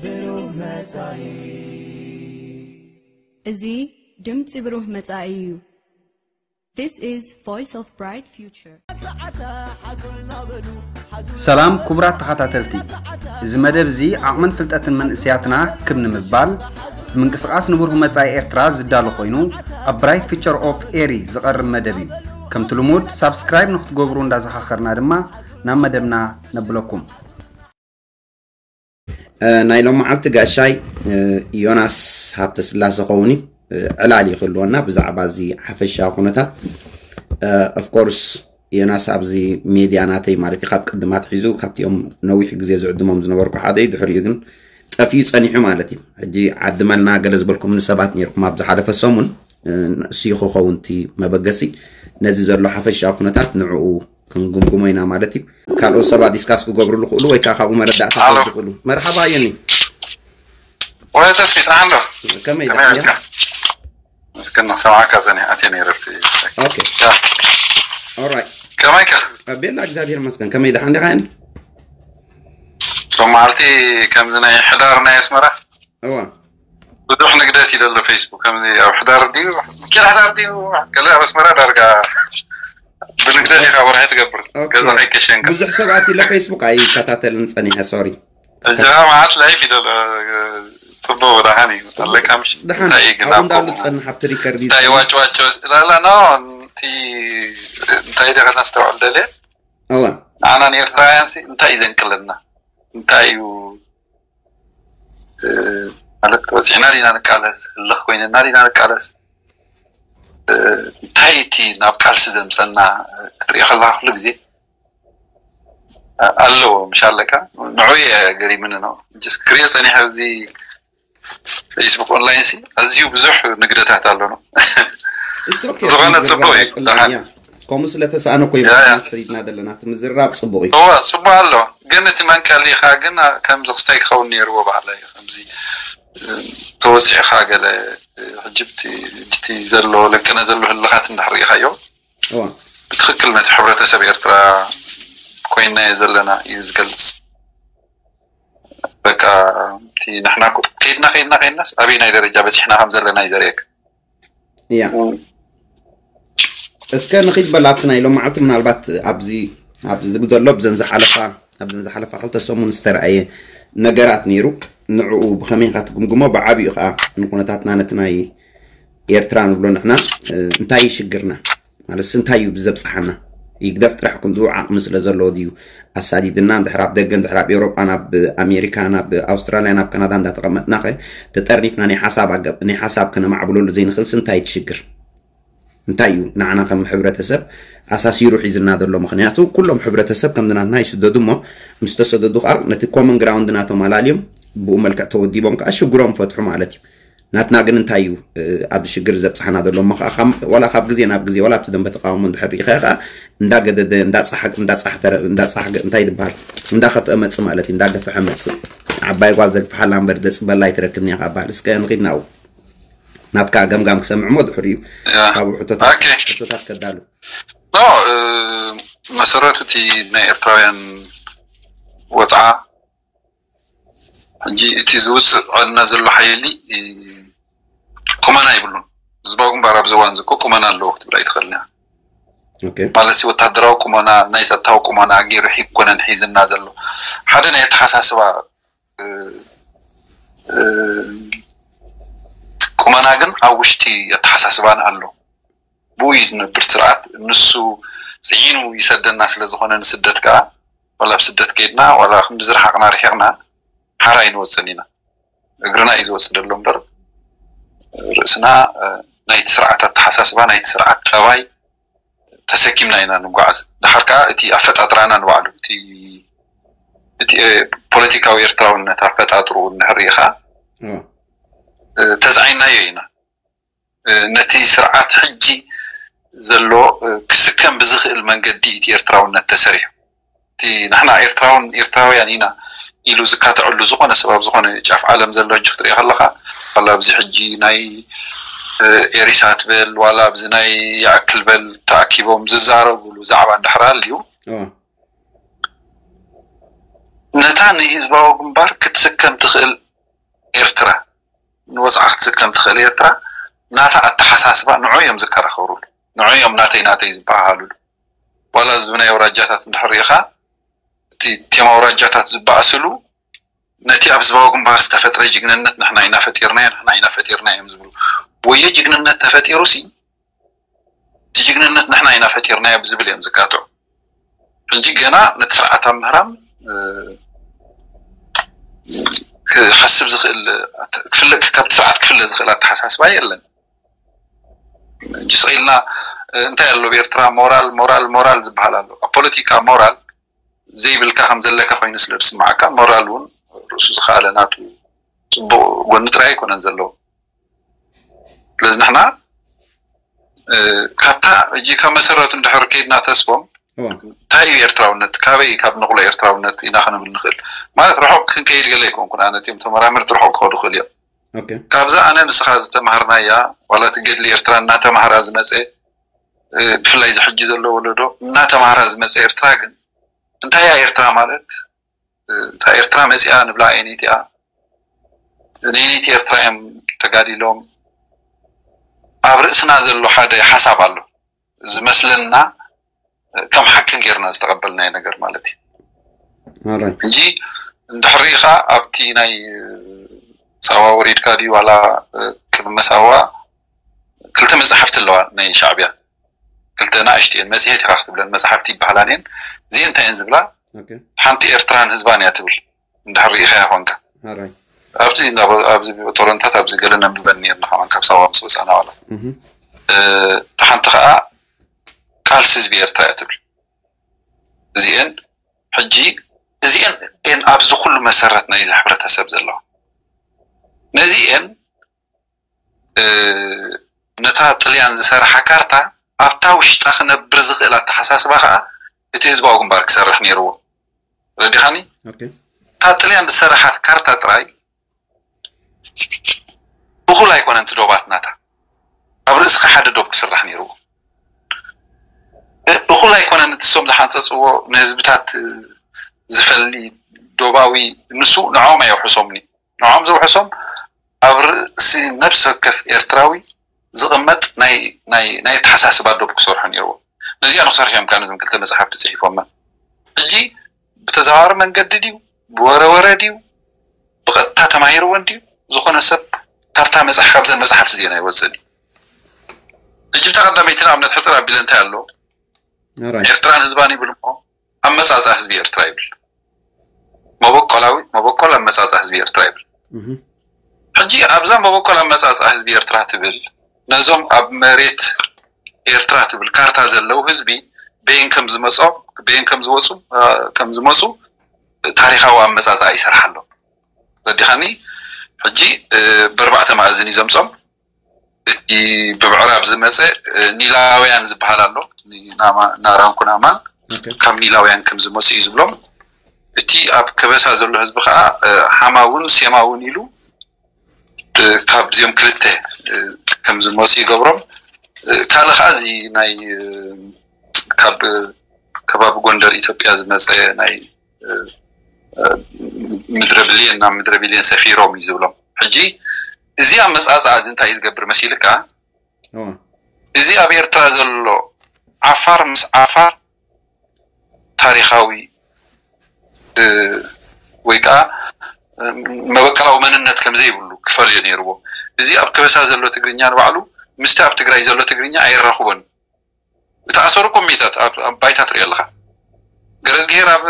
ብሩህ መጻኢ። እዚ ድምጺ ብሩህ መጻኢ እዩ። This is Voice of Bright Future. ሰላም ክቡራት ተኸታተልቲ፣ እዚ መደብ እዚ ዓቕምን ፍልጠትን መንእሰያትና ክብ ንምባል፣ ብምንቅስቓስ ንብሩህ መጻኢ ኤርትራ ዝዳሎ ኮይኑ፣ ኣብ ብራይት ፊቸር ኦፍ ኤሪ ዝቐርብ መደብ እዩ። ከምቲ ልሙድ ሳብስክራይብ ንክትገብሩ እንዳዘኻኸርና ድማ ናብ መደብና ነብለኩም። ናይ ሎም መዓልቲ ጋሻይ ዮናስ ሃብተስላሰ ኸውን እዩ። ዕላል ይክልወና ብዛዕባ እዚ ሓፈሻ ኩነታት። ኦፍኮርስ ዮናስ ኣብዚ ሜድያ ናተይ ማለት እዩ ካብ ቅድማት ሒዙ ካብቲኦም ነዊሕ ግዜ ዝዕድሞም ዝነበርኩ ሓደ እዩ። ድሕሪኡ ግን ጠፊኡ ጸኒሑ ማለት እዩ። ሕጂ ዓድመልና ገለ ዝበልኩም ንሰባት ነርኩም ኣብ ዝሓለፈ ሰሙን እሱ ይኸኸውን እቲ መበገሲ ነዚ ዘሎ ሓፈሻ ኩነታት ንዕኡ ክንግምግሞ ኢና ማለት እዩ። ካልኦት ሰባት ዲስካስ ክገብሩ ዝኽእሉ ወይ ከዓ ካብኡ መረዳእታ ክወስዱ ዝኽእሉ። መርሓባ የኒ። ወይ ተስፊት ንዓሎ ከመይ ከመይ ደሓን ኢልካ? ኢኻ? እስከ ንሰማዕካ ጸኒሐ ኣትየ ነይረ ኣብቲ ኦኬ ያ ኦራይት። ከመይ ኢልካ? ኣቤላ እግዚኣብሔር ይመስገን። ከመይ ደሓን ዲኻ የኒ? ሎም መዓልቲ ከምዚ ናይ ሕዳር ናይ ኣስመራ እዋ ብዙሕ ንግደት እዩ ዘሎ ፌስቡክ ከምዚ ኣብ ሕዳር ድዩ ኪል ሕዳር ድዩ ገለ ኣብ ኣስመራ ዳርጋ ብንግደት ኢኻ ወርሒ ትገብር ኦኬ። ገዛ ከይከሸንካ ብዙሕ ሰባት ኢለ ፌስቡክ ኣይከታተልን ጸኒሐ ሶሪ። እጃ መዓት ላይፍ እዩ ዘሎ ጽቡቅ ደሓን እዩ ኣለካ ምሽ ደሓን እንታይ እዩ ግን ኣብኡ ኣብ እንዳሉ ከምኡ? ጸንሕ ኣብቲ ሪከርድ እዩ እንታይ ዋጭ ዋጭ ወስ- ላላ ኖ እቲ እንታይ ደኸ ነስተውዕል ደልየ እዋ ንዓና ንኤርትራውያን ሲ እንታይ እዩ ዘንቅለና እንታይ እዩ እ፣ ማለት ወፂዕና ዲና ንቃለስ ህልኽ ኮይንና ዲና ንቃለስ እ፣ እንታይ እቲ ናብ ቃልሲ ዘምፀና ክትሪኦ ከለካ ኩሉ ግዜ እ፣ ኣለዎ ምሽ ኣለካ ንዑ እየ ገሪምኒ ነው ጅስ ክሪኦ ፀኒሐ ኣብዚ ፌስቡክ ኦንላይን ሲ ኣዝዩ ብዙሕ ንግደታት ኣሎ ነው It's okay። ዝኾነ ምዝርራብ ጽቡቅ እዩ። ኣይጽላእን እያ። ከምኡ ስለተሰኣነ እኮ እዩ ያ፣ ያ። ሰዲድና ዘለና እቲ ምዝርራብ ጽቡቅ እዩ። እወ ጽቡቅ ኣሎ ግን እቲ መንቀሊኻ ግን ከምዚ ክስታይ ክኸውን ነይርዎ ባህላ እዩ ከምዚ እ፣ ተወሲዕኻ ገለ እ፣ ሕጂ ብቲ- እቲ ዘሎ ለቅነ ዘሎ ህልኻት እንድሕር ርኢኻዮ እዋ ብትክክል ነቲ ሕብረተሰብ ኤርትራ ኮይናዮ ዘለና እዩ ዝገልጽ በቃ እቲ ንሕና እኮ ከይድና ከይድና ከይድናስ ኣበይናይ ደረጃ በፂሕና ከም ዘለና እዩ ዘርእየካ እያ እስከ ንኺድ በል ኣብቲ ናይ ሎም መዓልቲ ምናልባት ኣብዚ ኣብዚ ዝብል ዘሎ ብዘን ዝሓለፋ ኣብዘን ዝሓለፋ ክልተ ሰሙን ዝተረኣየ ነገራት ነይሩ ንዕኡ ብኸመይ ኢኻ ትግምግሞ ብዓብኡ ከዓ ንኩነታትና ነቲ ናይ ኤርትራ ንብሎ ንሕና እ፣ እንታይ እዩ ሽግርና ማለትስ እንታይ እዩ ብዘብፅሓና ይግደፍ ጥራሕ ክንድኡ ዓቕሚ ስለ ዘለዎ ድዩ ኣሳዲድና እንድሕር ኣብ ደገ እንድሕር ኣብ ኤውሮጳ ናብ ኣሜሪካ ናብ ኣውስትራልያ ናብ ካናዳ እንዳተቐመጥና ኸ ተጠርኒፍና ናይ ሓሳብ ኣገብ ናይ ሓሳብ ከነማዕብለሉ ዘይንኽእልስ እንታይ ትሽግር እንታይ እዩ ንዓና ከም ሕብረተሰብ ኣሳሲሩ ሒዝና ዘሎ ምክንያቱ ኩሎም ሕብረተሰብ ከምዚ ናትና ይስደዱ እሞ ምስ ተሰደዱ ከዓ ነቲ ኮመን ግራውንድ ናቶም ኣላልዮም ብኡ መልክዕ ተወዲቦም ከዓ ሽግሮም ፈትሑ ማለት እዩ ናትና ግን እንታይ እዩ ኣብ ሽግር ዘብፅሓና ዘሎ እሞ ከዓ ዋላ ካብ ግዜ ናብ ግዜ ዋላ ኣብቲ ደንበ ተቃውሞ እንድሕር ርኢኻ ከዓ እንዳገደደ እንዳፀሓገ እንታይ ዝበሃል እንዳኸፍአ መፅእ ማለት እዩ እንዳገፍሐ መፅእ ዓባይ ጓል ዘግፍሓላ እምበር ደፅበላ ኣይትረክብን እያ ካብ በሃል እስከ ንኺድ ናብኡ ናትካ ገምጋም ክሰምዕ እሞ ድሕሪኡ ካብኡ ሕቶታት ከዳሉ መሰረቱ እቲ ናይ ኤርትራውያን ወፅዓ ሕጂ እቲ ዝውፅእ ዕልና ዘሎ ሓይሊ ቁመና ይብሉን ህዝባዊ ግንባር ኣብዚ እዋን ዝኮ ቁመና ኣለዎ ክትብል ኣይትኽእልን እያ ኦኬ ማለት ወታደራዊ ቁመና ናይ ፀጥታዊ ቁመና ገይሩ ኣይኮነን ሒዝና ዘሎ ሓደ ናይ ኣተሓሳስባ ቁመና ግን ኣብ ውሽጢ ኣተሓሳስባና ኣሎ ብኡ እዩ ዝነብር ስርዓት ንሱ ፅዒኑ ይሰደና ስለዝኮነ ንስደት ከዓ ዋላ ኣብ ስደት ከይድና ዋላ ክንዲ ዝረሓቅና ርሒቅና ሓራ ኣይንወፅን ኢና እግርና እዩ ዝወፅእ ዘሎ እምበር ርእስና ናይቲ ስርዓት ኣተሓሳስባ ናይቲ ስርዓት ጠባይ ተሰኪምና ኢና ንጓዓዝ ድሓር ከዓ እቲ ኣፈጣጥራና ንባዕሉ እቲ ፖለቲካዊ ኤርትራውነት ኣፈጣጥርኡ እንድሕር ርኢኻ ተዝዓይናዮ ኢና ነቲ ስርዓት ሕጂ ዘሎ ክስከም ብዝኽእል መንገዲ እቲ ኤርትራውነት ተሰሪሑ እቲ ንሕና ኤርትራውን ኤርትራውያን ኢና ኢሉ ዝካተዐሉ ዝኾነ ሰብ ኣብ ዝኾነ ጫፍ ዓለም ዘሎ ሕጂ ክትሪኦ ከለኻ ዋላ ኣብዚ ሕጂ ናይ ኤሪሳ ትበል ዋላ ኣብዚ ናይ ይኣክል በል ተኣኪቦም ዝዛረብሉ ዛዕባ እንድሕር ሃልዩ ነታ ንህዝባዊ ግንባር ክትስከም ትኽእል ኤርትራ ንወፅዓ ክትስከም ትኽእል ኤርትራ ናታ ኣተሓሳስባ ንዑ እዮም ዝከራኸሩሉ፣ ንዑ እዮም ናተይ ናተይ ዝበሃሃሉሉ። ዋላ እዚ ብናይ ኣውራጃታት እንድሕር ርኢኻ እቲ ቴማ ኣውራጃታት ዝበኣስሉ ነቲ ኣብ ህዝባዊ ግንባር ዝተፈጥረ ጅግንነት ንሕና ኢና ፈጢርናዮ፣ ንሕና ኢና ፈጢርናዮ እዮም ዝብሉ። ወዮ ጅግንነት ተፈጢሩ ሲ እቲ ጅግንነት ንሕና ኢና ፈጢርናዮ ብዝብል እዮም ዝጋትዑ። ሕጂ ገና ነቲ ስርዓት ኣብ ምህራም ክሓስብ ዝኽእል ካብቲ ስርዓት ክፍለ ዝኽእል ኣተሓሳስባ የለን። ሕጂ ስቕ ኢልና እንታይ ኣሎ ብኤርትራ ሞራል ሞራል ሞራል ዝበሃል ኣሎ። ኣብ ፖለቲካ ሞራል ዘይብልካ ከም ዘለካ ኮይኑ ስለ ዝስማዓካ ሞራል እውን ርእሱ ዝኸኣለ ናቱ ፅቡቕ ጎኒ ጥራይ ኣይኮነን ዘለዎ። ስለዚ ንሕና ካብታ ሕጂ ካብ መሰረቱ እንድሕር ከይድና ተስፎም እንታይ እዩ ኤርትራውነት፣ ካበይ ካብ ንቕሎ ኤርትራውነት ኢና ክንብል ንኽእል? ማለት ርሑቕ ክንከይድ ገለ ኣይኮንኩን ኣነ እቲኦም ተመራመርቲ ርሑቕ ክኸዱ ይኽእሉ እዮም። ካብዛ ኣነ ንስኻ ዝተማሃርናያ ዋላ እቲ ገድሊ ኤርትራ እናተማህራ ዝመፀ ብፍላይ እዚ ሕጂ ዘሎ ወለዶ እናተማህራ ዝመፀ ኤርትራ ግን እንታይ እያ ኤርትራ ማለት እታ ኤርትራ መፂኣ ንብላ ኣየነይቲ እያ ነየነይቲ ኤርትራ እዮም ተጋዲሎም ኣብ ርእስና ዘሎ ሓደ ሓሳብ ኣሎ ዝመስለና ከም ሓቂ ጌርና ዝተቐበልናዮ ነገር ማለት እዩ ሕጂ እንድሕር ሪኢኻ ኣብቲ ናይ ሳዋ ወሪድካ ድዩ ዋላ ቅድሚ ሳዋ ክልተ መፅሓፍቲ ኣለዋ ናይ ሻዕብያ ክልተ ንኣሽትኤን መፅሄት ኢኻ ክትብለን መፅሓፍቲ ይበሃላን እየን እዚኤን እንታይ እየን ዝብላ ሓንቲ ኤርትራን ህዝባን እያ ትብል እንድሕር ሪኢኻያ ኮንካ ኣብዚ ኣብዚ ጦረንታት ኣብዚ ገለ ነንብበን ነርና ከማን ካብ ሳዋ ምስ ወፃና ዋላ እቲ ሓንቲ ከዓ ቃልሲ ህዝቢ ኤርትራ እያ ትብል እዚኤን ሕጂ እዚኤን ኤን ኣብዚ ኩሉ መሰረት ናይዚ ሕብረተሰብ ዘለዋ ነዚኤን ነታ ጥልያን ዝሰርሓ ካርታ ኣብታ ውሽጣ ክነብር ዝኽእል ኣተሓሳስባ ከዓ እቲ ህዝባዊ ግንባር ክሰርሕ ነይርዎ ረዲኻኒ እታ ጥልያን ዝሰርሓት ካርታ ጥራይ እኹል ኣይኮነን እቲ ዶባት ናታ ኣብ ርእስኻ ሓደ ዶብ ክስራሕ ነይርዎ እኹል ኣይኮነን እቲ ሶም ዝሓንፀፅዎ ንህዝብታት ዝፈሊ ዶባዊ ንሱ ንዖም ኣየውሕሶምኒ ንዖም ዘውሕሶም ኣብ ርእሲ ነብሲ ወከፍ ኤርትራዊ ዝቕመጥ ናይ ኣተሓሳስባ ዶብ ክሰርሑ ነይርዎ ነዚኣ ንክሰርሑ እዮም ከዓ ነዞም ክልተ መፅሓፍቲ ፅሒፎማ ሕጂ ብተዘዋዋሪ መንገዲ ድዩ ብወረወረ ድዩ ብቐጥታ ተማሂርወን ድዩ ዝኾነ ሰብ ካብታ መፅሓፍ ካብዘን መፅሓፍቲ እዚአን ኣይወፅእን እዩ ሕጂ ብታ ቀዳመይቲ ንኣብነት ሕፅር ኣቢለ እንታይ ኣሎ ኤርትራን ህዝባን ይብል እሞ ኣመፃፅኣ ህዝቢ ኤርትራ ይብል መበቆላዊ መበቆል ኣመፃፅኣ ህዝቢ ኤርትራ ይብል ሕጂ ኣብዛ መበቆል ኣመፃፅኣ ህዝቢ ኤርትራ ትብል ነዞም ኣብ መሬት ኤርትራ ትብል ካርታ ዘለዉ ህዝቢ በየን ከም ዝመፆም በየን ከም ዝወፁ ከም ዝመፁ ታሪኻዊ ኣመፃፅኣ ይሰርሓ ኣሎ ረዲኻኒ ሕጂ በርባዕተ ማእዝን እዩ ዘምፆም እቲ ብምዕራብ ዝመፀ ኒላውያን ዝበሃል ኣሎ ናራንኩናማን ካብ ኒላውያን ከም ዝመፁ እዩ ዝብሎም እቲ ኣብ ከበሳ ዘሎ ህዝቢ ከዓ ሓማውን ሴማውን ኢሉ ካብዚኦም ክልተ ከም ዝመፁ ይገብሮም ካልእ ከዓ እዚ ናይ ካብ ከባቢ ጎንደር ኢትዮጵያ ዝመፀ ናይ ምድረ ብልየን ናብ ምድረ ብልየን ሰፊሮም እዩ ዝብሎም ሕጂ እዚ ኣመፃፅኣ እዚ እንታይ እዩ ዝገብር መሲልካ እዚ ኣብ ኤርትራ ዘሎ ዓፋር ምስ ዓፋር ታሪኻዊ ወይ ከዓ መበቀላዊ መንነት ከምዘይብሉ ክፈልዮ ነይርዎ እዚ ኣብ ከበሳ ዘሎ ትግርኛ ንባዕሉ ምስቲ ኣብ ትግራይ ዘሎ ትግርኛ ኣይራኽቦን ዝተኣሰሩ ኮሚታት ኣብ ባይታ ትሪኦ ኣለኻ ገረዝግሄር ኣብ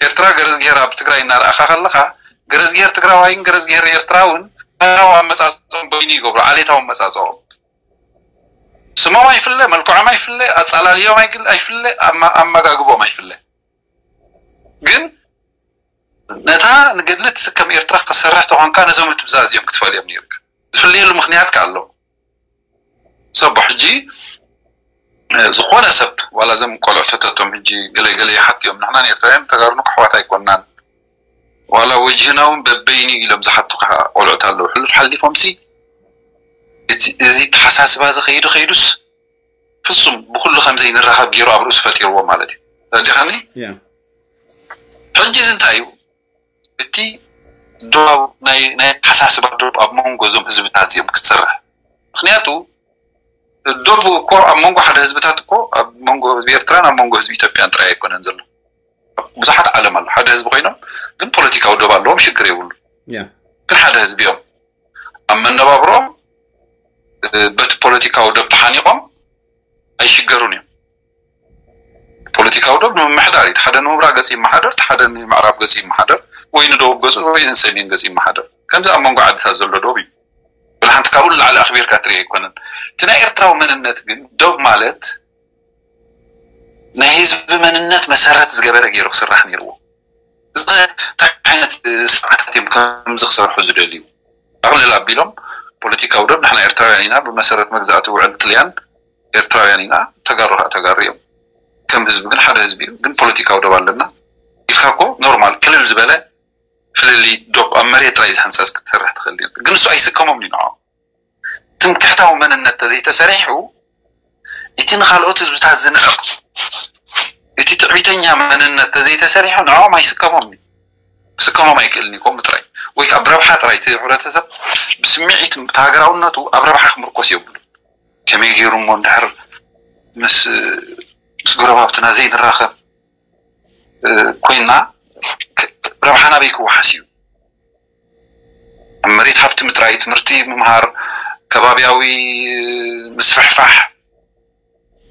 ኤርትራ ገረዝግሄር ኣብ ትግራይ እናረኣኻ ከለኻ ገረዝግሄር ትግራዋይን ገረዝግሄር ኤርትራውን ታሪኻዊ ኣመፃፅኦም በይኑ ይገብሩ ዓሌታዊ ኣመፃፅኦም ስሞም ኣይፍለ መልክዖም ኣይፍለ ኣፃላልዮም ኣይፍለ ኣመጋግቦም ኣይፍለ ግን ነታ ንገድሊ ትስከም ኤርትራ ክትሰርሕ ተኾንካ ነዞም ህትብዛ እዚኦም ክትፈልዮም ነይርካ ዝፍለየሉ ምክንያት ከ ኣሎ ሰቦ ሕጂ ዝኾነ ሰብ ዋላ ዘም ቆልዑ ተተቶም ሕጂ ገለ ገለ ይሓትዮም ንሕና ኤርትራውያን ተጋሩ ንክሕዋት ኣይኮናን ዋላ ወጅህና እውን በበይኑ ኢሎም ዝሓቱ ቆልዑት ኣለዉ ሕሉፍ ሓሊፎም ሲ እዚ ተሓሳስባ እዚ ከይዱ ከይዱስ ፍጹም ብኩሉ ከምዘይ ንራኸብ ገይሩ ኣብ ርእሱ ፈጢርዎ ማለት እዩ ተረዲኻኒ ሕጂ እዚ እንታይ እዩ እቲ ዶብ ናይ ናይ ኣተሓሳስባ ዶብ ኣብ መንጎ እዞም ህዝብታት እዚኦም ክትሰርሕ። ምክንያቱ ዶብ እኮ ኣብ መንጎ ሓደ ህዝብታት እኮ ኣብ መንጎ ህዝቢ ኤርትራን ኣብ መንጎ ህዝቢ ኢትዮጵያን ጥራይ ኣይኮነን ዘሎ። ብዙሓት ዓለም ኣሎ ሓደ ህዝቢ ኮይኖም ግን ፖለቲካዊ ዶብ ኣለዎም ሽግር የብሉ። ግን ሓደ ህዝቢ እዮም ኣብ መነባብሮም በቲ ፖለቲካዊ ዶብ ተሓኒቆም ኣይሽገሩን እዮም። ፖለቲካዊ ዶብ ንምምሕዳር እዩ። ሓደ ንምብራቅ ገፅ ይመሓደር፣ ሓደ ንምዕራብ ገፅ ይመሓደር፣ ወይ ንደቡብ ገፁ ወይ ንሰሜን ገፅ ይመሓደር። ከምዚ ኣብ መንጎ ዓድታት ዘሎ ዶብ እዩ። ብልሓንቲ ካብኡ ንላዕሊ ኣኽቢርካ ትርኢ ኣይኮነን። እቲ ናይ ኤርትራዊ መንነት ግን ዶብ ማለት ናይ ህዝቢ መንነት መሰረት ዝገበረ ገይሩ ክስራሕ ነይርዎ። እዚ እንታይ ዓይነት ስርዓታት እዮም ከምዚ ክሰርሑ ዝደልዩ? ኣቕልል ኣቢሎም ፖለቲካዊ ዶብ ንሕና ኤርትራውያን ኢና፣ ብመሰረት መግዛእቲ ውዕል ጥልያን ኤርትራውያን ኢና፣ ተጋሩ ከዓ ተጋሩ እዮም። ከም ህዝቢ ግን ሓደ ህዝቢ እዩ፣ ግን ፖለቲካዊ ዶብ ኣለና ኢልካ እኮ ኖርማል ክልል ዝበለ ፍልልይ ዶብ ኣብ መሬት ጥራይ ዝሕንጸጽ ክትሰርሕ ትኽእል እዩ። ግን እሱ ኣይስከሞም እዩ ንዖም። ትምክሕታዊ መንነት ተዘይተሰሪሑ እቲ ንኻልኦት ህዝብታት ዝንዕቕ እቲ ትዕቢተኛ መንነት ተዘይተሰሪሑ ንዕኦም ኣይስከሞም እዩ። ክስከሞም ኣይክእልን እዩ። ከምኡ ጥራይ ወይ ከዓ ብረብሓ ጥራይ እቲ ሕብረተሰብ ብስምዒት እቲ ሃገራውነቱ ኣብ ረብሓ ክምርኮስ የብሉ። ከመይ ገይሩ እሞ እንድሕር ምስ ምስ ጎረባብትና ዘይንራኸብ ኮይና ረብሓ ናበይ ክወሓስ እዩ? ኣብ መሬት ሃብቲ ምጥራይ፣ ትምህርቲ ምምሃር፣ ከባብያዊ ምስፍሕፋሕ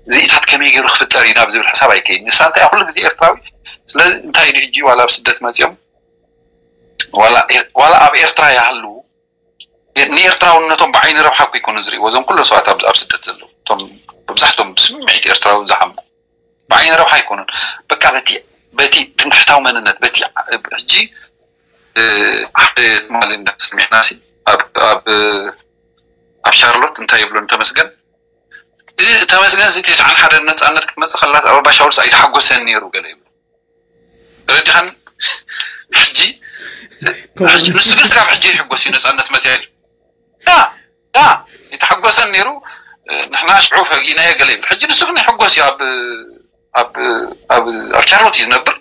እዚኢታት ከመይ ገይሩ ክፍጠር እዩ ናብ ዝብል ሕሳብ ኣይከይድ። ንሳ እንታይ ኩሉ ግዜ ኤርትራዊ ስለዚ እንታይ ኢሉ ሕጂ ዋላ ኣብ ስደት መፅኦም ዋላ ኣብ ኤርትራ ይሃሉ ንኤርትራውነቶም ብዓይኒ ረብሓ እኮ ይኮኑ ዝርእይዎ እዞም ኩሎም ሰባት ኣብ ስደት ዘለዉ እቶም መብዛሕቶም ብስምዒት ኤርትራዊ ዝሓሙ ብዓይኒ ረብሓ ኣይኮኑን። በቃ በቲ በቲ ትምክሕታዊ መንነት በቲ ሕጂ ሓደ ትማሊ እንዳሰሚዕና ሲ ኣብ ኣብ ኣብ ሻርሎት እንታይ ይብሎ ንተመስገን ተመስገን ሲ ተስዓን ሓደን ነፃነት ክትመፅእ ከላስ ኣበባ ሻውልስ ኣይተሓጎሰን ነይሩ ገለ ይብሎ ረዲኻን ሕጂ ንሱ ግን ስጋብ ሕጂ ይሕጎስ እዩ ነፃነት መፅያ ኢሉ ዳ ዳ ይተሓጎሰን ነይሩ ንሕና ሽዑ ፈጊእናዮ ገለ ይብል ሕጂ ንሱ ግን ይሕጎስ እዩ ኣብ ኣብ ኣብ ኣብ ቻርሎት እዩ ዝነብር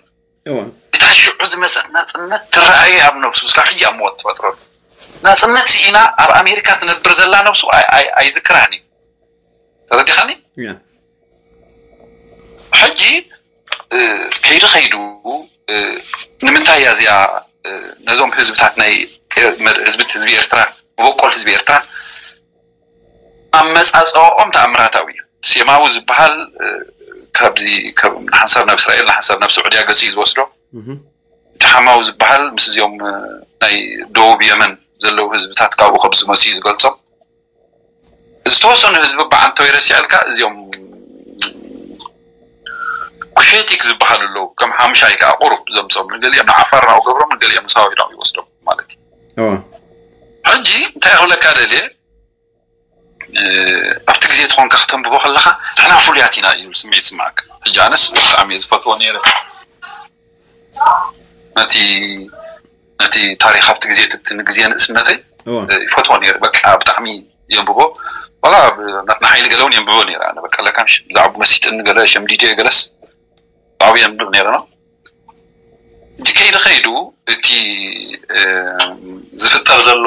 እታ ሽዑ ዝመፀት ናፅነት ትረኣየ ኣብ ነብሱ ስጋብ ሕጂ ኣብ መወት ትፈጥረሉ ናፅነት ስኢና ኣብ ኣሜሪካ ትነብር ዘላ ነብሱ ኣይዝክራን እዩ ተረዲኻኒ ሕጂ ከይዱ ከይዱ ንምንታይ እያ እዚኣ ነዞም ህዝብታት ናይ ህዝቢ ህዝቢ ኤርትራ መበቆል ህዝቢ ኤርትራ ኣመፃፅኦም ተኣምራታዊ እዩ ሴማዊ ዝበሃል ካብዚ ንሓንሳብ ናብ እስራኤል ንሓንሳብ ናብ ስዑድያ ገፂ እዩ ዝወስዶ እቲ ሓማዊ ዝበሃል ምስ እዚኦም ናይ ደቡብ የመን ዘለዉ ህዝብታት ካብኡ ከም ዝመፅኡ ዝገልፆም ዝተወሰኑ ህዝቢ ብዓንተው ይረሲዐልካ እዚኦም ኩሼቲክ ዝበሃሉ ኣለዉ ከም ሓሙሻይ ከዓ ቁሩብ ዘምፅኦም ንገሊኦም ንዓፋር ናብኡ ገብሮም ንገሊኦም ንሳዋ ኢሎም ይወስዶም ማለት እዩ ሕጂ እንታይ ክብለካ ደልየ ኣብቲ ግዜ ትኾንካ ክተንብቦ ከለካ ንሕና ፍሉያት ኢና ዝብል ስምዒት ይስምዓካ ሕጂ ኣነስ ብጣዕሚ እየ ዝፈትዎ ነይረ ነቲ ነቲ ታሪክ ኣብቲ ግዜ ትብቲ ንግዜ ንእስነተይ ይፈትዎ ነይረ በቃ ብጣዕሚ የንብቦ ዋላ ናትና ሓይሊ ገለ እውን የንብቦ ነይረ ኣነ በቃ ለካ ብዛዕባ መሲጥኒ ገለ ሸምዲድዮ ገለስ ብዓብኡ የንብብ ነይረ ነው እንጂ ከይዱ ከይዱ እቲ ዝፍጠር ዘሎ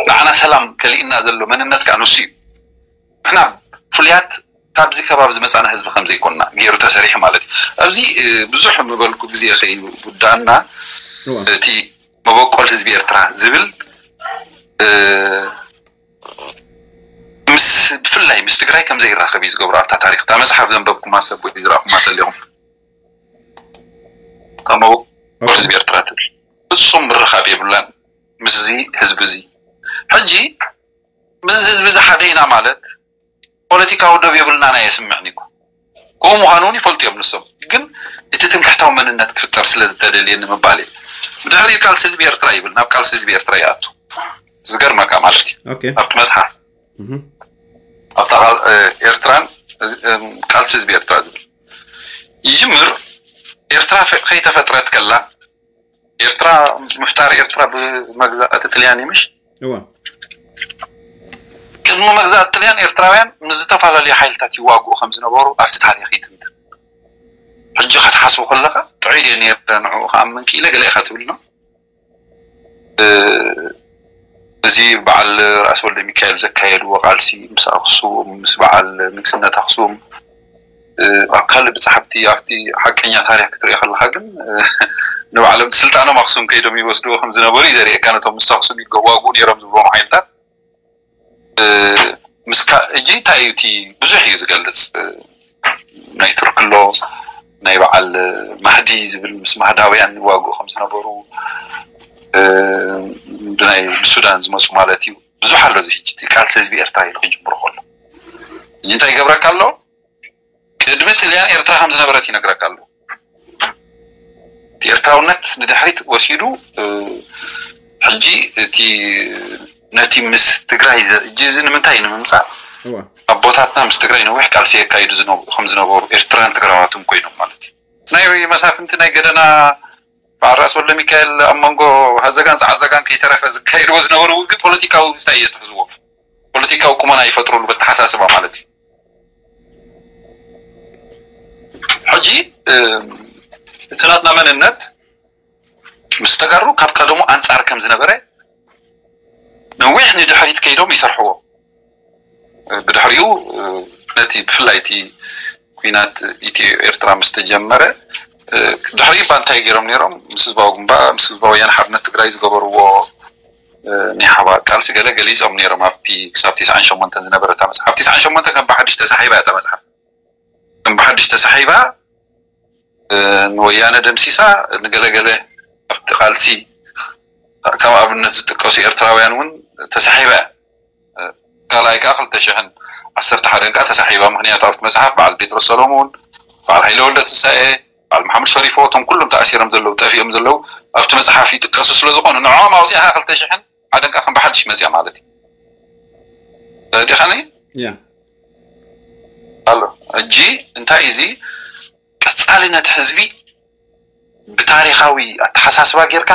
ንዓና ሰላም ከሊእና ዘሎ መንነት ከዓ ንሱ እዩ ንሕና ፍሉያት ካብዚ ከባቢ ዝመፃና ህዝቢ ከምዘይኮንና ገይሩ ተሰሪሑ ማለት እዩ ኣብዚ ብዙሕ ምበልኩ ግዜ ከይውዳእና እቲ መበቆል ህዝቢ ኤርትራ ዝብል ምስ ብፍላይ ምስ ትግራይ ከምዘይራኸብ እዩ ዝገብሮ ኣብታ ታሪክ እታ መፅሓፍ ዘንበብኩማ ሰብ ወይ ዝረእኹማ ተሊኹም መበቆል ህዝቢ ኤርትራ ትብል ፍፁም ምርኻብ የብላን ምስዚ ህዝቢ እዚ ሕጂ ምስ ህዝቢ እዚ ሓደ ኢና ማለት ፖለቲካዊ ዶብ የብልናን ኣየስምዕን እዩ ከምኡ ምዃኑ እውን ይፈልጡ እዮም ንሶም ግን እቲ ትምክሕታዊ መንነት ክፍጠር ስለ ዝተደልየ ንምባል እየ ብድሕሪ ቃልሲ ህዝቢ ኤርትራ ይብል ናብ ቃልሲ ህዝቢ ኤርትራ ይኣቱ ዝገርመካ ማለት እዩ ኣብቲ መፅሓፍ ኣብታ ኤርትራን ቃልሲ ህዝቢ ኤርትራ ዝብል ይጅምር ኤርትራ ከይተፈጥረት ከላ ኤርትራ ምፍጣር ኤርትራ ብመግዛእቲ ጥልያን እዩ ምሽ እዋ ቅድሚ መግዛእቲ ጥልያን ኤርትራውያን ምስ ዝተፈላለዩ ሓይልታት ይዋግኡ ከም ዝነበሩ ኣብቲ ታሪክ ይትንትን ሕጂ ክትሓስቡ ከለኻ ጥዑይ ድየ ነይረ ንዕኡ ክኣምን ክኢለ ገለ ኢኻ ትብል ነው። እዚ በዓል ራእሲ ወልደ ሚካኤል ዘካየድዎ ቃልሲ ምስ ኣክሱም ምስ በዓል ንግስነት ኣክሱም ኣብ ካልእ ብፅሓፍቲ ኣብቲ ሓቀኛ ታሪክ ክትሪኦ ከለካ ግን ንባዕሎም ስልጣኖም ኣክሱም ከይዶም ይወስድዎ ከም ዝነበሩ እዩ ዘርእየካ። ነቶም ምስ ኣክሱም ይዋግኡ ነይሮም ዝብልዎም ሓይልታት ምስካ እጂ እንታይ እዩ እቲ ብዙሕ እዩ ዝገልፅ ናይ ቱርክሎ ናይ በዓል ማህዲ ዝብል ምስ ማህዳውያን ይዋግኡ ከም ዝነበሩ ብናይ ብሱዳን ዝመፁ ማለት እዩ። ብዙሕ ኣሎ እዚ ሕጂ እቲ ቃልሲ ህዝቢ ኤርትራ ኢሉ ክጅምሩ ከሎ እዚ እንታይ ይገብረካ ኣሎ? ቅድሚ ጥልያን ኤርትራ ከም ዝነበረት ይነግረካ ኣሎ። እቲ ኤርትራውነት ንድሕሪት ወሲዱ ሕጂ እቲ ነቲ ምስ ትግራይ ሕጂ እዚ ንምንታይ ንምምፃእ ኣቦታትና ምስ ትግራይ ነዊሕ ቃልሲ የካይዱ ከም ዝነበሩ ኤርትራን ትግራዋትን ኮይኖም ማለት እዩ። ናይ መሳፍንቲ ናይ ገደና በዓል ራእሲ ወልደ ሚካኤል ኣብ መንጎ ሃዘጋን ፃዓዛጋን ከይተረፈ ዝካየድዎ ዝነበሩ ውግእ ፖለቲካዊ እንታይ እየ ትሕዝዎ ፖለቲካዊ ቁመና ይፈጥሩሉ በተሓሳስባ ማለት እዩ። ሕጂ እቲ ናትና መንነት ምስ ተጋሩ ካብ ቀደሙ ኣንፃር ከም ዝነበረ ነዊሕ ንድሕሪት ከይዶም ይሰርሕዎ። ብድሕሪኡ ነቲ ብፍላይ እቲ ኩናት ኢትዮ ኤርትራ ምስ ተጀመረ ድሕሪኡ እባ እንታይ ገይሮም ነይሮም? ምስ ህዝባዊ ግንባር ምስ ህዝባዊ ወያነ ሓርነት ትግራይ ዝገበርዎ ናይ ሓባር ቃልሲ ገለ ገሊፆም ነይሮም። ኣብቲ ክሳብ ተስዓን ሸሞንተን ዝነበረ እታ መፅሓፍ ተስዓን ሸሞንተን ከም ብሓድሽ ተሳሒባ እያ እታ መፅሓፍ ከም ብሓድሽ ተሳሒባ ንወያነ ደምሲሳ ንገለገለ ኣብቲ ቃልሲ ከም ኣብነት ዝጥቀሱ ኤርትራውያን እውን ተሳሒባ እያ። ካልኣይ ከዓ ክልተ ሽሕን ዓሰርተ ሓደን ከዓ ተሳሒባ። ምክንያቱ ኣብቲ መፅሓፍ በዓል ጴጥሮስ ሰሎሙን፣ በዓል ሃይለ ወልደ ትንሳኤ፣ በዓል መሓመድ ሸሪፎ እቶም ኩሎም ተኣሲሮም ዘለዉ ጠፊኦም ዘለዉ ኣብቲ መፅሓፍ ይጥቀሱ ስለዝኾኑ ንዕኦም ኣውፂእኻ ክልተ ሽሕን ሓደን ከዓ ከም ብሓድሽ መፅያ ማለት እዩ። ተረዲኻኒ? ያ ኣሎ ሕጂ እንታይ እዚ ቀፃሊ ነቲ ህዝቢ ብታሪኻዊ ኣተሓሳስባ ጌርካ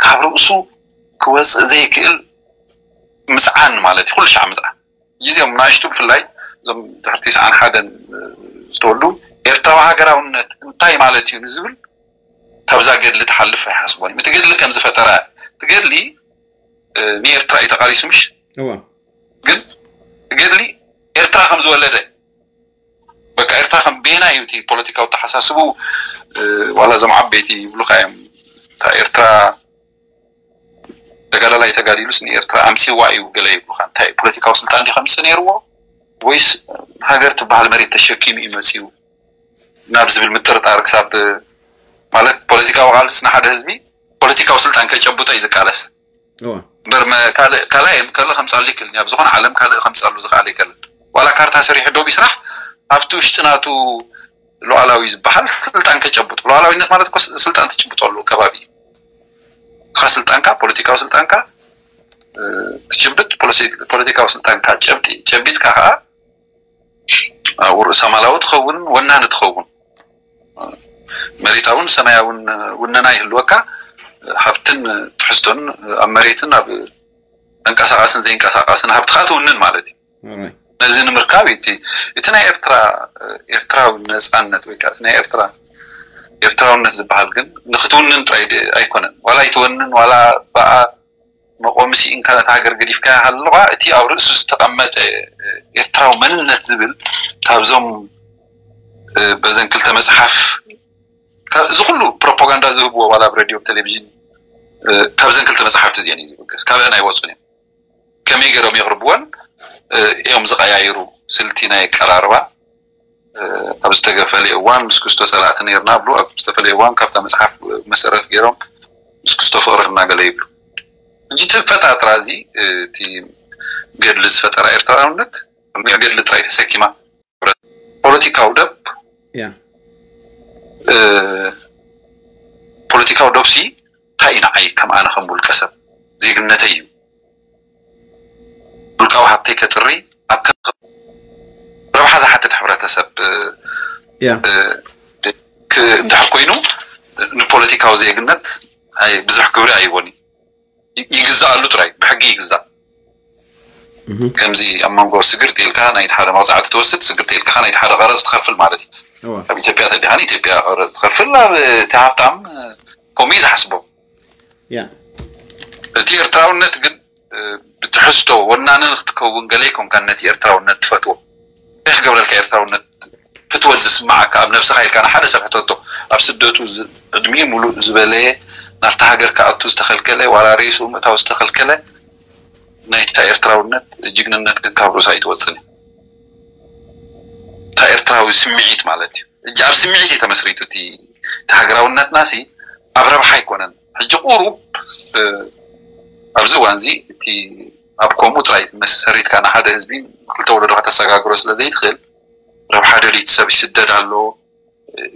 ካብ ርእሱ ክወፅእ ዘይክእል ምፅዓን ማለት እዩ። ኩሉ ሻዕ ምፅዓን። እዚኦም ናእሽቱ ብፍላይ እዞም ድሕሪ ተስዓን ሓደን ዝተወልዱ ኤርትራዊ ሃገራውነት እንታይ ማለት እዩ ንዝብል ካብዛ ገድሊ ትሓልፍ ኣይሓስቦን እዮም። እቲ ገድሊ ከም ዝፈጠረ እቲ ገድሊ ንኤርትራ እዩ ተቃሊሱ ምሽ እዋ ግን ገድሊ ኤርትራ ከም ዝወለደ በቃ ኤርትራ ከም ቤና እዩ እቲ ፖለቲካዊ ተሓሳስቡ ዋላ እዞም ዓበይቲ ይብሉካ እዮም እታ ኤርትራ ተጋዳላይ ተጋዲሉስ ንኤርትራ ኣምፅዋ እዩ ገለ ይብሉካ እንታይ ፖለቲካዊ ስልጣን ዲ ከምፅእ ነይርዎ ወይስ ሃገር ትበሃል መሬት ተሸኪሙ እዩ መፅኡ ናብ ዝብል ምጥርጣር ክሳብ ማለት ፖለቲካዊ ቃልስስ ንሓደ ህዝቢ ፖለቲካዊ ስልጣን ከጨብጦ እዩ ዝቃለስ እዋ እምበር ካልእ ካልእ ካልእ ከምፃሉ ይክእል ኣብ ዝኾነ ዓለም ካልእ ከምፃሉ ዝኽኣል ይክእል ዋላ ካርታ ሰሪሑ ዶ ቢስራሕ ኣብቲ ውሽጢ ናቱ ሉዓላዊ ዝበሃል ስልጣን ከጨብጥ ሉዓላዊነት ማለት እኮ ስልጣን ትጭብጠሉ ከባቢ እስኻ ስልጣንካ ፖለቲካዊ ስልጣንካ ትጭብጥ ፖለቲካዊ ስልጣንካ ጨብጢ ጨቢጥካ ከዓ ኣብኡ ርእሰ ማላዊ ትኸውን ወናኒ ትኸውን መሬታውን ሰማያውን ውነና ይህልወካ ሃብትን ትሕዝቶን ኣብ መሬትን ኣብ ተንቀሳቃስን ዘይንቀሳቃስን ሃብትካ ትውንን ማለት እዩ ነዚ ንምርካብ እቲ እቲ ናይ ኤርትራ ኤርትራዊ ነፃነት ወይ ከዓ ናይ ኤርትራ ኤርትራውነት ዝበሃል ግን ንክትውንን ጥራይ ኣይኮነን ዋላ ይትወንን ዋላ ብኣ መቆሚ ስኢንካ ነታ ሃገር ገዲፍካ ኣለኻ እቲ ኣብ ርእሱ ዝተቐመጠ ኤርትራዊ መንነት ዝብል ካብዞም በዘን ክልተ መፅሓፍ እዚ ኩሉ ፕሮፓጋንዳ ዝህብዎ ዋላ ኣብ ሬድዮ ቴሌቪዥን ካብዘን ክልተ መፅሓፍቲ እዚአን እዩ ዝብገስ ካብአን ኣይወፁን እዮም ከመይ ገይሮም የቕርብወን እዮም ዝቀያይሩ ስልቲ ናይ ቀራርባ ኣብ ዝተገፈለ እዋን ምስ ክስቶ ፀላእቲ ነርና ብሉ ኣብ ዝተፈለየ እዋን ካብታ መፅሓፍ መሰረት ገይሮም ምስ ክስቶ ፍቕሪ እናገለ ይብሉ እንጂ እቲ ፈጣጥራ እዚ እቲ ገድሊ ዝፈጠራ ኤርትራውነት ገድሊ ጥራይ ተሰኪማ ፖለቲካዊ ደብ ያ ፖለቲካዊ ደብሲ እንታይ እዩ ንዓይ ከም ኣነ ከም ውልቀ ሰብ ዜግነተይ እዩ ውልቃዊ ሃብተይ ከፅሪ ኣብ ረብሓ ዝሓትት ሕብረተሰብ ያ እንድሕር ኮይኑ ንፖለቲካዊ ዜግነት ብዙሕ ክብሪ ኣይቦን ይግዛኣሉ ጥራይ ብሕጊ ይግዛእ ከምዚ ኣብ መንጎ ስግር ቴልካ ናይ ሓደ መቕፃዕቲ ትወስድ ስግር ቴልካ ናይ ሓደ ቀረፅ ትኸፍል ማለት እዩ ኣብ ኢትዮጵያ ተዲኻ ንኢትዮጵያ ክኸፍል ኣብ እቲ ሃብታም ከምኡ እዩ ዝሓስቦ። እቲ ኤርትራውነት ግን ብትሕዝቶ ወናኒ ንክትከውን ገለ ኣይኮንካን ነቲ ኤርትራውነት ትፈትዎ። እንታይ ክገብረልካ ኤርትራውነት ፍትወት ዝስምዓካ ኣብ ነብስኻ ኢልካ ንሓደ ሰብ ሕተቶ። ኣብ ስደቱ ዕድሚኡ ሙሉእ ዝበለየ ናብታ ሃገር ክኣቱ ዝተኸልከለ ዋላ ርእሱ ምእታው ዝተኸልከለ ናይታ ኤርትራውነት ጅግንነት ግን ካብ ርእሱ ኣይትወፅን። እታ ኤርትራዊ ስምዒት ማለት እዩ። እጂ ኣብ ስምዒት እዩ ተመስሪቱ እቲ ሃገራውነትና ሲ ኣብ ረብሓ ኣይኮነን። ሕጂ ቁሩብ ኣብዚ እዋን እዚ እቲ ኣብ ከምኡ ጥራይ መሰሪትካ ንሓደ ህዝቢ ክልተ ወለዶ ከተሰጋግሮ ስለ ዘይትኽእል ረብሓ ደልዩ ሰብ ይስደድ ኣሎ።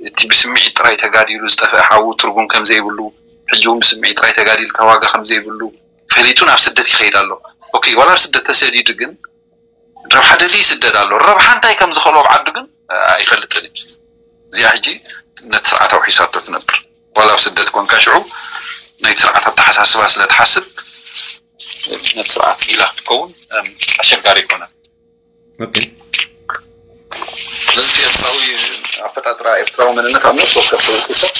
እቲ ብስምዒት ጥራይ ተጋዲሉ ዝጠፍአ ሓዉ ትርጉም ከም ዘይብሉ ሕጂ እውን ብስምዒት ጥራይ ተጋዲልካ ዋጋ ከም ዘይብሉ ፈሊጡ ናብ ስደት ይኸይድ ኣሎ። ኦኬ ዋላ ኣብ ስደት ተሰዲዱ ግን ረብሓ ደልዩ ይስደድ ኣሎ። ረብሓ እንታይ ከም ዝኸልኦ ኣብ ዓዱ ግን ኣይፈልጥን እዩ። እዚኣ ሕጂ ነቲ ስርዓት ኣውሒሳቶ ትነብር። ዋላ ኣብ ስደት ኮንካ ሽዑ ናይ ስርዓት ኣተሓሳስባ ስለ ትሓስብ ነቲ ስርዓት ኢላ ክትከውን ኣሸጋሪ ይኮነ። ስለዚ ኤርትራዊ ኣፈጣጥራ ኤርትራዊ መንነት ኣብ ነፍሲ ወከፍ ሰብ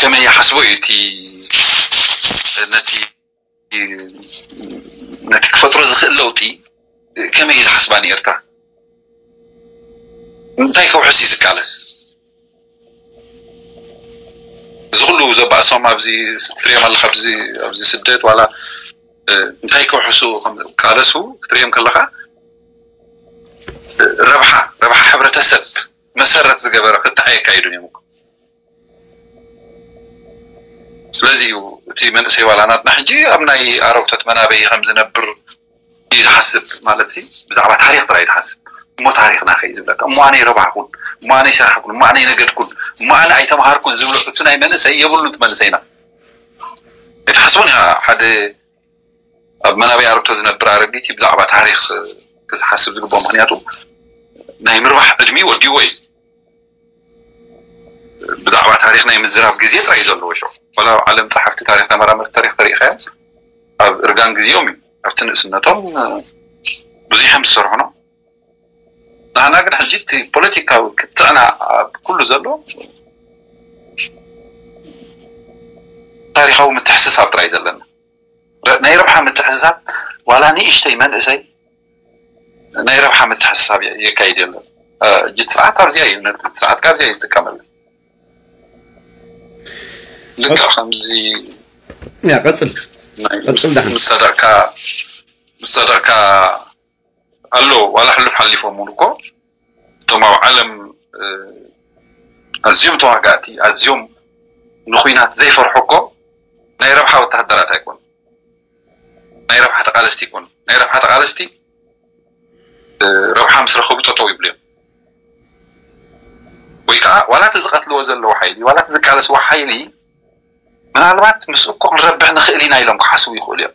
ከመይ ይሓስቦ እዩ እቲ ነቲ ነቲ ክፈጥሮ ዝኽእል ለውጢ ከመይ እዩ ዝሓስባ ንኤርትራ? እንታይ ከውሕስ እዩ ዝቃለስ? እዚ ኩሉ ዘባእሶም ኣብዚ ትሪኦም ኣለካ ኣብዚ ስደት ዋላ እንታይ ከውሕሱ ቃለሱ ክትሪኦም ከለካ ረብሓ ረብሓ ሕብረተሰብ መሰረት ዝገበረ ፍትሓ የካይዱን እዮም። ስለዚ እዩ እቲ መንእሰይ ዋላ ናትና ሕጂ ኣብ ናይ ኣረብቶት መናበይ ከም ዝነብር እዩ ዝሓስብ ማለት ሲ ብዛዕባ ታሪክ ጥራይ ዝሓስብ እሞ ታሪክና ከይ ዝብለካ እሞ ኣነይ ረባሕኩን እሞ ኣነይ ሰራሕኩን እሞ ኣነይ ነገድኩን እሞ ኣነ ኣይተምሃርኩን ዝብሎ እቲ ናይ መንእሰይ የብሉን እቲ መንእሰይና ኣይትሓስቡን ኢኻ ሓደ ኣብ መናበይ ኣረብቶ ዝነብር ኣረጊት ብዛዕባ ታሪክ ክዝሓስብ ዝግብኦ ምክንያቱ ናይ ምርባሕ ዕድሚ ወዲዎ እዩ ብዛዕባ ታሪክ ናይ ምዝራብ ግዜ ጥራይ ዘለዎ ሸው ወላ ኣብ ዓለም ፀሓፍቲ ታሪክ ተመራመርቲ ታሪክ ተሪኢካዮም ኣብ እርጋን ግዜኦም እዩ ኣብቲ ንእስነቶም ብዙሕ እዮም ዝሰርሑ ነው ንሕና ግን ሕጂ እቲ ፖለቲካዊ ክትዕና ኣብ ኩሉ ዘሎ ታሪካዊ ምትሕስሳብ ጥራይ ዘለና ናይ ረብሓ ምትሕስሳብ ዋላ ንእሽተይ መንእሰይ ናይ ረብሓ ምትሕስሳብ የካይድ የለን። እጅ ስርዓት ካብዚኣ እዩ ነቲ ስርዓት ካብዚኣ እዩ ዝጥቀመሉ። ልክዕ ከምዚ ያ ቀጽል ናይ ቀጽል ዳሕን። ምስ ሰደቕካ ምስ ሰደቕካ ኣሎ ዋላ ሕሉፍ ሓሊፎም እውን እኮ እቶም ኣብ ዓለም ኣዝዮም ተዋጋእቲ ኣዝዮም ንኩናት ዘይፈርሑ እኮ ናይ ረብሓ ወተሃደራት ኣይኮኑ ናይ ረብሓ ተቃለስቲ ይኮኑ ናይ ረብሓ ተቃለስቲ ረብሓ ምስ ረኸቡ ጠጠው ይብሉ እዮም ወይ ከዓ ዋላ እቲ ዝቀትልዎ ዘለዉ ሓይሊ ዋላ እቲ ዝቃለስዎ ሓይሊ ምናልባት ምስ እኮ ክንረብሕ ንኽእል ኢና ኢሎም ክሓስቡ ይኽእሉ እዮም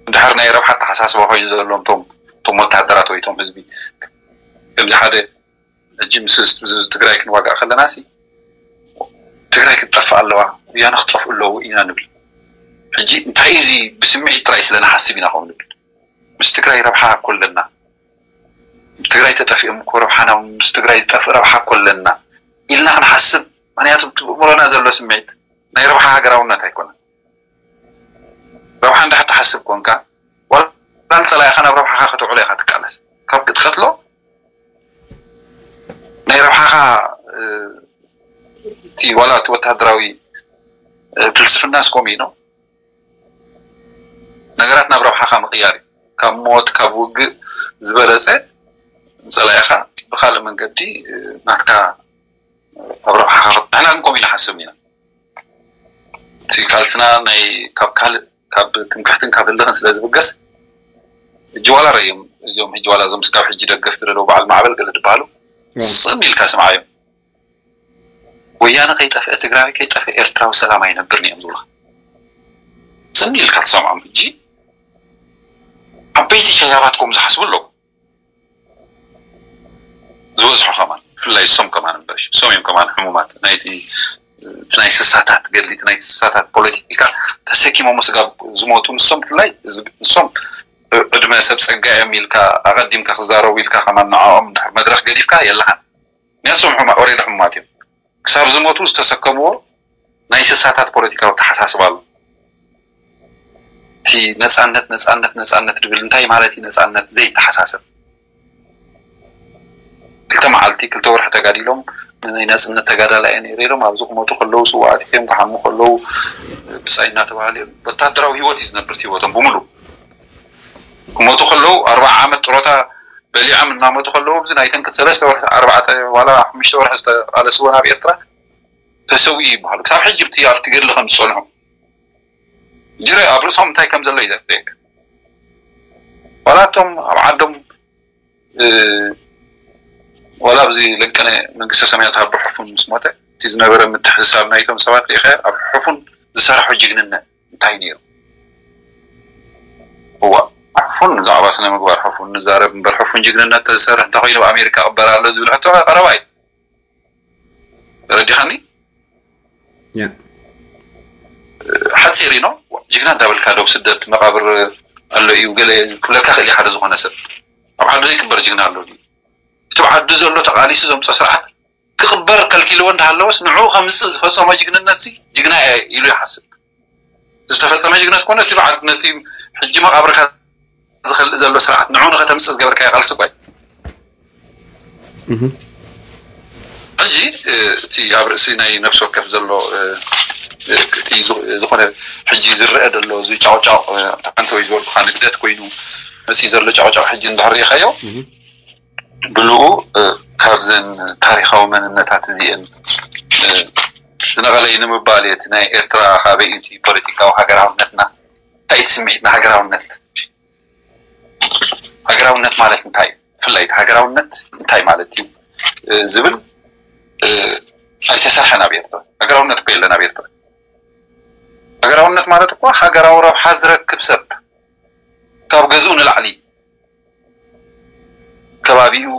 እንድሕር ናይ ረብሓ ተሓሳስባ ኮይኑ ዘለዎም ቶም ቶም ወታደራት ወይ ቶም ህዝቢ ከምዚ ሓደ ሕጂ ምስ ትግራይ ክንዋጋእ ከለና ሲ ትግራይ ክትጠፍእ ኣለዋ ወያነ ክጠፍኡ ኣለዉ ኢና ንብል ሕጂ እንታይ እዚ ብስምዒት ጥራይ ስለ ንሓስብ ኢና ከምኡ ንብል ምስ ትግራይ ረብሓ እኮ ኣለና ትግራይ ተጠፊኦም እኮ ረብሓና ምስ ትግራይ ዝጠፍእ ረብሓ እኮ ኣለና ኢልና ክንሓስብ ምክንያቱ ብእምሮና ዘሎ ስምዒት ናይ ረብሓ ሃገራውነት ኣይኮነን ረብሓ እንድሕር ትሓስብ ኮንካ ዋላ ንፀላኢኻ ናብ ረብሓኻ ከተውዕሎ ኢኻ ትቃለስ ካብ ክትቀትሎ ናይ ረብሓኻ እቲ ዋላ እቲ ወታደራዊ ፍልስፍና ስኮም እዩ ነው ነገራት ናብ ረብሓኻ ምቕያር እዩ ካብ ሞት ካብ ውግእ ዝበለፀ ፀላኢኻ ብካልእ መንገዲ ናትካ ኣብ ረብሓኻ ንሕና ግን ከምኡ ኢና ሓስብ ኢና እቲ ቃልስና ናይ ካብ ካልእ ካብ ትምክሕትን ካብ ህልኽን ስለ ዝብገስ ሕጂ ዋላ ረእዮም እዚኦም ሕጂ ዋላ እዞም ስጋብ ሕጂ ደገፍቲ ዘለዉ በዓል ማዕበል ገለ ዝበሃሉ ስም ኢልካ ስምዓዮም ወያነ ከይጠፍአ ትግራይ ከይጠፍአ ኤርትራዊ ሰላም ኣይነብርን እዮም ዝብሉካ ስም ኢልካ ትሰምዖም ሕጂ ዓበይቲ ሸያባት ከምኡ ዝሓስቡ ኣለዉ ዝበዝሑ ከማን ብፍላይ እሶም ከማን እምበር እሶም እዮም ከማን ሕሙማት ናይቲ ናይ ስሳታት ገድሊ ናይ ስሳታት ፖለቲካ ተሰኪሞም ስጋብ ዝሞቱ ንሶም ብፍላይ ንሶም ዕድመ ሰብ ጸጋ እዮም ኢልካ ኣቐዲምካ ክዛረቡ ኢልካ ከማን ንዕኦም ድሕር መድረኽ ገዲፍካ የለኻን። ንሶም ሕማ ኦሬዲ ሕሙማት እዮም። ክሳብ ዝሞቱ ዝተሰከምዎ ናይ እንስሳታት ፖለቲካዊ ተሓሳስባ ኣሎ። እቲ ነጻነት ነጻነት ነጻነት ድብል እንታይ ማለት እዩ ነጻነት ዘይተሓሳሰብ? ክልተ መዓልቲ ክልተ ወርሒ ተጋዲሎም ናይ ናጽነት ተጋዳላይ እየ ነይረ ኢሎም ኣብዚ ክሞቱ ከለዉ ስዋኣት እዮም ክሓሙ ከለዉ ብጻይ እናተባሃለ እዮም። ወታደራዊ ህይወት እዩ ዝነብር እቲ ህይወቶም ብምሉ። ክሞቱ ከለዉ ኣርባዓ ዓመት ጥሮታ በሊዖም እናመቱ ከለዉ ኣብዚ ናይተን ክልተ ሰለስተ ወርሒ ኣርባዕተ ዋላ ሓሙሽተ ወርሒ ዝተቃለስዎ ናብ ኤርትራ ተሰዊኡ ይበሃሉ። ክሳብ ሕጂ ኣብቲ ኣብቲ ገድሊ ከም ዝጸንሑ ጅረ ኣብ ርእሶም እንታይ ከም ዘሎ እዩ ዘፍለየካ። ዋላ እቶም ኣብ ዓዶም ዋላ ኣብዚ ለቀነ መንግስተ ሰማያት ኣብ ሕፉን ምስ ሞተ እቲ ዝነበረ ምትሕስሳብ ናይቶም ሰባት ሪኢኸ ኣብ ሕፉን ዝሰራሑ ጅግንነት እንታይ ነይሩ? እዋ ሕፉን ብዛዕባ ስነ ምግባር ሕፉን ንዛረብ እምበር ሕፉን ጅግንነት ተዝሰርሕ እንተኮይኑ ኣብ ኣሜሪካ ቅበር ኣሎ ዝብል ሕቶ ቀረባ እዩ። ተረዲኻኒ? ሓፂር ኢኖ ጅግና እንዳበልካ ዶብ ስደት መቃብር ኣሎ እዩ ገለ ክብለካ ክእል ሓደ ዝኾነ ሰብ ኣብ ዓዱ ዘይቅበር ጅግና ኣሎ ድዩ? እቲ ኣብ ዓዱ ዘሎ ተቃሊሱ ዘምፀ ስርዓት ክቅበር ከልኪልዎ እንዳሃለወስ ንዑ ከምፅእ ዝፈፀሞ ጅግንነት ሲ ጅግና እየ ኢሉ ይሓስብ። ዝተፈፀመ ጅግነት ኮነ እቲ በዓል ነቲ ሕጂ መቃብርካ ዝኸልእ ዘሎ ስርዓት ንዑ ንኸተምፅእ ዝገበርካዮ ቃልሲ እኳ እዩ። ሕጂ እቲ ኣብ ርእሲ ናይ ነፍሲ ወከፍ ዘሎ እቲ ዝኾነ ሕጂ ዝረአ ዘሎ እዚ ጫውጫው ተዓንተ ወይ ዝበልኩካ ንግደት ኮይኑ መፅእ ዘሎ ጫውጫው ሕጂ እንድሕር ሪኢኻዮ ብልኡ ካብዘን ታሪኻዊ መንነታት እዚአን ዝነቐለ እዩ ንምባል እቲ ናይ ኤርትራ ካበይ እቲ ፖለቲካዊ ሃገራውነትና እንታይ እቲ ስምዒት ንሃገራውነት ሃገራውነት ማለት እንታይ እዩ ብፍላይ ሃገራውነት እንታይ ማለት እዩ ዝብል ኣይተሰርሐን ኣብ ኤርትራ። ሃገራውነት እኮ የለን ኣብ ኤርትራ። ሃገራውነት ማለት እኮ ሃገራዊ ረብሓ ዝረክብ ሰብ ካብ ገዝኡ ንላዕሊ ከባቢኡ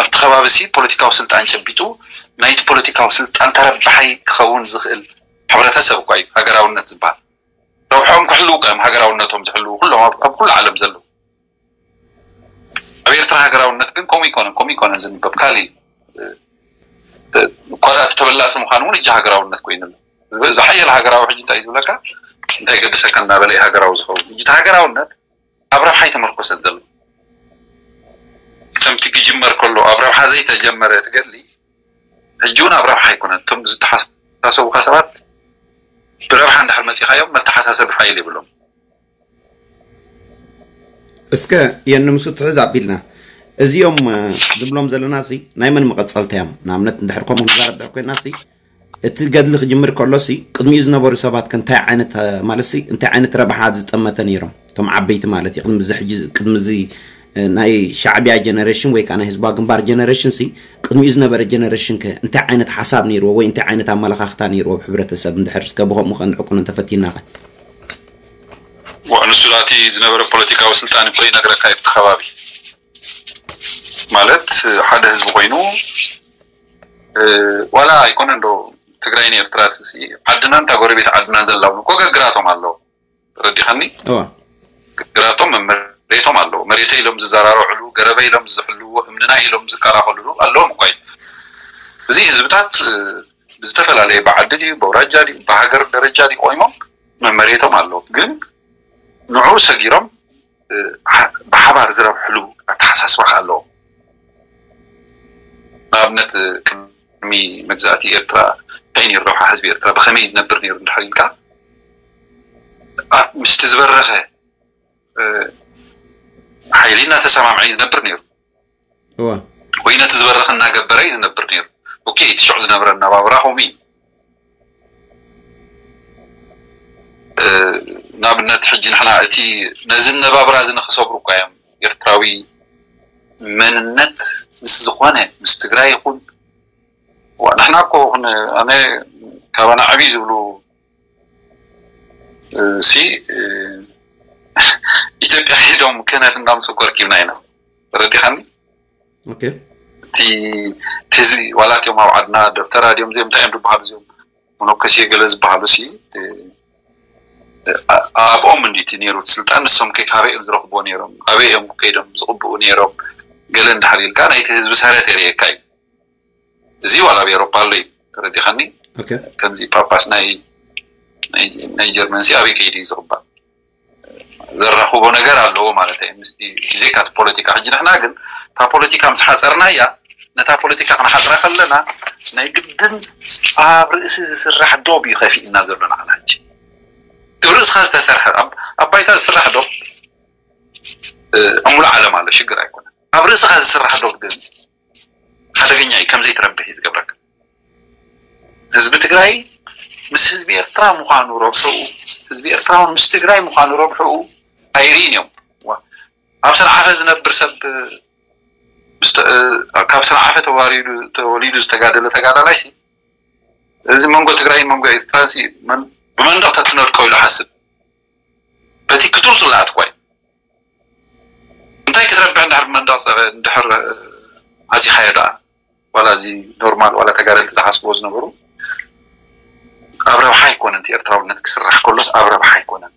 ኣብቲ ከባቢ ሲ ፖለቲካዊ ስልጣን ጨቢጡ ናይቲ ፖለቲካዊ ስልጣን ተረባሓይ ክኸውን ዝኽእል ሕብረተሰብ እኳ እዩ ሃገራውነት ዝበሃል። ረብሖም ክሕልው እኳ እዮም ሃገራውነቶም ዝሕልው ኩሎም ኣብ ኩሉ ዓለም ዘለዉ። ኣብ ኤርትራ ሃገራውነት ግን ከምኡ ይኮነን ከምኡ ይኮነን ዝንበብ ካሊእ እኳ ደኣ እቲ ተበላፂ ምዃኑ እውን እጂ ሃገራውነት ኮይኑ ኣሎ። ዝሓየለ ሃገራዊ ሕጂ እንታይ እዩ ዝብለካ እንታይ ገድሰካ እናበለ እዩ ሃገራዊ ዝኸውን። ሕጂ እቲ ሃገራውነት ኣብ ረብሓ ኣይተመርኮሰን ዘሎ። ከምቲ ክጅመር ከሎ ኣብ ረብሓ ዘይተጀመረ እቲ ገድሊ ሕጂ እውን ኣብ ረብሓ ኣይኮነን። እቶም ዝተሓሳሰቡካ ሰባት ብረብሓ እንድሕር መፂኻዮም መተሓሳሰቢ ፋይል የብሎም። እስከ የንምሱ ትሕዝ ኣቢልና እዚኦም ዝብሎም ዘለና ሲ ናይ መን መቐፀልታ እዮም? ንኣብነት እንድሕር ከምኡ ንዛረብ ድሕር ኮይና ሲ እቲ ገድሊ ክጅምር ከሎ ሲ ቅድሚኡ ዝነበሩ ሰባት ከ እንታይ ዓይነት ማለት ሲ እንታይ ዓይነት ረብሓ ዝጠመተ ነይሮም? እቶም ዓበይቲ ማለት እዩ ቅድሚ እዚ ሕጂ ቅድሚ እዚ ናይ ሻዕቢያ ጀነሬሽን ወይ ከዓ ናይ ህዝባዊ ግንባር ጀነሬሽን ሲ ቅድሚኡ ዝነበረ ጀነሬሽን ከ እንታይ ዓይነት ሓሳብ ነይርዎ ወይ እንታይ ዓይነት ኣመለኻኽታ ነይርዎ ኣብ ሕብረተሰብ እንድሕር እስከ ብከምኡ ከንዕቁኖ እንተፈቲና ከ ንሱ ዳቲ ዝነበረ ፖለቲካዊ ስልጣን እኮ ይነግረካ እዩ እቲ ከባቢ ማለት ሓደ ህዝቢ ኮይኑ ዋላ ኣይኮነን ዶ ትግራይን ኤርትራ ዓድናን እታ ጎረቤት ዓድናን ዘላውን እኮ ገግራቶም ኣለዉ ተረዲኻኒ ገግራቶም መሬቶም ኣለዉ መሬተ ኢሎም ዝዘራርዕሉ ገረበ ኢሎም ዝሕልዎ እምንና ኢሎም ዝከላኸልሉ ኣለዎም እኳ እዩ እዚ ህዝብታት ብዝተፈላለየ ብዓዲ ድዩ ብኣውራጃ ድዩ ብሃገር ደረጃ ድዩ ቆይሞም መመሬቶም ኣለዉ ግን ንዑ ሰጊሮም ብሓባር ዝረብሕሉ ኣተሓሳስባ ከ ኣለዎም ንኣብነት ቅድሚ መግዛእቲ ኤርትራ እንታይ ነይሩ ረብሓ ህዝቢ ኤርትራ ብኸመይ ዝነብር ነይሩ እንድሕር ኢልካ ምስቲ ዝበረኸ ሓይሊ እናተሰማምዐ እዩ ዝነብር ነይሩ ወይ ነቲ ዝበረኸ እናገበረ እዩ ዝነብር ነይሩ ኦኬ እቲ ሽዑ ዝነበረ ኣነባብራ ከምኡ እዩ ንኣብነት ሕጂ ንሕና እቲ ነዚ ኣነባብራ እዚ ንክሰብሩ እኳ እዮም ኤርትራዊ መንነት ምስ ዝኾነ ምስ ትግራይ ይኹን ንሕና እኮ ኣነ ካባና ዕብይ ዝብሉ ሲ ኢትዮጵያ ሄዶም ክህነት እንዳምፅእ እኮ ረኪብና ኢና ተረዲኻኒ እቲ ትዚ ዋላ እቲኦም ኣብ ዓድና ደብተራ ድዮም እዚኦም እንታይ እዮም ዝበሃሉ እዚኦም መነኮሴ ገለ ዝበሃሉ ሲ ኣብኦም እንዲቲ ነይሩ ስልጣን፣ ንሶም ከ ካበይ እዮም ዝረኽብዎ ነይሮም፣ ኣበይ እዮም ከይዶም ዝቕብኡ ነይሮም፣ ገለ እንድሕር ኢልካ ናይቲ ህዝቢ ሰረት የርእየካ እዩ። እዚ ዋላ ኣብ ኤሮፓ ኣሎ እዩ፣ ተረዲኻኒ። ከምዚ ጳጳስ ናይ ናይ ጀርመን ሲ ኣበይ ከይዱ እዩ ዝቕባእ? ዘራኽቦ ነገር ኣለዎ ማለት እዩ። ምስቲ ዜካት ፖለቲካ ሕጂ ንሕና ግን እታ ፖለቲካ ምስ ሓፀርናያ፣ ነታ ፖለቲካ ክንሓፅራ ከለና ናይ ግድን ኣብ ርእሲ ዝስራሕ ዶብ እዩ ከፊእና ዘሎ ንዓና። ሕጂ እቲ ርእስኻ ዝተሰርሐ ኣብ ባይታ ዝስራሕ ዶብ እሙሉ ዓለም ኣሎ፣ ሽግር ኣይኮነን። ኣብ ርእስኻ ዝስራሕ ዶብ ግን ሓደገኛ እዩ፣ ከምዘይትረብሕ እዩ ዝገብረካ። ህዝቢ ትግራይ ምስ ህዝቢ ኤርትራ ምዃኑ ረብሕኡ፣ ህዝቢ ኤርትራ እውን ምስ ትግራይ ምዃኑ ረብሕኡ ኣይርኢን እዮም። ኣብ ሰንዓፈ ዝነብር ሰብ፣ ካብ ሰንዓፈ ተዋሪዱ ተወሊዱ ዝተጋደለ ተጋዳላይ ሲ፣ እዚ መንጎ ትግራይን መንጎ ኤርትራን ሲ ብመንደቕ ተትነድቆ ኢሉ ሓስብ። በቲ ክቱር ጽላኣት ኳይ እንታይ ክትረብሕ እንድሕር ብመንደቕ እንድሕር ኣዚኻዮ ደኣ? ዋላ እዚ ኖርማል ዋላ ተጋደልቲ ዝሓስብዎ ዝነበሩ ኣብ ረብሓ ኣይኮነን። እቲ ኤርትራውነት ክስራሕ ከሎስ ኣብ ረብሓ ኣይኮነን።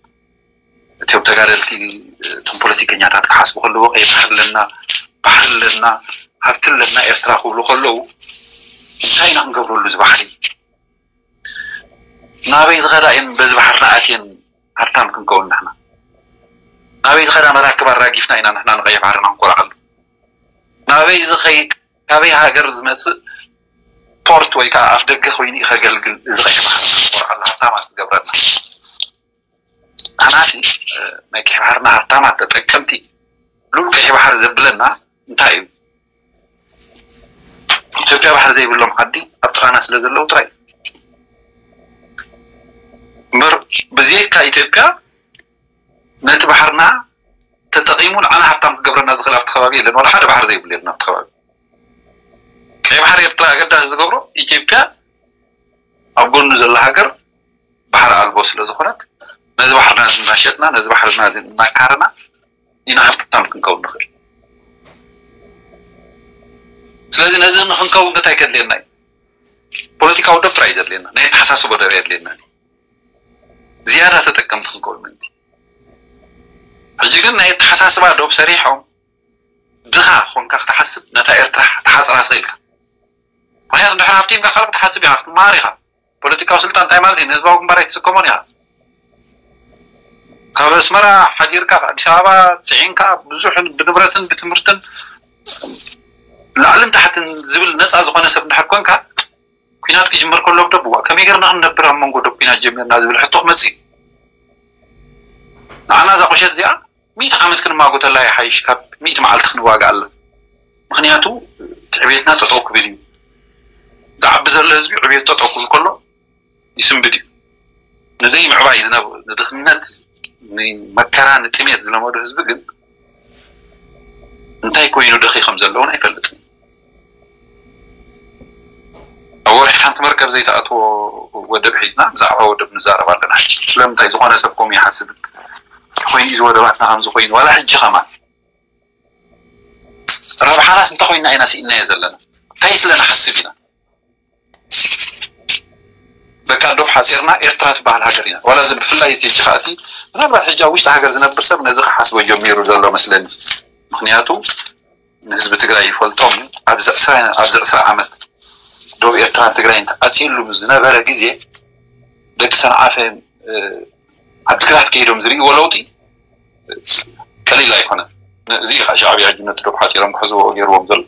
እቲኦም ተጋደልቲ፣ እቶም ፖለቲከኛታት ክሓስቡ ከለዎ ቀይ ባሕሪ ኣለና፣ ባሕሪ ኣለና፣ ሃብቲ ኣለና ኤርትራ ክብሉ ከለዉ እንታይ ኢና ክንገብረሉ እዚ ባሕሪ? ናበይ ዝኸዳ እየን በዚ ባሕርና ኣትየን ሃብታም ክንከውን ንሕና? ናበይ ዝኸዳ መራክብ ኣራጊፍና ኢና ንሕና ንቀይሕ ባሕርና ክንኮርዓሉ? ናበይ ዝኸይ ካበይ ሃገር ዝመጽእ ፖርት ወይ ከዓ ኣፍ ደገ ኮይኑ እዩ ከገልግል እዚ ቀይሕ ባሕርና ክንኮርዓሉ ሃብታማት ዝገብረና? ኣናሲ ናይ ቀይሕ ባሕርና ሃብታማት ተጠቀምቲ ሉል ቀይሕ ባሕሪ ዘብለና እንታይ እዩ? ኢትዮጵያ ባሕሪ ዘይብሎም ዓዲ ኣብ ጥቓና ስለ ዘለዉ ጥራይ እምበር ብዘይካ ኢትዮጵያ ነቲ ባሕርና ተጠቒሙ ንዓና ሃብታም ክገብረና ዝኽእል ኣብቲ ከባቢ የለን። ዋላ ሓደ ባሕሪ ዘይብሉ የለን ኣብቲ ከባቢ። ቀይ ባሕሪ ኤርትራ ኣገዳሲ ዝገብሮ ኢትዮጵያ ኣብ ጎኑ ዘላ ሃገር ባሕሪ ኣልቦ ስለ ዝኾነት ነዚ ባሕርና እናሸጥና ነዚ ባሕርና እናቃረና ኢና ሃብታም ክንከውን ንኽእል። ስለዚ ነዚ ንክንከውን እንታይ ከድልየና እዩ? ፖለቲካዊ ዶብ ጥራይ ዘድልየና፣ ናይ ኣተሓሳስቦ ዶብ የድልየና። ዝያዳ ተጠቀምቲ ክንከውን ምእንቲ ሕጂ ግን ናይ ኣተሓሳስባ ዶብ ሰሪሖም ድኻ ኮንካ ክትሓስብ ነታ ኤርትራ ትሓፅራ ስኢልካ። ምክንያቱ ድሕር ሃብቲምካ ካልእ ክትሓስብ ኢኻ ክትመሃር ኢኻ። ፖለቲካዊ ስልጣን እንታይ ማለት እዩ ንህዝባዊ ግንባር ኣይትስከሞን ኢኻ። ካብ ኣስመራ ሓዲርካ ኣዲስ ኣበባ ፅዒንካ ብዙሕ ብንብረትን ብትምህርትን ላዕልን ታሕትን ዝብል ነፃ ዝኾነ ሰብ እንድሕር ኮንካ ኩናት ክጅመር ከሎ ኣብ ደቡባ ከመይ ገርና ክንነብር ኣብ መንጎ ዶ ኩናት ጀሚርና ዝብል ሕቶ ክመፅእ እዩ። ንዓና እዛ ቁሸት እዚኣ ሚእቲ ዓመት ክንማጎተላ ይሓይሽ ካብ ሚእቲ መዓልቲ ክንዋግኣላ። ምክንያቱ ትዕቤትና ጠጠው ክብል እዩ። ዝዓቢ ዘሎ ህዝቢ ዕቤት ጠጠው ክብል ከሎ ይስንብድ እዩ። ንዘይ ምዕባይ ዝነብ ንድኽነት ንመከራ ንጥሜት ዝለመዱ ህዝቢ ግን እንታይ ኮይኑ ደኺ ከም ዘለውን ኣይፈልጥን። ኣብ ወርሒ ሓንቲ መርከብ ዘይተኣትዎ ወደብ ሒዝና ብዛዕባ ወደብ ንዛረብ ኣለና። ስለምንታይ ዝኾነ ሰብ ከምኡ ይሓስብ ኮይኑ እዚ ወደባትና ከምዚ ኮይኑ ዋላ ሕጂ ከማን ረብሓናስ እንታይ ኮይና ኢና ስኢናዮ ዘለና እንታይ ስለ ንሓስብ ኢና። በቃ ዶብ ሓፂርና ኤርትራ ትበሃል ሃገር ኢና ዋላ እዚ ብፍላይ እቲ ሕጂ ከኣቲ ምናልባት ሕጂ ኣብ ውሽጢ ሃገር ዝነብር ሰብ ነዚ ክሓስቦ ጀሚሩ ዘሎ መስለኒ። ምክንያቱ ንህዝቢ ትግራይ ይፈልጦም ኣብዚ ዕስራ ኣብዚ ዕስራ ዓመት ዶብ ኤርትራን ትግራይን ተኣትዩሉ ዝነበረ ግዜ ደቂ ሰንዓፈ ዓዲግራት ከይዶም ዝርእይዎ ለውጢ ቀሊል ኣይኮነን። እዚ ሻዕብያ ሕጂ ነቲ ዶብ ሓፂሮም ክሕዝዎ ገይርዎም ዘሎ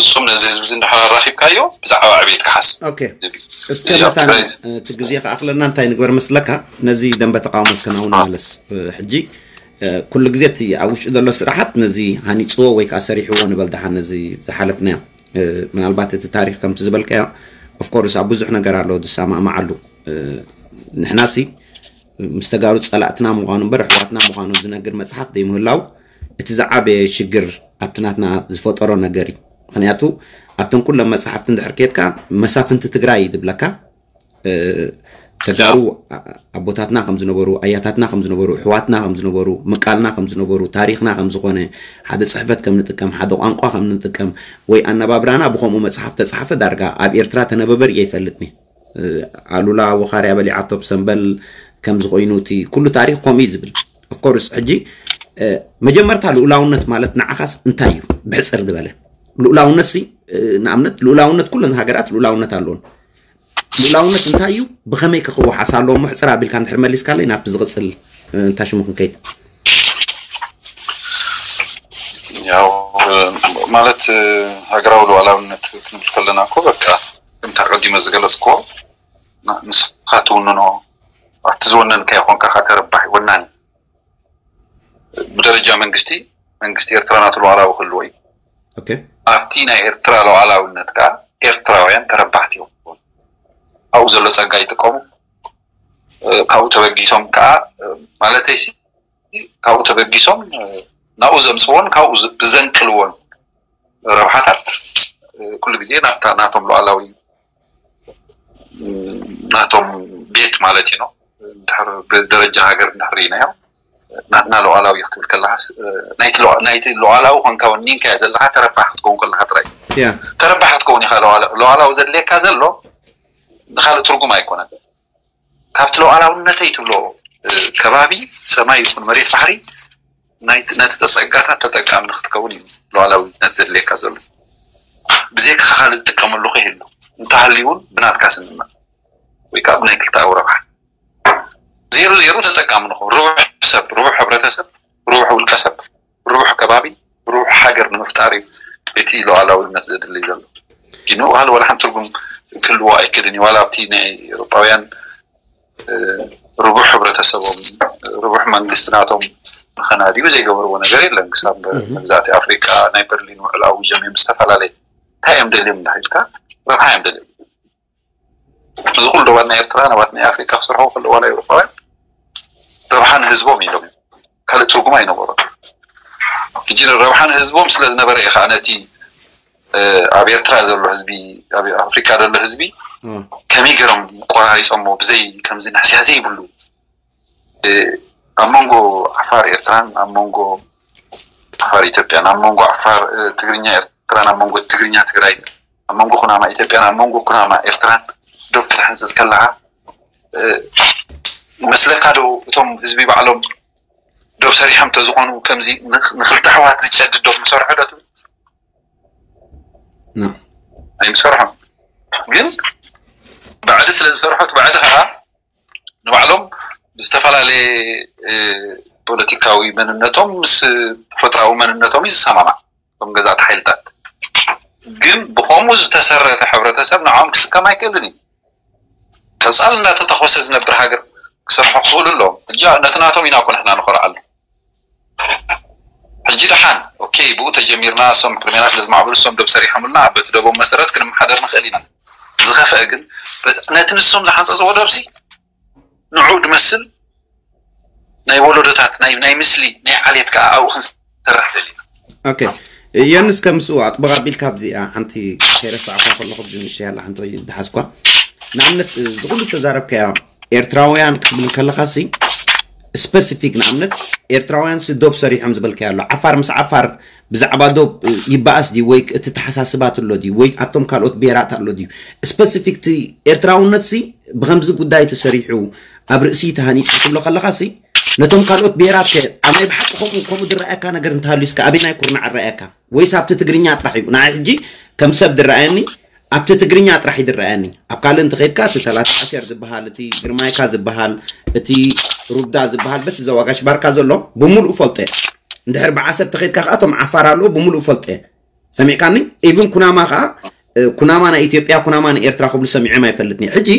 ፍፁም ነዚ ህዝቢ እዚ እንድሕር ኣራኺብካዮ ብዛዕባ ዕቤት ክሓስ እስከ መታን እቲ ግዜ ክኣኽለና እንታይ ንግበር መስለካ ነዚ ደንበ ተቃውሞ እስከ ናብኡ ንመለስ ሕጂ ኩሉ ግዜ እቲ ኣብ ውሽጢ ዘሎ ስራሓት ነዚ ሃኒፅዎ ወይ ከዓ ሰሪሕዎ ንበል ደሓን ነዚ ዝሓለፍናዮ ምናልባት እቲ ታሪክ ከምቲ ዝበልካዮ ኦፍኮርስ ኣብ ብዙሕ ነገር ኣሎ ዝሰማማዓሉ ንሕናሲ ምስ ተጋሩ ፀላእትና ምዃኑ እምበር ኣሕዋትና ምዃኑ ዝነግር መፅሓፍ ዘይምህላው እቲ ዝዓበየ ሽግር ኣብቲ ናትና ዝፈጠሮ ነገር እዩ ምክንያቱ ኣብተን ኩለን መፅሓፍቲ እንድሕር ከድካ መሳፍንቲ ትግራይ ዝብለካ ተጋሩ ኣቦታትና ከም ዝነበሩ ኣያታትና ከም ዝነበሩ ኣሕዋትና ከም ዝነበሩ ምቃልና ከም ዝነበሩ ታሪክና ከም ዝኾነ ሓደ ፅሕፈት ከም ንጥቀም ሓደ ቋንቋ ከም ንጥቀም ወይ ኣነባብራና ብከምኡ መፅሓፍ ተፃሕፈ ዳርጋ ኣብ ኤርትራ ተነበበ ርእየ ኣይፈልጥኒ ኣሉላ ወኻርያ በሊዓቶ ብሰንበል ከምዚ ኮይኑ እቲ ኩሉ ታሪክ ከምኡ እዩ ዝብል። ኦፍኮርስ ሕጂ መጀመርታ ልኡላውነት ማለት ንዓኻስ እንታይ እዩ? ብሕፅር ዝበለ ልኡላውነት ሲ ንኣብነት ልኡላውነት ኩለን ሃገራት ልኡላውነት ኣለዎን። ልኡላውነት እንታይ እዩ? ብኸመይ ከ ክወሓስ ኣለዎ? ሕፅር ኣቢልካ እንድሕር መሊስካለይ ናብቲ ዝቕፅል እንታይ ሽሙ ክንከይድ። ያው ማለት ሃገራዊ ሉዓላውነት ክንብል ከለና እኮ በቃ ከምታ ቀዲመ ዝገለፅኮ ንስኻ ትውንኖ ኣብቲ ዝወነንካዮ ኮንካ ተረባሒ ወናኒ ብደረጃ መንግስቲ መንግስቲ ኤርትራ ናቱ ሉዓላዊ ክህልዎ እዩ። ኣብቲ ናይ ኤርትራ ሉዓላውነት ከዓ ኤርትራውያን ተረባሕቲ ይኸውን። ኣብኡ ዘሎ ፀጋ ይጥቀሙ። ካብኡ ተበጊሶም ከዓ ማለተይ ካብኡ ተበጊሶም ናብኡ ዘምፅዎን ካብኡ ብዘንቅልዎን ረብሓታት ኩሉ ግዜ ናቶም ሉዓላዊ ናቶም ቤት ማለት እዩ። ድር ብደረጃ ሃገር እንድሕር ኢናዮ ናትና ሉዓላዊ ክትብል ከለካ ናይቲ ሉዓላዊ ኮንካ ወኒንካዮ ዘለካ ተረባሕ ክትከውን ከለካ ጥራይ ተረባሕ ክትከውን ኢካ። ሉዓላዊ ዘድልየካ ዘሎ ንካልእ ትርጉም ኣይኮነን። ካብቲ ሉዓላውነተይ ትብሎ ከባቢ ሰማይ ይኹን መሬት ባሕሪ ነቲ ተፀጋታት ተጠቃሚ ንክትከውን እዩ ሉዓላውነት ዘድልየካ ዘሎ። ብዘይካ ካልእ ዝጥቀመሉ ከይህሉ እንተሃልዩ እውን ብናትካ ስምምዕ ወይ ከዓ ብናይ ክልተኣዊ ረብሓ ዜሩ ዜሩ ተጠቃሚ ንኸውን። ርቡሕ ሰብ፣ ርቡሕ ሕብረተሰብ፣ ርቡሕ ውልቀ ሰብ፣ ርቡሕ ከባቢ፣ ርቡሕ ሃገር ንምፍጣር እዩ እቲ ሉዓላውነት ዘድሊ ዘሎ። ግን ዋላ ዋላ ሓንቲ ትርጉም ክህልዎ ኣይክእልን እዩ። ዋላ ኣብቲ ናይ ኤውሮጳውያን ርቡሕ ሕብረተሰቦም ርቡሕ መንግስቲ ናቶም ንኸናድዩ ዘይገበርዎ ነገር የለን። ክሳብ መግዛእቲ ኣፍሪካ ናይ በርሊን ውዕል ኣዊጆም እዮም ዝተፈላለየ እንታይ እዮም ደልዮም እንዳሂልካ ረብሓ እዮም ደልዮም። እዚ ኩሉ ዶባት ናይ ኤርትራ ናባት ናይ ኣፍሪካ ክሰርሑ ከለዉ ዋላ ኤውሮፓውያን ረብሓ ንህዝቦም ኢሎም እዮም። ካልእ ትርጉም ኣይነበሮም። ሕጂ ረብሓ ንህዝቦም ስለ ዝነበረ እዩ ከዓ ነቲ ኣብ ኤርትራ ዘሎ ህዝቢ ኣብ ኣፍሪካ ዘሎ ህዝቢ ከመይ ገይሮም ቆራሪፆሞ ብዘይ ከምዚ ናሕስያ ዘይብሉ ኣብ መንጎ ዓፋር ኤርትራን ኣብ መንጎ ዓፋር ኢትዮጵያን ኣብ መንጎ ዓፋር ትግርኛ ኤርትራን ኣብ መንጎ ትግርኛ ትግራይ ኣብ መንጎ ኩናማ ኢትዮጵያን ኣብ መንጎ ኩናማ ኤርትራን ዶብ ክትሕንፅፅ ከለካ ይመስለካ ዶ እቶም ህዝቢ ባዕሎም ዶብ ሰሪሖም ተዝኾኑ ከምዚ ንክልተ ኣሕዋት ዝጨድ ዶብ ምሰርሑ ዶ ትብል? ኣይምሰርሖም። ግን ባዕዲ ስለ ዝሰርሖ እቲ ባዕዲ ከዓ ንባዕሎም ብዝተፈላለየ ፖለቲካዊ መንነቶም ምስ ተፈጥራዊ መንነቶም እዩ ዝሰማማዕ። እቶም ገዛእቲ ሓይልታት ግን ብኸምኡ ዝተሰረተ ሕብረተሰብ ንዕኦም ክስከም ኣይክእልን እዩ። ቀፃል እናተተኮሰ ዝነብር ሃገር ክሰርሑ ክኽእሉ ኣለዎም። ሕጂ ነቲ ናቶም ኢና እኮ ንሕና ንኮርዓሉ። ሕጂ ደሓን ኦኬ ብኡ ተጀሚርና እሶም ክርሜና ስለ ዝማዕበሉ እሶም ደብ ሰሪሖምልና በቲ ደቦም መሰረት ክንመሓደር ንኽእል ኢና። ዝኸፍአ ግን ነቲ ንሶም ዝሓንፀፅዎ ደብሲ ንዑ ድመስል ናይ ወለዶታት ናይ ናይ ምስሊ ናይ ዓሌት ከዓ ኣብኡ ክንሰርሕ ደሊና። ኦኬ የንስ ከምስኡ ኣጥበቕ ኣቢልካ ኣብዚኣ ሓንቲ ከይረሳዕኳ ከለኹ ብዚ ንእሽተይ ኣላ ሓንቲ ወይ ድሓዝኳ ንኣብነት እዚ ኩሉ ዝተዛረብካዮ ኤርትራውያን ክትብል ከለኻ ሲ ስፐሲፊክ ንኣብነት ኤርትራውያን ሲ ዶብ ሰሪሖም ዝበልካዮ ኣሎ ዓፋር ምስ ዓፋር ብዛዕባ ዶብ ይበኣስ ድዩ ወይ እቲ ተሓሳስባት ኣሎ ድዩ ወይ ኣብቶም ካልኦት ብሄራት ኣሎ ድዩ ስፐሲፊክ ቲ ኤርትራውነት ሲ ብከምዚ ጉዳይ ተሰሪሑ ኣብ ርእሲ ተሃኒፁ ትብሎ ከለኻ ሲ ነቶም ካልኦት ብሄራት ከ ኣብ ናይ ብሓቂ ከምኡ ከምኡ ዝረኣየካ ነገር እንተሃልዩ እስከ ኣበይ ናይ ኩርናዕ ረኣየካ ወይስ ኣብቲ ትግርኛ ጥራሕ እዩ ንዓይ ሕጂ ከም ሰብ ዝረኣየኒ ኣብቲ ትግርኛ ጥራሕ እዩ ዝረኣየኒ ኣብ ካልእ እንተኸይድካ እቲ ተላታ ኣሴር ዝበሃል እቲ ግርማይካ ዝበሃል እቲ ሩዳ ዝበሃል በቲ ዘዋጋሽ ባርካ ዘሎ ብምሉእ ፈልጦ እንድሕር ብዓሰብ ተኸይድካ ከዓ እቶም ዓፋር ኣለዎ ብምሉእ ፈልጦ ሰሚዕካኒ ኢቭን ኩናማ ከዓ ኩናማ ናይ ኢትዮጵያ ኩናማ ናይ ኤርትራ ክብሉ ሰሚዖም ኣይፈልጥኒ ሕጂ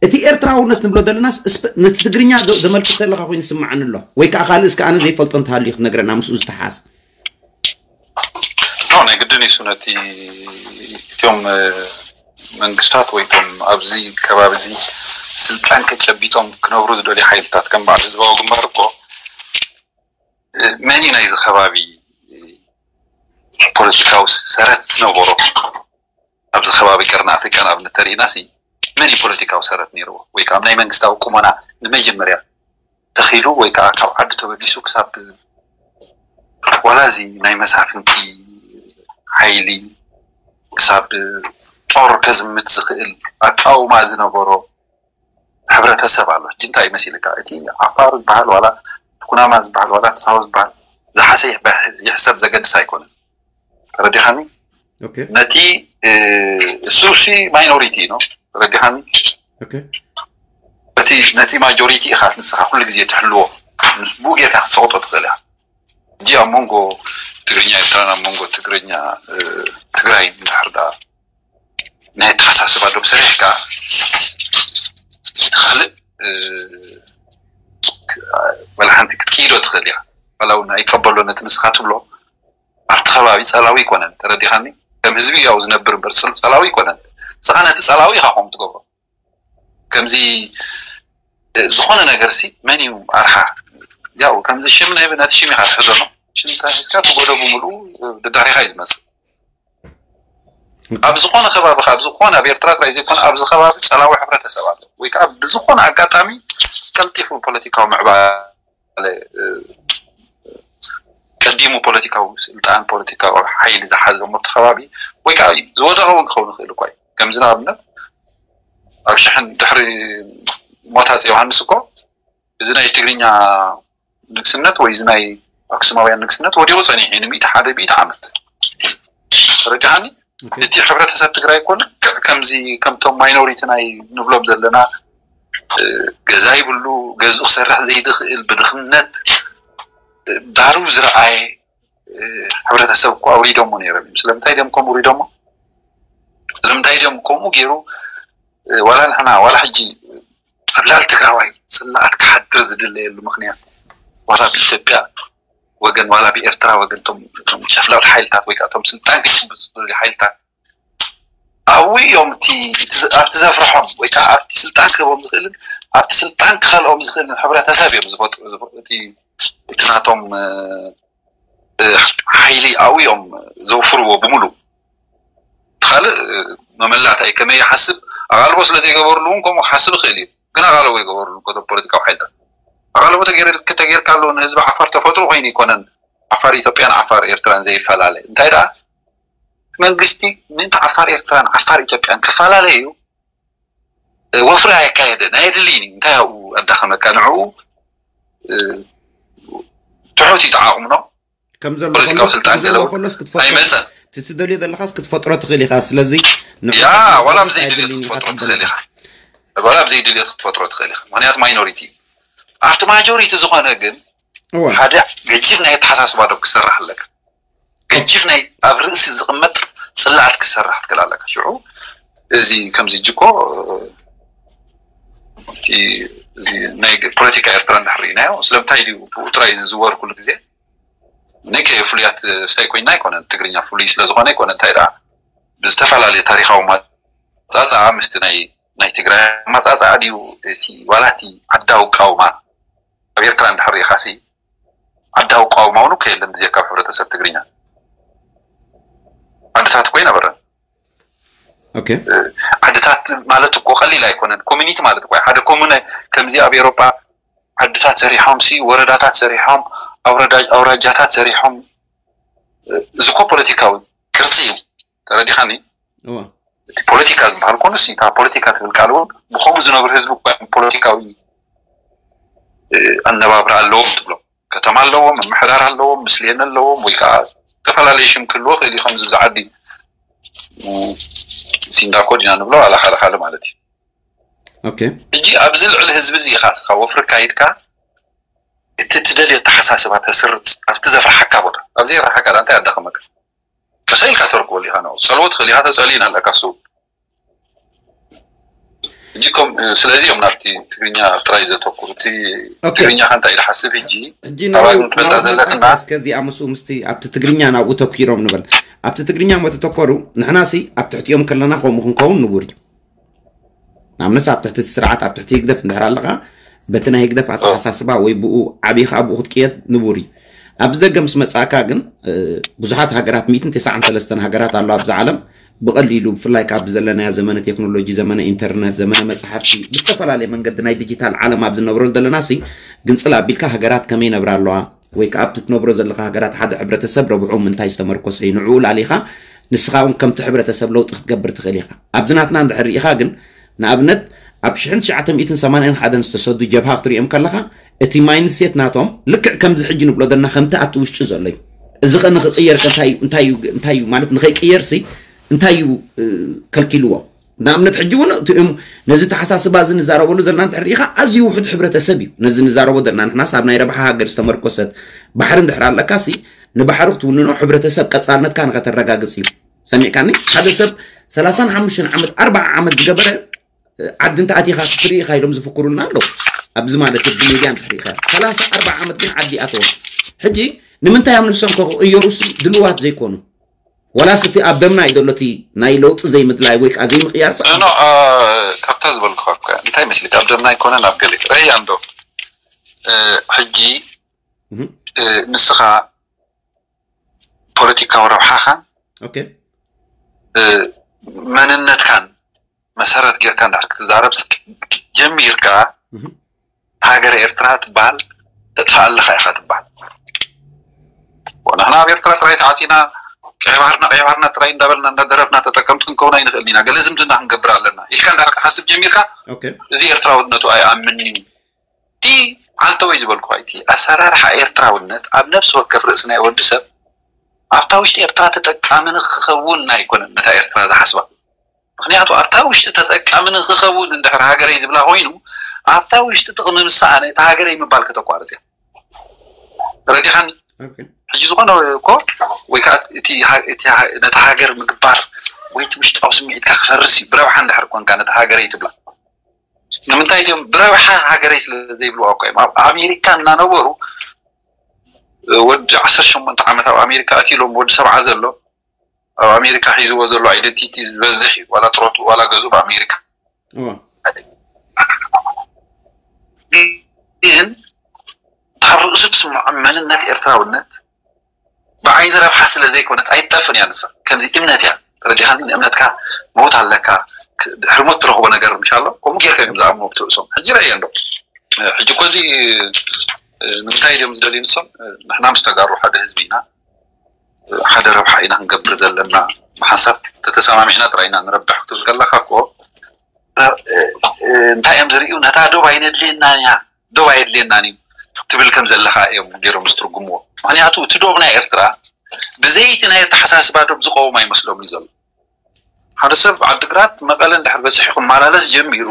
እቲ ኤርትራውነት ንብሎ ዘለናስ ነቲ ትግርኛ ዘመልክት ዘለካ ኮይኑ ዝስማዓኒ ኣሎ ወይ ከዓ ካልእ እስከ ኣነ ዘይፈልጦ እንተሃልዩ ክትነግረና ምስኡ ዝተሓዝ ናይ ግድን እዩ ነቲ እትዮም መንግስታት ወይ ቶም ኣብዚ ከባቢ እዚ ስልጣን ከጨቢጦም ክነብሩ ዝደልዩ ሓይልታት ከም በዓል ህዝባዊ ግንባር እኮ መን እዩ ናይዚ ከባቢ ፖለቲካዊ ሰረት ዝነበሮ ኣብዚ ከባቢ ቀርኒ ኣፍሪካ ንኣብነት ተሪእና ሲ መን እዩ ፖለቲካዊ ሰረት ነይርዎ ወይ ከዓ ናይ መንግስታዊ ቁመና ንመጀመርያ ተኺሉ ወይ ከዓ ካብ ዓዲ ተበጊሱ ክሳብ ዋላ እዚ ናይ መሳፍንቲ ሓይሊ ክሳብ ጦር ከዝምት ዝኽእል ኣቃውማ ዝነበሮ ሕብረተሰብ ኣሎ። ሕጂ እንታይ ይመስልካ? እቲ ዓፋር ዝበሃል ዋላ ኩናማ ዝበሃል ዋላ ተሳሆ ዝበሃል ዝሓሰ ይሕሰብ ዘገድስ ኣይኮነን። ተረዲኻኒ? ነቲ እሱ ሲ ማይኖሪቲ ነው። ተረዲኻኒ? እቲ ነቲ ማጆሪቲ ኢኻ ንስኻ ኩሉ ግዜ ትሕልዎ። ምስ ብኡ ጌርካ ክትሰቕጦ ትኽእል ኢኻ። ሕጂ ኣብ መንጎ ትግርኛ ኤርትራን ኣብ መንጎ ትግርኛ ትግራይ እንድሕር ደኣ ናይ ኣተሓሳስባ ዶብ ሰሪሕካ ካልእ ወላ ሓንቲ ክትክይዶ ትኽእል ኢኻ። ዋላ እውን ኣይቀበሎ ነቲ ንስኻ ትብሎ ኣብቲ ከባቢ ጸላዊ ኣይኮነን። ተረዲኻኒ? ከም ህዝቢ ያው ዝነብር እምበር ጸላዊ ኣይኮነን። ንስኻ ነቲ ጸላዊ ኢኻ ከምኡ ትገብሮ። ከምዚ ዝኾነ ነገር ሲ መን እዩ ኣርሓ? ያው ከምዚ ሽም ናይ ነቲ ሽም ኢኻ ትሕዞ ነው። ሽም ተሒዝካ እቲ ጎደቡ ምሉኡ ደዳሪኻ እዩ ዝመጽእ። ኣብ ዝኾነ ከባቢ ካብ ዝኾነ ኣብ ኤርትራ ጥራይ ዘይኮነ ኣብዚ ከባቢ ጸላዊ ሕብረተሰብ ኣሎ ወይ ከዓ ብዝኾነ ኣጋጣሚ ቀልጢፉ ፖለቲካዊ ምዕባለ ቀዲሙ ፖለቲካዊ ስልጣን ፖለቲካዊ ሓይሊ ዝሓዘ ሞቲ ከባቢ ወይ ከዓ ዝወደቐ እውን ክኸውን ይኽእል እኳ እዩ። ከምዚ ንኣብነት ኣብ ሽሕን ድሕሪ ሞት ኣፀ ዮሃንስ እኮ እዚ ናይ ትግርኛ ንግስነት ወይ እዚ ናይ ኣክሱማውያን ንግስነት ወዲቑ ፀኒሑ እዩ ንምእቲ ሓደ ብኢቲ ዓመት ተረዲኻኒ። እቲ ሕብረተሰብ ትግራይ እኮ ልክዕ ከምዚ ከምቶም ማይኖሪቲ ናይ ንብሎም ዘለና ገዛ ይብሉ ገዝኡ ክሰርሕ ዘይድኽእል ብድኽነት ዳሩ ዝረኣየ ሕብረተሰብ እኮ ኣውሪዶሞ ነይሮም እዮም። ስለምንታይ ድዮም ከምኡ ውሪዶሞ? ስለምንታይ ድዮም ከምኡ ገይሩ ዋላ ንሕና ዋላ ሕጂ ኣብ ልዕሊ ትግራዋይ ስምዓት ክሓድር ዝድለየሉ ምኽንያት ዋላ ብኢትዮጵያ ወገን ዋላ ብኤርትራ ወገን እቶም ጨፍለቕቲ ሓይልታት ወይ ከዓ እቶም ስልጣን ክጭብጥ ዝደልዩ ሓይልታት ኣብኡ እዮም ኣብቲ ዘፍርሖም ወይ ከዓ ኣብቲ ስልጣን ክህቦም ዝኽእልን ኣብቲ ስልጣን ክኸልኦም ዝኽእልን ሕብረተሰብ እዮም ዝፈጥሩ። እቲ ናቶም ሓይሊ ኣብኡ እዮም ዘውፍርዎ ብምሉእ። ካልእ መመላእታይ ከመይ ይሓስብ ኣቓልቦ ስለ ዘይገበርሉ እውን ከምኡ ክሓስብ ይኽእል እዩ። ግን ኣቓልቦ ይገበርሉ እኮ ፖለቲካዊ ሓይልታት ኣቓልቦ ተገይርካሉ ንህዝቢ ዓፋር ተፈጥሮ ኮይኑ ኣይኮነን። ዓፋር ኢትዮጵያን ዓፋር ኤርትራን ዘይፈላለ እንታይ ደኣ መንግስቲ ምእንቲ ዓፋር ኤርትራን ዓፋር ኢትዮጵያን ክፈላለ እዩ ወፍሪ ኣየካየደን ኣየድልይን እዩ። እንታይ ኣብኡ ኣዳኸመካ ንዕኡ ትሑት እዩ ተዓቕምኖ ከም ዘሎ ፖለቲካዊ ስልጣን ገለ ኣይመፀን። ትደልዮ ዘለኻስ ክትፈጥሮ ትኽእል ኢኻ። ስለዚ ያ ዋላ ኣብ ዘይድልዮ ክትፈጥሮ ትኽእል ኢኻ። ዋላ ኣብ ዘይድልዮ ክትፈጥሮ ትኽእል ኢኻ። ምክንያቱ ማይኖሪቲ እዩ። ኣብቲ ማጆሪቲ ዝኾነ ግን ሓደ ገጅፍ ናይ ኣተሓሳስባ ዶብ ክሰርሕ ኣለካ። ገጅፍ ናይ ኣብ ርእሲ ዝቕመጥ ፅላኣት ክሰርሕ ትክእል ኣለካ። ሽዑ እዚ ከምዚ እኮ ናይ ፖለቲካ ኤርትራ እንድሕር ርኢናዮ ስለምንታይ ድዩ ብኡ ጥራይ ዝዝወር ኩሉ ግዜ ንከ ፍሉያት ስታይ ኮይና ኣይኮነን ትግርኛ ፍሉይ ስለዝኾነ ኣይኮነ እንታይ ደኣ ብዝተፈላለየ ታሪካዊ ማፃፃኣ ምስቲ ናይ ናይ ትግራይ ማፃፃኣ ድዩ እቲ ዋላ እቲ ዓዳዊ ቃውማ ኣብ ኤርትራ እንድሕር ርኢኻሲ ዓዳዊ ቃውማ እውን እኮ የለን ብዘይካ ኣብ ሕብረተሰብ ትግርኛ ዓድታት እኮ ኣይነበረን ዓድታት ማለት እኮ ቀሊል ኣይኮነን ኮሚኒቲ ማለት እኮ ሓደ ኮሙነ ከምዚ ኣብ ኤሮጳ ዓድታት ሰሪሖም ሲ ወረዳታት ሰሪሖም ኣውራጃታት ሰሪሖም እዚ እኮ ፖለቲካዊ ቅርፂ እዩ ተረዲኻኒ እቲ ፖለቲካ ዝበሃል ኮኑ ሲ እታ ፖለቲካ ትብል ቃል እውን ብከምኡ ዝነብር ህዝቢ እኮ ፖለቲካዊ ኣነባብራ ኣለዎም ትብሎም ከተማ ኣለዎም ምምሕዳር ኣለዎም ምስሌን ኣለዎም ወይ ከዓ ዝተፈላለዩ ሽም ክህልዎ ክእል እዩ ከምዚ ብዛ ዓዲ ሲንዳኮ ዲና ንብሎ ኣላኻልኻሊ ማለት እዩ ሕጂ ኣብዚ ልዕሊ ህዝቢ እዚ ኢኻ ስኻ ወፍሪ ካይድካ እቲ ትደልዮ ተሓሳስባ ተስርፅ ኣብቲ ዘፍርሓካ ቦታ ኣብ ዘይፍርሓካ ዳ እንታይ ኣዳኸመካ ተሰኢልካ ተርክበሉ ኢኻ ነው ጸልዎ ትኽእል ኢኻ ተጸልዩ ኣለካ ሱ ሕጂ ስለዚ እዮም ናብቲ ትግርኛ ጥራይ ዘተኩሩ እቲ ትግርኛ ከ እንታይ ኢሉ ሓስብ ሕጂ ኣባግም ትፈልጣ ዘለትና እስከዚኣ ምስኡ ምስቲ ኣብቲ ትግርኛ ናብኡ ተኩሮም ንበል ኣብቲ ትግርኛ ሞ ተተኮሩ ንሕና ሲ ኣብ ትሕቲኦም ከለና ከምኡ ክንከውን ንቡር እዩ ንኣብነት ኣብ ትሕቲ እቲ ስርዓት ኣብ ትሕቲ ህግደፍ እንድሕር ኣለኻ በቲ ናይ ህግደፍ ኣተሓሳስባ ወይ ብኡ ዓብኻ ብኡ ክትቅየድ ንቡር እዩ ኣብዚ ደገ ምስ መጻእካ ግን ብዙሓት ሃገራት ሚእትን ተስዓን ሰለስተን ሃገራት ኣሎ ኣብዚ ዓለም ብቐሊሉ ብፍላይ ካብ ዘለናዮ ዘመነ ቴክኖሎጂ ዘመነ ኢንተርነት ዘመነ መፅሓፍቲ ብዝተፈላለየ መንገዲ ናይ ዲጂታል ዓለም ኣብ ዝነብረሉ ዘለና ሲ ግንፅል ኣቢልካ ሃገራት ከመይ ነብራ ኣለዋ ወይ ከዓ ኣብቲ ትነብሮ ዘለካ ሃገራት ሓደ ሕብረተሰብ ረብሑ ምንታይ ዝተመርኮሰ እዩ ንዕኡ ላሊኻ ንስኻ እውን ከምቲ ሕብረተሰብ ለውጢ ክትገብር ትኽእል ኢኻ። ኣብዚ ናትና እንድሕር ርኢኻ ግን፣ ንኣብነት፣ ኣብ ሽሕን ትሽዓተ ሚእትን ሰማንያን ሓደን ዝተሰዱ ጀብሃ ክትሪኦም ከለኻ፣ እቲ ማይንድሴት ናቶም ልክዕ ከምዚ ሕጂ ንብሎ ዘለና ከምቲ ኣብቲ ውሽጢ ዘሎ እዩ። እዚ ኸ ንኽቕየር ከ እንታይ እዩ፣ እንታይ እዩ፣ እንታይ እዩ ማለት ንኸይቅየርሲ እንታይ እዩ እ፣ ከልኪልዎ? ንኣብነት ሕጂ እውን እቲኦም ነዚ ተሓሳስባ እዚ ንዛረበሉ ዘለና እንድሕር ርኢኻ ኣዝዩ ውሑድ ሕብረተሰብ እዩ። ነዚ ንዛረቦ ዘለና ንሕናስ ኣብ ናይ ረብሓ ሃገር ዝተመርኮሰት ባሕሪ እንድሕር ኣለካሲ ንባሕሪ ክትውንኖ ሕብረተሰብ ቀጻልነትካ ንኸተረጋግጽ እዩ። ሰሚዕካኒ? ሓደ ሰብ ሰላሳን ሓሙሽተን ዓመት ኣርባዓ ዓመት ዝገበረ ዓዲ እንተ ኣቲኻ ክትርኢ ኢኻ ኢሎም ዝፍክሩልና ኣለዉ። ኣብዚ ማለት ኣብዚ ሜድያ እንድሕር ኢኻ ሰላሳ ኣርባዓ ዓመት ግን ዓዲ ኣተወ። ሕጂ ንምንታይ ኣብ ንሶም ከ ክቕየሩ ሲ ድልዋት ዘይኮኑ? ዋላስ እቲ ኣብ ደምና እዩ ዘሎ እቲ ናይ ለውጢ ዘይምድላይ ወይ ከዓ ዘይምቕያር ፃዕሪ? ኖ ካብታ ዝበልኩኻ እኮ እንታይ መስልካ ኣብ ደምና ኣይኮነን ኣብ ገለ ረያ እንዶ ሕጂ ንስኻ ፖለቲካዊ ረብሓኻን መንነትካን መሰረት ጌርካ እንድሕር ክትዛረብ ጀሚርካ ሃገረ ኤርትራ ትበሃል ተጥፋኣለኻ ኢኻ ትበሃል። ንሕና ኣብ ኤርትራ ጥራይ ተዓፂና ቀይባህርና ቀይባህርና ጥራይ እንዳበልና እንዳደረፍና ተጠቀምቲ ክንከውን ኣይንኽእልን ኢና። ገለ ዝምድና ክንገብር ኣለና ኢልካ እንድሕር ክትሓስብ ጀሚርካ እዚ ኤርትራውነቱ ኣይኣምን እዩ። እቲ ዓንተወይ ዝበልኩኻ እቲ ኣሰራርሓ ኤርትራውነት ኣብ ነብሲ ወከፍ ርእሲ ናይ ወዲ ሰብ ኣብታ ውሽጢ ኤርትራ ተጠቃሚ ንክኸውን ኣይኮነን ነታ ኤርትራ ዝሓስባ። ምክንያቱ ኣብታ ውሽጢ ተጠቃሚ ንክኸውን እንድሕር ሃገረይ ዝብላ ኮይኑ ኣብታ ውሽጢ ጥቕሚ ምስኣነ እታ ሃገረይ ምባል ከተቋርፅ እያ። ረዲኻኒ? ሕጂ ዝኾነ እኮ ወይ ከዓ እቲ ነቲ ሃገር ምግባር ወይ እቲ ውሽጣዊ ስምዒትካ ክፈርስ እዩ ብረብሓ እንድሕር ኮንካ ነቲ ሃገረይ ትብላ። ንምንታይ ድም ብረብሓ ሃገረይ ስለ ዘይብልዋ እኮ እዮም ኣብ ኣሜሪካ እናነበሩ ወዲ ዓሰርተ ሸሞንተ ዓመት ኣብ ኣሜሪካ ኣትሎም ወዲ ሰብዓ ዘሎ ኣብ ኣሜሪካ ሒዝዎ ዘሎ ኣይደንቲቲ ዝበዝሕ እዩ ዋላ ጥሮቱ ዋላ ገዙ ብኣሜሪካ ግን ካብ ርእሱ ትስምዖ መንነት ኤርትራውነት ብዓይኒ ረብሓ ስለ ዘይኮነት ኣይትጠፍን እያ ንሳ ከምዚ እምነት እያ ተረዲኻኒ ንእምነትካ መውት ኣለካ ድሕሪ ሞት ትረኽቦ ነገር ምሻሎ ከምኡ ጌርካ እዮም ዝኣምኖ ብትርእሶም ሕጂ ረእየ እንዶ ሕጂ እኮ እዚ ንምንታይ እዮም ዝደልዩ ንሶም ንሕና ምስ ተጋሩ ሓደ ህዝቢ ኢና ሓደ ረብሓ ኢና ክንገብር ዘለና ብሓንሳብ ተተሰማሚዕና ጥራይ ኢና ንረብሕ ክትብል ከለካ እኮ እንታይ እዮም ዝርእዩ ነታ ዶብ ኣይነድልየና እያ ዶብ ኣየድልየናን እዩ ትብል ከም ዘለካ እዮም ገይሮም ዝትርጉምዎ ምክንያቱ እቲ ዶብ ናይ ኤርትራ ብዘይቲ ናይ ኣተሓሳስባ ዶብ ዝቀውም ኣይመስሎም እዩ ዘሎ ሓደ ሰብ ዓድግራት መቐለ እንድሕር በፂሑ ክመላለስ ጀሚሩ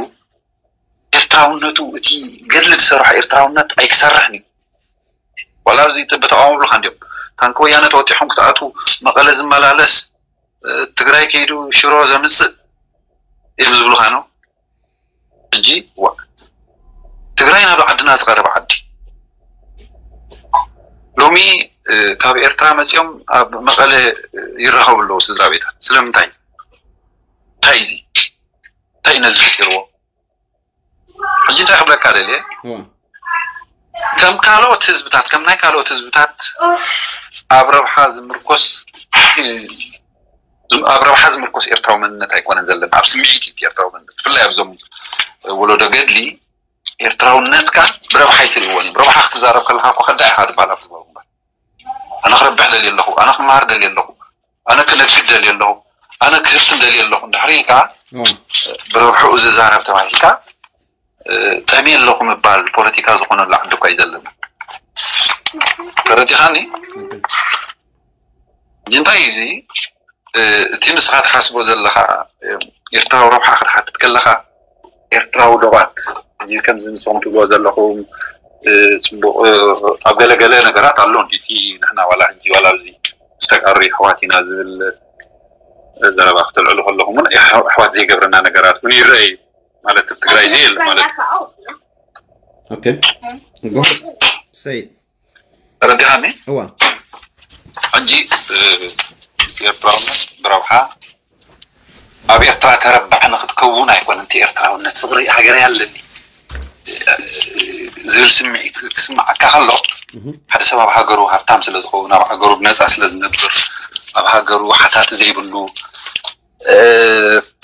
ኤርትራውነቱ እቲ ገድሊ ዝሰርሖ ኤርትራውነት ኣይክሰርሕን እዩ ዋላ ኣብዚ በተቃወሙ ብልካ እንዲዮም ታንኪ ወያነ ተወጢሖም ክትኣቱ መቐለ ዝመላለስ ትግራይ ከይዱ ሽሮ ዘምፅእ እዮም ዝብሉካ ነው እንጂ ትግራይ ናብ ዓድና ዝቀረበ ዓዲ ሎሚ ካብ ኤርትራ መፂኦም ኣብ መቐለ ይራኸቡ ኣለዉ ስድራ ቤታት ስለምንታይ እንታይ እዚ እንታይ ነዚ ፈጢርዎ ሕጂ እንታይ ክብለካ ደልየ ከም ካልኦት ህዝብታት ከም ናይ ካልኦት ህዝብታት ኣብ ረብሓ ዝምርኮስ ኣብ ረብሓ ዝምርኮስ ኤርትራዊ መንነት ኣይኮነን ዘለና ኣብ ስምዒት እዩ ኤርትራዊ መንነት ብፍላይ ኣብዞም ወለዶ ገድሊ ኤርትራውነትካ ብረብሓ ኣይትርእዎን እዩ ረብሓ ክትዛረብ ከለካ እኮ ከዳ ኢካ ትበሃል ኣብ ትበሉ እምበር ኣነ ክረብሕ ደልየ ኣለኹ ኣነ ክመሃር ደልየ ኣለኹ ኣነ ክነግድ ደልየ ኣለኹ ኣነ ክህፍትን ደልየ ኣለኹ እንድሕር ኢልካ ብረብሕኡ ዝዛረብ ተባሂልካ ጠምየ ኣለኹ ምባል ፖለቲካ ዝኾነሉ ዓዲ እኳ እዩ ዘለና ተረዲኻኒ እንታይ እዩ እዚ እቲ ንስኻ ትሓስቦ ዘለኻ ኤርትራዊ ረብሓ ክትሓትት ከለኻ ኤርትራዊ ዶባት ከምዚ ንስኹም ትብልዎ ዘለኹም ፅቡቅ ኣብ ገለ ገለ ነገራት ኣሎ እቲ ንሕና ዋላ ሕጂ ዋላ ኣብዚ ዝተጋሩ ኣሕዋት ኢና ዝብል ዘረባ ክተልዕሉ ከለኹም እውን ኣሕዋት ዘይገብረና ነገራት እውን ይረአ እዩ ማለት ኣብ ትግራይ እዚ የለ ማለት Okay. Go ahead. Say it. ተረዲኻኒ እዋ ሕጂ ኤርትራውነት ብረብሓ ኣብ ኤርትራ ተረባሕ ንክትከውን ኣይኮነ እቲ ኤርትራውነት ፍቅሪ ሃገር ያለኒ ዝብል ስምዒት ክስምዓካ ከሎ ሓደ ሰብ ኣብ ሃገሩ ሃብታም ስለ ዝኸውን ኣብ ሃገሩ ብነፃ ስለ ዝነብር ኣብ ሃገሩ ሓታቲ ዘይብሉ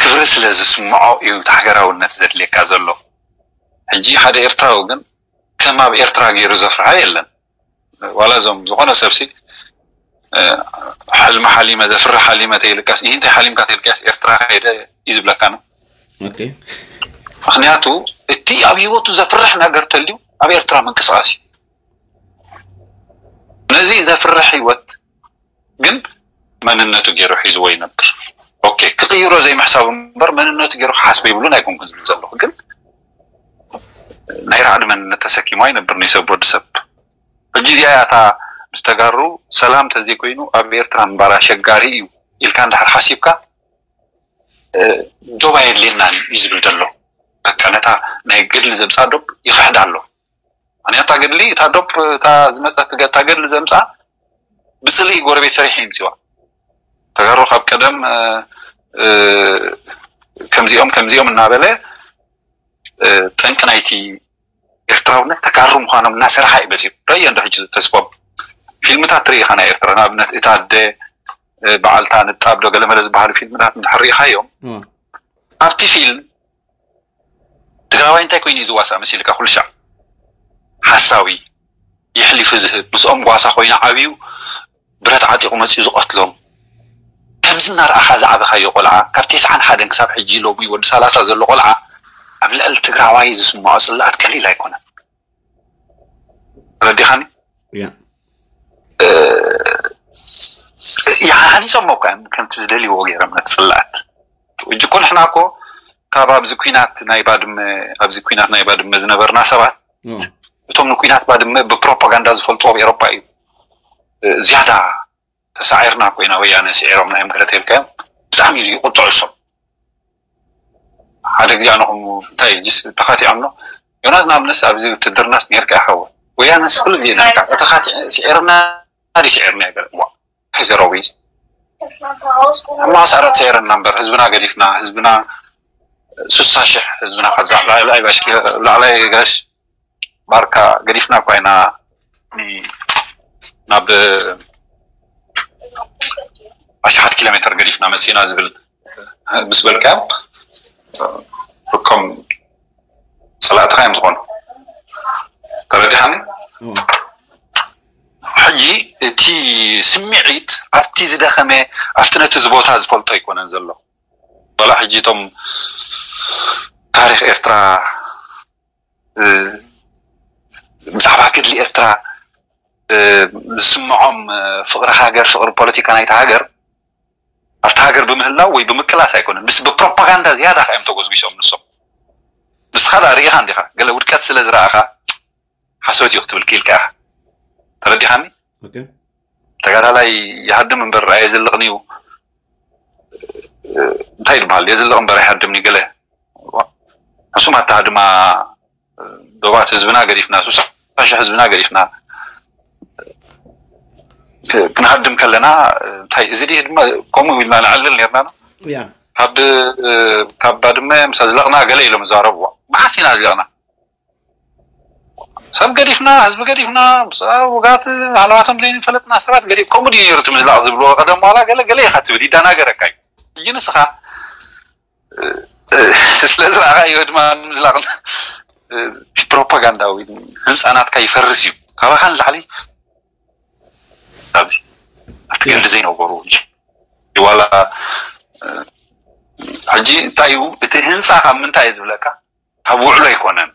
ክብሪ ስለ ዝስምዖ እዩ እቲ ሃገራውነት ዘድልየካ ዘሎ ሕጂ ሓደ ኤርትራዊ ግን ከም ኣብ ኤርትራ ገይሩ ዘፍርሖ የለን ዋላ እዞም ዝኾነ ሰብሲ ሕልሚ ሓሊመ ዘፍርሕ ሓሊመ ተይልካስ ይህ እንታይ ሓሊምካ ተይልካስ ኤርትራ ከይደ እዩ ዝብለካ ነው። Okay. ምክንያቱ እቲ ኣብ ህይወቱ ዘፍርሕ ነገር ተልዩ ኣብ ኤርትራ ምንቅስቃስ እዩ። ነዚ ዘፍርሕ ህይወት ግን መንነቱ ገይሩ ሒዝዎ ይነብር። Okay፣ ክቕይሮ ዘይምሕሳብ እምበር መንነቱ ገይሩ ክሓስበ ይብሉን ኣይኮንኩን ዝብል ዘለኹ፣ ግን ናይ ራዕዲ መንነት ተሰኪሙ ኣይነብር ንሰብ ወዲ ሰብ። ሕጂ እዚኣ እያ እታ ምስ ተጋሩ ሰላም ተዘይኮይኑ ኣብ ኤርትራ ምንባር ኣሸጋሪ እዩ ኢልካ እንድሕር ሓሲብካ ዶብ ኣየድልየናን እዩ ዝብል ዘሎ። በቃ ነታ ናይ ገድሊ ዘምፃ ዶብ ይኽሕዳ ኣሎ። ምክንያቱ እታ ገድሊ እታ ዶብ እታ ዝመፀት እታ ገድሊ ዘምፃ ብፅልኢ ጎረቤት ሰሪሕ ይምፅዋ። ተጋሩ ካብ ቀደም ከምዚኦም ከምዚኦም እናበለ ጠንቂ ናይቲ ኤርትራውነት ተጋሩ ምዃኖም እናሰርሓ እዩ በፂሑ። ረእዮ እንዶ ሕጂ ተስፎም ፊልምታት ትርኢ ኢኻ ናይ ኤርትራ፣ ንኣብነት እታ ኣደ በዓልታ ንጣብ ዶ ገለመለ ዝበሃሉ ፊልምታት እንድሕር ርኢኻዮም፣ ኣብቲ ፊልም ትግራዋይ እንታይ ኮይኑ እዩ ዝዋሳእ መሲልካ? ኩሉ ሻዕ ሓሳዊ፣ የሕሊፉ ዝህብ፣ ምስኦም ጓሳ ኮይኑ ዓብዩ ብረት ዓጢቑ መፂኡ ዝቐትሎም። ከምዚ እናረኣኻ ዝዓበኻዮ ቆልዓ ካብ ተስዓን ሓደን ክሳብ ሕጂ ሎሚ ወዲ ሰላሳ ዘሎ ቆልዓ ኣብ ልዕሊ ትግራዋይ ዝስምዖ ፅላኣት ቀሊል ኣይኮነን። ተረዲኻኒ? ያ ይሃኒፆሞ እኳ እዮም ከምቲ ዝደልይዎ ገይሮም ነቲ ፅላኣት። እጅ እኮ ንሕና እኮ ካብ ኣብዚ ኩናት ናይ ባድመ ኣብዚ ኩናት ናይ ባድመ ዝነበርና ሰባት እቶም ንኩናት ባድመ ብፕሮፓጋንዳ ዝፈልጥዎ ኣብ ኤሮፓ እዩ ዝያዳ ተሳዒርና ኮይና ወያነ ስዒሮምና እዮም ገለ ተልካዮም ብጣዕሚ እዩ ቁጥዑ እሶም። ሓደ ግዜ ኣነ ከምኡ እንታይ ጅስ ተኻቲዖም ነው ዮናስ ንኣብነስ ኣብዚ ውትድርናስ ነርካ ይኸውን ወያነስ ኩሉ ግዜ ነርካ ተኻቲ ስዒርና ዲ ስዒርና ይገለ ዋ ሕዘረዊ ማሳረት ስዒርና እምበር ህዝብና ገዲፍና ህዝብና ሱሳ ሽሕ ህዝብና ካብዛ ላዕላይ ጋሽ ላዕላይ ጋሽ ባርካ ገዲፍና እኳ ኢና ናብ ኣሽሓት ኪሎ ሜትር ገዲፍና መፂና ዝብል ምስ በልካዮም እኮም ፀላእትኻ እዮም ዝኾኑ። ተረዲኻኒ? ሕጂ እቲ ስምዒት ኣብቲ ዝደኸመ ኣብቲ ነቲ ዝቦታ ዝፈልጦ ኣይኮነን ዘሎ። ዋላ ሕጂ እቶም ታሪክ ኤርትራ ብዛዕባ ገድሊ ኤርትራ ዝስምዖም ፍቅሪ ሃገር ፍቅሪ ፖለቲካ ናይቲ ሃገር ኣብቲ ሃገር ብምህላው ወይ ብምቅላስ ኣይኮነን ምስ ብፕሮፓጋንዳ ዝያዳ ከዮም ተጎዝቢሶም ንሶም። ንስኻ ዳ ርኢኻ እንዲኻ ገለ ውድቀት ስለ ዝረኣኻ ሓሶት እዩ ክትብል ክኢልካ ኢኻ። ተረዲኻኒ? ተጋዳላይ ይሃድም እምበር ኣየዝልቕን እዩ እንታይ ይበሃል የዝልቕ እምበር ኣይሃድምን እዩ ገለ ሕሱማት ተሃድማ ዶባት ህዝብና ገዲፍና ሱሳ ሽሕ ህዝብና ገዲፍና ክንሃድም ከለና እንታይ እዚ ድዩ ድማ ከምኡ ኢልና ንዕልል ነርና ነው ካብ ካብ ባድመ ምስ ኣዝለቕና ገለ ኢሎም ዝዛረብዎ መዓስ ኢና ኣዝለቕና ሰብ ገዲፍና ህዝቢ ገዲፍና ውጋት ሃለዋቶም ዘይንፈለጥና ሰባት ገዲፍ ከምኡ ድዩ ነይሩ እቲ ምዝላቕ ዝብልዎ ቀደም ዋላ ገለ ገለ ኢኻ ትብል ይዳናገረካ እዩ ሕጂ ንስኻ ስለዚ ኣኻዮ ድማ ምዝላቕ ፕሮፓጋንዳዊ ህንፃናትካ ይፈርስ እዩ ካባኻ ንላዕሊ ኣብዚ ኣብቲ ገንዲ ዘይነበሩ ዋላ ሕጂ እንታይ እዩ እቲ ህንፃ ካብ ምንታይ እዩ ዝብለካ ካብ ውዕሎ ኣይኮነን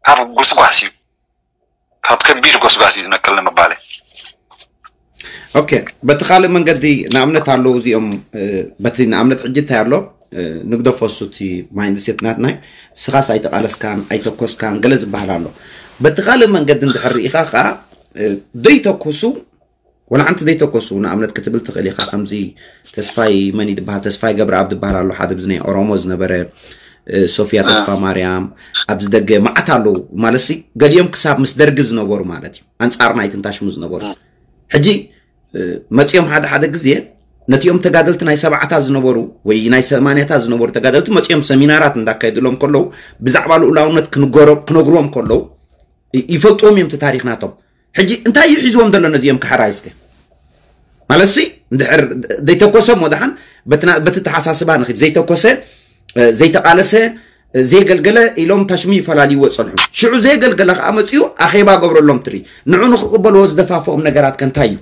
ካብ ጉስጓስ እዩ ካብ ከቢድ ጎስጓስ እዩ ዝነቅል ንምባል ኦኬ በቲ ካልእ መንገዲ ንኣብነት ኣለዉ እዚኦም በቲ ንኣብነት ሕጂ እንታይ ኣሎ ንግደፎ እሱ እቲ ማይንድሴት ናትናይ ስኻስ ኣይተቃለስካን ኣይተኮስካን ገለ ዝበሃል ኣሎ በቲ ካልእ መንገዲ እንድሕር ርኢኻ ከዓ ዘይተኩሱ ወላ ሓንቲ ዘይተኮሱ ንኣብነት ክትብል ትኽእል ኢኻ ከምዚ ተስፋይ መን ዝበሃል ተስፋይ ገብረኣብ ዝበሃል ኣሎ ሓደ ብዚ ናይ ኦሮሞ ዝነበረ ሶፊያ ተስፋ ማርያም ኣብዚ ደገ መዓት ኣለዉ ማለት ሲ ገዲኦም ክሳብ ምስ ደርጊ ዝነበሩ ማለት እዩ ኣንፃር ናይ ትንታሽሙ ዝነበሩ ሕጂ መፂኦም ሓደ ሓደ ግዜ ነቲኦም ተጋደልቲ ናይ ሰብዓታት ዝነበሩ ወይ ናይ ሰማንያታት ዝነበሩ ተጋደልቲ መፂኦም ሰሚናራት እንዳካየድሎም ከለዉ ብዛዕባ ልኡላውነት ክነግሮም ከለዉ ይፈልጥዎም እዮም እቲ ታሪክ ናቶም ሕጂ እንታይ እዩ ሒዝዎም ዘሎ ነዚኦም ክሓራይ እስከ ማለትሲ እንድሕር ዘይተኮሰ ሞ ደሓን በቲ ተሓሳስባ ንክድ ዘይተኮሰ ዘይተቃለሰ ዘየገልገለ ኢሎም ታሽሙ ይፈላልይዎ ፀንሑ ሽዑ ዘየገልገለ ከዓ መፅኡ ኣኼባ ገብረሎም ትሪ ንዑ ንክቅበልዎ ዝደፋፍኦም ነገራት ከንታይ እዩ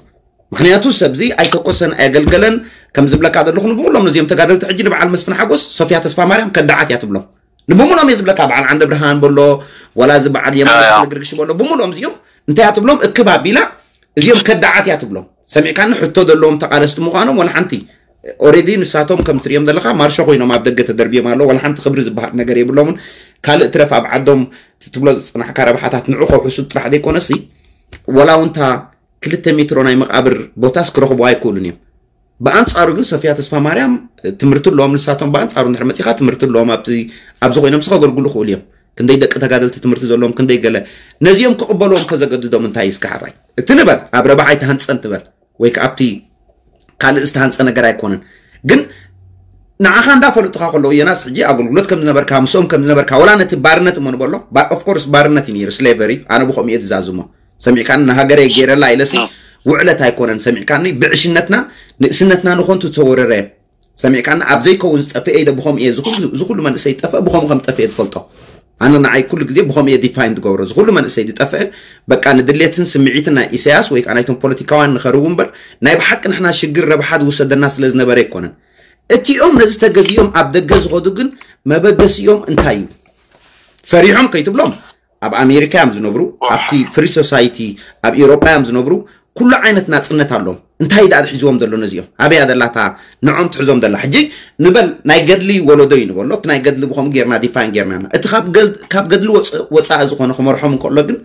ምክንያቱ ሰብዚ ኣይተኮሰን ኣየገልገለን። ከም ዝብለካ ዘለኹ ንብሙሎም ነዚኦም ተጋደልቲ ሕጂ ንበዓል መስፍን ሓጎስ ሶፊያ ተስፋ ማርያም ከዳዓት እያ ትብሎም። ንብሙሎም እየ ዝብለካ፣ በዓል ዓንደ ብርሃን በሎ፣ ዋላ እዚ በዓል የማነ ተክለ ግርግሽ በሎ፣ ብሙሎም እዚኦም እንታይ እያ ትብሎም? እክብ ኣቢላ እዚኦም ከዳዓት እያ ትብሎም። ሰሚዕካኒ? ሕቶ ዘለዎም ተቃለስቲ ምዃኖም ወላ ሓንቲ። ኦሬዲ ንሳቶም ከም ትሪኦም ዘለካ ማርሾ ኮይኖም ኣብ ደገ ተደርብዮም ኣለዉ። ወላ ሓንቲ ክብሪ ዝበሃል ነገር የብሎምን። ካልእ ትረፍ ኣብ ዓዶም ትብሎ ዝፅናሕካ ረብሓታት ንዑ ከውሕሱ ጥራሕ ዘይኮነሲ፣ ወላ እውን እታ ክልተ ሜትሮ ናይ መቃብር ቦታስ ክረኽቡ ኣይክእሉን እዮም። ብኣንፃሩ ግን ሰፊያ ተስፋ ማርያም ትምህርቲ ኣለዎም። ንሳቶም ብኣንፃሩ እንድሕር መፂኻ ትምህርቲ ኣለዎም። ኣብዚ ኣብዚ ኮይኖም ስኸገልግሉ ክእሉ እዮም። ክንደይ ደቂ ተጋደልቲ ትምህርቲ ዘለዎም፣ ክንደይ ገለ። ነዚኦም ክቕበልዎም ከዘገድዶም እንታይ እስከ ሓራይ እቲ ንበል ኣብ ረብሓ ኣይተሃንፀን ትበል ወይ ከዓ ኣብቲ ካልእ ዝተሃንፀ ነገር ኣይኮነን። ግን ንዓኻ እንዳፈለጡኻ ከለዉ የናስ ሕጂ ኣገልግሎት ከም ዝነበርካ ምስኦም ከም ዝነበርካ ወላ ነቲ ባርነት እሞ ንበሎ። ኦፍኮርስ ባርነት እዩ ነይሩ፣ ስሌቨሪ። ኣነ ብኸምኡ እየ ዝዛዝሞ። ሰሚዕካን ንሃገረይ ገይረላ ኢለሲ ውዕለት ኣይኮነን። ሰሚዕካኒ? ብዕሽነትና ንእስነትና ንኾንቱ ዝተወረረ ሰሚዕካኒ? ኣብ ዘይከውን ዝጠፍአ ኢለ ብኸምኡ እየ ዝኹሉ ዝኹሉ መንእሰይ ጠፍአ ብኸምኡ ከም ጠፍአ ትፈልጦ። ኣነ ንዓይ ኩሉ ግዜ ብኸምኡ እየ ዲፋይን ትገብሮ። ዝኹሉ መንእሰይ ዝጠፍአ በቃ ንድሌትን ስምዒትን ናይ ኢሳያስ ወይ ከዓ ናይቶም ፖለቲካውያን ንኸርቡ እምበር ናይ ብሓቂ ንሕና ሽግር ረብሓ ዝውሰደና ስለ ዝነበረ ኣይኮነን። እቲኦም ነዚ ተገዚኦም ኣብ ደገ ዝኸዱ ግን መበገሲኦም እንታይ እዩ? ፈሪሖም ከይትብሎም ኣብ ኣሜሪካ እዮም ዝነብሩ፣ ኣብቲ ፍሪ ሶሳይቲ ኣብ ኤውሮጳ እዮም ዝነብሩ። ኩሉ ዓይነት ናጽነት ኣለዎም። እንታይ ደኣ ሒዝዎም ዘሎ ነዚኦም? ኣበያ ደላታ ንዖም ትሕዞም ደላ? ሕጂ ንበል ናይ ገድሊ ወለዶ እዩ ንበሎ። እቲ ናይ ገድሊ ብኸምኡ ጌርና ዲፋይን ጌርና ኣለና። እቲ ካብ ገል- ካብ ገድሊ ወፅ- ወፃኢ ዝኾነ ክመርሖም እንከሎ ግን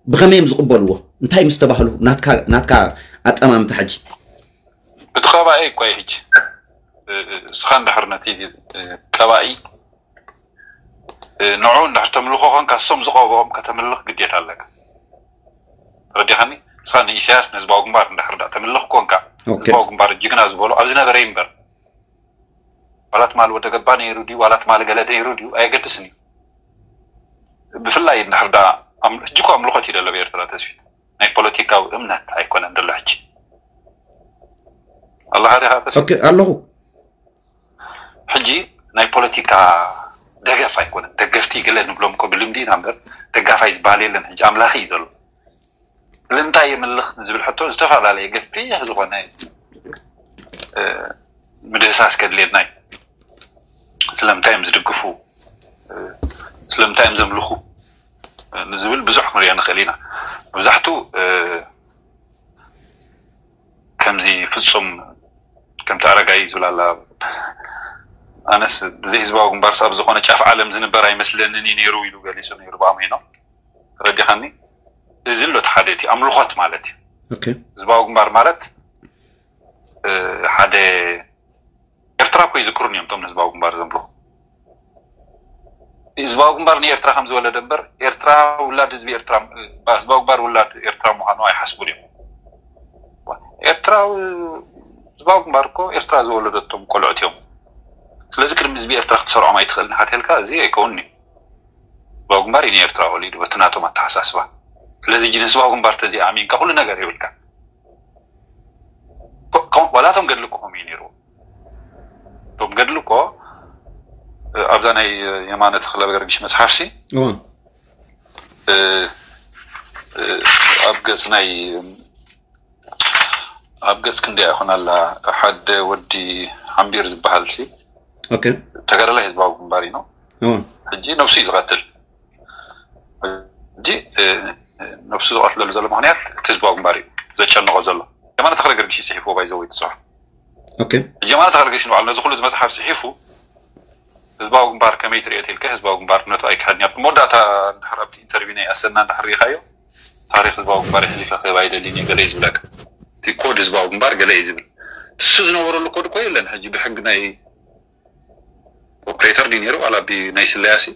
ብኸመይ እዮም ዝቕበልዎ? እንታይ ምስ ተባህሉ? ናትካ ናትካ ኣጠማምታ ሕጂ እቲ ከባኢ እኮ እዩ ሕጂ እ- እ- እስኻ እንድሕር ነቲ እ- ቀባኢ እ፣ ንዑ እንድሕር ተምልኾ ኮንካ እሶም ዝቐብኦም ከተምልኽ ግዴታ ኣለካ። ረዲኻኒ? ንስኻ ንኢሳያስ ንህዝባዊ ግንባር እንድሕር ዳ ተምልኽ ኮንካ ኦኬ። ህዝባዊ ግንባር ጅግና ዝበሎ ኣብ ዝነበረ ይንበር ዋላ ትማሊ ወደ ገባ ነይሩ ድዩ ዋላ ትማሊ ገለ ነይሩ ድዩ ኣየገድስን እዩ። ብፍላይ እንድሕር ዳ ኣም- ሕጂ እኮ ኣምልኾት እዩ ደሎ ብኤርትራ ተስፊ ናይ ፖለቲካዊ እምነት ኣይኮነን ደሎ ሕጂ ኣለኻ ዲኻ ተስፊ ኦኬ ኣለኹ። ሕጂ ናይ ፖለቲካ ደገፍ ኣይኮነን። ደገፍቲ ገለ ንብሎም እኮ ብልምዲ ኢና እምበር ደጋፋይ ዝበሃል የለን። ሕጂ ኣምላኺ እዩ ዘሎ። ልምንታይ የምልኽ ንዝብል ሕቶ ዝተፈላለየ ገፊሕ ዝኾነ እ፣ ምድህሳስ ከድልየና እዩ። ስለምንታይ እዮም ዝድግፉ? እ፣ ስለምንታይ እዮም ዘምልኹ? እ፣ ንዝብል ብዙሕ ክንሪኦ ንኽእል ኢና። መብዛሕቱ እ፣ ከምዚ ፍጹም ከምቲ ኣረጋይ ዝብል ኣላ ኣነስ ብዘይ ህዝባዊ ግንባርስ ኣብ ዝኾነ ጫፍ ዓለም ዝንበር ኣይመስለንን እዩ ነይሩ ኢሉ ገሊጹ ነይሩ ብኣምሄኖ ረዲኻኒ እዚ ኣሎ እቲ ሓደ እቲ ኣምልኾት ማለት እዩ ኦኬ ህዝባዊ ግንባር ማለት እ፣ ሓደ ኤርትራ እኮ ይዝክሩን እዮም እቶም ንህዝባዊ ግንባር ዘምልኹ ህዝባዊ ግንባር ንኤርትራ ከም ዝወለደ እምበር ኤርትራ ውላድ ህዝቢ ኤርትራ ህዝባዊ ግንባር ውላድ ኤርትራ ምዃኑ ኣይሓስቡን እዮም ኤርትራዊ ህዝባዊ ግንባር እኮ ኤርትራ ዝወለደቶም ቆልዑት እዮም ስለዚ ቅድሚ ህዝቢ ኤርትራ ክትሰርዖም ኣይትኽእልን ሓትልካ እዚ ኣይከውንኒ ህዝባዊ ግንባር እዩ ንኤርትራ ወሊዱ በቲ ናቶም ኣተሓሳስባ ስለዚ ጅን ህዝባዊ ግንባር ተዚ ኣሚንካ ኩሉ ነገር ይብልካ ዋላቶም ገድሊ እኮ ከምኡ እዩ ነይሩ እቶም ገድሊ እኮ ኣብዛ ናይ የማነ ተኽለ ገርግሽ መፅሓፍሲ እዋ ኣብ ገፅ ናይ ኣብ ገፅ ክንደያ ይኾን ኣላ ሓደ ወዲ ሓምቢር ዝበሃል ሲ ኦኬ ተጋዳላይ ህዝባዊ ግንባር እዩ ነው እዋ ሕጂ ነብሱ እዩ ዝቐትል ሕጂ ነብሱ ዝቐትለሉ ዘሎ ምክንያት እቲ ህዝባዊ ግንባር እዩ ዘጨንቆ ዘሎ የማነ ተኽለ ገርግሽ እዩ ፅሒፍዎ ባይዘወይ እቲ ፅሑፍ ኦኬ ሕጂ የማነ ተኽለ ገርግሽ ንባዕሉ ነዚ ኩሉ እዚ መፅሓፍ ፅሒፉ ህዝባዊ ግንባር ከመይ ትሪኦ ኢልካ ህዝባዊ ግንባር ነቱ ኣይክሓድን ኣብ መወዳእታ እንድሕር ኣብቲ ኢንተርቪው ናይ ኣሰና እንድሕር ሪኢኻዮ ታሪክ ህዝባዊ ግንባር የሕሊፈ ክህብ ኣይደልን እየ ገለ እዩ ዝብለካ እቲ ኮድ ህዝባዊ ግንባር ገለ እዩ ዝብል እሱ ዝነበረሉ ኮድ እኮ የለን ሕጂ ብሕጊ ናይ ኦፕሬተር ድዩ ነይሩ ዋላ ብ ናይ ስለያሲ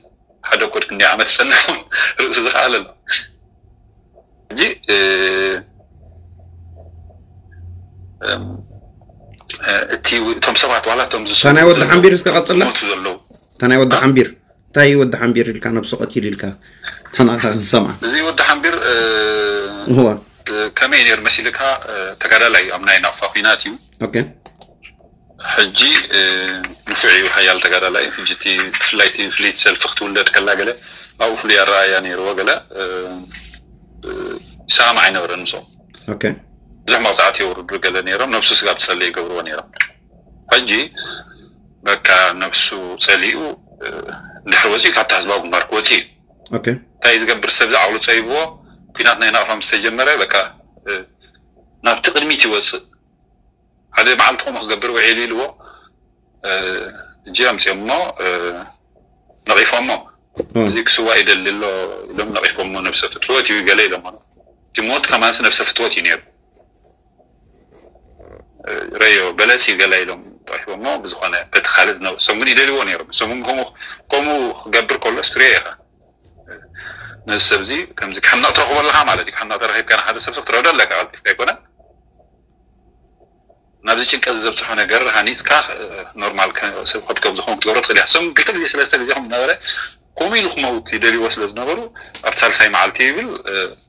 ሓደ ኮድ ክንደይ ዓመት ዝፀንሕ እውን ርእሱ ዝኸኣለ ኣሎ ሕጂ እ፣ እም፣ እ፣ እቲ እቶም ሰባት ዋላ እቶም ዝስ- እታ ናይ ወዲ ሓምቢር እስከ ቀፅልና ሞቱ ዘለዉ እታ ናይ ወዲ ሓምቢር እንታይ እዩ ወዲ ሓምቢር ኢልካ ነብሱ ቀቲሉ ኢልካ ተናኻ ንሰምዓ እዚ ወዲ ሓምቢር እ፣ እዋ እ፣ ከመይ ነይሩ መሲልካ እ፣ ተጋዳላይ ኣብ ናይ ናቕፋ ኩናት እዩ ኦኬ ሕጂ እ፣ ንፉዕ እዩ ሓያል ተጋዳላይ እዩ ሕጂ እቲ ብፍላይ እቲ ፍልይቲ ሰልፊ ክትውለድ ከላ ገለ ኣብኡ ፍሉይ ኣረኣያ ነይርዎ ገለ እ፣ እ፣ ሰላም ኣይነበረን ምስኦም ኦኬ ብዙሕ መቕፃዕቲ የውርዱ ገለ ነይሮም። ነብሱ ስጋብ ዝፀልእ ይገብርዎ ነይሮም። ሕጂ በቃ ነብሱ ፀሊኡ ድሕሪ ወፂኡ ካብታ ህዝባዊ ግንባር ክወፅእ እዩ። እንታይ ዝገብር ሰብ ዝዓውሉ ፀይብዎ። ኩናት ናይ ናቕፋ ምስ ተጀመረ በቃ ናብቲ ቅድሚት ይወፅእ። ሓደ መዓልቲ ከምኡ ክገብር ውዒሉ ኢልዎ። እጂ ኣምፅኦሞ ነቒፎሞ። እዚ ክስዋ ይደሊ ኣሎ ኢሎም ነቒፎሞ። ነብሰ ፍትወት እዩ ገለ ኢሎሞ። እቲ ሞት ከማንስ ነብሰ ፍትወት እዩ ነይሩ። ረዮ በለፂ ገለ ኢሎም ጠፊቦሞ። ብዝኾነ በቲ ካልእ ዝነበሩ ሰሙን ይደልዎ ነይሮም። ሰሙን ከምኡ ክገብር ከሎ ስትሪዮ ኢኻ ነዚ ሰብ እዚ ከምዚ ክሕነቕ ትረኽቦ ኣለኻ ማለት እዩ። ክሕነቕ ተረኺብካ ንሓደ ሰብ ሰብ ትረዶ ኣለካ ቀልጢፍካ ኣይኮነን። ናብዚ ጭንቀት ዘብፅሖ ነገር ሃኒፅካ ኖርማል ሰብ ከትከም ዝኾን ክትገብሮ ትኽእል እያ። ሰሙን ክልተ ግዜ ሰለስተ ግዜ ከም ነበረ ከምኡ ኢሉ ክመውት ይደልዎ ስለ ዝነበሩ ኣብ ሳልሳይ መዓልቲ ይብል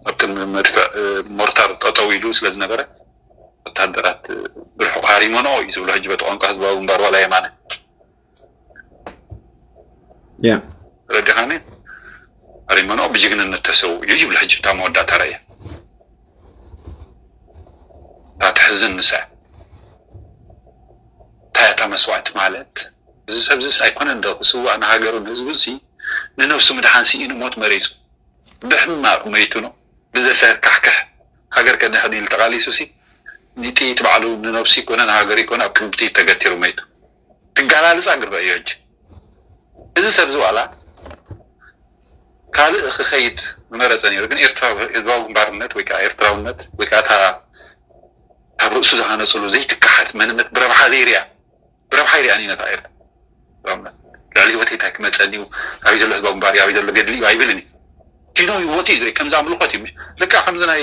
ኣብ ቅድሚ መድፍዕ ሞርታር ጠጠው ኢሉ ስለ ዝነበረ ወታደራት ብርሑቕ ሃሪሞኖ እዩ ዝብሎ ሕጂ በቲ ቋንቋ ህዝባዊ ግንባር ዋላ የማነ ያ ረዲኻኒ ሃሪሞኖ ብጅግንነት ተሰው እዩ ይብል ሕጂ እታ መወዳእታ ራእየ እታ ተሕዝን ንሳ እንታይ እታ መስዋእቲ ማለት እዚ ሰብ ዝስ ኣይኮነን ዶ ክስዋእ ንሃገሩ ንህዝቡ ሲ ንነብሱ ምድሓን ስኢኑ ሞት መሪፁ ብሕማቕ መይቱ ነው ብዘሰካሕክሕ ሃገር ከድሕን ኢሉ ተቓሊሱ ሲ ንጥይት ባዕሉ ንነብሱ ይኮነ ንሃገር ይኮነ ኣብ ክንዲ ጥይት ተገቲሩ መይቱ ትጋላልፃ ግርበ እዩ ሕጂ እዚ ሰብ ዝዋላ ካልእ ክኸይድ ምመረፀ ነይሩ ግን ኤርትራ ህዝባዊ ግንባርነት ወይ ከዓ ኤርትራውነት ወይ ከዓ እታ ካብ ርእሱ ዝሃነፅሉ ዘይትካሓድ መንነት ብረብሓ ዘይርያ ብረብሓ ይርያ ነታ ኤርትራ ልዕሊ ህይወተይ እንታይ ክመፀኒ እዩ ኣበይ ዘሎ ህዝባዊ ግንባር እዩ ኣበይ ዘሎ ገድሊ እዩ ኣይብልን እዩ ኪኖ ህይወቱ እዩ ዝርኢ ከምዚ ኣምልኾት እዩ ልካ ከምዚ ናይ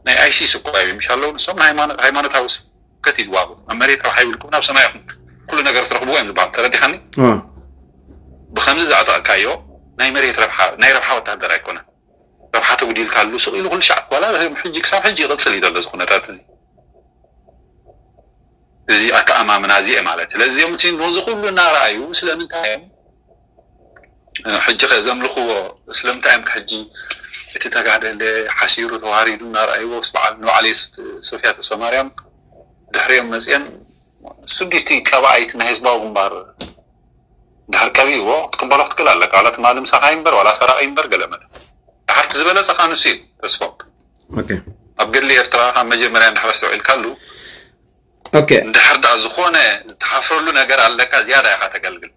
ናይ ኣይሲስ እኮ እዩ ምሽ ኣለዉ ንሶም ሃይማኖታዊ ስብከት እዩ ዝዋሃቡ ኣብ መሬት ረብሓ ይብልኩም ናብ ሰማይ ይኹም ኩሉ ነገር ትረኽብዎ እዮም ዝበሃል ተረዲኻኒ ብከምዚ ዘዕጠቕካዮ ናይ መሬት ረብሓ ናይ ረብሓ ወታደር ኣይኮነን ረብሓ ተጉዲልካሉ ስቕ ኢሉ ኩሉ ሻዕ ዋላ ሕጂ ክሳብ ሕጂ ይቕፅል እዩ ዘሎ እዚ ኩነታት እዚ እዚ ኣተኣማምና እዚ ማለት ስለዚ እዚኦም ነዚ ኩሉ እናረኣዩ ስለምንታይ እዮም ሕጂ ከ ዘምልኽዎ ስለምንታይ እዮም ሕጂ እቲ ተጋደለ ሓሲሩ ተዋሪዱ እናረኣይዎ ስ በዓል ንባዕለይ ሶፊያ ተስፋ ማርያም ድሕሪኦም መፅኦም ስዱይቲ ቀባኣይት ናይ ህዝባዊ ግንባር ድሕር ቀቢእዎ ክትቅበሎ ክትክእል ኣለካ ዋላ ትማሊ ምሳኻ ይንበር ዋላ ሰራቂ ይንበር ገለ መለ ድሓርቲ ዝበለፀ ካንሱ እዩ ተስፎም ኣብ ገድሊ ኤርትራ ካብ መጀመርያ እንድሕር ኣስተውዒልካሉ ኦኬ እንድሕር ዳ ዝኾነ ዝተሓፍረሉ ነገር ኣለካ ዝያዳ ኢኻ ተገልግል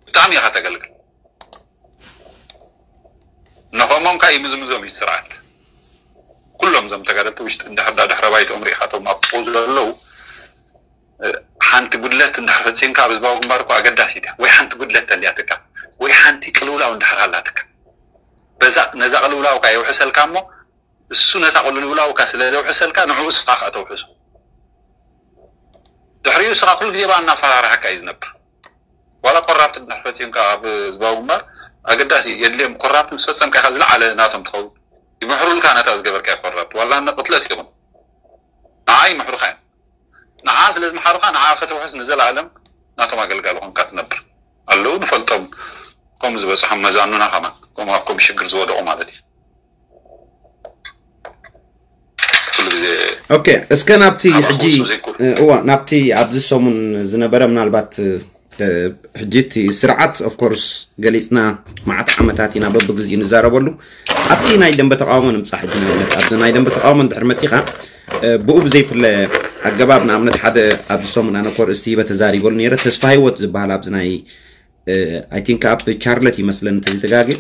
ብጣዕሚ ኢኻ ተገልግል ንኸሞም ካ ይምዝምዞም እዩ ስርዓት ኩሎም ዞም ተጋደልቲ ውሽጢ እንድሕር ዳ ድሕረ ባይትኦም ርኢኻቶም ኣብ ጥቑ ዘለዉ ሓንቲ ጉድለት እንድሕር ፈፂምካ ኣብ ህዝባዊ ግንባር እኮ ኣገዳሲት እያ ወይ ሓንቲ ጉድለት ተልያትካ ወይ ሓንቲ ቅልውላው እንድሕር ሃላትካ በዛ ነዛ ቅልውላውካ የውሕሰልካ እሞ እሱ ነታ ቅልውላውካ ስለ ዘውሕሰልካ ንዕኡ ስኻ ከዓ ተውሕሶ ድሕሪኡ ስኻ ኩሉ ግዜ በኣ እናፈራርሓካ እዩ ዝነብር ዋላ ኮራፕት እንድሕር ፈፂምካ ኣብ ህዝባዊ ግንባር ኣገዳሲ የድልዮም ኮራፕት ምስ ፈፀምካ ኢኻ ዝለዓለ ናቶም ትኸውን ይምሕሩልካ ነታ ዝገበርካ ኮራፕት ዋላ ቅትለት ይኹን ንዓ ይምሕሩኻ እዮም ንዓ ስለ ዝመሓሩኻ ንዓ ከተውሕስ ንዘለኣለም ናቶም ኣገልጋሊ ኮንካ ትነብር ኣለዉ ንፈልጦም ከም ዝበፅሖም መዛኑና ከማን ከም ኣብ ከም ሽግር ዝወደቑ ማለት እዩ ኩሉ ግዜ ኦኬ እስከ ናብቲ ሕጂ እዋ ናብቲ ኣብዚ ሰሙን ዝነበረ ምናልባት ሕጂ እቲ ስርዓት ኦፍኮርስ ገሊፅና መዓት ዓመታት ኢና በብግዚኡ ንዛረበሉ ኣብቲ ናይ ደንበ ተቃውሞ ንምፃእ ሕጂ ንኣብነት ኣብዚ ናይ ደንበ ተቃውሞ እንድሕር መፂኻ ብኡ ብዘይፍለ ኣገባብ ንኣብነት ሓደ ኣብዚ ሰሙን ኣነ ኮርእስቲ ሂበ ተዛሪበሉ ነይረ ተስፋ ህይወት ዝበሃል ኣብዚ ናይ ኣይ ቲንክ ኣብ ቻርለት ይመስለኒ ተዘይተጋግየ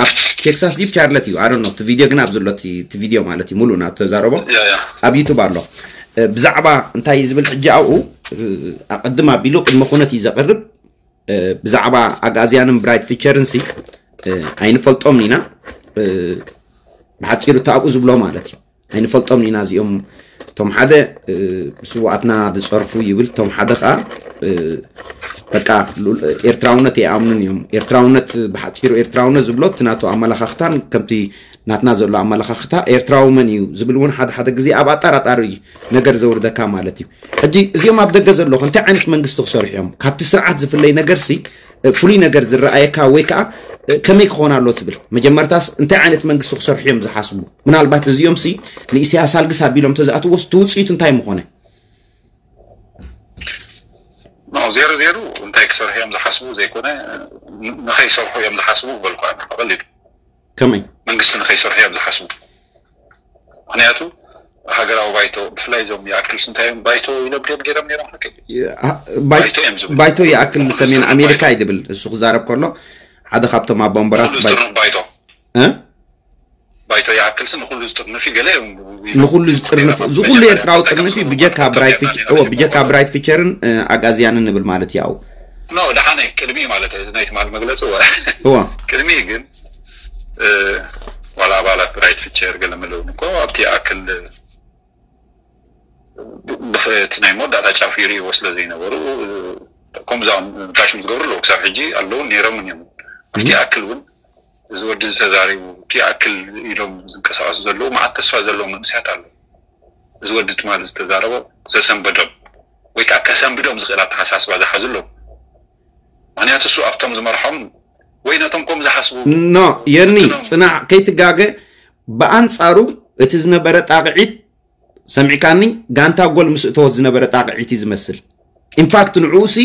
ኣብ ቴክሳስ ዲብ ቻርለት እዩ ኣዶ ነው ቪድዮ ግን ኣብ ዘሎ እቲ ቪድዮ ማለት እዩ ሙሉእ ናቱ ተዛረቦ ኣብ ዩቱብ ኣሎ ብዛዕባ እንታይ ዝብል ሕጂ ኣብኡ ኣቐድም ኣቢሉ ቅድመ ኩነት እዩ ዘቕርብ ብዛዕባ ኣግኣዝያንን ብራይት ፊቸርን ሲ ኣይንፈልጦም ኢና ብሓፂሩ ተኣብኡ ዝብሎ ማለት እዩ ኣይንፈልጦም ኢና እዚኦም እቶም ሓደ ብስዋኣትና ዝፀርፉ ይብል እቶም ሓደ ከዓ በቃ ኤርትራውነት የኣምኑን እዮም ኤርትራውነት ብሓፂሩ ኤርትራውነት ዝብሎ እቲ ናቱ ኣመላኻኽታን ከምቲ ናትና ዘሎ ኣመላኻኽታ ኤርትራዊ መን እዩ ዝብል እውን ሓደ ሓደ ግዜ ኣብ ኣጣራጣሪ ነገር ዘውርደካ ማለት እዩ ሕጂ እዚኦም ኣብ ደገ ዘለኹ እንታይ ዓይነት መንግስቲ ክሰርሑ እዮም ካብቲ ስርዓት ዝፍለይ ነገር ሲ ፍሉይ ነገር ዝረኣየካ ወይ ከዓ ከመይ ክኾን ኣሎ ትብል? መጀመርታስ እንታይ ዓይነት መንግስቲ ክሰርሑ እዮም ዝሓስቡ? ምናልባት እዚኦም ሲ ንኢሳያስ ኣልግስ ኣቢሎም ተዝኣትዎስ እቲ ውፅኢቱ እንታይ ምኾነ? ዜሮ ዜሮ እንታይ ክሰርሑ እዮም ዝሓስቡ ዘይኮነ ንኸይሰርሑ እዮም ዝሓስቡ በልኳ። ቀሊሉ ከመይ መንግስቲ ንኸይሰርሑ እዮም ዝሓስቡ። ምክንያቱ ሃገራዊ ባይቶ ብፍላይ እዞም ይኣክል ስንታዮም ባይቶ ኢሎም ድዮም ገይሮም ነይሮም ሓቂ ባይቶ እዮም ዝብሉ። ባይቶ ይኣክል ሰሜን ኣሜሪካ እዩ ዝብል እሱ ክዛረብ ከሎ ሓደ ካብቶም ኣቦንበራት ንኹሉ ዝጥርንፍ ባይቶ እ? ባይቶ ይኣክል ስ ንኹሉ ዝጥርንፍ እዩ ገለ እዮም ንኹሉ ዝጥርንፍ እዚ ኩሉ ኤርትራዊ ጥርንፍ እዩ ብጀካ ብራይት ፊቸ- እዎ፣ ብጀካ ብራይት ፊቸርን እ፣ ኣጋዝያንን ንብል ማለት እዩ። ኖ ደሓነ ቅድሚ ማለት እዩ ናይ ትማል መግለፂ ወ እዎ ቅድሚ ግን እ፣ ዋላ ኣባላት ብራይት ፊቸር ገለ መለውን እኮ ኣብቲ ይኣክል ብኸ- እቲ ናይ መወዳእታ ጫፍ ይርእይዎ ስለ ዘይነበሩ እ፣ ከምዛም ጋሽም ዝገብሩ ኣለዉ ክሳብ ሕጂ ኣለዉ ነይሮምን እዮም። ኣብቲ ይኣክል እውን እዚ ወዲ ዝተዛሪቡ እቲ ይኣክል ኢሎም ዝንቀሳቀሱ ዘለዉ መዓት ተስፋ ዘለዎም መንእሰያት ኣለዉ። እዚ ወዲ ትማል ዝተዛረቦ ዘሰንበዶም ወይ ከዓ ከሰንብዶም ዝኽእል ኣተሓሳስባ ዝሓዙ ኣለዉ። ምክንያቱ እሱ ኣብቶም ዝመርሖም ወይ ነቶም ከም ዝሓስቡ ኖ የኒ ጽናዕ ከይትጋገ ብኣንጻሩ እቲ ዝነበረ ጣቕዒት ሰሚዕካኒ ጋንታ ጎል ምስ እተወት ዝነበረ ጣቕዒት እዩ ዝመስል ኢንፋክት ንዕኡ ሲ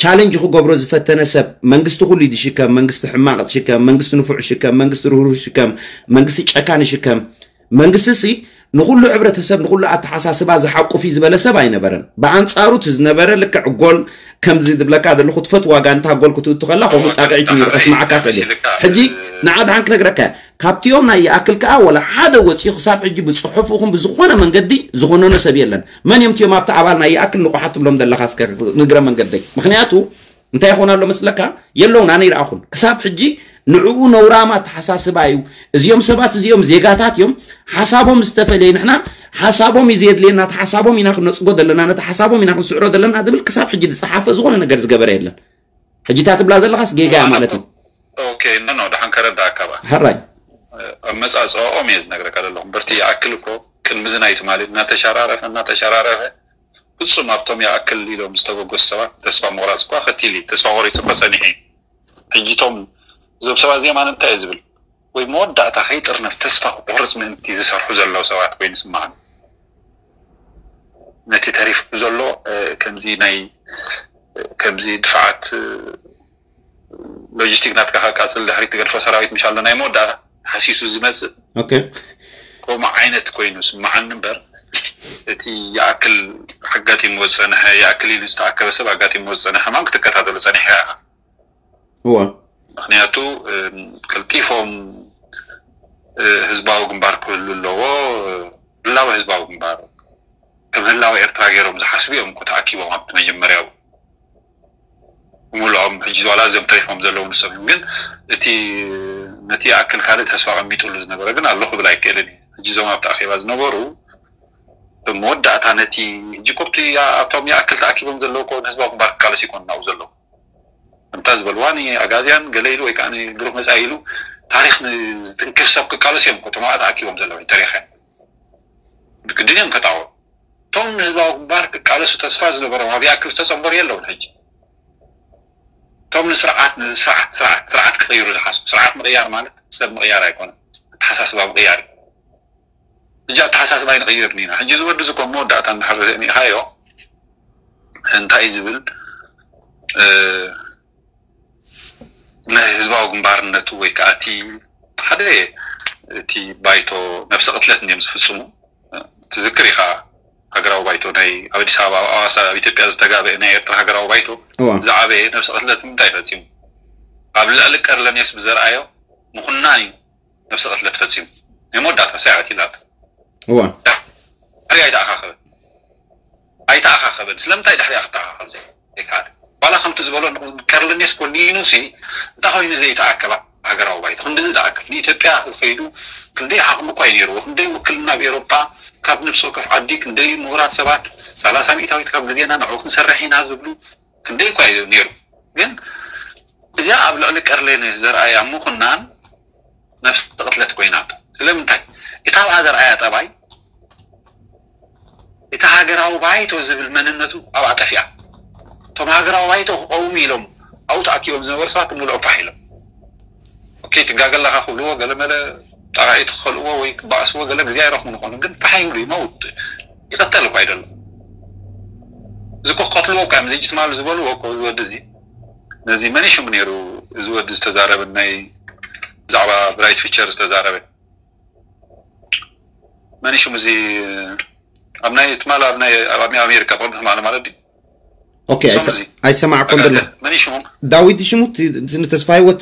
ቻለንጅ ክገብሮ ዝፈተነ ሰብ መንግስቲ ኩሉ እዩ ዝሽከም መንግስቲ ሕማቕ ዝሽከም መንግስቲ ንፉዕ ይሽከም መንግስቲ ርህሩህ ይሽከም መንግስቲ ጨካን ይሽከም መንግስቲ ሲ ንኩሉ ሕብረተሰብ ንኩሉ ኣተሓሳስባ ዝሓቁፍ እዩ ዝበለ ሰብ ኣይነበረን ብኣንጻሩ እቲ ዝነበረ ልክዕ ጎል ከምዚ ዝብለካ ዘለኹ ትፈትዋ ጋንታ ጎል ክትእቱ ከላ ከምኡ ጣቕዒት ነይሩ ከስማዓካ ክእል እየ ሕጂ ንዓ ድሓን ክነግረካ እየ ካብቲኦም ናይ ይኣክል ከኣ ወላ ሓደ ወፂኡ ክሳብ ሕጂ ብፅሑፍ ይኹን ብዝኾነ መንገዲ ዝኾነኖ ሰብ የለን መን እዮም እቲኦም ኣብቲ ኣባል ናይ ይኣክል ንቑሓት ትብሎም ዘለኻ እስከ ንግረ መንገደይ ምክንያቱ እንታይ ይኾን ኣሎ መስለካ የለውን ኣነ ይረኣኹን ክሳብ ሕጂ ንዕኡ ነውራማ ተሓሳስባ እዩ እዚኦም ሰባት እዚኦም ዜጋታት እዮም ሓሳቦም ዝተፈለየ ንሕና ሓሳቦም እዩ ዘየድልየና እቲ ሓሳቦም ኢና ክነፅጎ ዘለና ነቲ ሓሳቦም ኢና ክንስዕሮ ዘለና ዝብል ክሳብ ሕጂ ዝፀሓፈ ዝኾነ ነገር ዝገበረ የለን ሕጂ እታ ትብላ ዘለኻስ ጌጋ እያ ማለት እዩ ኦኬ ኖ ኖ ደሓን ከረዳእካ ባ ሕራይ ኣመፃፅኦም እየ ዝነግረካ ዘለኹ በርቲ ይኣክል እኮ ቅድሚ እዚ ናይ ትማሊ እናተሸራረፈ እናተሸራረፈ ፍፁም ኣብቶም ይኣክል ኢሎም ዝተበገሱ ሰባት ተስፋ ምቑራፅ እኳ ከቲል እዩ ተስፋ ቆሪፁ እኮ ፀኒሐ እዩ ሕጂቶም እዞም ሰባት እዚኦም ኣነ እንታይ እየ ዝብል ወይ መወዳእታ ከይጥርነፍ ተስፋ ክቆርፅ ምእንቲ ዝሰርሑ ዘለዉ ሰባት ኮይኑ ይስምዓኒ ነቲ ተሪፉ ዘሎ ከምዚ ናይ ከምዚ ድፍዓት ሎጂስቲክ ናትካ ከቃፅል ድሕሪት ትገድፎ ሰራዊት ምሻሎ ናይ መወዳእታ ሃሲሱ ዝመፅእ ኦኬ ከምኡ ዓይነት ኮይኑ ስምዓኒ እምበር እቲ ይኣክል ኣጋጢምዎ ዝፀንሐ ይኣክል ኢሉ ዝተኣከበ ሰብ ኣጋጢምዎ ዝፀንሐ ሕማም ክትከታተሎ ፀኒሕካ ኢኻ እወ ምክንያቱ ቀልጢፎም ህዝባዊ ግንባር ክህሉ ኣለዎ ህላወ ህዝባዊ ግንባር ከም ህላወ ኤርትራ ገይሮም ዝሓስቡ እዮም እኮ ተኣኪቦም ኣብቲ መጀመርያ ብምልኦም ሕጂ ዋላ እዚኦም ተሪፎም ዘለዉ ንሶም እዮም ግን እቲ ነቲ ይኣክል ካልእ ተስፋ ቀሚጥሉ ዝነበረ ግን ኣሎ ክብል ኣይክእልን እዩ ሕጂ እዞም ኣብቲ ኣኼባ ዝነበሩ መወዳእታ ነቲ ሕጂ ኮብቲ ኣብቶም ይኣክል ተኣኪቦም ዘለዉ ኮ ንህዝባዊ ግንባር ክቃለስ ይኮን ናብኡ ዘለዉ እንታ ዝበልዋ ንኣጋዝያን ገለ ኢሉ ወይ ከዓ ንብሩክ መፃኢ ኢሉ ታሪክ ንዝትንክፍ ሰብ ክቃለስ እዮም እኮ ተማዋ ተኣኪቦም ዘለዉ ተሪኸ ግድን እዮም ከጣወ እቶም ንህዝባዊ ግንባር ክቃለሱ ተስፋ ዝነበሮም ኣብ ይኣክል ዝተፀንበሩ የለውን ሕጂ እቶም ንስርዓት ንስርዓት ስርዓት ስርዓት ክቅይሩ ዝሓስቡ ስርዓት ምቅያር ማለት ሰብ ምቅያር ኣይኮነን ኣተሓሳስባ ምቅያር ሕጂ ኣተሓሳስባ ኣይንቅይርን ኢና ሕጂ ዝወዲ ዝኮ መወዳእታ እንድሕር ርኢኻዮ እንታይ ዝብል ናይ ህዝባዊ ግንባርነቱ ወይ ከዓ እቲ ሓደ እቲ ባይቶ ነብሰ ቅትለት እንዲም ዝፍፅሙ ትዝክር ኢኻ ሃገራዊ ባይቶ ናይ ኣብ ኣዲስ ኣበባ ኣብ ኣዋሳ ኣብ ኢትዮጵያ ዝተጋበአ ናይ ኤርትራ ሃገራዊ ባይቶ ዝዓበየ ነብሰ ቅትለት ምንታይ ፈፂሙ ኣብ ልዕሊ ቀርለኔስ ብዘርኣዮ ምኩናን እዩ ነብሰ ቅትለት ፈፂሙ ናይ መወዳእታ ሳያት ኢላት እዋ ድሕሪ ኣይተኣኻኸበን ኣይተኣኻኸበን ስለምንታይ ድሕሪ ክትተኣኻኸብ ዘይከኣል ዋላ ከምቲ ዝበሎ ቀርለኔስ ኮኒኑ ሲ እንታይ ኮይኑ ዘይተኣከባ ሃገራዊ ባይቶ ክንዲ ዝኣክል ንኢትዮጵያ ከይዱ ክንደይ ዓቕሚ እኳ እዩ ነይርዎ ክንደይ ውክልና ኣብ ኤሮጳ ካብ ነብሲ ወከፍ ዓዲ ክንደይ ምሁራት ሰባት ሰላሳ ሚእታዊት ካብ ግዜና ንዕኡ ክንሰርሕ ኢና ዝብሉ ክንደይ እኳ እዩ ነይሩ ግን እዚኣ ኣብ ልዕሊ ቀርሌን ዘርኣያ ምኹናን ነብሲ ቅትለት ኮይና ስለምንታይ እታ ኣብኣ ዘርኣያ ጠባይ እቲ ሃገራዊ ባይቶ ዝብል መንነቱ ኣብኣ ጠፊኣ እቶም ሃገራዊ ባይቶ ክቀውሙ ኢሎም ኣብኡ ተኣኪቦም ዝነበሩ ሰባት ምልኦ ፋሕ ኢሎም ኦኬ፣ ትጋገ ኣለኻ ክብልዎ፣ ገለ መለ ጣቓዒት ክኸልእዎ ወይ ክበኣስዎ ገለ ግዜ ኣይረኽቡን ይኾኑ፣ ግን ብሓይሉ ይመውት ይቐተል እኳ ኣይደሎ። እዚ እኮ ክቐትልዎ እኳ እዮም፣ እዚ ትማል ዝበልዎ እኮ፣ እዚ ወዲ እዚ፣ ነዚ መን እዩ ሽሙ ነይሩ፣ እዚ ወዲ ዝተዛረበ፣ ናይ ብዛዕባ ብራይት ፊቸር ዝተዛረበ፣ መን እዩ ሽሙ እዚ፣ ኣብ ናይ ትማል ኣብ ናይ ኣብ ኣሜሪካ ብቕድሚ ትማል ማለት ድዩ? ኦኬ። ኣይሰማዕኮን ዘሎ። መን ሽሙ? ዳዊት ሽሙ? ንተስፋ ህይወት?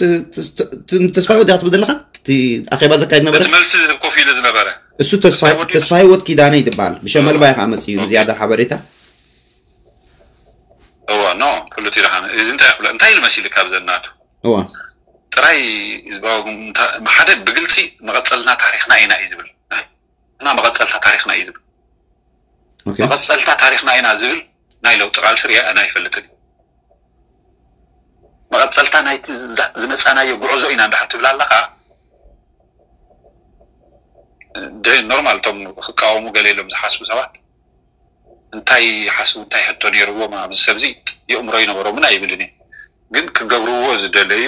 ንተስፋ ህይወት ዲኻ ትብል ዘለኻ? እቲ ኣኼባ ዘካይድ ነበረ? እቲ መልሲ ዝህብ ኮፍ ኢሉ ዝነበረ እሱ ተስፋ ህይወት ኪዳነ ይትበሃል። ብሸመልባ እዩ ከዓ መፅኡ ዝያዳ ሓበሬታ። እዋ ኖ ኩሉ እቲ ደሓን እዚ እንታይ ይብለ እንታይ ኢሉ መሲሉ ካብ ዘናቱ እዋ ጥራይ ህዝባዊ ሓደ ብግልፂ መቐፀልና ታሪክና ኢና እዩ ዝብል። እና መቐፀልታ ታሪክና እዩ ዝብል። መቐፀልታ ታሪክና ኢና ዝብል ናይ ለውጢ ቃልሲ ሪአ ኣነ ኣይፈልጥን። መቐፀልታ ናይቲ ዝመፃናዮ ጉዕዞ ኢና እንዳሓት ትብል ኣለካ። ኖርማል እቶም ክቃወሙ ገለ ኢሎም ዝሓስቡ ሰባት እንታይ ሓስቡ እንታይ ሕቶ ነይርዎም ኣብዚ ሰብዚ የእምሮ ይነበሮምን ኣይብልን እየ። ግን ክገብርዎ ዝደለዩ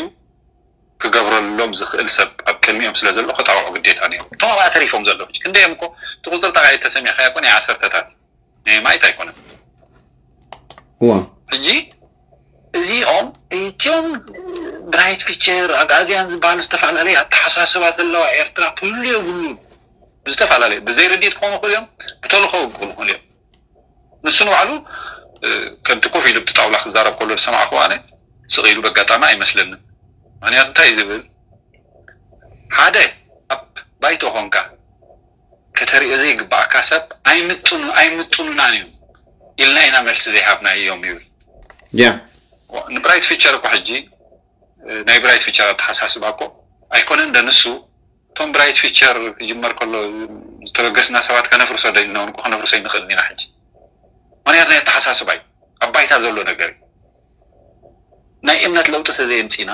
ክገብረሎም ዝኽእል ሰብ ኣብ ቅድሚኦም ስለ ዘሎ ክጣውዑ ግዴታ ነይሩ። እቶም ኣብኣ ተሪፎም ዘለዉ ሕጂ ክንደዮም እኮ እቲ ቁፅሪ ጠቃዒ ተሰሚዕካዮ እኮ ናይ ዓሰርተታት ናይ ማይት ኣይኮነን። እዋ ሕጂ እዚኦም እቲኦም ብራይት ፊቸር ኣግኣዝያን ዝበሃሉ ዝተፈላለየ ኣተሓሳስባ ዘለዋ ኤርትራ ክህሉ የብሉን። ብዝተፈላለየ ብዘይ ርድኢት ክኾኑ ይኽእሉ እዮም፣ ብተልእኾ ክኾኑ ይኽእሉ እዮም። ንሱ ንባዕሉ ከምቲ ኮፍ ኢሉ ብቲ ጣውላ ክዛረብ ከሎ ዝሰማዕኩ ኣነ ስቕ ኢሉ በጋጣሚ ኣይመስለንን። ምክንያቱ እንታይ እዩ ዝብል ሓደ ኣብ ባይቶ ኮንካ ከተርእዮ ዘይግባእካ ሰብ ኣይምጥኑ ኣይምጥኑናን እዩ ኢልና ኢና መልሲ ዘይሃብናዮም ይብል። ያ ንብራይት ፊቸር እኮ ሕጂ ናይ ብራይት ፊቸር ኣተሓሳስባ እኮ ኣይኮነን ደ ንሱ እቶም ብራይት ፊቸር ክጅመር ከሎ ዝተበገስና ሰባት ከነፍርሶ ዶ ኢልና እውን እኮ ከነፍርሶ ይንኽእል ኢና ሕጂ። ምክንያቱ ናይ ኣተሓሳስባ እዩ ኣብ ባይታ ዘሎ ነገር እዩ። ናይ እምነት ለውጢ ተዘየምፂና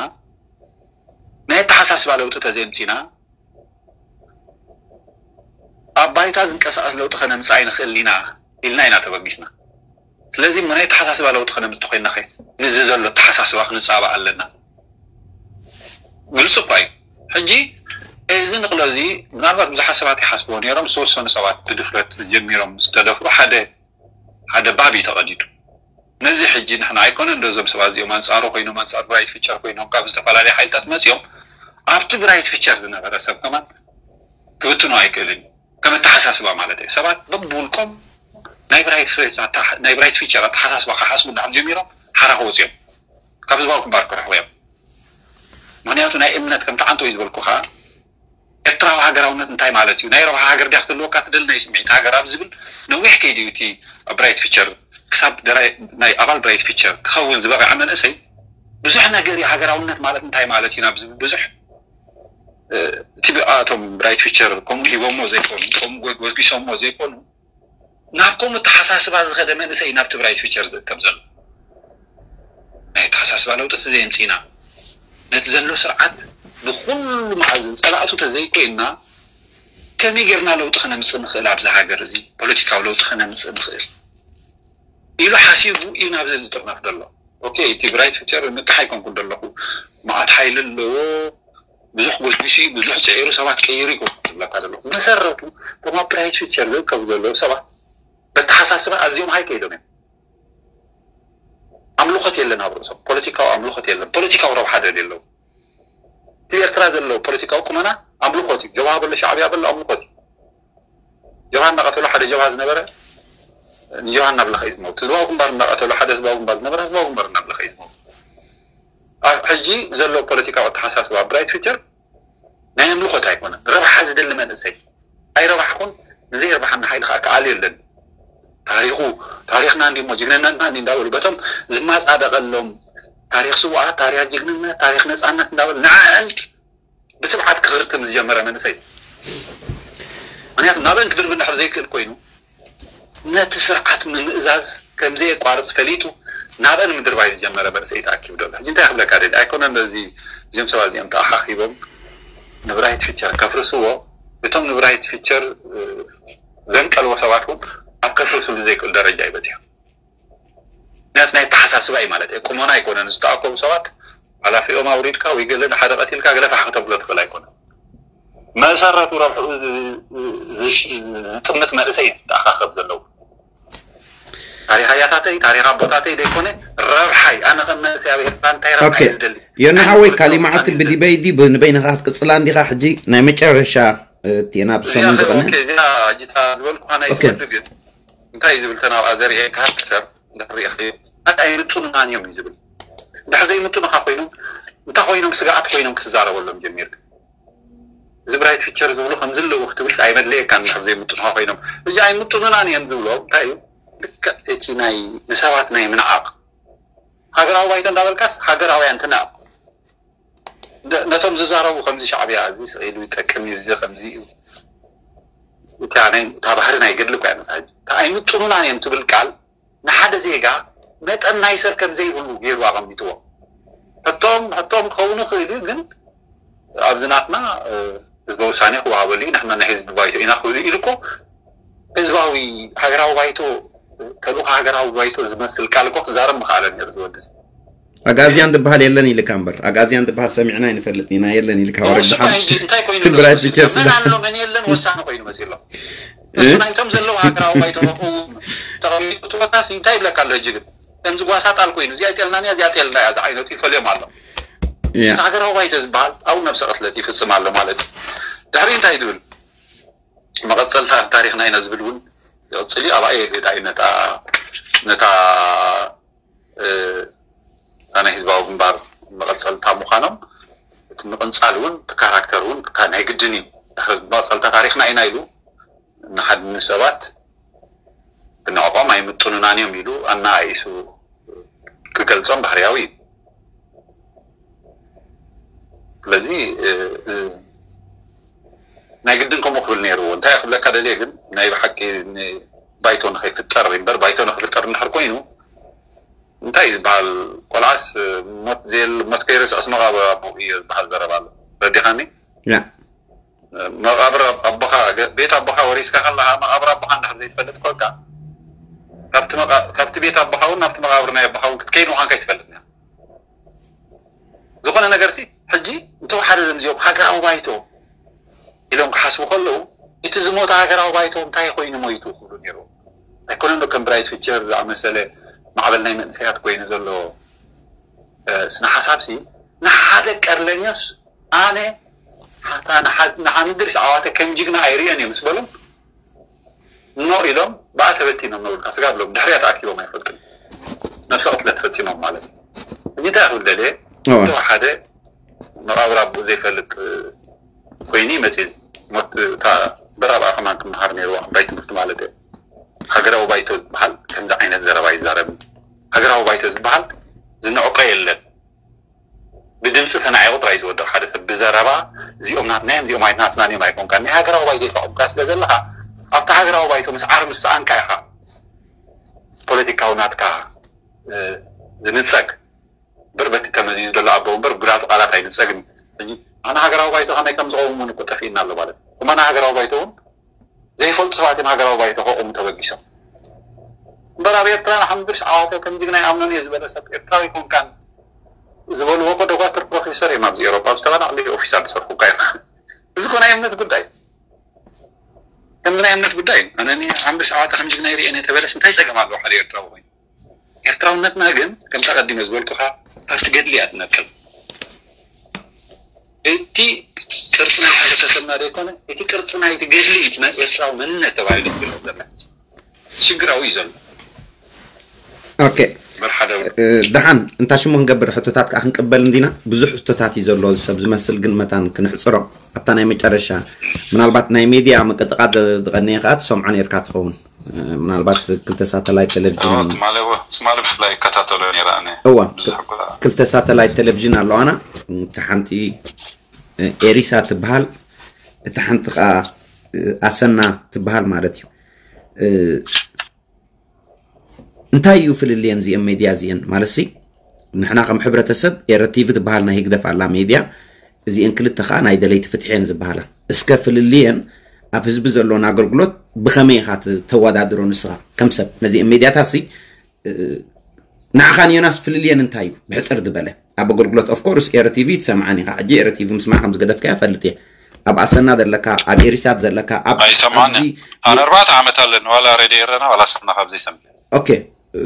ናይ ኣተሓሳስባ ለውጢ ተዘየምፂና ኣብ ባይታ ዝንቀሳቐስ ለውጢ ከነምፅእ ኣይንኽእል ኢና ኢልና ኢና ተበጊስና። ስለዚ ናይ ኣተሓሳስባ ለውጢ ከነምፅእ ተኮይንና ከ ምስዚ ዘሎ ኣተሓሳስባ ክንፃባእ ኣለና። ግልፂ እኳ እዩ። ሕጂ እዚ ንቕሎ እዚ ምናልባት ብዙሓት ሰባት ይሓስብዎ ነይሮም፣ ዝተወሰኑ ሰባት ብድፍረት ጀሚሮም ምስ ተደፍሩ ሓደ ሓደ ባብ እዩ ተቐዲዱ። ነዚ ሕጂ ንሕና ኣይኮነን ዶ እዞም ሰባት እዚኦም ኣንፃሩ ኮይኖም ኣንፃር ብራይት ፊቸር ኮይኖም ካብ ዝተፈላለዩ ሓይልታት መፂኦም ኣብቲ ብራይት ፊቸር ዝነበረ ሰብ ከማን ክብትኖ ኣይክእልን እዩ። ከም ኣተሓሳስባ ማለት እዩ። ሰባት በብውልቆም ናይ ብራይት ፊቸር ኣተሓሳስባ ክሓስቡ እንዳሓት ጀሚሮም ሓራ ክወፁ እዮም። ካብ ህዝባዊ ግንባር ክርሕቁ እዮም። ምክንያቱ ናይ እምነት ከምቲ ዓንቶ እዩ ዝበልኩ ከዓ ኤርትራዊ ሃገራውነት እንታይ ማለት እዩ? ናይ ረብሓ ሃገር ድያ ክትህልወካ ትደሊ ናይ ስምዒት ሃገር ኣብ ዝብል ነዊሕ ከይዲ እዩ እቲ ብራይት ፊቸር ክሳብ ናይ ኣባል ብራይት ፊቸር ክኸውን ዝበቕዐ መንእሰይ ብዙሕ ነገር እዩ። ሃገራውነት ማለት እንታይ ማለት እዩ ናብ ዝብል ብዙሕ እቲ ብኣቶም ብራይት ፊቸር ከምኡ ሂቦሞ ዘይኮኑ ከምኡ ጎስጊሶሞ ዘይኮኑ ናብ ከምኡ ተሓሳስባ ዝኸደ መንእሰይ ናብ ትግራይ ፊቸር ዝእከብ ዘሎ ናይ ኣተሓሳስባ ለውጢ እቲ ዘየምፅእና ነቲ ዘሎ ስርዓት ብኩሉ መኣዝን ፀላእቱ ተዘይኮይንና ከመይ ጌርና ለውጢ ከነምፅእ ንኽእል ኣብዚ ሃገር እዚ ፖለቲካዊ ለውጢ ከነምፅእ ንኽእል ኢሉ ሓሲቡ እዩ ናብዚ ዝጥርነፍ ዘሎ። ኦኬ እቲ ብራይት ፊቸር ንቅሕ ኣይኮንኩን ዘለኹ መዓት ሓይሊ ኣለዎ ብዙሕ ጎስጒሱ ብዙሕ ፅዒሩ ሰባት ቀይሩ ይኮን ዝብለካ ዘለኹ መሰረቱ እቶም ኣብ ብራይት ፊቸር ዝእከቡ ዘለዉ ሰባት በተሓሳስባ ኣዝዮም ሃይ ከይዶም እዮም። ኣምልኾት የለን ኣብ ርእሶም ፖለቲካዊ ኣምልኾት የለን ፖለቲካዊ ረብሓ ደልዩ ኣለዉ። እቲ ኤርትራ ዘለዎ ፖለቲካዊ ቁመና ኣምልኾት እዩ። ጀብሃ በሎ ሻዕብያ በሎ ኣምልኾት እዩ። ጀብሃ እናቐተሉ ሓደ ጀብሃ ዝነበረ ንጀብሃ እናብለኸ እዩ ዝመውት። ህዝባዊ ግንባር እናቐተሉ ሓደ ህዝባዊ ግንባር ዝነበረ ህዝባዊ ግንባር እናብለኸ እዩ ዝመውት። ኣብ ሕጂ ዘሎ ፖለቲካዊ ኣተሓሳስባ ብራይት ፊቸር ናይ ኣምልኾት ኣይኮነን። ረብሓ ዝደሊ መንእሰይ ኣይረባሕኩን ንዘየርባሓና ሓይሊ ከዓ ክኣል የለን። ታሪኹ ታሪኽና እንዲሞ ጅግንነትና እንዲ እንዳበሉ በቶም ዝማፃደቐሎም ታሪክ ስውኣት ታሪክ ጅግንነት ታሪክ ነፃነት እንዳበሉ ንዓን ብትብዓት ክኽርትም ዝጀመረ መንእሰይ ምክንያቱ ናበን ክድርብ እንድሕር ዘይክእል ኮይኑ ነቲ ስርዓት ምምእዛዝ ከምዘየቋርፅ ፈሊጡ ናበን ምድርባይ ዝጀመረ መንእሰይ ተኣኪቡ ዘሎ ሕጂ እንታይ ክብለካ ደሊ ኣይኮነን እዚ እዚኦም ሰባት እዚኦም ተኣኻኺቦም ንብራይት ፊቸር ከፍርስዎ እቶም ንብራይት ፊቸር ዘንቀልዎ ሰባት እውን ኣብ ከፍርስሉ ዘይክእል ደረጃ ይበፅሑ ምክንያቱ ናይ ኣተሓሳስባ እዩ ማለት እየ ቁመና ኣይኮነን ዝተኣከቡ ሰባት ሓላፊኦም ኣውሪድካ ወይ ገለ ንሓደ ቀቲልካ ገለ ፋሕ ከተብሎ ትኽእል ኣይኮነን። መሰረቱ ረብሕኡ ዝ- ዝ- ዝጥምት መንእሰይ እዩ ዝተኣኻኸብ ዘለዉ። ታሪኽ ኣያታተይ ታሪኽ ኣቦታተይ ዘይኮነ ረብሓይ ኣነ ከም መንእሰይ ኣብ ኤርትራ እንታይ ረብሓ ኦኬ እዩ ዝደሊ? ዮና ኣነ ሓወይ ክወስዶ ካሊማዓት ምዃን እዩ ብዲበይዲ ብንበይንኻ ክትቅፅላ እንዲኻ። ሕጂ ናይ መጨረሻ እቲ ናብ እዚኣ ሰሙን ዝቐነ ኦኬ፣ እዚኣ ጅታ ዝበልኩኻ ናይ ኦኬ። ዝወዱ ግን እንታይ እዩ ዝብል ተናብኣ ዘርእየካ ክተብ እንዳርኢኻ እዩ። ኣታ ኣይምጡንናን እዮም እዩ ዝብል። እንድሕር ዘይምጡንኻ ኮይኖም እንታይ ኮይኖም ስግኣት ኮይኖም ክትዛረበሎም ጀሚርካ። እዚ ብራይት ፊቸር ዝብሉ ከምዚ ኣለዉ ክትብልስ ኣይመድለየካን። እንድሕር ዘይምጡንኻ ኮይኖም እዚ ኣይምጡንናን እዮም ዝብሎ እንታይ እዩ? ልክዕ እቲ ናይ ንሰባት ናይ ምንዓቕ ሃገራዊ ባይቶ እንዳበልካስ ሃገራውያን ትንዕቕ። ደ- ነቶም ዝዛረቡ ከምዚ ሻዕብያ እዚ ስቕ ኢሉ ይጠቅም እዩ እዚ ከምዚ እዩ። እታ ናይ እታ ባህሪ ናይ ገድሊ እኮ እያ መሳጅ እታ ኣይምጥኑናን እዮም ትብል ቃል ንሓደ ዜጋ መጠን ናይ ሰብ ከም ዘይብሉ ገይሩ ኣቐሚጥዎ። ሕቶም ሕቶም ክኸውን ይኽእል እዩ ግን ኣብዚ ናትና ህዝበ ውሳኔ ክወሃበሉ እዩ ንሕና ናይ ህዝቢ ባይቶ ኢና ክብሉ ኢሉ እኮ ህዝባዊ ሃገራዊ ባይቶ ተልእኮ ሃገራዊ ባይቶ ዝመስል ቃል እኮ ክዛረብ ምኽኣለ ነይሩ ዝወድስ ኣጋዝያን ዝበሃል የለን ኢልካ እምበር ኣጋዝያን ዝበሃል ሰሚዕና ይንፈልጥ ኢና የለን ኢልካ ወረድ እሱ ድሓን ሕጂ እንታይ ኮይኑ ትግራይ ደስ ፒቸር መን ኣሎ መን የለን ወሳኒ ኮይኑ መፂ ኣሎ እሱ ናይቶም ዘለዉ ሃገራዊ ባይቶ ተቐሚጡ ትወታሲ እንታይ ይብለካ ኣሎ ሕጂ ግን ከምዚ ጓሳ ጣል ኮይኑ እዚኣ ጤልና እያ እዚኣ ጤልና እያ ዝዓይነቱ ይፈልዮም ኣሎ ያ እቲ ሃገራዊ ባይቶ ዝበሃል ኣብኡ ነብሰ ቅትለት ይፍፅም ኣሎ ማለት እዩ ድሕሪ እንታይ ዝብል መቐፀልታ ኣብ ታሪክና ኢና ዝብል እውን ይቕፅል እዩ ኣብኣ የግዳ እዩ ነታ ነታ እ፣ እታ ናይ ህዝባዊ ግንባር መቐፀልታ ምዃኖም እቲ ምቕንፃል እውን እቲ ካራክተር እውን ካ- ናይ ግድን እዩ ድሕሪ መቐፀልታ ታሪክና ኢና ኢሉ ንሓድኒ ሰባት ብንዕቆም ኣይምጥኑናን እዮም ኢሉ ኣናኣኢሱ ክገልፆም ባህርያዊ እዩ ስለዚ እ፣ እ፣ ናይ ግድን ከምኡ ክብል ነይርዎ እንታይ ክብለካ ደልየ ግን ናይ ብሓቂ ን- ባይቶ ንኸይፍጠር እምበር ባይቶ ንክፍጠር እንድሕር ኮይኑ እንታይ እዩ ዝበሃል ቆልዓስ ሞት ዘየል ሞት ከይርስዕስ መቓብር ኣቦ እዩ ዝበሃል ዘረባ ኣሎ ረዲኻኒ ያ መቓብር ኣቦኻ ገ- ቤት ኣቦኻ ወሪስካ ከለኻ መቓብር ኣቦኻ እንድሕር ዘይትፈልጥ ኮንካ ካብቲ መቓ- ካብቲ ቤት ኣቦኻ እውን ናብቲ መቓብር ናይ ኣቦኻ እውን ክትከይድ ምዃንካ ይትፈልጥ ኒኻ ዝኾነ ነገር ሲ ሕጂ እንተወሓደ ዘምዚኦም ሃገራዊ ባይቶ ኢሎም ክሓስቡ ከለዉ እቲ ዝሞተ ሃገራዊ ባይቶ እንታይ ኮይኑ ሞይቱ ክብሉ ነይሩ ኣይኮነን ዶ ከም ብራይት ፊቸር ዝኣመሰለ ማዕበል ናይ መንእሰያት ኮይኑ ዘሎ እ፣ ስነ ሓሳብ ሲ ንሓደ ቀርለኛስ ኣነ ሓታ ንሓ- ንሓምድር ሸዓዋተ ከም ጅግና ኣይርእዮን እዮም ምስ በሎም ኖ ኢሎም ብኣ ተበቲኖም ነውልካ ስጋ ብሎም ድሕሪያ ተኣኪቦም ኣይፈልጡን ነብሰ ቅትለት ፈፂሞም ማለት እዩ እዚ እንታይ ክብል ደልየ እወ እተወሓደ መቓብር ኣቦ ዘይፈልጥ ኮይኑ መፅእ ሞት እታ በራብኣ ከማን ክመሃር ነይርዎ ዓባይ ትምህርቲ ማለት እየ ሃገራዊ ባይቶ ዝበሃል ከምዚ ዓይነት ዘረባ ይዛረብ ሃገራዊ ባይቶ ዝበሃል ዝንዕቆ የለን ብድምፂ ተናዒቑ ጥራይ ዝወድቕ ሓደ ሰብ ብዘረባ እዚኦም ናትና እዮም እዚኦም ኣይናትና እዮም ኣይኮንካ ናይ ሃገራዊ ባይቶ ተቐምካ ስለ ዘለኻ ኣብቲ ሃገራዊ ባይቶ ምስ ዓር ምስ ሰኣንካ ኢኻ ፖለቲካዊ ናትካ እ፣ ዝንፀግ ብር በቲ ተመዚዙ ዘሎ ኣቦ እምበር ጉዳቱ ቃላት ኣይንፀግን እዩ ሕጂ ኣነ ሃገራዊ ባይቶ ከመይ ከም ዝቐውሙን እኮ ጠፊእና ኣሎ ማለት እዩ እማና ሃገራዊ ባይቶ እውን ዘይፈልጡ ሰባት እዮም ሃገራዊ ባይቶ ከቑሙ ተበጊሶም እምበር ኣብ ኤርትራ ንሓምድር ሸዓዋተ ከምዚ ግና ይኣምኖን እየ ዝበለ ሰብ ኤርትራዊ ኮንካን ዝበልዎ እኮ ዶኳትር ፕሮፌሰር እዮም ኣብዚ ኤሮፓ ኣብ ዝተባናዕለ ኦፊስ ኣድሰርኩካ እዮም እዚ እኮ ናይ እምነት ጉዳይ ከምዚ ናይ እምነት ጉዳይ እዩ ኣነ ሓምድር ሸዓዋተ ከምዚ ግና ይርእየን እየ ተበለስ እንታይ ፀገም ኣለዎ ሓደ ኤርትራዊ ኮይኑ ኤርትራውነትና ግን ከምታ ቀዲመ ዝበልኩኻ ኣብቲ ገድሊ እያ ትነቅል እቲ ቅርፂ ናይ ሕብረተሰብና ዘይኮነ እቲ ቅርፂ ናይቲ ገድሊ እዩ ናይ ኤርትራዊ መንነት ተባሂሉ ዝግለፅ ዘሎ ሽግራዊ እዩ ዘሎ ኦኬ በር ሓደ እ፣ ደሓን እንታ ሽሙ ክንገብር ሕቶታት ከዓ ክንቅበል እንዲና ብዙሕ ሕቶታት እዩ ዘሎ እዚ ሰብ ዝመስል ግን መታን ክንሕፅሮ ኣብታ ናይ መጨረሻ ምናልባት ናይ ሜድያ ምቅጥቃጥ ዝቐነየ ከዓ ትሰምዖ ነርካ ትኸውን እ፣ ምናልባት ክልተ ሳተላይት ቴሌቪዥን ትማሊ እወ ትማሊ ብፍላይ ይከታተሎ ነይረ ኣነ እዋ ብዙሕ እኳ ክልተ ሳተላይት ቴሌቪዥን ኣለዋና እታ ሓንቲ እ፣ ኤሪሳ ትበሃል እታ ሓንቲ ከዓ እ፣ ኣሰና ትበሃል ማለት እዩ እ፣ እንታይ እዩ ፍልልየን እዚአን ሜድያ እዚአን ማለት ሲ ንሕና ከም ሕብረተሰብ ኤረ ቲቪ ትበሃል ናይ ህግደፍ ኣላ ሜድያ እዚአን ክልተ ከዓ ናይ ደለይቲ ፍትሒ እየን ዝበሃላ እስከ ፍልልየን ኣብ ህዝቢ ዘለዎን ኣገልግሎት ብኸመይ ኢኻ ት- ተወዳድሮ ንስኻ ከም ሰብ ነዚአን ሜድያታት ሲ ንዓኻን ዮናስ ፍልልየን እንታይ እዩ ብሕፅር ዝበለ ኣብ ኣገልግሎት of course ኤረ ቲቪ ትሰምዓኒ ኢኻ። ሕጂ ኤረ ቲቪ ምስማዕ ከም ዝገደፍካዮ እፈልጥ እየ። ኣብ ኣሰና ዘለካ፣ ኣብ ኤሪሳት ዘለካ፣ ኣብ ኣይሰማዕን ኣብዚ ኣነ ኣርባዕተ ዓመት ኣለኒ ዋላ ሬድዮ ኤረና ዋላ ኣሰና ካብ ዘይሰምዕ። ኦኬ፣ እ፣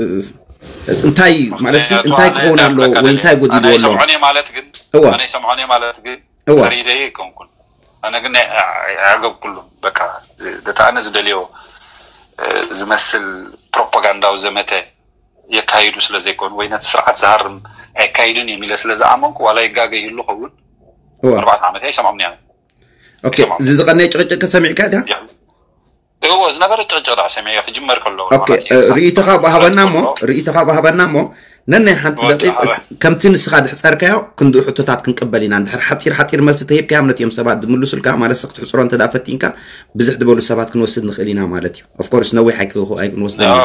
እንታይ ማለት ሲ እንታይ ክኸውን ኣለዎ ወይ እንታይ ጎዲልዎ ኣሎ? ሰምዖን ማለት ግን እዋ። ኣነ ሰምዖን ማለት ግን እዋ። ፈሪደ ኣይኮንኩን። ኣነ ግን ኣገብ ኩሉ በቃ ደታ ኣነ ዝደልዮ እ፣ ዝመስል ፕሮፓጋንዳዊ ዘመተ የካይዱ ስለ ዘይኮኑ ወይ ነቲ ስርዓት ዝሃርም ኣይካይድን እዮም ኢለ ስለ ዝኣመንኩ ዋላ ይጋገ ይህሉ ኸውን እዋ። ኣርባዕተ ዓመት ኣይሰምዖም እያ ኦኬ፣ እዚ ዝቐነየ ጭቕጭቅ ሰሚዕካ ኢኻ? እዎ ዝነበረ ጭቕጭቕ ዳ ሰሚዐ ክጅመር ከሎ ኦኬ፣ እ፣ ርእይቶኻ ብሃበና እሞ ርእይቶኻ ብሃበና እሞ ነናይ ሓንቲ ደቂቕ እስ- ከምቲ ንስኻ ድሕፀርካዮ ክንድኡ ሕቶታት ክንቅበል ኢና። እንድሕር ሓፂር ሓፂር መልሲ ተሂብካዮም ነቲኦም ሰባት ዝምልሱልካ ማለት ስ ክትሕፅሮ እንተ ደኣ ፈቲንካ ብዙሕ ዝበሉ ሰባት ክንወስድ ንኽእል ኢና ማለት እዩ። Of course ነዊሕ ኣይክ- ኣይክንወስደን ኢና።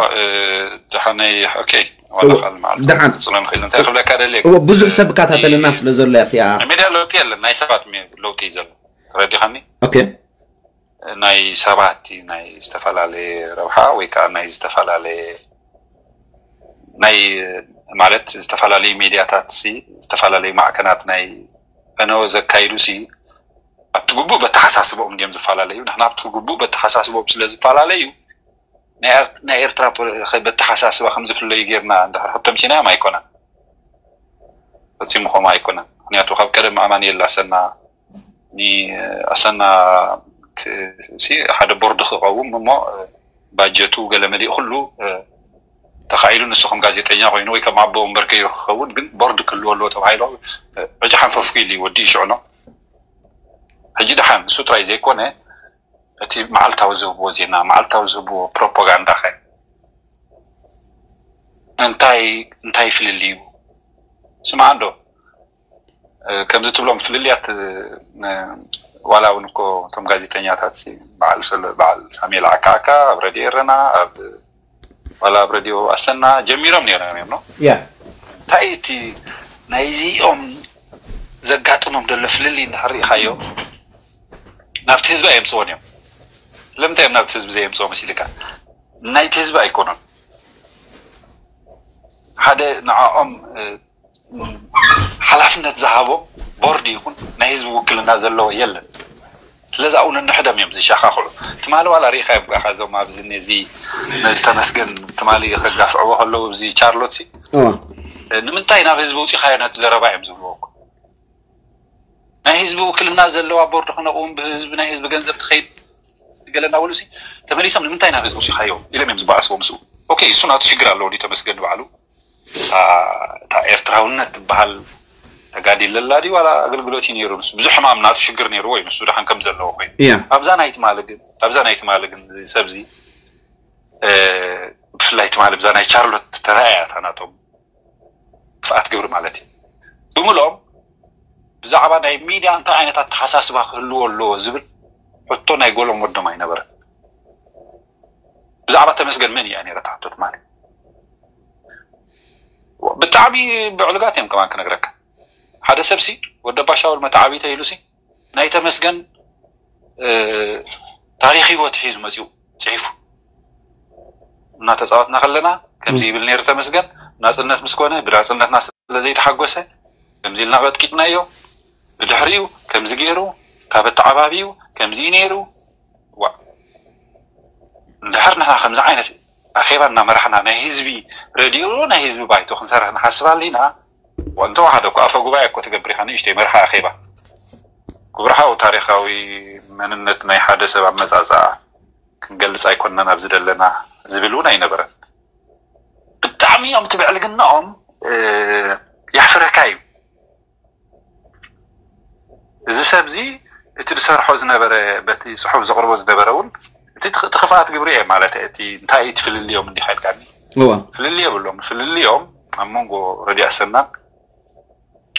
ደሓነይ ኦኬ ዋላ ካል መዓልቲ ደሓን። ክፅሎ ንኽእል እንታይ ክብለካ ደልየ እዎ ብዙሕ ሰብ ይከታተልና ስለ ዘሎ እያ እቲኣ። ሚድያ ለውጢ የለን ናይ ሰባት ሚ- ለውጢ እዩ ዘሎ ተረዲኻኒ ኦኬ ናይ ሰባት እዩ ናይ ዝተፈላለየ ረብሓ ወይ ከዓ ናይ ዝተፈላለየ ናይ ማለት ዝተፈላለዩ ሚድያታት ሲ ዝተፈላለዩ ማዕከናት ናይ ፈነወ ዘካይዱ ሲ ኣብቲ ግቡእ በተሓሳስቦም እንዲዮም ዝፈላለዩ ንሕና ኣብቲ ግቡእ በተሓሳስቦም ስለ ዝፈላለዩ ናይ ኤር- ናይ ኤርትራ ፖ- በተሓሳስባ ከም ዝፍለዩ ጌርና እንድሕር ከተምሲናዮም ኣይኮነን ፈፂሙ ከምኡ ኣይኮነን ምክንያቱ ካብ ቀደም ኣማን የላሰና ኣሰና ሓደ ቦርድ ክቐውም እሞ ባጀቱ ገለ መሊእ ኩሉ ተኻኢሉ ንሱ ከም ጋዜጠኛ ኮይኑ ወይ ከም ኣቦ ወንበር ከይሩ ክኸውን ግን ቦርድ ክህልዎ ኣለዎ ተባሂሎ ዕጭ ሓንፈፍኩ ኢሉ ወዲ ይሽዕኖ ሕጂ ደሓን ንሱ ጥራይ ዘይኮነ እቲ መዓልታዊ ዝህብዎ ዜና መዓልታዊ ዝህብዎ ፕሮፓጋንዳ ከ እንታይ እንታይ ፍልልዩ ስማዕ እንዶ ከምዚ ትብሎም ፍልልያት ዋላ እውን እኮ እቶም ጋዜጠኛታት በዓል ሰሎ በዓል ሳሙኤል ዓካዓካ ኣብ ረድዮ ኤረና ኣብ ዋላ ኣብ ረድዮ ኣሰና ጀሚሮም ነይሮም እዮም ነው ያ እንታይ እቲ ናይዚኦም ዘጋጥሞም ዘሎ ፍልልይ እንድሕር ርኢኻዮ ናብቲ ህዝቢ ኣየምፅዎን እዮም ስለምንታይ እዮም ናብቲ ህዝቢ ዘየምፅዎ መሲልካ ናይቲ ህዝቢ ኣይኮኑን ሓደ ንዕኦም ሓላፍነት ዝሃቦም ቦርድ ይኹን ናይ ህዝቢ ውክልና ዘለዎ የለን ስለዚ ኣብኡ ነንሕዶም እዮም ዝሸኻኽሉ ትማሊ ዋላ ርኢኻ እዮም ጓኻ እዞም ኣብዚ ነዚ ነዚ ተመስገን ትማሊ ከጋፍዕዎ ከለዉ እዚ ቻርሎት ሲ እዋ ንምንታይ ናብ ህዝቢ ውፂኻዮ ነቲ ዘረባ እዮም ዝብልዎ እኮ ናይ ህዝቢ ውክልና ዘለዋ ቦርድ ክነቕውም ብህዝቢ ናይ ህዝቢ ገንዘብ ትኸይድ ገለ እናበሉ ሲ ተመሊሶም ንምንታይ ናብ ህዝቢ ውፂኻዮ ኢሎም እዮም ዝበኣስዎ ምስኡ ኦኬ እሱ ናቱ ሽግር ኣለዎ ድዩ ተመስገን ንባዕሉ እታ ኤርትራውነት ትበሃል ተጋዲለ ኣላ ድዩ ዋላ ኣገልግሎት እዩ ነይሩ ንሱ ብዙሕ ሕማም ናቱ ሽግር ነይርዎ እዩ ንሱ ደሓን ከም ዘለዎ ኮይኑ እያ ኣብዛ ናይ ትማሊ ግን ኣብዛ ናይ ትማሊ ግን እዚ ሰብዚ ብፍላይ ትማሊ ብዛ ናይ ቻርሎት ተረኣያ እታ ናቶም ክፍኣት ግብሪ ማለት እዩ ብምሎም ብዛዕባ ናይ ሚድያ እንታይ ዓይነት ኣተሓሳስባ ክህልዎ ኣለዎ ዝብል ሕቶ ናይ ጎሎም ወዶም ኣይነበረን ብዛዕባ ተመስገን መን እያ ነይረ ትሓቶ ትማሊ ብጣዕሚ ብዕሉጋት እዮም ከማን ክነግረካ ሓደ ሰብ ሲ ወደባ ሻውል መተዓቢተ ኢሉ ሲ ናይ ተመስገን ታሪክ ህይወት ሒዙ መፅኡ ፅሒፉ እናተፃወትና ከለና ከምዚ ይብል ነይሩ ተመስገን ናፅነት ምስ ኮነ ብናፅነትና ስለ ዘይተሓጎሰ ከምዚ ኢልና ቀጥቂጥናዮ ብድሕሪኡ ከምዚ ገይሩ ካብ ኣተዓባቢኡ ከምዚ እዩ ነይሩ ዋ እንድሕር ንሕና ከምዚ ዓይነት ኣኼባ እናመራሕና ናይ ህዝቢ ረድዮ ናይ ህዝቢ ባይቶ ክንሰርሕ ንሓስብ ኣለና እንተወሓደ እኮ ኣፈ ጉባኤ እኮ ትገብር ኢኻ ንእሽተይ መርሓ ኣኼባ ክቡር ሓው ታሪኻዊ መንነት ናይ ሓደ ሰብ ኣመፃፅኣ ክንገልፅ ኣይኮንናን ኣብዚ ዘለና ዝብል እውን ኣይነበረን ብጣዕሚ እዮም ትብዕልግናኦም የሕፍረካ እዩ እዚ ሰብ እዚ እቲ ዝሰርሖ ዝነበረ በቲ ፅሑፍ ዘቕርቦ ዝነበረ እውን እቲ ትኽፍኣት ግብሪ እየ ማለት እቲ እንታይ ትፍልልዮም እንዲኻ ኢልካኒ እዋ ፍልል የብሎም ፍልልዮም ኣብ መንጎ ረድዮ ኣሰናን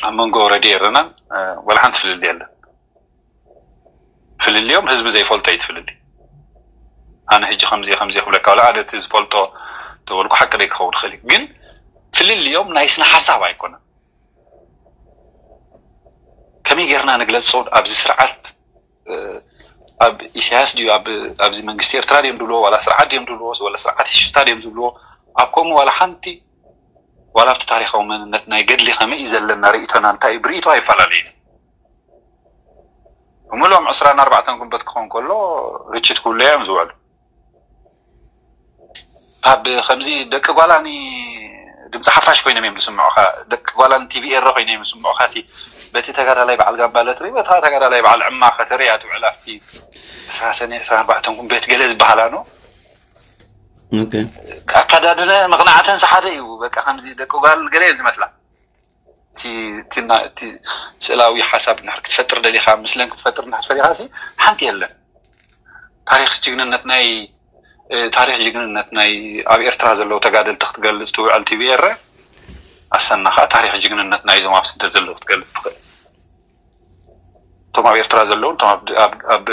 ኣብ መንጎ ረድዮ ኤረናን ወላ ሓንቲ ፍልል የለን ፍልልዮም ህዝቢ ዘይፈልጦ እዩ ትፍልል ኣነ ሕጂ ከምዚ ከምዚ ክብለካ ወላ ኣነ እቲ ዝፈልጦ ተበልኩ ሓቂ ደይ ክኸውን ይኽእል እዩ ግን ፍልልዮም ናይ ስነ ሓሳብ ኣይኮነን ከመይ ጌርና ንግለፆ ኣብዚ ስርዓት ኣብ ኢሳያስ ድዩ ኣብዚ መንግስቲ ኤርትራ ድዮም ዝብልዎ ዋላ ስርዓት ድዮም ዝብልዎ ወላ ስርዓት ሽፍታ ድዮም ዝብልዎ ኣብ ከምኡ ዋላ ሓንቲ ዋላ ኣብቲ ታሪኻዊ መንነት ናይ ገድሊ ከመይ እዩ ዘለና ርእይቶና እንታይ እዩ ብርእይቶ ኣይፈላለይን። ብምሎም ዕስራን ኣርባዕተን ጉንበት ክኾን ከሎ ርችት ክብሉ እዮም ዝውዕሉ። ካብ ከምዚ ደቂ ጓላኒ ድምፂ ሓፋሽ ኮይኖም እዮም ዝስምዑኻ። ደቂ ጓላኒ ቲቪ ኤረ ኮይኖም እዮም ዝስምዑኻ። እቲ በቲ ተጋዳላይ በዓል ጋምባለ ትርኢ፣ በታ ተጋዳላይ በዓል ዕማ ከተርኢ እያ ትውዕል። ኣብቲ ዕስራ ሰነ ዕስራን ኣርባዕተን ጉንበት ገለ ዝበሃላ ነው። ኣካዳድነ መቕናዕተን ሰሓደ እዩ። በቃ ከምዚ ደቂ ጓል ገለ እዮም ዝመስላ። እቲ ስእላዊ ሓሳብ ክትፈጥር ደሊኻ፣ ምስለን ክትፈጥር እንድሕር ፈሊኻ ሓንቲ የለን። ታሪክ ጅግንነት ናይ ታሪክ ጅግንነት ናይ ኣብ ኤርትራ ዘለዉ ተጋደልቲ ክትገልፅ ትውዕል ቲቪ ኤረ ኣሰና ከዓ ታሪክ ጅግንነት ናይዞም ኣብ ስደት ዘለዉ ክትገልፅ ትኽእል። እቶም ኣብ ኤርትራ ዘለውን እቶም ኣብ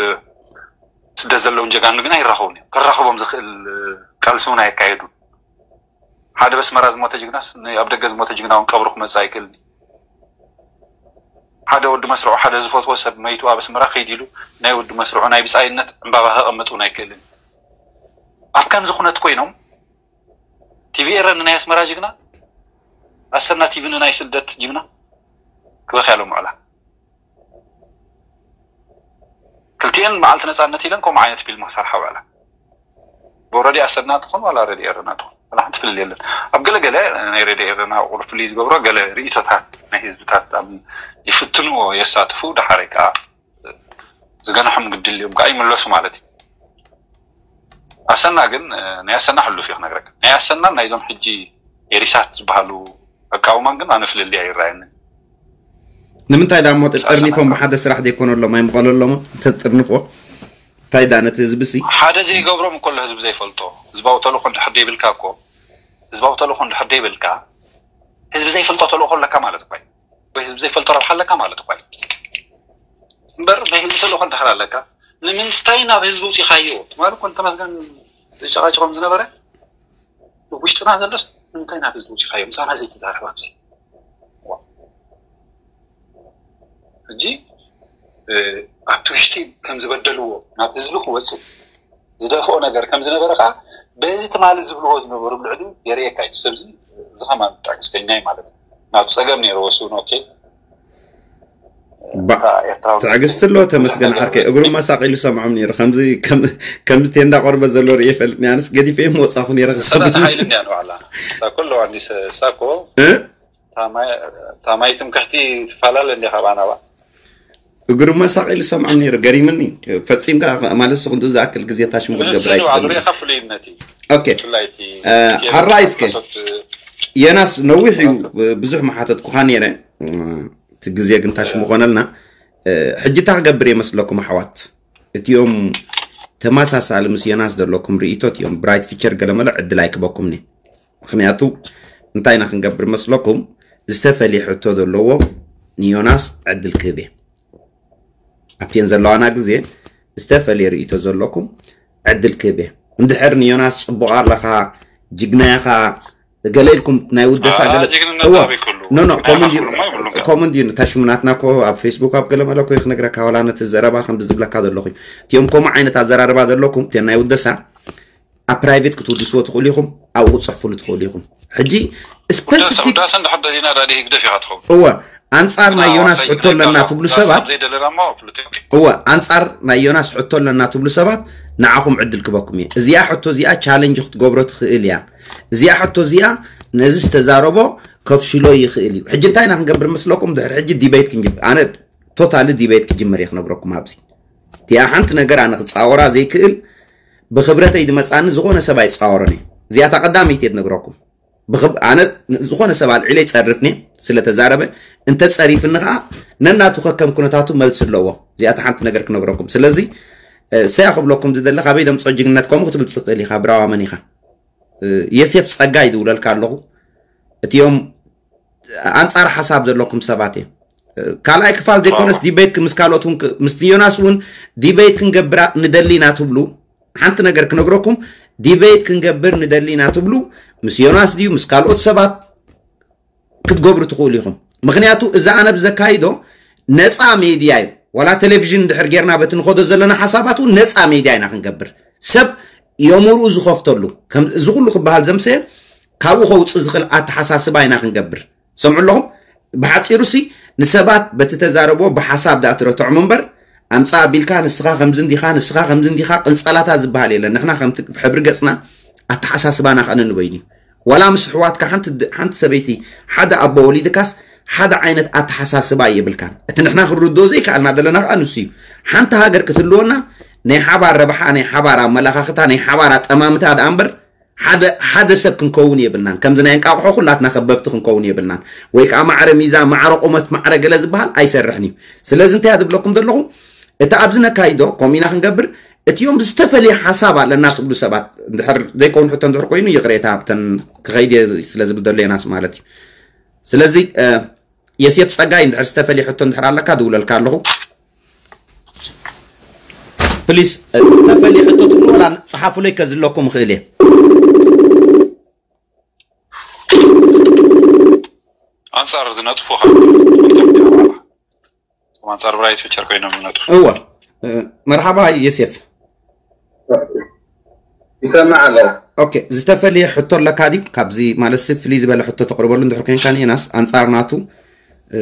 ስደት ዘለውን ጀጋኑ ግን ኣይራኸቡን እዮም። ከራኽቦም ዝኽእል ቃልሲ እውን ኣየካየዱን። ሓደ በስመራ ዝሞተ ጅግናስ ኣብ ደገ ዝሞተ ጅግና እውን ቀብሩ ክመፅእ ኣይክእልን። ሓደ ወዲ መስርዑ ሓደ ዝፈትዎ ሰብ መይቱ ኣብ ኣስመራ ከይድ ኢሉ ናይ ወዲ መስርዑ ናይ ብፃይነት ዕምባባ ከቐምጥ እውን ኣይክእልን። ኣብ ከምዚ ኩነት ኮይኖም ቲቪ ኤረ ንናይ ኣስመራ ጅግና ኣሰና ቲቪ ንናይ ስደት ጅግና ክበኽያሎም ውዕላ። ክልቲኤን መዓልቲ ነፃነት ኢለን ከምኡ ዓይነት ፊልም ክሰርሓ ውዕላ። ብኦረዲ ኣሰና ትኹን ዋላ ረዲ ኤረና ትኹን ዋላ ሓንቲ ፍልል የለን። ኣብ ገለገለ ናይ ረዲ ኤረና ቁር ፍልይ ዝገብሮ ገለ ርእቶታት ናይ ህዝብታት ይፍትንዎ የሳትፉ፣ ደሓረ ከዓ ዝገንሖም ግድል እዮም ከዓ ይምለሱ ማለት እዩ። ኣሰና ግን ናይ ኣሰና ሕሉፍ እዩ ክነግረካ። ናይ ኣሰናን ናይዞም ሕጂ ኤሪሳት ዝበሃሉ ኣቃውማን ግን ኣነ ፍልልይ ኣይረኣየንን። ንምንታይ ዳ እሞ ተጠርኒፎም ብሓደ ስራሕ ዘይኮነሎም ኣይምቐለሎም ተጠርንፎ እንታይ ዳ ነቲ ህዝቢ ሲ ሓደ ዘይገብሮም እኮ ህዝቢ ዘይፈልጦ ህዝባዊ ተልእኮ እንድሕር ደይብልካ እኮ ህዝባዊ ተልእኮ እንድሕር ደይብልካ ህዝቢ ዘይፈልጦ ተልእኮ ኣለካ ማለት እኮ ወይ ህዝቢ ዘይፈልጦ ረብሓ ኣለካ ማለት እኮ እምበር ናይ ህዝቢ ተልእኮ እንድሕር ኣለካ ንምንታይ ናብ ህዝቢ ውፂኻዮ ማለት እኮ ተመስገን ዝጨቃጨቆም ዝነበረ ውሽጥና ዘሎስ እንታይ ናብ ህዝቢ ውፂኻዮ ምሳና ዘይትዛረብ ኣብዚ ሕጂ ኣብቲ ውሽጢ ከም ዝበደልዎ ናብ ህዝቢ ክወፅእ ዝደፍኦ ነገር ከም ዝነበረ ከዓ በዚ ትማሊ ዝብልዎ ዝነበሩ ልዕሊ የርእየካ እዩ ሰብዚ እዚ ከማን ትዕግስተኛ እዩ ማለት እዩ ናቱ ፀገም ነይርዎ እሱ ኦኬ ትዕግስቲ ኣሎ ተመስገን ዓርከይ እግሩ መሳቂሉ ሰምዖም ነይሩ ከምዚ ከምዚ ቴንዳ ቆርበት ዘሎ ርእየ ፈልጥኒ ኣነስ ገዲፈ መውፃኹ ነይረ ሰዳት ሓይሊ እንዲያ ንባዕላ እሳ ኩሎ ኣንዲስ እሳ እኮ ታማይ ትምክሕቲ ትፈላለ እንዲያ ካብ ኣናባ እግሩ መሳቂሉ ሰምዖም ነይሩ ገሪምኒ ፈፂምካ ማለት ስኹንቱ ዝኣክል ግዜ ታሽሙ ክትገብር ንስኒ ባዕሉ ርእኻ ፍሉይነት እዩ ኦኬ ብፍላይ እቲ እ፣ ሓራይ እስከ የናስ ነዊሕ እዩ ብዙሕ መሓተትኩኻ ነይረ እቲ ግዜ ግን ታሽሙ ኮነልና ሕጂ እንታይ ክገብር የመስለኩም ኣሕዋት እቲኦም ተመሳሳሊ ምስ ዮናስ ዘለኩም ርእቶ እቲኦም ብራይት ፊቸር ገለመለ ዕድል ኣይክበኩም ኒ ምክንያቱ እንታይ ኢና ክንገብር መስለኩም ዝተፈልየ ሕቶ ዘለዎ ንዮናስ ዕድል ክህብ እየ ኣብቲን ዘለዋና ግዜ ዝተፈልየ ርእቶ ዘለኩም ዕድል ክህብ እየ እንድሕር ንዮናስ ፅቡቕ ኣለኻ ጅግና ኢኻ ገለ ኢልኩም ናይ ውደሳ ገለ ኖ ኖ ኮመን ድዩ ታሽሙናትና ኮ ኣብ ፌስቡክ ኣብ ገለ መለ ኮ ክነግረካ ዋላ ነቲ ዘረባ ከም ዝብለካ ዘለኹ እቲኦም ከምኡ ዓይነት ኣዘራርባ ዘለኩም እቲኦም ናይ ውደሳ ኣብ ፕራይቬት ክትውድስዎ ትኽእሉ ኢኹም ኣብኡ ክፅሕፍሉ ትኽእሉ ኢኹም ሕጂ ስፔሲፊክ እወ ኣንፃር ናይ ዮናስ ሕቶ ኣለና ትብሉ ሰባት እወ ኣንፃር ናይ ዮናስ ሕቶ ኣለና ትብሉ ሰባት ንዓኹም ዕድል ክበኩም እየ እዚኣ ሕቶ እዚኣ ቻለንጅ ክትገብሮ ትኽእል እያ እዚኣ ሕቶ እዚኣ ነዚ ዝተዛረቦ ከፍሽሎ ይኽእል እዩ ሕጂ እንታይ ኢና ክንገብር መስለኩም ድሕሪ ሕጂ ዲቤት ክንጅብ ኣነ ቶታሊ ዲቤት ክጅምር እየ ክነግረኩም ኣብዚ እቲኣ ሓንቲ ነገር ኣነ ክፃወራ ዘይክእል ብክብረተይ ዝመፃኒ ዝኾነ ሰብ ኣይፃወሮን እየ እዚኣታ ቀዳመይቲ እየ ትነግረኩም ኣነ ዝኾነ ሰብ ኣልዒለ ይፀርፍኒ ስለተዛረበ እንተፀሪፍኒ ከዓ ነናቱ ከከም ኩነታቱ መልሲ ኣለዎ እዚኣታ ሓንቲ ነገር ክነግረኩም ስለዚ ሰያ ክብለኩም ዝደለ ካበይ ደምፆ ጅግነት ከምኡ ክትብል ትኽእል ኢኻ ብራዋ መን ኢኻ የሴፍ ፀጋይ ዝውለልካ ኣለኹ እቲኦም ኣንፃር ሓሳብ ዘለኩም ሰባት እዮም ካልኣይ ክፋል ዘይኮነስ ዲቤት ምስ ካልኦት ምስ ዮናስ እውን ዲቤት ክንገብራ ንደሊ ኢና ትብሉ ሓንቲ ነገር ክነግረኩም ዲቤት ክንገብር ንደሊ ኢና ትብሉ ምስ ዮናስ ድዩ ምስ ካልኦት ሰባት ክትገብሩ ትኽእሉ ኢኹም ምክንያቱ እዚ ኣነ ብዘካይዶ ነፃ ሜድያ እዩ ዋላ ቴሌቪዥን እንድሕር ጌርና በቲ ንኸዶ ዘለና ሓሳባት እውን ነፃ ሜድያ ኢና ክንገብር ሰብ የምርኡ ዝኸፍተሉ እዚ ኩሉ ክበሃል ዘምሰየ ካብኡ ከውፅእ ዝኽእል ኣተሓሳስባ ኢና ክንገብር። ሰምዑ ኣለኹም? ብሓፂሩ ሲ ንሰባት በቲ ተዛረቦ ብሓሳብ ደኣ ትረትዖም እምበር፣ ኣምፃ ኣቢልካ ንስኻ ከምዚ እንዲኻ፣ ንስኻ ከምዚ እንዲኻ፣ ቅንፀላታ ዝበሃል የለን። ንሕና ከምቲ ሕብሪ ገፅና ኣተሓሳስባና ከኣ ነንበይኑ እዩ። ዋላ ምስ ኣሕዋትካ ሓንቲ ድ- ሓንቲ ሰበይቲ ሓደ ኣቦ ወሊድካስ ሓደ ዓይነት ኣተሓሳስባ የብልካን። እቲ ንሕና ክንርድኦ ዘይከኣልና ዘለና ከኣ ንሱ እዩ። ሓንቲ ሃገር ክትህልወና ናይ ሓባር ረብሓ፣ ናይ ሓባር ኣመላኻኽታ፣ ናይ ሓባር ኣጠማምታ ደኣ እምበር ሓደ ሓደ ሰብ ክንከውን የብልናን። ከምዚ ናይ እንቃቑሖ ኩላትና ከበብቲ ክንከውን የብልናን። ወይ ከዓ ማዕረ ሚዛን፣ ማዕረ ቁመት፣ ማዕረ ገለ ዝበሃል ኣይሰርሕን እዩ። ስለዚ እንታይ እያ ዝብለኩም ዘለኹ? እቲ ኣብዚ ነካይዶ ከምኡ ኢና ክንገብር። እቲኦም ዝተፈለየ ሓሳብ ኣለና ትብሉ ሰባት እንድሕር ዘይከውን ሕቶ እንድሕር ኮይኑ ይቕሬታ፣ ብተን ክኸይድ እየ ስለ ዝብል ዘሎ የናስ ማለት እዩ። ስለዚ የሴፍ ጸጋይ እንድሕር ዝተፈለየ ሕቶ እንድሕር ኣለካ ድውለልካ ኣለኹ። ፕሊስ ዝተፈለየ ሕቶ ትብሉ ወላ ጸሓፉለይ ከዝለኩም እኽእል እየ። ኣንጻር ዝነጥፉኻ ኣንጻር ብራይት ፊቸር ኮይኖም ይነጥፉ። እወ። መርሓባ የሴፍ። ይሰማዕ ኣሎ። ኦኬ፣ ዝተፈለየ ሕቶ ኣለካ ድዩ? ካብዚ ማለት ሲ ፍልይ ዝበለ ሕቶ ተቕርበሉ እንድሕር ኮንካ ንኤናስ ኣንጻር ናቱ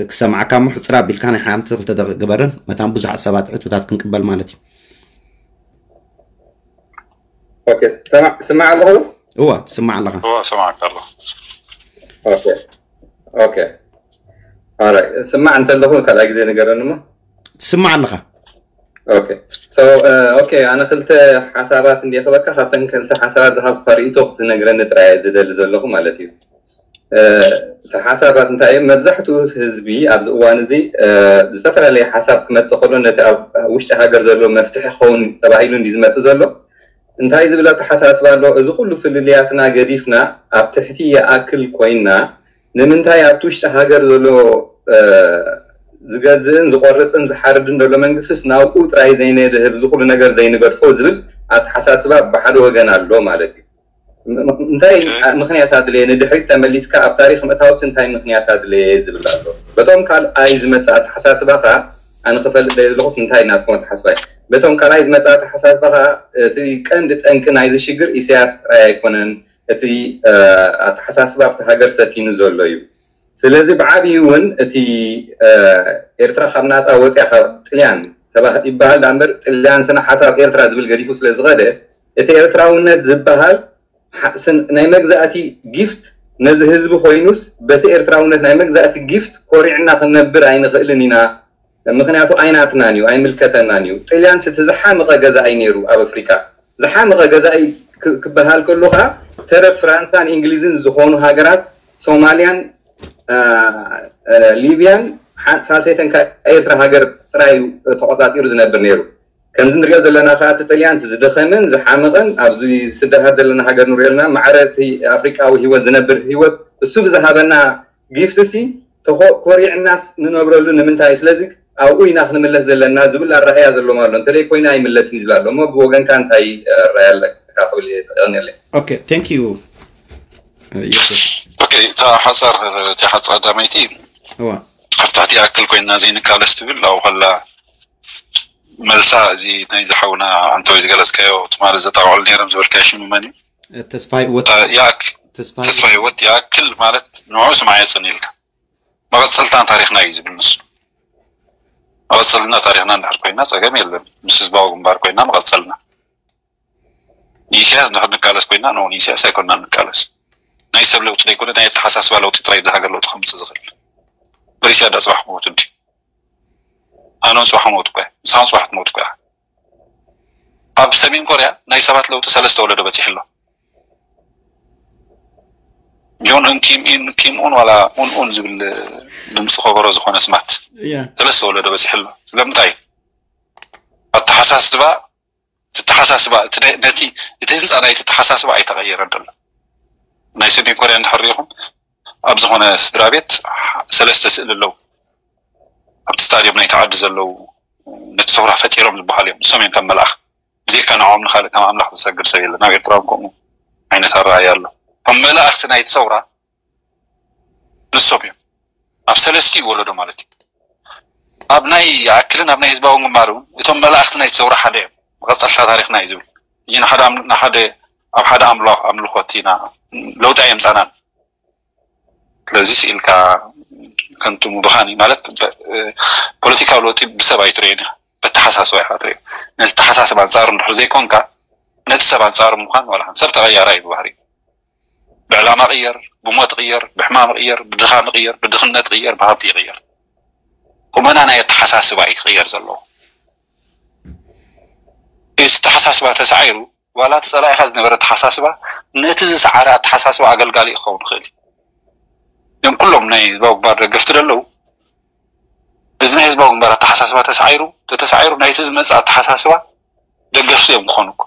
ክሰማዕካ እሞ ሕፅር ኣቢልካ ናይ ሓንቲ ክልተ ደቂቕ ግበርን መታን ብዙሓት ሰባት ሕቶታት ክንቅበል ማለት እዩ። ኦኬ፣ ስማዕ ኣለኹ። እወ ትስማዕ ኣለኻ። እወ ሰማዕካ ኣለኹ። ኦኬ ኦኬ። ኦራይ፣ ስማዕ እንተለኹ ካልኣይ ግዜ ንገረኒ እሞ። ትስማዕ ኣለኻ። ኦኬ ሶ ኦኬ፣ ኣነ ክልተ ሓሳባት እንዲየ ክበካ፣ ካብተን ክልተ ሓሳባት ዝሃብኩካ ርእይቶ ክትነግረኒ ጥራይ እየ ዝደሊ ዘለኹ ማለት እዩ። እቲ ሓሳባት እንታይ እዮም? መብዛሕትኡ ህዝቢ ኣብዚ እዋን እዚ ዝተፈላለየ ሓሳብ ክመፅእ ከሎ ነቲ ኣብ ውሽጢ ሃገር ዘሎ መፍትሒ ክኸውን ተባሂሉ እንዲ ዝመፅእ ዘሎ እንታይ ዝብል ኣተሓሳስባ ኣሎ? እዚ ኩሉ ፍልልያትና ገዲፍና ኣብ ትሕቲ ይኣክል ኮይና ንምንታይ ኣብቲ ውሽጢ ሃገር ዘሎ ዝገዝእን ዝቆርፅን ዝሓርድን ዘሎ መንግስትስ ናብኡ ጥራይ ዘይነድህብ እዚ ኩሉ ነገር ዘይንገድፎ ዝብል ኣተሓሳስባ ብሓደ ወገን ኣሎ ማለት እዩ። እንታይ ምክንያት ኣድለየ ንድሕሪት ተመሊስካ ኣብ ታሪክ ምእታውስ እንታይ ምክንያት ኣድለየ ዝብል ኣሎ። በቶም ካልኣይ ዝመፅእ ኣተሓሳስባ ከ ኣነ ክፈልጥ ደለኹስ እንታይ ናትኩም ኣተሓስባ እዩ። በቶም ካልኣይ ዝመፅእ ኣተሓሳስባ ከ እቲ ቀንዲ ጠንቂ ናይዚ ሽግር ኢሳያስ ጥራይ ኣይኮነን። እቲ ኣተሓሳስባ ኣብቲ ሃገር ሰፊኑ ዘሎ እዩ። ስለዚ ብዓብዩ እውን እቲ ኤርትራ ካብ ናፃ ወፅያ ካብ ጥልያን ይበሃል ዳ እምበር ጥልያን ስነ ሓሳብ ኤርትራ ዝብል ገዲፉ ስለ ዝኸደ እቲ ኤርትራውነት ዝበሃል ናይ መግዛእቲ ጊፍት ነዚ ህዝቢ ኮይኑስ በቲ ኤርትራውነት ናይ መግዛእቲ ጊፍት ኮሪዕና ክንነብር ኣይንኽእልን ኢና። ምክንያቱ ኣይናትናን እዩ፣ ኣይምልከተናን እዩ። ጥልያን ስቲ ዝሓመቐ ገዛኢ ነይሩ ኣብ ኣፍሪካ። ዝሓመቐ ገዛኢ ክበሃል ከሎ ከዓ ተረፍ ፍራንሳን እንግሊዝን ዝኾኑ ሃገራት ሶማልያን ሊብያን ሳልሰይተን ኤርትራ ሃገር ጥራይ ተቆፃፂሩ ዝነብር ነይሩ። ከምዚ ንሪኦ ዘለና ከዓ እቲ ጥልያን ዝደኸመን ዝሓመቐን ኣብዚ ስደታት ዘለና ሃገር ንሪኦ ዘለና ማዕረ እቲ ኣፍሪቃዊ ህይወት ዝነብር ህይወት እሱ ብዝሃበና ጊፍት ሲ ኮሪዕናስ ንነብረሉ ንምንታይ? ስለዚ ኣብኡ ኢና ክንምለስ ዘለና ዝብል ኣረኣያ ዘለዎም ኣሎ። እንተደይ ኮይና ኣይምለስን እዩ ዝብል ኣሎ። እሞ ብወገንካ እንታይ ኣረኣያ ኣለካ ክብል እየ ተቐንየለይ። ኦኬ thank you ዮሴፍ። ኦኬ እታ ሓፃር እቲ ሓፃር ቀዳመይቲ እዋ ኣብ ትሕቲ ይኣክል ኮይና ዘይንቃለስ ትብል ኣብኡ ከላ መልሳ እዚ ናይ ዝሓውና ኣንተወይ ዝገለፅካዮ ትማሊ ዘጣቕዕሉ ነይሮም ዝበልካዮ ሽሙ መን እዩ? ተስፋይ ወት ይኣክ ተስፋይ ተስፋ ህይወት ይኣክል ማለት ንዑ ስማዕ የፅን ኢልካ መቐፀልታ ታሪክና እዩ ዝብል ንሱ። መቐፀልና ታሪክና እንድሕር ኮይና ፀገም የለን። ምስ ህዝባዊ ግንባር ኮይና መቐፀልና ንኢሳያስ እንድሕር ንቃለስ ኮይና ን ኢሳያስ ኣይኮና ንቃለስ። ናይ ሰብ ለውጢ ዘይኮነ ናይ ኣተሓሳስባ ለውጢ ጥራይ እዚ ሃገር ለውጢ ከምፅእ ዝኽእል። በሪስያ ዳ ፅባሕ ክሞት እንዲ ኣነ እውን ፅባሕ ክሞት እኮ ንስኻ እውን ፅባሕ ትሞት እኮ። ኣብ ሰሜን ኮርያ ናይ ሰባት ለውጢ ሰለስተ ወለዶ በፂሑ ኣሎ። ጆን ኡን ኪም ኢን ኪም ኡን ዋላ ኡን ኡን ዝብል ድምፂ ከበሮ ዝኾነ ስማት ያ ሰለስተ ወለዶ በፂሑ ኣሎ። ስለምንታይ ኣተሓሳስባ ትተሓሳስባ ነቲ እቲ ህንፃ ናይ ትተሓሳስባ ኣይተቐየረን ዘሎ። ናይ ሰሜን ኮርያ እንድሕር ሪኢኹም ኣብ ዝኾነ ስድራ ቤት ሰለስተ ስእሊ ኣለዉ። ኣብቲ ስታድዮም ናይቲ ዓዲ ዘለዉ ነቲ ሰውራ ፈጢሮም ዝበሃሉ እዮም። ንሶም እዮም ከም መልኣኽ ብዘይካ ንዕኦም ንካልእ ከም ኣምላኽ ዝሰግድ ሰብ የለን። ኣብ ኤርትራ እውን ከምኡ ዓይነት ኣረኣእያ ኣሎ። ከም መላእኽቲ ናይቲ ሰውራ ንሶም እዮም። ኣብ ሰለስቲኡ ወለዶ ማለት እዩ። ኣብ ናይ ይኣክልን ኣብ ናይ ህዝባዊ ግንባር እውን እቶም መላእኽቲ ናይቲ ሰውራ ሓደ እዮም። መቐፀልታ ታሪኽና እዩ ዝብል። እዚ ንሓደ ኣም- ንሓደ ኣብ ሓደ ኣምሎ- ኣምልኾት ኢና ለውጢ ኣየምፃናን። ስለዚ ስኢልካ ከንቱ ምብኻን እዩ ማለት። ፖለቲካዊ ለውጢ ብሰብ ኣይትርእዮን ኢኻ፣ በተሓሳስባ ኢኻ ትርእዮ። ነቲ ተሓሳስባ ኣንፃሩ እንድሕር ዘይኮንካ፣ ነቲ ሰብ ኣንፃሩ ምዃን ዋላ ሰብ ተቐያራይ እዩ ብባህሪ። ብዕላማ ቅየር፣ ብሞት ቅየር፣ ብሕማም ቅየር፣ ብድኻም ቅየር፣ ብድኽነት ቅየር፣ ብሃብቲ ይቅየር። ቁመና ናይ ኣተሓሳስባ እዩ ክቅየር ዘለዎ። እዚ ኣተሓሳስባ ተሳዒሩ፣ ዋላ እቲ ጸላኢኻ ዝነበረ ኣተሓሳስባ ነቲ ዝሰዓረ ኣተሓሳስባ ኣገልጋሊ ክኸውን ይኽእል እዩ። እዞም ኩሎም ናይ ህዝባዊ ግንባር ደገፍቲ ደለዉ፣ እዚ ናይ ህዝባዊ ግንባር ኣተሓሳስባ ተሳዒሩ፣ ተተሳዒሩ ናይቲ ዝመጽእ ኣተሓሳስባ ደገፍቲ እዮም ክኾኑ እኮ።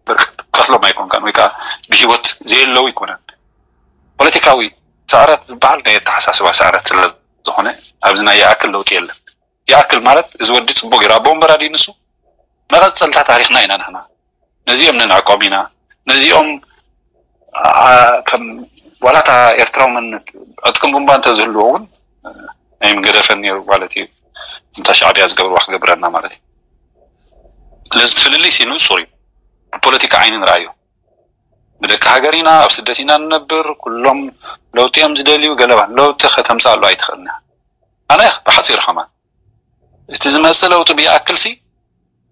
ብርግጽ ቀትሎም ኣይኮንካን ወይ ከዓ ብህይወት ዘየለዉ ኣይኮነን። ፖለቲካዊ ስዕረት ዝበሃል ናይ ኣተሓሳስባ ስዕረት ስለ ዝኾነ ኣብዚ ናይ ይኣክል ለውጢ የለን። ይኣክል ማለት እዚ ወዲ ጽቡቅ ገይሩ ኣቦ ወንበር ኣድዩ ንሱ መቐጸልታ ታሪኽና ኢና ንሕና። ነዚኦም ነንዕቆም ኢና። ነዚኦም ኣ- ከም ዋላ እታ ኤርትራዊ መንነት ዕጥቅን ቡምባ እንተዝህልዎ እውን ኣይምገደፈን ነይሩ ማለት እዩ። እንታ ሻዕብያ ዝገብርዋ ክገብረና ማለት እዩ። ስለዚ እቲ ፍልልይ ሲ ንጹር እዩ። ብፖለቲካ ዓይኒ ንርኣዮ። ብደቂ ሃገር ኢና፣ ኣብ ስደት ኢና ንነብር፣ ኩሎም ለውጢ እዮም ዝደልዩ፣ ገለባ ለውጢ ከተምጻሉ ኣይትኽእልና። ኣነ ብሓጺሩ ከማን እቲ ዝመጽእ ለውጢ ብይኣክል ሲ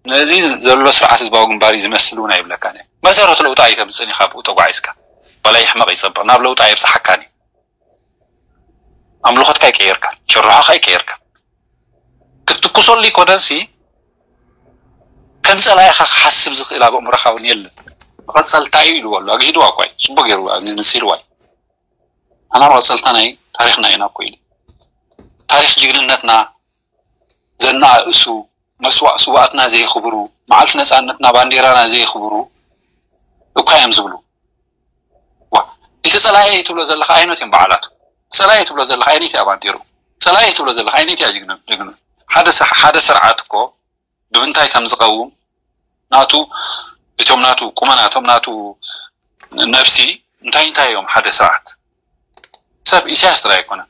ነዚ ዘሎ ስርዓት ህዝባዊ ግንባር እዩ ዝመስል እውን ኣይብለካን እየ። መሰረቱ ለውጢ ኣይተምጽእን ኢኻ ብኡ ተጓዒዝካ። ዋላ ይሕመቕ ይጸብቕ ናብ ለውጢ ኣየብጽሓካን እዩ። ኣምልኾትካ ኣይቀየርካን፣ ጭርሖኻ ኣይቀየርካን። ክትትኩሰሉ ይኮነን ሲ ከም ጸላኢኻ ክሓስብ ዝኽእል ኣብ ኣእምሮኻ እውን የለን። መቐጸልታ እዩ ኢልዎ ኣሎ። ኣግሂድዋ እኳ እዩ። ጽቡቅ ገይሩ ኣግንሲልዋ እዩ። ኣና መቐጸልታ ናይ ታሪኽና ኢና እኮ ኢሉ። ታሪኽ ጅግንነትና ዘናእእሱ መስዋእ ስዋኣትና ዘየኽብሩ፣ መዓልቲ ነጻነትና ባንዴራና ዘየኽብሩ እኳ እዮም ዝብሉ። ዋ፣ እቲ ጸላኤ ትብሎ ዘለኻ ኣይነት እዮም በዓላቱ። ጸላኤ ትብሎ ዘለኻ ኣይነት እያ ባንዴሩ። ጸላኤ ትብሎ ዘለኻ ኣይነት እያ ጅግኑ። ጅግኑ። ሓደ ሰ- ሓደ ስርዓት እኮ ብምንታይ ከም ዝቐውም ናቱ እቶም ናቱ ቁመናቶም ናቱ ነብሲ እንታይ እንታይ እዮም ሓደ ስርዓት ሰብ ኢሳያስ ጥራይ ኣይኮነን።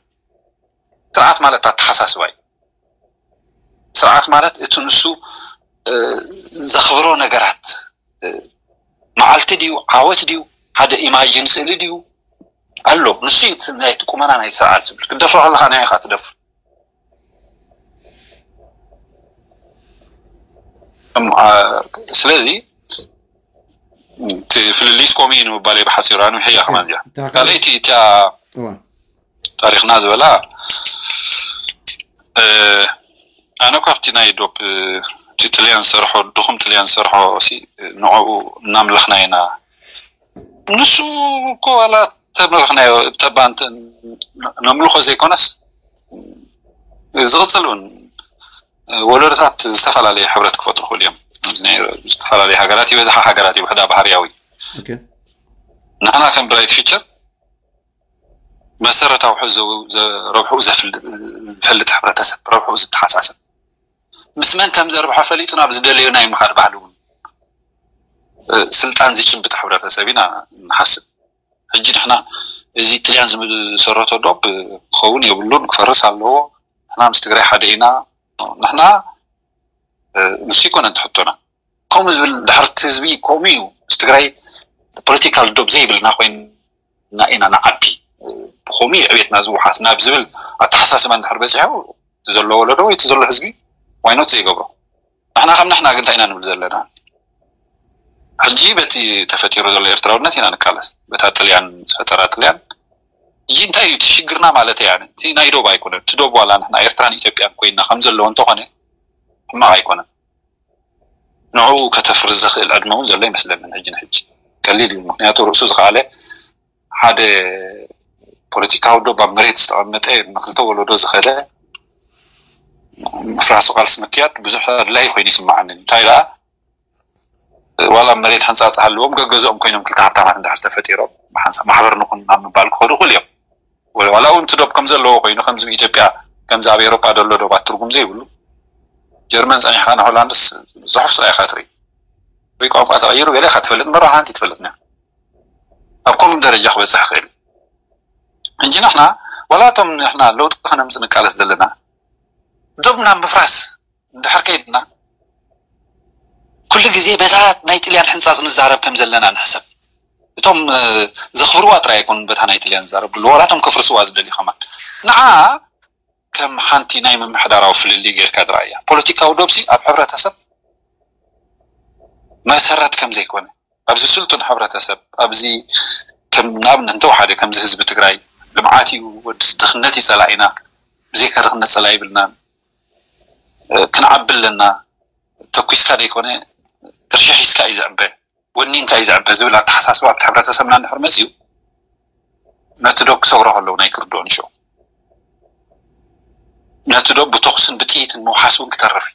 ስርዓት ማለት ኣተሓሳስባ እዩ። ስርዓት ማለት እቲ ንሱ እ፣ ዘኽብሮ ነገራት እ፣ መዓልቲ ድዩ ዓወት ድዩ ሓደ ኢማጂን ስእሊ ድዩ ኣሎ ንሱ እዩ እቲ ናይቲ ቁመና ናይ ስርዓት ዝብል ክትደፍሮ ከለካ ናይ ኢኻ ትደፍር። እም፣ አ፣ ስለዚ እቲ ፍልልይስ ከምኡ እዩ ንምባል እየ ብሓፂሩ ኣንዊሐያ ከማን እዚኣ ካልኣይቲ እቲኣ ታሪኽና ዝበላ ኣነ እኳ ኣብቲ ናይ ዶብ እቲ ጥልያን ዝሰርሖ ድኹም ጥልያን ዝሰርሖ ንዕኡ እናምለኽና ኢና። ንሱ እኮ ዋላ ተምልኽናዮ ተባ ነምልኾ ዘይኮነስ ዝቕፅል እውን ወለዶታት ዝተፈላለየ ሕብረት ክፈጥሩ ክኽእሉ እዮም። ዝተፈላለየ ሃገራት ይበዝሓ፣ ሃገራት ይውሕዳ ባህርያዊ። ንሕና ከም ብራይት ፊቸር መሰረታዊ ረብሕኡ ዝፈልጥ ሕብረተሰብ፣ ረብሕኡ ዝተሓሳሰብ፣ ምስ መን ከም ዘርብሖ ፈሊጡ ናብ ዝደለዮ ናይ ምኻድ ባህሊ እውን ስልጣን ዝጭብጥ ሕብረተሰብ ኢና ንሓስብ። ሕጂ ንሕና እዚ ጥልያን ዝሰረቶ ዶብ ክኸውን የብሉን፣ ክፈርስ ኣለዎ፣ ንሕና ምስ ትግራይ ሓደ ኢና፣ ንሕና ንሱ ይኮነን ትሕቶና። ከምኡ ዝብል ድሕርቲ ህዝቢ ከምኡ እዩ ምስ ትግራይ ፖለቲካል ዶብ ዘይብልና ኮይንና ኢና ንዓቢ፣ ብከምኡ እዩ ዕቤትና ዝውሓስ ናብ ዝብል ኣተሓሳስባ እንድሕር በፂሑ እቲ ዘሎ ወለዶ ወይ እቲ ዘሎ ህዝቢ ዋይኖት ዘይገብሮ ንሕና ከም ንሕና ግን እንታይ ኢና ንብል ዘለና? ሕጂ በቲ ተፈጢሩ ዘሎ ኤርትራውነት ኢና ንቃለስ። በታ ጥልያን ዝፈጠራ ጥልያን ሕጂ እንታይ እዩ እቲ ሽግርና ማለት እያ? እቲ ናይ ዶብ ኣይኮነን። እቲ ዶብ ዋላ ንሕና ኤርትራን ኢትዮጵያን ኮይና ከም ዘለዎ እንተኾነ ሕማቕ ኣይኮነን። ንዕኡ ከተፍርስ ዘኽእል ዕድመ እውን ዘሎ ይመስለንን ሕጂ ንሕጂ ቀሊል እዩ። ምክንያቱ ርእሱ ዝኸኣለ ሓደ ፖለቲካዊ ዶብ ኣብ መሬት ዝተቐመጠ ንክልተ ወለዶ ዝኸደ ምፍራሱ ቃልሲ ምክያድ ብዙሕ ኣድላይ ኮይኑ ይስምዓኒ። እንታይ ደኣ ዋላ መሬት ሕንፃፅ ሃልዎም ገገዝኦም ኮይኖም ክልተ ሃብታማት እንድሕር ተፈጢሮም ብሓንሳብ ማሕበር ንኹን ናብ ምባል ክኸዱ ይኽእሉ እዮም። ዋላ እውን እቲ ዶብ ከም ዘለዎ ኮይኑ ከምዚ ኢትዮጵያ ከምዚ ኣብ ኤሮጳ ዘሎ ዶባት ትርጉም ዘይብሉ ጀርመን ፀኒሕካ ንሆላንድስ ፅሑፍ ጥራይ ኢኻ ትርኢ ወይ ቋንቋ ተቐይሩ ገለ ኢኻ ትፈልጥ እምበር ሓንቲ ትፈልጥ ና ኣብ ከምኡ ደረጃ ክበፅሕ ይኽእል። ሕጂ ንሕና ዋላ እቶም ንሕና ለውጢ ከነምፅእ ንቃለስ ዘለና ዶብ ናብ ምፍራስ እንድሕር ከይድና ኩሉ ግዜ በታ ናይ ጥልያን ሕንፃፅ ንዛረብ ከም ዘለና ንሕሰብ። እቶም ዘኽብርዋ ጥራይ ኣይኮኑን በታ ናይ ጥልያን ዝዛረብሉ፣ ዋላ እቶም ከፍርስዋ ዝደልዩ ከማን። ንዓ ከም ሓንቲ ናይ ምምሕዳራዊ ፍልልይ ጌርካ ዝረኣያ። ፖለቲካዊ ዶብሲ ኣብ ሕብረተሰብ መሰረት ከም ዘይኮነ፣ ኣብዚ ስልጡን ሕብረተሰብ፣ ኣብዚ ከም ንኣብነት እንተወሓደ ከምዚ ህዝቢ ትግራይ ልምዓት እዩ ወድስ ድኽነት ይጸላኢና፣ ብዘይካ ድኽነት ጸላ ይብልናን። ክንዓቢ ኣለና፣ ተኩስካ ዘይኮነ ቅርሺ ሒዝካ እዩ ዝዕበ፣ ወኒንካ እዩ ዝዕበ ዝብል ኣተሓሳስባ ኣብቲ ሕብረተሰብና እንድሕር መፅዩ፣ ነቲ ዶብ ክሰግሮ ከለዉ ናይ ክርድኦ ንሽኦ፣ ነቲ ዶብ ብተኩስን ብጥይትን ምውሓስ እውን ክተርፍ እዩ።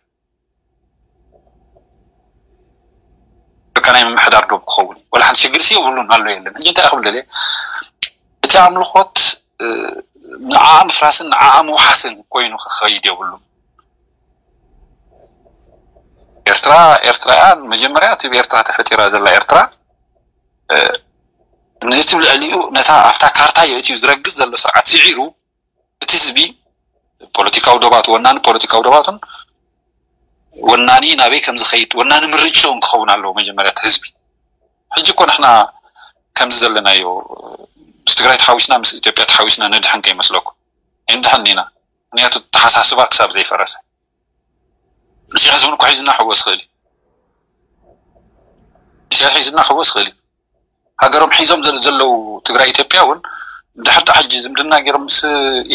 በቃ ናይ ምምሕዳር ዶብ ክኸውን እዩ። ወላ ሓንቲ ሽግር ሲ የብሉን፣ ኣሎ የለን። ሕጂ እንታይ ክብል ደልየ፣ እቲ ኣምልኾት ንዓ ምፍራስን ንዓ ምውሓስን ኮይኑ ክኸይድ የብሉን። ኤርትራ ኤርትራያን መጀመርያ እቲ ብኤርትራ ተፈጢራ ዘላ ኤርትራ ነቲ ልዕሊኡ ነታ ኣብታ ካርታ የእትዩ ዝረግጽ ዘሎ ስርዓት ስዒሩ እቲ ህዝቢ ፖለቲካዊ ዶባቱ ወናኒ ፖለቲካዊ ዶባቱን ወናኒ ናበይ ከም ዝኸይድ ወናኒ ምርጭኡን ክኸውን ኣለዎ። መጀመርያ እቲ ህዝቢ ሕጂ እኮ ንሕና ከምዚ ዘለናዮ ምስ ትግራይ ተሓዊስና ምስ ኢትዮጵያ ተሓዊስና ነድሕን ከይመስለኩም ኣይንድሕን ኢና። ምክንያቱ ተሓሳስባ ክሳብ ዘይፈረሰ ኢሳያስ እውን እኮ ሒዝና ክወስ ክእል እዩ። ኢሳያስ ሒዝና ክወስ ክእል እዩ። ሃገሮም ሒዞም ዘለ- ዘለዉ ትግራይ ኢትዮጵያ እውን ድሕር ዳ ሕጂ ዝምድና ገይሮም ምስ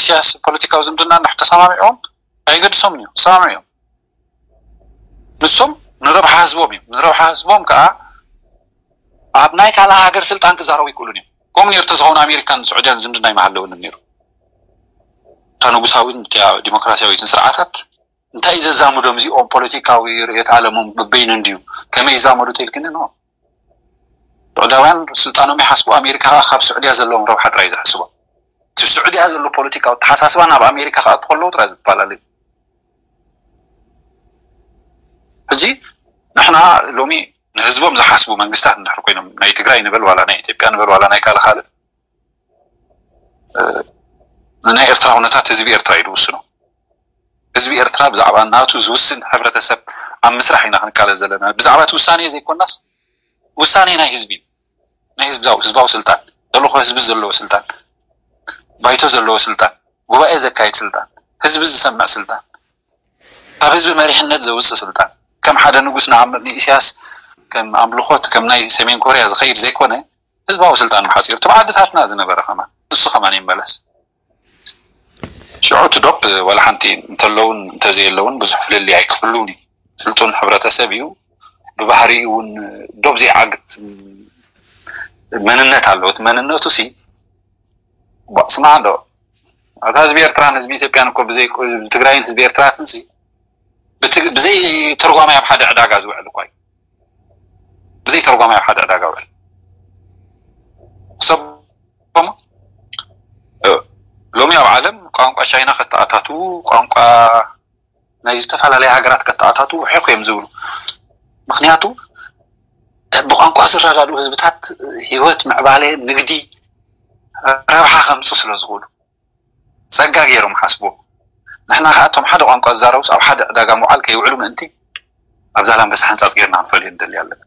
ኢሳያስ ፖለቲካዊ ዝምድና እንድሕር ተሰማሚዖም ኣይገድሶምን እዮም። ተሰማሚዑ እዮም። ንሶም ንረብሓ ህዝቦም እዮም። ንረብሓ ህዝቦም ከዓ ኣብ ናይ ካልእ ሃገር ስልጣን ክዛረቡ ይክእሉን እዮም። ከምኡ ነይሩ ተዝኸውን ኣሜሪካን ስዑድያን ዝምድና ይመሃለውንም ነይሩ። እታ ንጉሳዊን እቲያ ዲሞክራሲያዊትን ስርዓታት እንታይ እዩ ዘዛምዶም እዚኦም ፖለቲካዊ ርእየት ዓለሞም በበይኑ እንድዩ ከመይ ይዛመዱ ተልክኒ ነው። ስዑዳውያን ስልጣኖም ይሓስቡ ኣሜሪካ ከዓ ካብ ስዑድያ ዘለዎም ረብሓ ጥራይ ዝሕስቦ እቲ ስዑድያ ዘሎ ፖለቲካዊ ተሓሳስባ ናብ ኣሜሪካ ክኣቱ ከለዉ ጥራይ ዝፈላለዩ። ሕጂ ንሕና ሎሚ ንህዝቦም ዝሓስቡ መንግስታት እንድሕር ኮይኖም ናይ ትግራይ ንበል ዋላ ናይ ኢትዮጵያ ንበል ዋላ ናይ ካልእ ካልእ ንናይ ኤርትራ ኩነታት ህዝቢ ኤርትራ እዩ ዝውስኖ። ህዝቢ ኤርትራ ብዛዕባ ናቱ ዝውስን ሕብረተሰብ ኣብ ምስራሕ ኢና ክንቃለስ ዘለና። ብዛዕባ እቲ ውሳኔ ዘይኮናስ ውሳኔ ናይ ህዝቢ እዩ። ናይ ህዝባዊ ህዝባዊ ስልጣን ተልእኮ ህዝቢ ዘለዎ ስልጣን ባይቶ ዘለዎ ስልጣን ጉባኤ ዘካይድ ስልጣን ህዝቢ ዝሰምዕ ስልጣን ካብ ህዝቢ መሪሕነት ዘውፅእ ስልጣን ከም ሓደ ንጉስ ንኣምር ንኢሳያስ ከም ኣምልኾት ከም ናይ ሰሜን ኮርያ ዝኸይድ ዘይኮነ ህዝባዊ ስልጣን ብሓፂሩ እቲ ብዓድታትና ዝነበረ ከማን ንሱ ከማን ይመለስ። ሽዑ እቲ ዶብ ዋላ ሓንቲ እንተለውን እንተዘየለውን ብዙሕ ፍልልይ ኣይክህሉን እዩ። ስልጡን ሕብረተሰብ እዩ። ብባህሪኡ እውን ዶብ ዘይዓግት መንነት ኣለዎ። እቲ መንነቱ ሲ ስማዕ እንዶ ኣታ ህዝቢ ኤርትራን ህዝቢ ኢትዮጵያን እኮ ብዘይ ትግራይን ህዝቢ ኤርትራትን ሲ ብዘይ ተርጓማይ ኣብ ሓደ ዕዳጋ ዝውዕል እኳ እዩ። ብዘይ ተርጓማይ ኣብ ሓደ ዕዳጋ ውዕል ሰብ ሎሚ ኣብ ዓለም ቋንቋ ቻይና ከተኣታቱ ቋንቋ ናይ ዝተፈላለያ ሃገራት ከተኣታቱ ውሒኹ እዮም ዝብሉ። ምክንያቱ ብቋንቋ ዝረዳድኡ ህዝብታት ህይወት ምዕባለ ንግዲ ረብሓ ከምፁ ስለ ዝኽእሉ ጸጋ ገይሮም ሓስቦ ንሕና ከዓ እቶም ሓደ ቋንቋ ዝዛረቡስ ኣብ ሓደ ዕዳጋ ምውዓል ከይውዕሉ ምእንቲ ኣብ ዛላንበሳ ሕንፃፅ ገይርና ክንፈልዮ ንደሊ ኣለና።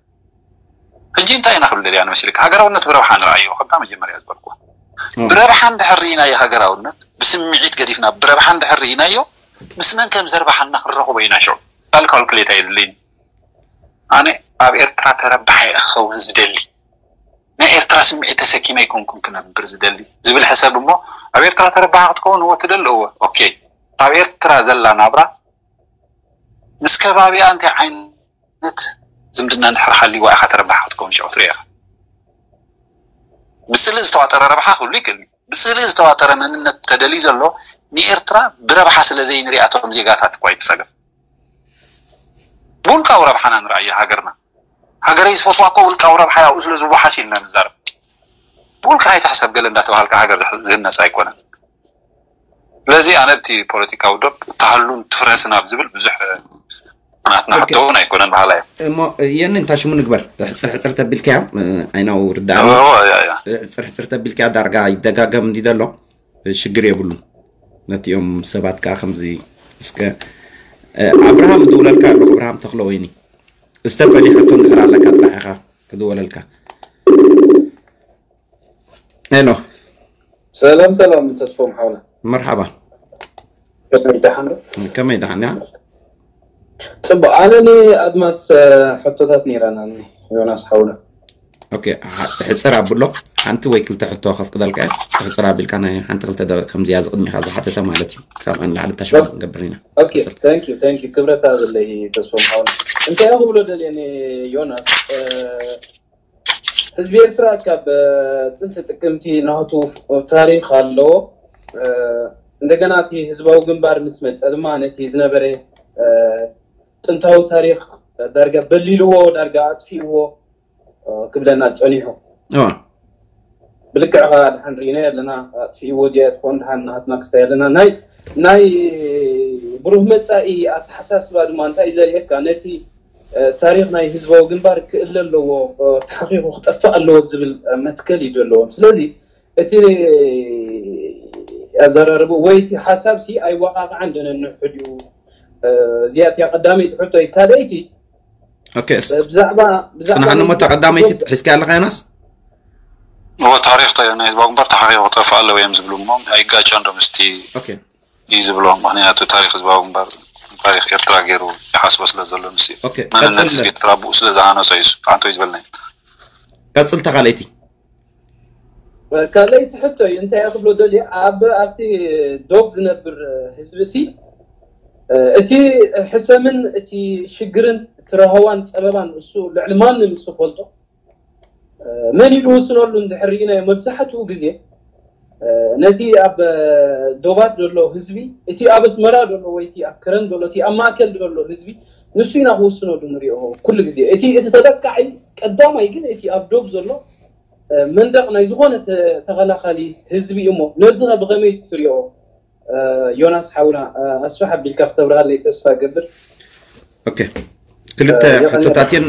ሕጂ እንታይ ኢና ክብል ደልያ ንመሲልካ ሃገራውነት ብረብሓ ንረኣዮ ከምታ መጀመርያ ዝበልኩ ብረብሓ እንድሕር ርኢናዮ ሃገራውነት ብስምዒት ገዲፍና ብረብሓ እንድሕር ርኢናዮ ምስ መን ከም ዘርባሓና ክንረኽቦ ኢና ሽዑ ካልካልኩሌት ኣየድልይን ኣነ ኣብ ኤርትራ ተረባሓ እየ ክኸውን ዝደሊ ናይ ኤርትራ ስምዒት ተሰኪመ ኣይኮንኩን ክነብር ዝደሊ ዝብል ሕሰብ እሞ ኣብ ኤርትራ ተረባሓ ክትከውን እዎ ትደሊ እዎ ኦኬ ኣብ ኤርትራ ዘላ ናብራ ምስ ከባቢኣ እንታይ ዓይነት ዝምድና እንድሕር ሃልይዋ ኢኻ ተረባሓ ክትከውን ሽዑ ትሪኦ ኢኻ ብስእሊ ዝተዋጠረ ረብሓ ክህሉ ይክእል ብስእሊ ዝተዋጠረ መንነት ተደልዩ ዘሎ ንኤርትራ ብረብሓ ስለ ዘይንሪኣ እቶም ዜጋታት እኳ ይትፀገም ብውልቃዊ ረብሓና ንረኣዮ ሃገርና ሃገረይ ዝፈትዋ እኮ ውልቃዊ ረብሓ ያብኡ ስለ ዝወሓስ ኢልና ንዛረብ ብውልቃ ኣይትሕሰብ ገለ እንዳተባሃልካ ሃገር ዝህነፅ ኣይኮነን ስለዚ ኣነ እቲ ፖለቲካዊ ዶብ ተሃሉን ትፍረስን ኣብ ዝብል ብዙሕ ናትና ሕቶ እውን ኣይኮነን በሃላ እየ እሞ የኒ እንታ ሽሙ ንግበር ሕፅር ሕፅር ተቢልካዮ ኣይናው ርዳእ ሕፅር ሕፅር ተቢልካዮ ዳርጋ ይደጋገም እንዲ ዘሎ ሽግር የብሉን ነቲኦም ሰባት ከዓ ከምዚ እስከ ኣብርሃም እድውለልካ ኣሎ ኣብርሃም ተክለ ወይኒ ዝተፈሊ ሕቶ እንድሕር ኣለካ ጥራሕ ኢኻ ክድወለልካ ሄሎ። ሰላም ሰላም፣ ተስፎም ሓውና። መርሓባ። ከመይ ደሓን ዶ? ከመይ ደሓን ያ? ጽቡቅ። ኣነ ንኣድማስ፣ እ፣ ሕቶታት ነይራና፣ ዮናስ ሓውና። ኦኬ፣ ሐ-፣ ሕጽር ኣብሎ። ሓንቲ ወይ ክልተ ሕቶ ከፍቅደልካ እየ። ሕጽር ኣቢልካ ናይ ሓንቲ ክልተ ደቂቕ ከምዚያ ዝቕድሚኻ ዝሓተተ ማለት እዩ። ካብ ኣን ላዕሊ ተሽማ ንገብር ኢና። ኦኬ፣ thank you፣ thank you። ክብረት ኣለይ፣ ተስፎም ሓውና። እንታይ ክብሎ ደልየ ንዮናስ፣ እ፣ ህዝቢ ኤርትራ ካብ፣ እ፣ ጥንቲ ጥቅምቲ ናቱ ታሪኽ ኣለዎ። እ፣ እንደገና እቲ ህዝባዊ ግንባር ምስ መጸ ድማ ነቲ ዝነበረ፣ እ፣ ጥንታዊ ታሪኽ ዳርጋ በሊልዎ፣ ዳርጋ ኣጥፊእዎ፣ እ፣ ክብለና ጸኒሑ። እዋ፣ ብልክዕ ኸኣ ድሓን ርኢና ኣለና፣ ኣጥፊእዎ ዲያ ትኾን ድሓን ናሃትና ክስታይ ኣለና። ናይ፣ ናይ ብሩህ መጻኢ ኣተሓሳስባ ድማ እንታይ እዩ ዘርእየካ? ነቲ፣ እ፣ ታሪኽ ናይ ህዝባዊ ግንባር ክእለ ኣለዎ፣ እ፣ ተሓኺኹ ክጠፍእ ኣለዎ ዝብል፣ እ፣ መትከል እዩ ዘለዎም። ስለዚ እቲ ኣዘራርቡ ወይ እቲ ሓሳብ ሲ ኣይወቃቅዓን ዶ ነንሕድ እዩ? እ፣ እዚኣ እቲያ ቀዳመይቲ ሕቶ እዩ። ካልኣይቲ፣ ኦኬ፣ ስ-፣ እ፣ ብዛዕባ፣ ብዛዕባ ጽናሕኒ እሞ ናይ እታ ቀዳመይቲ ሒዝካ ኣለኻ ዮናስ? እዎ፣ ታሪኽ ተ-፣ ናይ ህዝባዊ ግንባር ተሓኺኹ ክጠፍእ ኣለዎ እዮም ዝብሉ እሞ ኣይጋጨን ዶ ምስቲ ኦኬ፣ እዩ ዝብሎ። ምክንያቱ ታሪኽ ህዝባዊ ግንባር ታሪኽ ኤርትራ ገይሩ ይሓስቦ ስለ ዘሎ፣ ምስ ኦኬ፣ መንነት ቀጽል፣ ህዝቢ ኤርትራ ብኡ ስለ ዝሃነጾ እዩ። ኣንተ እዩ ዝበልና። ቀጽል ተኻለይቲ። ካልኣይቲ ሕቶ እዩ። እንታይ እየ ክብሎ ደልየ፣ ኣብ፣ ኣብቲ ዶብ ዝነብር ህዝቢ ሲ፣ እቲ ሕሰምን እቲ ሽግርን እቲ ረሃዋን ጸበባን እሱ ልዕሊ ማንም እሱ ፈልጦ፣ መን ኢሉ ውስነሉ እንድሕር ርኢናዮ፣ መብዛሕትኡ ግዜ ነቲ ኣብ ዶባት ዘሎ ህዝቢ፣ እቲ ኣብ ኣስመራ ዘሎ ወይ እቲ ኣብ ከረን ዘሎ፣ እቲ ኣብ ማእከል ዘሎ ህዝቢ፣ ንሱ ኢና ክውስነሉ ንሪኦ ኩሉ ግዜ። እቲ፣ እቲ ተጠቃዒ ቀዳማይ ግን እቲ ኣብ ዶብ ዘሎ፣ መንደቕ ናይ ዝኾነ ተ-፣ ተኸላኻሊ ህዝቢ እዩ። እሞ ነዚ ኸ ብኸመይ ትሪኦ? ዮናስ ሓውና፣ ኣስፍሕ ኣቢልካ ክተብርሃለይ ተስፋ እገብር። ኦኬ፣ ክልተ እ፣ የቐንየልና። ሕቶታት እየን።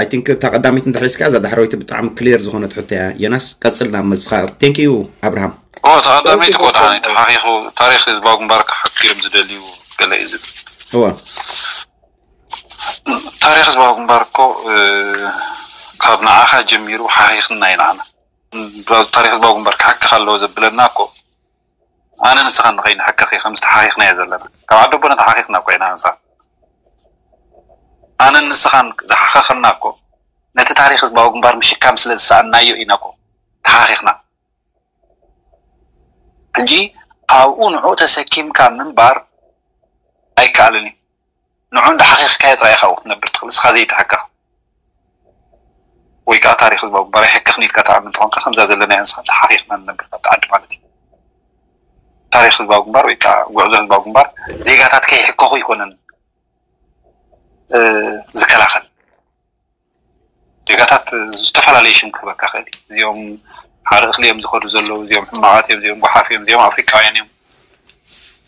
ኣይ ቲንክ እታ ቀዳመይቲ እንድሕር ሒዝካ፣ እዛ ዳሕረወይቲ ብጣዕሚ ክሊር ዝኾነት ሕቶ እያ። ዮናስ፣ ቀጽል ናብ መልስኻ። ቴንክ ዩ ኣብርሃም። ኦ፣ ተቐዳመይቲ Thank you እኮ ደሓን ተስፋ። ተሓኺኹ፣ ታሪኽ ህዝባዊ ግንባር ክሓክ እዮም ዝደልዩ ገለ እዩ ዝብል። እዋ፣ ታሪኽ ህዝባዊ ግንባር እኮ፣ እ፣ ካብ ንዓኻ ጀሚሩ ሓኺኽና ኢና ንዓና። ታሪኽ ህዝባዊ ግንባር ክሓክኽ ኣለዎ ዘብለና እኮ ኣነ ንስኻን ንኸይንሕከኽ እዩ፣ ከምዚ ተሓኺኽና እየ ዘለና። ካብ ዓዲ ኣቦና ተሓኺኽና እኮ ኢና ንስኻ። ኣነ ንስኻን ዝሓኸኽና እኮ ነቲ ታሪኽ ህዝባዊ ግንባር ምሽካም ስለ ዝሰኣንናዮ ኢና እኮ ተሓኺኽና። ሕጂ ኣብኡ ንዕኡ ተሰኪምካ ምንባር ኣይከኣልን እዩ። ንዑ እንዳሓኺኽካዮ ጥራይ ኢኻ ክትነብር ትኽእል፣ ንስኻ ዘይትሕከኽ። ወይ ከዓ ታሪኽ ህዝባዊ ግንባር ኣይሕከኽን ኢልካ ትኣምን እንተኾንካ፣ ከምዛ ዘለናዮ ንስኻ ተሓኺኽና ንነብር ካብቲ ዓዲ ማለት እዩ። ታሪኽ ህዝባዊ ግንባር ወይ ከዓ ጉዕዞ ህዝባዊ ግንባር ዜጋታት ከይሕከኹ ኣይኮነን፣ እ፣ ዝከላኸል። ዜጋታት ዝተፈላለየ ሽም ክህበካ ክእል እዩ። እዚኦም ሓደ እኽሊ እዮም ዝኸዱ ዘለዉ፣ እዚኦም ሕማቓት እዮም፣ እዚኦም ጓሓፍ እዮም፣ እዚኦም ኣፍሪቃውያን እዮም፣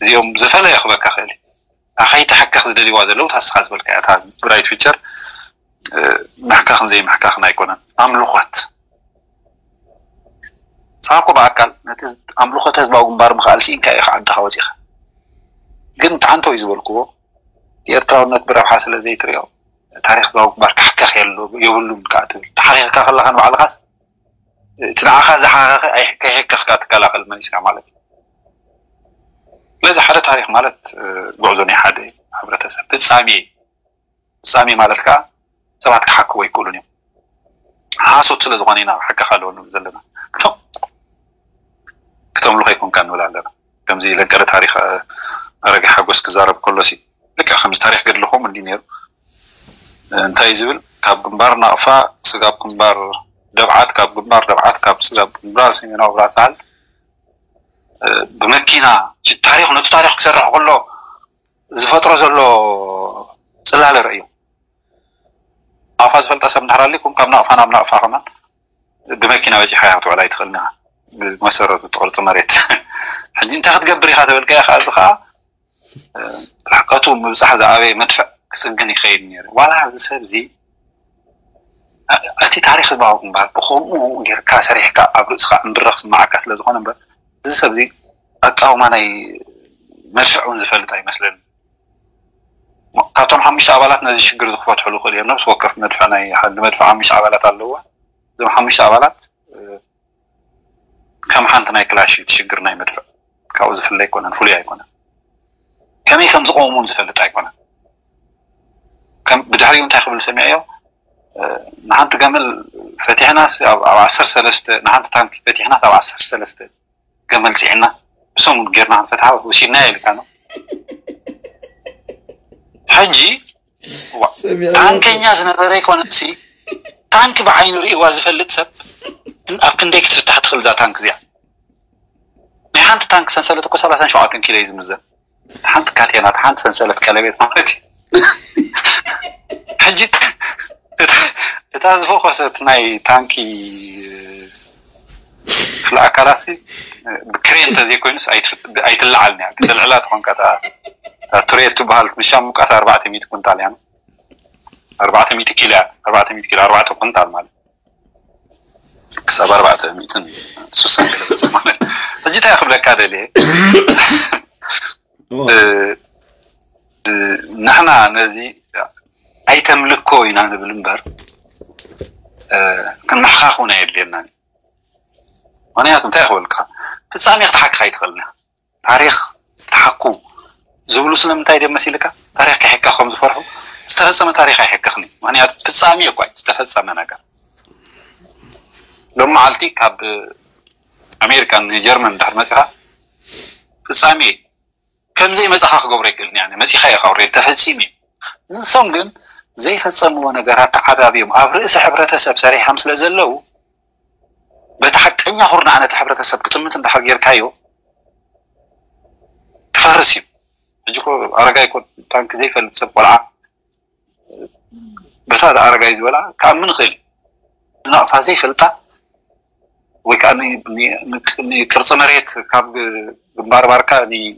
እዚኦም ዝፈለየ ክህበካ ክእል እዩ። ኣኸይተሐከኽ ዝደልይዋ ዘለዉ ታስኻ ዝበልካ እያ። እታ ብራይት ፊቸር፣ እ፣ ምሕካኽን ዘይምሕካኽን ኣይኮነን። ኣምልኾት። ንስኻ እኮ ብኣካል ነቲ ኣምልኾት ህዝባዊ ግንባር ምኽኣል ስኢንካ ኢኻ ዓድኻ ወፂኻ። ግን እቲ ዓንቶ እዩ ዝበልክዎ፣ እቲ ኤርትራውነት ብረብሓ ስለ ዘይትሪኦ፣ ታሪኽ ህዝባዊ ግንባር ክሕከኽ የሉ-፣ የብሉን ከኣ ትብል። ተሓኺኽካ ከለኻ ንባዕልኻስ፣ እቲ ንዓኻ ዝሓኸኸ ኣይ-፣ ከይሕከኽካ ትከላኸል መን ኢስካ ማለት እዩ። ስለዚ ሓደ ታሪኽ ማለት፣ እ፣ ጉዕዞ ናይ ሓደ ሕብረተሰብ ፍጻሜ እዩ። ፍጻሜ ማለት ከኣ ሰባት ክሓክዎ ኣይክእሉን እዮም። ሓሶት ስለ ዝኾነ ኢና ክሕከኽ ኣለዎ ንብል ዘለና። ክቶም-፣ ክተምልኾ ኣይኮንካ ንብል ኣለና። ከምዚ ለንቀለ ታሪኽ፣ እ፣ ኣረጋይ ሓጎስ ክዛረብ ከሎ ሲ፣ ልክዕ ከምዚ ታሪኽ ገድሊ ከምኡ እንዲ ነይሩ። እ፣ እንታይ እዩ ዝብል? ካብ ግንባር ናቕፋ፣ ስጋብ ግንባር ደብዓት፣ ካብ ግንባር ደብዓት፣ ካብ ስጋብ ግንባር ሰሜናዊ ብራሳል፣ እ፣ ብመኪና፣ እቲ ታሪኽ፣ ነቲ ታሪኽ ክሰርሕ ከሎ ዝፈጥሮ ዘሎ ጽላለ ርእዩ። ናቕፋ ዝፈልጣ ሰብ እንድሕር ኣሊኩም፣ ካብ ናቕፋ ናብ ናቕፋ ከማን ብመኪና በጺሕካ ክትውዕል ኣይትኽእልን ኢኻ፣ ብመሰረቱ እቲ ቅርጺ መሬት። ሕጂ እንታይ ክትገብር ኢኻ ተበልካዮ ከኣ፣ እዚ ከኣ፣ እ፣ ርሕቀቱ ምብጻሕ ዝኣበየ መድፍዕ ክጽግን ይኸይድ ነይሩ። ዋላ እዚ ሰብ እዚ፣ እ፣ እቲ ታሪኽ ህዝባዊ ግንባር ብኸምኡ ጌርካ ሰሪሕካ ኣብ ርእስኻ እምብረ ክስምዓካ ስለ ዝኾነ እምበር፣ እዚ ሰብ እዚ ኣቃውማ ናይ መድፍዕ እውን ዝፈልጥ ኣይመስለኒ። ካብቶም ሓሙሽተ ኣባላት ነዚ ሽግር እዚ ክፈትሕሉ ይኽእሉ እዮም። ነፍሲ ወከፍ መድፍዕ ናይ ሓንቲ መድፍዕ ሓሙሽተ ኣባላት ኣለዋ። እዞም ሓሙሽተ ኣባላት፣ እ፣ ከም ሓንቲ ናይ ክላሽ እዩ እቲ ሽግር ናይ መድፍዕ። ካብኡ ዝፍለ ኣይኮነን፣ ፍሉይ ኣይኮነን። ከመይ ከም ዝቐውም እውን ዝፈልጥ ኣይኮነን። ከም ብድሕሪኡ እንታይ ክብል ሰሚዐዮ? እ፣ ንሓንቲ ገመል ፈቲሕናስ ኣብ ኣብ ዓሰርተ ሰለስተ፣ ንሓንቲ ታንኪ ፈቲሕናስ ኣብ ዓሰርተ ሰለስተ ገመል ፅዒና ብሰሙን ጌርና ክንፈትሓ ወሲድና ኢልካ ነው። ሕጂ ዋ፣ ሰሚዐ ታንከኛ ዝነበረ ይኮነሲ፣ ታንክ ብዓይኑ ርእይዋ ዝፈልጥ ሰብ ኣብ ክንደይ ክትፍታሕ ትኽእል እዛ ታንክ እዚኣ? ናይ ሓንቲ ታንክ ሰንሰለት እኮ ሰላሳን ሸውዓተን ኪሎ እዩ ዝምዘን። ሓንቲ ካቴና፣ ሓንቲ ሰንሰለት ቀለቤት ማለት እዩ። ሕጂ እታ እታ ዝፈኮሰት ናይ ታንኪ ክፍለ ኣካላት ሲ ብክሬን እንተዘይኮይኑስ ኣይትፍ- ኣይትለዓልን እያ። ከተልዕላ ትኾንካ እታ እታ ቱሬት ትበሃል ንሻም ሙቃት ኣርባዕተ ሚእቲ ኩንታል እያ። ኣርባዕተ ሚእቲ ኪሎ እያ። ኣርባዕተ ሚእቲ ኪሎ፣ ኣርባዕተ ኩንታል ማለት ክሳብ ኣርባዕተ ሚእትን ስሳን ገለ ገጽ ማለት። ሕጂ እንታይ ክብለካ ደልየ? እ፣ እ፣ ንሕና ነዚ ኣይተምልኮ ኢና ንብል እምበር፣ እ፣ ክንምሕኻኽ እውን ኣየድልየናን እዩ። ምኽንያቱ እንታይ ክበልካ፣ ፍጻሜ ክትሓክኽ ኣይትኽእልን ኢኻ። ታሪኽ ትሓኩ ዝብሉ ስለምንታይ ድዮም መሲልካ? ታሪኽ ከይሕከኽ ከም ዝፈርሑ። ዝተፈጸመ ታሪኽ ኣይሕከኽን እዩ። ምኽንያቱ ፍጻሜ እኳ እዩ፣ ዝተፈጸመ ነገር። ሎም መዓልቲ ካብ ኣሜሪካ ንጀርመን እንድሕር መጺኻ፣ ፍጻሜ ከም ዘይመጻኻ ክገብሮ ኣይክእልን እየ። መጺኻ ኢኻ፣ ኦልሬዲ ተፈጺሙ እዩ። ንሶም ግን ዘይፈጸምዎ ነገራት ተዓባብዮም ኣብ ርእሲ ሕብረተሰብ ሰሪሖም ስለ ዘለዉ፣ በቲ ሓቀኛ ኩርናዕ ነቲ ሕብረተሰብ ክጥምት እንድሕር ጌርካዮ፣ ክፈርስ እዩ። ሕጂ እኮ ኣረጋይ እኮ ታንኪ ዘይፈልጥ ሰብ ቆልዓ፣ በታ ኣረጋይ ዝበላ ክኣምን ይኽእል እዩ። ንናቕፋ ዘይፈልጣ ወይ ከዓ ን- ን- ን- ንቅርፂ መሬት ካብ ግ- ግንባር ባርካ ን-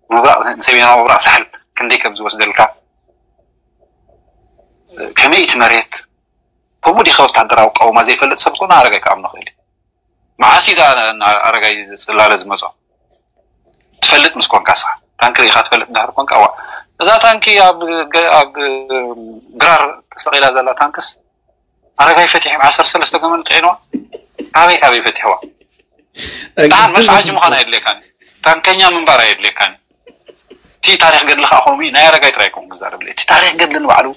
ምብራቕ፣ ንሰሜናዊ ምብራቕ ሳሕል ክንደይ ከም ዝወስደልካ፣ ከመይ እቲ መሬት፣ ከምኡ ዲኸ ወታደራዊ ኣቃውማ ዘይፈልጥ ሰብ ኮነ ኣረጋይ ክኣምኖ ክእል እዩ። መዓስ እዩ እዛ ን- ኣረጋይ ጽላለ ዝመጾ? ትፈልጥ ምስ ኮንካ ንስኻ። ታንኪ ርኢኻ ትፈልጥ እንድሕር ኮንካ፣ እዋ፣ እዛ ታንኪ ኣብ ገ- ኣብ ግራር ተሰቒላ ዘላ ታንክስ ኣረጋይ ፈቲሖም ዓሰርተ ሰለስተ ገመል ጽዒንዋ። ካበይ ካበይ ፈቲሕዋ? ደሓን መድፍዓጂ ምዃን ኣየድልየካን፣ ታንከኛ ምንባር ኣየድልየካን። እቲ ታሪኽ ገድሊ ከዓ ከምኡ እዩ። ናይ ኣረጋይ ጥራይ ኮም ክዛረብ እቲ ታሪኽ ገድሊ ንባዕሉ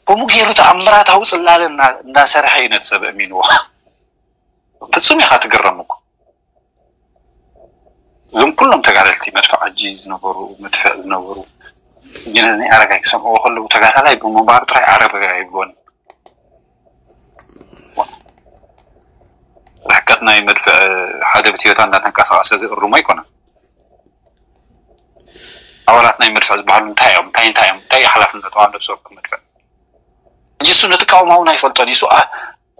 ከምኡ ገይሩ ተኣምራታዊ ጽላለ እና- እናሰርሐ እዩ ነቲ ሰብ ኣእሚንዎ። ፍጹም ኢኻ ትግረም እኮ። እዞም ኩሎም ተጋደልቲ መድፍዓጂ ዝነበሩ፣ መድፍዕ ዝነበሩ፣ ኢንጂነር ናይ ኣረጋይ ክሰምዕዎ ከለዉ ተጋዳላይ ብምንባሩ ጥራይ ኣረጋይ ኣይብልዎን። ርሕቀት ናይ መድፍዕ ሓደ ብትዮታ እንዳተንቀሳቐሰ ዝእርሞ ኣይኮነን። ኣባላት ናይ መድፍዕ ዝበሃሉ እንታይ እዮም? እንታይ እንታይ እዮም? እንታይ እዩ ሓላፍነቱ ኣብ ነብሲ ወከፍ መድፍዕ? ሕጂ እሱ ነቲ ቃውማውን ኣይፈልጦን እዩ። እሱ ኣ-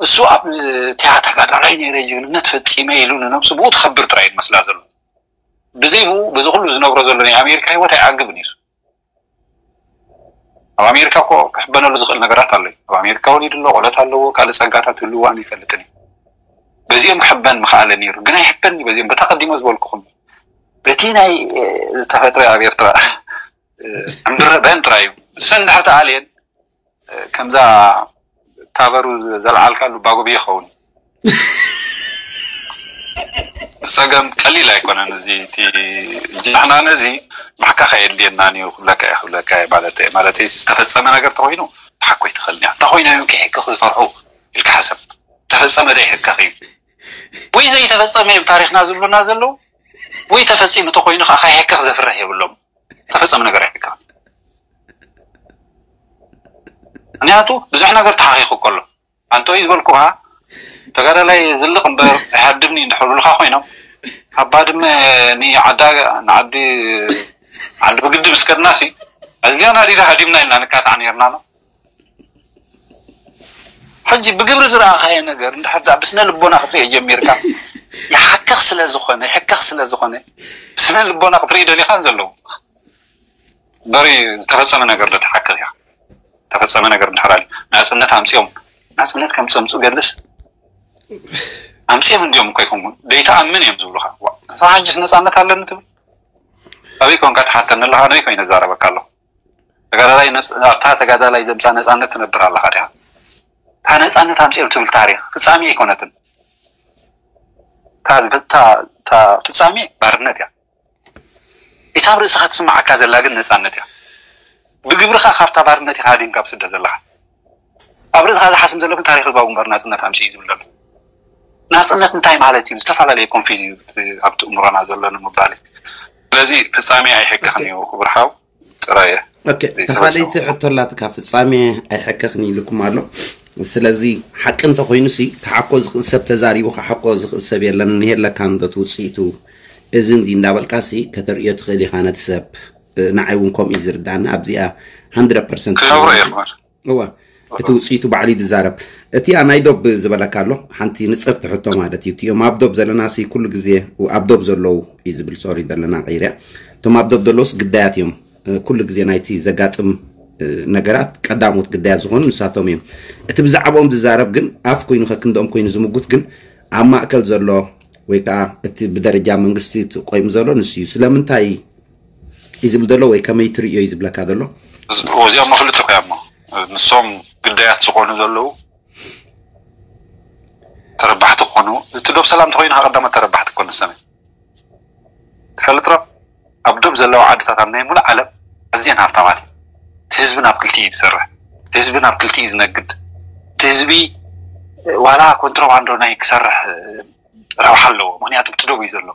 እሱ ኣብ እቲያ ተጋዳላይ ነይረ ጅግንነት ፈጺመ ኢሉ ንነብሱ ብኡ ትኸብር ጥራይ እዩ ዝመስላ ዘሎ። ብዘይ ብኡ በዚ ኩሉ ዝነብሮ ዘሎ ናይ ኣሜሪካ ህይወት ኣይዓግብን እዩ። ኣብ ኣሜሪካ እኮ ክሕበነሉ ዝኽእል ነገራት ኣሎ እዩ። ኣብ ኣሜሪካ ወሊዱ ኣሎ፣ ቆለት ኣለዎ፣ ካልእ ጸጋታት ህልዎ ኣነ ይፈልጥን እዩ። በዚኦም ክሕበን ምኽኣለ ነይሩ፣ ግን ኣይሕበን እዩ። በዚኦም በታ ቀዲሞ ዝበልኩኹም በቲ ናይ ዝተፈጥረ ኣብ ኤርትራ ዕምብረ በን ጥራይ እዩ። እሰን ድሕር ተኣልየን ከምዛ ታበሩ ዘልዓልካሉ ባጎቢ ይኸውን። ጸገም ቀሊል ኣይኮነን። እዚ እቲ ጃህና ነዚ ማሕካኽ ኣየድልየናን እዩ ክብለካ እየ፣ ክብለካ እየ ማለት እየ። ማለት ዝተፈጸመ ነገር ተኾይኑ ትሓኮ ይትኽእል እያ። እንተኾይኑ እዮም ከይሕክኽ ዝፈርሑ ኢልካ ሓሰብ። ተፈጸመ ዶ ይሕከኽ እዩ? ወይ ዘይተፈጸመ እዮም ታሪኽና ዝብሉና ዘለዉ፣ ወይ ተፈጺሙ ተኾይኑ ከዓ ከይሕከኽ ዘፍርሕ የብሎም። ተፈጸመ ነገር ኣይሕከኽን። ምክንያቱ ብዙሕ ነገር ተሓኺኹ ከሎ ኣንተ እዩ ዝበልኩኻ ተጋዳላይ ዝልቕ እምበር ኣይሃድምን እዩ እንድሕር ብሉኻ ኮይኖም ኣብ ባድመ ንዓዳ ንዓዲ ዓዲ ብግዲ ምስ ከድናሲ ኣዝጋና ዲዳ ሃዲምና ኢልና ንካታዕ ነርና ነው። ሕጂ ብግብሪ ዝረኣኻዮ ነገር እንድሕር ደኣ ብስነ ልቦና ክትሪኦ ጀሚርካ ይሓክኽ ስለ ዝኾነ ይሕከኽ ስለ ዝኾነ ብስነ ልቦና ክትርኢ ደሊኻን ዘለዉ በሪ ዝተፈጸመ ነገር ዶ ትሓክኽ ኢኻ? ዝተፈጸመ ነገር እንድሕር ኣልዩ ናጽነት ኣምጺኦም ናጽነት ከም ጸምጹ ገልስ ኣምጺኦም እንዲኦም እኮ ይኮንኩን ደይተኣምን እዮም ዝብሉኻ። ዋ፣ ንስኻ ሕጅስ ነጻነት ኣለኒ ትብል? ኣበይ ኮንካ ትሓተኒ ኣለኻ? ኣበይ ኮይነ ዝዛረበካ ኣለኹ? ተጋዳላይ ነብስ ኣብታ ተጋዳላይ ዘምጻ ነጻነት ትነብር ኣለኻ ዲኻ? እታ ነጻነት ኣምጺኦም ትብል ታሪኽ ፍጻሜ ኣይኮነትን። እታ ዝፍ- እታ እታ ፍጻሜ ባርነት እያ። እታ ኣብ ርእስኻ ትስምዓካ ዘላ ግን ነጻነት እያ። ብግብርኻ ካብታ ባርነት ኢኻ ሃዲምካ ኣብ ስደት ዘለኻ። ኣብ ርእስኻ ዝሓስም ዘሎ ግን ታሪኽ ህዝባዊ ግንባር ናጽነት ኣምጽኡ እዩ ዝብል ዘሎ። ናጽነት እንታይ ማለት እዩ? ዝተፈላለየ ኮንፊዝ እዩ ኣብቲ እምሮና ዘሎ ንምባል እዩ። ስለዚ ፍጻሜ ኣይሕከኽን እዩ ክቡር ሓው ጥራየ ኦኬ፣ ተኻሊቲ ሕቶ ኣላትካ። ፍጻሜ ኣይሕከኽን ኢልኩም ኣሎ። ስለዚ ሓቂ እንተኾይኑ ሲ ተሓኮ ዝኽእል ሰብ ተዛሪቡ፣ ክሓኮ ዝኽእል ሰብ የለን። የለካ እንዶ እቲ ውፅኢቱ እዚ እንዲ እንዳበልካ ሲ ከተርእዮ ትኽእል ኢኻ ነቲ ሰብ። ንዓይ እውን ከምኡ እዩ ዝርዳኒ ኣብዚኣ። ሓንድረድ ፐርሰንት ክነብሮ እየ ክመር እዋ፣ እቲ ውፅኢቱ ባዕሉ እዩ ዝዛረብ። እቲኣ ናይ ዶብ ዝበለካ ኣሎ። ሓንቲ ንፅርቲ ሕቶ ማለት እዩ። እቲኦም ኣብ ዶብ ዘለና ሲ ኩሉ ግዜ ኣብ ዶብ ዘለዉ እዩ ዝብል። ሶሪ ዘለና ቀይርያ። እቶም ኣብ ዶብ ዘለውስ ግዳያት እዮም። ኩሉ ግዜ ናይቲ ዘጋጥም ነገራት ቀዳሞት ግዳያት ዝኾኑ ንሳቶም እዮም። እቲ ብዛዕባኦም ዝዛረብ ግን ኣፍ ኮይኑ ከክንደኦም ኮይኑ ዝምጉት ግን ኣብ ማእከል ዘሎ ወይ ከዓ እቲ ብደረጃ መንግስቲ ቆይሙ ዘሎ ንሱ እዩ። ስለምንታይ እዩ ዝብል ዘሎ ወይ ከመይ ትርእዮ እዩ ዝብለካ ዘሎ? እዚኦም ክልተ እኮ እዮም። ንሶም ግዳያት ዝኾኑ ዘለዉ ተረባሕቲ ክኾኑ፣ እቲ ዶብ ሰላም ተኮይኑ ቀዳሞት ተረባሕቲ ክኮኑ ሰመ ትፈልጥ ዶ? ኣብ ዶብ ዘለዋ ዓድታት ኣብ ናይ ሙሉእ ዓለም ኣዝየን ሃብታማት እዩ። እቲ ህዝቢ ናብ ክልቲ እዩ ዝሰርሕ። እቲ ህዝቢ ናብ ክልቲ እዩ ዝነግድ። እቲ ህዝቢ ዋላ ኮንትሮባንዶ ናይ ክሰርሕ ረብሓ ኣለዎ። ምክንያቱ ብቲ ዶብ እዩ ዘሎ።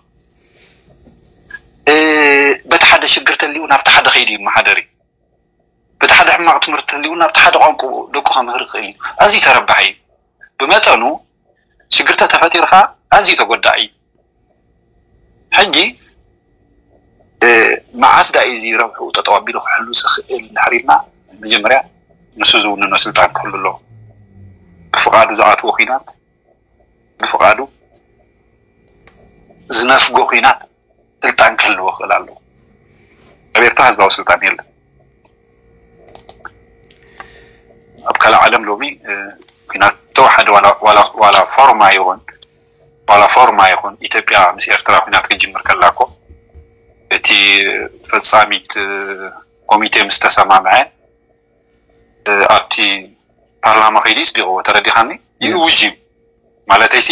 በቲ ሓደ ሽግር ተልዩ ናብቲ ሓደ ከይዱ ይመሓደር እዩ። በቲ ሓደ ሕማቕ ትምህርቲ ተልዩ ናብቲ ሓደ ቋንቋ ደቁ ከምህር ይኽእል እዩ። ኣዝዩ ተረባሒ እዩ። ብመጠኑ ሽግር ተተፈጢርካ ኣዝዩ ተጎዳኢ እዩ። ሕጂ መዓስ ዳእ እዚ ረብሑ ጠጠው ኣቢሉ ክሕሉ ዝኽእል እንድሕር ኢልና መጀመርያ ንሱ ዝውንኖ ስልጣን ክህሉ ኣለዎ። ብፍቓዱ ዝኣትዎ ኲናት ብፍቓዱ ዝነፍጎ ኲናት ስልጣን ክህልዎ ክእል ኣለዎ። ኣብ ኤርትራ ህዝባዊ ስልጣን የለን። ኣብ ካልእ ዓለም ሎሚ ኲናት ተወሓደ ዋላ ፎርማ ይኹን ዋላ ፎርማ ይኹን ኢትዮጵያ ምስ ኤርትራ ኲናት ክጅምር ከላ እኮ እቲ ፈጻሚት ኮሚቴ ምስ ተሰማምዐ ኣብቲ ፓርላማ ከይዱ ይጽዲቕዎ ተረዲኻኒ ይእውጅ እዩ ማለተይሲ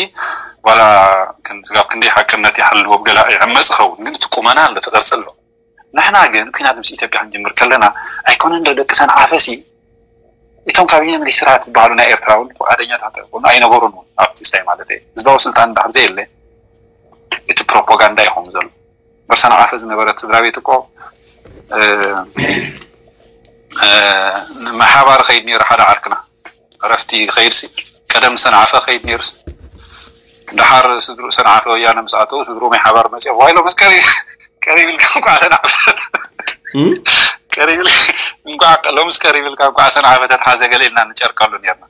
ዋላ ስጋብ ክንደይ ሓቅነት ይሓልዎም ገላ ይዕመፅ ኸውን ግን እቲ ቁመና ኣሎ ትቐርፂ ኣሎ ንሕና ግን ኩናት ምስ ኢትዮጵያ ክንጅምር ከለና ኣይኮነን ዶ ደቂ ሰንዓፈሲ እቶም ካቢነ ሚኒስትራት ዝበሃሉ ናይ ኤርትራ እውን ፍቃደኛታት ኣይኮኑ ኣይነበሩን እውን ኣብቲ ስታይ ማለት እዩ ህዝባዊ ስልጣን እንድሕር ዘየለ እቲ ፕሮፓጋንዳ ይኸውን ዘሎ በሰንዓፈ ዝነበረት ስድራ ቤት እኮ ንሓባር ኸይድ ነይሩ ሓደ ዓርክና ዕረፍቲ ኸይድሲ ቀደም ሰንዓፈ ኸይድ ነይሩስ ደሓር ስድሩ ሰንዓፈ ወያነ ምስ ኣተው ስድሩ ናይ ሓባር መፅኦም ዋይሎ ምስ ቀሪብ ቀሪብ ኢልካ እንኳዕ ሰንዓፈ ቀሪብ እንኳዕ ሎምስ ቀሪብ ኢልካ እንኳዕ ሰንዓፈ ተትሓዘ ገለ ኢልና ንጨርቀሉ ነርና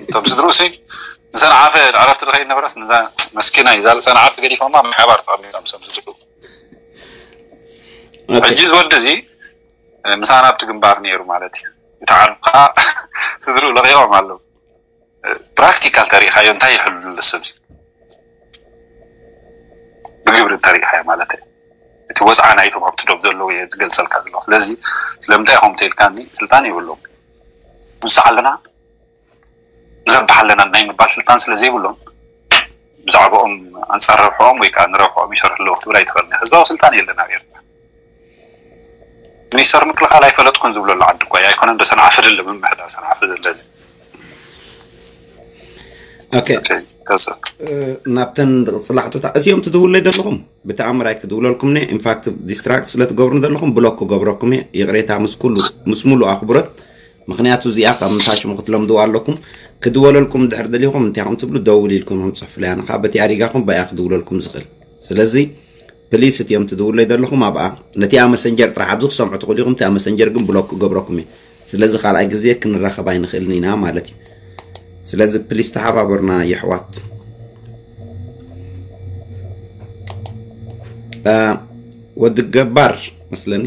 እቶም ስድሩሲ ንሰንዓፈ ዕረፍቲ ዝኸይድ ነበረስ መስኪና እዩ ዛል ሰንዓፈ ገዲፎማ ብሓባር ተቐሚጦም ሰም ዝስሑ ሕጂ ዝወዲ እዚ ምሳና ኣብቲ ግንባር ነይሩ ማለት እዩ። እቲ ዓርቢ ከዓ ስድርኡ ለቂቖም ኣለዉ። ፕራክቲካል ተሪኢኻዮ እንታይ ይሕሉ ሰብ ብግብሪ እንተሪኢኻዮ ማለት እዩ። እቲ ወፅዓ ናይቶም ኣብቲ ዶብ ዘለዉ እየ ዝገልፀልካ ዘለኹ። ስለዚ ስለምንታይ ኢኹም ተኢልካኒ ስልጣን የብሎም ንስዓ ኣለና ንረብሕ ኣለና ናይ ምባል ስልጣን ስለ ዘይብሎም ብዛዕባኦም ኣንፃር ረብሕኦም ወይ ከዓ ንረብሕኦም ይሰርሑ ኣለዉ ክትብል ኣይትኽእልን ህዝባዊ ስልጣን የለን ኣብ ኤርትራ ሚኒስተር ምክልኻል ኣይፈለጥኩን ዝብሎ ኣሎ ዓዲ እኳ ኣይኮነን ዶ ሰንዓፈ ደለ ምምሕዳር ሰንዓፈ ዘለዚ ናብተን ዝቕፅላ ሕቶታት እዚኦም ትድውለይ ዘለኹም ብተኣምር ኣይክድውለልኩም ነ ኢንፋክት ዲስትራክት ስለትገብሩ ዘለኹም ብሎክ ክገብረኩም እየ ይቕሬታ ምስ ሙሉ ኣኽብሮት ምኽንያቱ እዚኣ ካብ ምንታይ ሽሙ ክትለምድዋ ኣለኩም ክድወለልኩም እንድሕር ደሊኹም እንታይ ከም ትብሉ ደውል ኢልኩም ከም ፅሑፍለይ ኣነ ከዓ በቲ ኣሪጋኹም ባያ ክድውለልኩም ዝኽእል ስለዚ ፕሊስ እቲኦም ትድውለይ ዘለኹም ኣብኣ ነቲኣ መሰንጀር ጥራሕ ኣብዚ ክሰምዑ ትኽእሉ ኢኹም እቲኣ መሰንጀር ግን ብሎክ ክገብረኩም እዩ ስለዚ ካልኣይ ግዜ ክንራኸብ ኣይንኽእልን ኢና ማለት እዩ ስለዚ ፕሊስ ተሓባበሩና የሕዋት ወዲ ገባር መስለኒ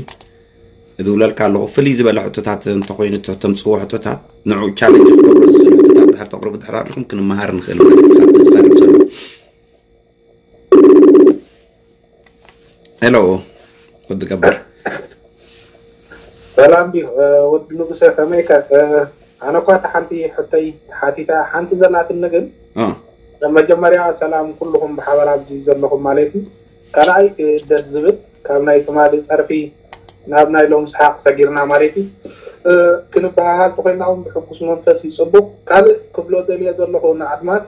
እድውለልካ ኣለኹ ፍልይ ዝበለ ሕቶታት እንተኮይኑ ተምፅዎ ሕቶታት ንዑ ቻለንጅ ክገብሮ ዝኽእል ሕቶታት ድሕር ተቅርቡ ድሕር ኣለኹም ክንመሃር ንኽእል ማለት እዩ ካብዚ ዝቀርብ ዘሎ ሄሎ ወዲ ገባር ሰላም ድዩ ወዲ ንጉሰ ከመይከ ኣነ እኳ እቲ ሓንቲ ሕቶይ ተሓቲታ ሓንቲ ዘላትኒ ግን መጀመርያ ሰላም ኩልኹም ብሓባር ኣብዚ ዘለኹም ማለት እዩ። ካልኣይ ደስ ዝብል ካብ ናይ ትማሊ ፀርፊ ናብ ናይ ሎም ሰሓቕ ሰጊርና ማለት እዩ። ክንበሃሃል ተኮይና እውን ብሕጉስ መንፈስ ይፅቡቕ። ካልእ ክብሎ ደልየ ዘለኹ ንኣድማስ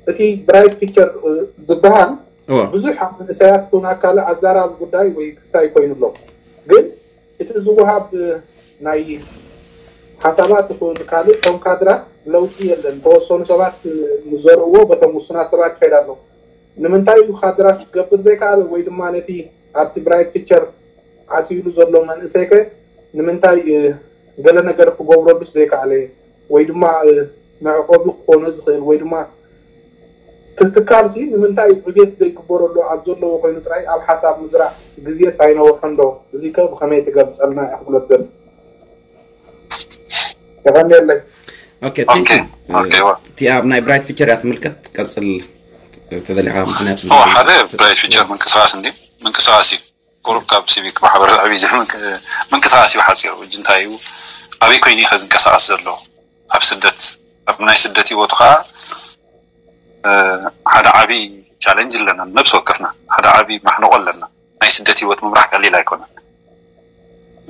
እቲ ብራይት ፊቸር ዝበሃል ብዙሕ ኣብ መንእሰያት ቱና ካልእ ኣዛራቢ ጉዳይ ወይ ክስታይ ኮይኑ ኣሎ። ግን እቲ ዝወሃብ ናይ ሓሳባት ይኹን ካልእ እቶም ካድራት ለውጢ የለን። ተወሰኑ ሰባት ንዘርእዎ በቶም ውሱናት ሰባት ይኸይድ ኣሎ። ንምንታይ እዩ ካድራት ክገብር ዘይከኣለ ወይ ድማ ነቲ ኣብቲ ብራይት ፊቸር ዓሲሉ ዘሎ መንእሰይከ ንምንታይ ገለ ነገር ክገብረሉስ ዘይከኣለ ወይ ድማ መዕቆቢ ክኾኖ ዝኽእል ወይ ድማ ትትካልሲ ንምንታይ ዕቤት ዘይግበረሉ ኣብ ዘለዎ ኮይኑ ጥራይ ኣብ ሓሳብ ምዝራእ ግዜስ ኣይነውሖን ዶ? እዚ ከ ብኸመይ ትገልጸልና ኢኻ ክብሎ ደሊ። የቐንየለይ። Okay, thank you. Okay, እቲኣ ኣብ ናይ ብራይት ፊቸር እያ ትምልከት። ቀፅል ተደሊኻ ምክንያት ሓደ ብራይት ፊቸር ምንቅስቃስ እንዲ ምንቅስቃስ እዩ። ቁሩብ ካብ ሲቪክ ማሕበረሰብ እዩ ምንቅስቃስ እዩ ሓፂሩ። እጅ እንታይ እዩ ኣበይ ኮይኑ ከ ዝንቀሳቀስ ዘሎ ኣብ ስደት ኣብ ናይ ስደት ህይወቱ ከዓ ሓደ ዓብይ ቻለንጅ ኣለና። ነብሲ ወከፍና ሓደ ዓብይ ማሕነቆ ኣለና። ናይ ስደት ህይወት ምምራሕ ቀሊል ኣይኮነን።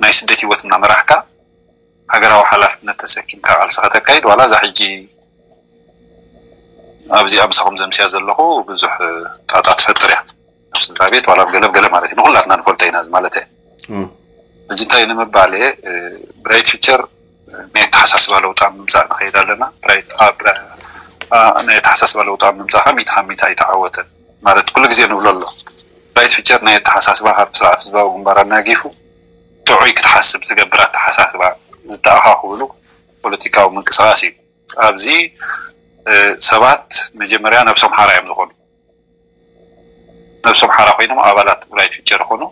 ናይ ስደት ህይወት እናመራሕካ ሃገራዊ ሓላፍነት ተሰኪምካ ቃልሲ ከተካይድ ዋላ እዛ ሕጂ ኣብዚኣ ምሳኹም ዘምስያ ዘለኹ ብዙሕ ጣጣ ትፈጥር እያ። ኣብ ስድራ ቤት ዋላ ኣብ ገለ ኣብ ገለ ማለት እዩ። ንኹላትና ንፈልጦ ኢና እዚ ማለት እየ። ሕጂ እንታይ ንምባል እየ ብራይት ፊቸር ናይ ኣተሓሳስባ ለውጢ ኣብ ምምፃእ ንኸይድ ኣለና። ናይ ኣተሓሳስባ ለውጢ ኣብ ምምፃእ ከዓ ሚእቲ ካብ ሚእቲ ኣይተዓወተን ማለት ኩሉ ግዜ ንብሎ ኣሎ። ብራይት ፊቸር ናይ ኣተሓሳስባ ካብ ስርዓት ህዝባዊ ግንባር ኣናጊፉ ጥዑይ ክትሓስብ ዝገብር ኣተሓሳስባ ዝተኣኻኽብሉ ፖለቲካዊ ምንቅስቃስ እዩ። ኣብዚ ሰባት መጀመርያ ነብሶም ሓራ እዮም ዝኾኑ። ነብሶም ሓራ ኮይኖም ኣባላት ብራይት ፊቸር ይኾኑ።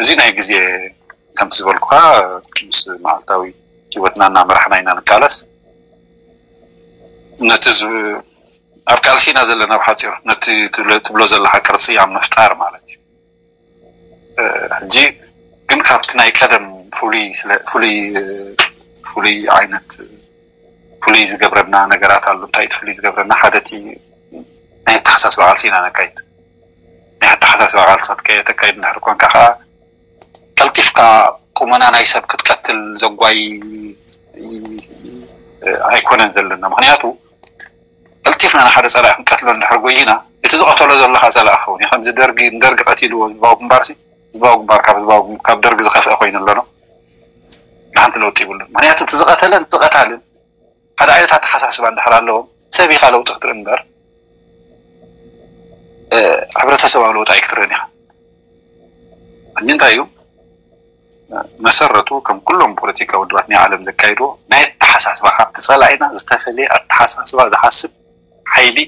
እዚ ናይ ግዜ ከምቲ ዝበልኩኻ ምስ መዓልታዊ ህይወትና እናመራሕና ኢና ንቃለስ። ነቲ ኣብ ቃልሲ ኢና ዘለና ብሓፂሩ ነቲ ትብሎ ዘለካ ቅርፂ ኣብ ምፍጣር ማለት እዩ። ሕጂ ግን ካብቲ ናይ ቀደም ፍሉይ ዓይነት ፍሉይ ዝገብረና ነገራት ኣሎ። እንታይ ፍሉይ ዝገብረና? ሓደ እቲ ናይ ኣተሓሳስባ ቃልሲ ኢና ነካይድ። ናይ ኣተሓሳስባ ቃልሲ ተካይድ እንድሕር ኮንካ ከዓ ቀልጢፍካ ቁመና ናይ ሰብ ክትቀትል ዘጓይ ኣይኮነን ዘለና። ምክንያቱ ቀልጢፍና ንሓደ ፀላኢ ክንቀትሎ እንድሕር ጎይና እቲ ዝቐተሎ ዘሎ ከዓ ፀላኢ ክኸውን እዩ። ከምዚ ደርጊ ንደርጊ ቀቲልዎ ህዝባዊ ግንባርሲ ህዝባዊ ግንባር ካብ ህዝባዊ ካብ ደርጊ ዝኸፍአ ኮይኑ ኣሎ ዶ? ንሓንቲ ለውጢ ይብሉን። ምክንያቱ እቲ ዝቐተለን እቲ ቀታልን ሓደ ዓይነት ኣተሓሳስባ እንድሕር ኣለዎም ሰብ ኢኻ ለውጢ ክትርኢ እምበር ሕብረተሰባዊ ለውጢ ኣይክትርእን ኢኻ። ሕጂ እንታይ እዩ መሰረቱ ከም ኩሎም ፖለቲካዊ ውድባት ናይ ዓለም ዘካይድዎ ናይ ኣተሓሳስባ ካብቲ ፀላኢና ዝተፈለየ ኣተሓሳስባ ዝሓስብ ሓይሊ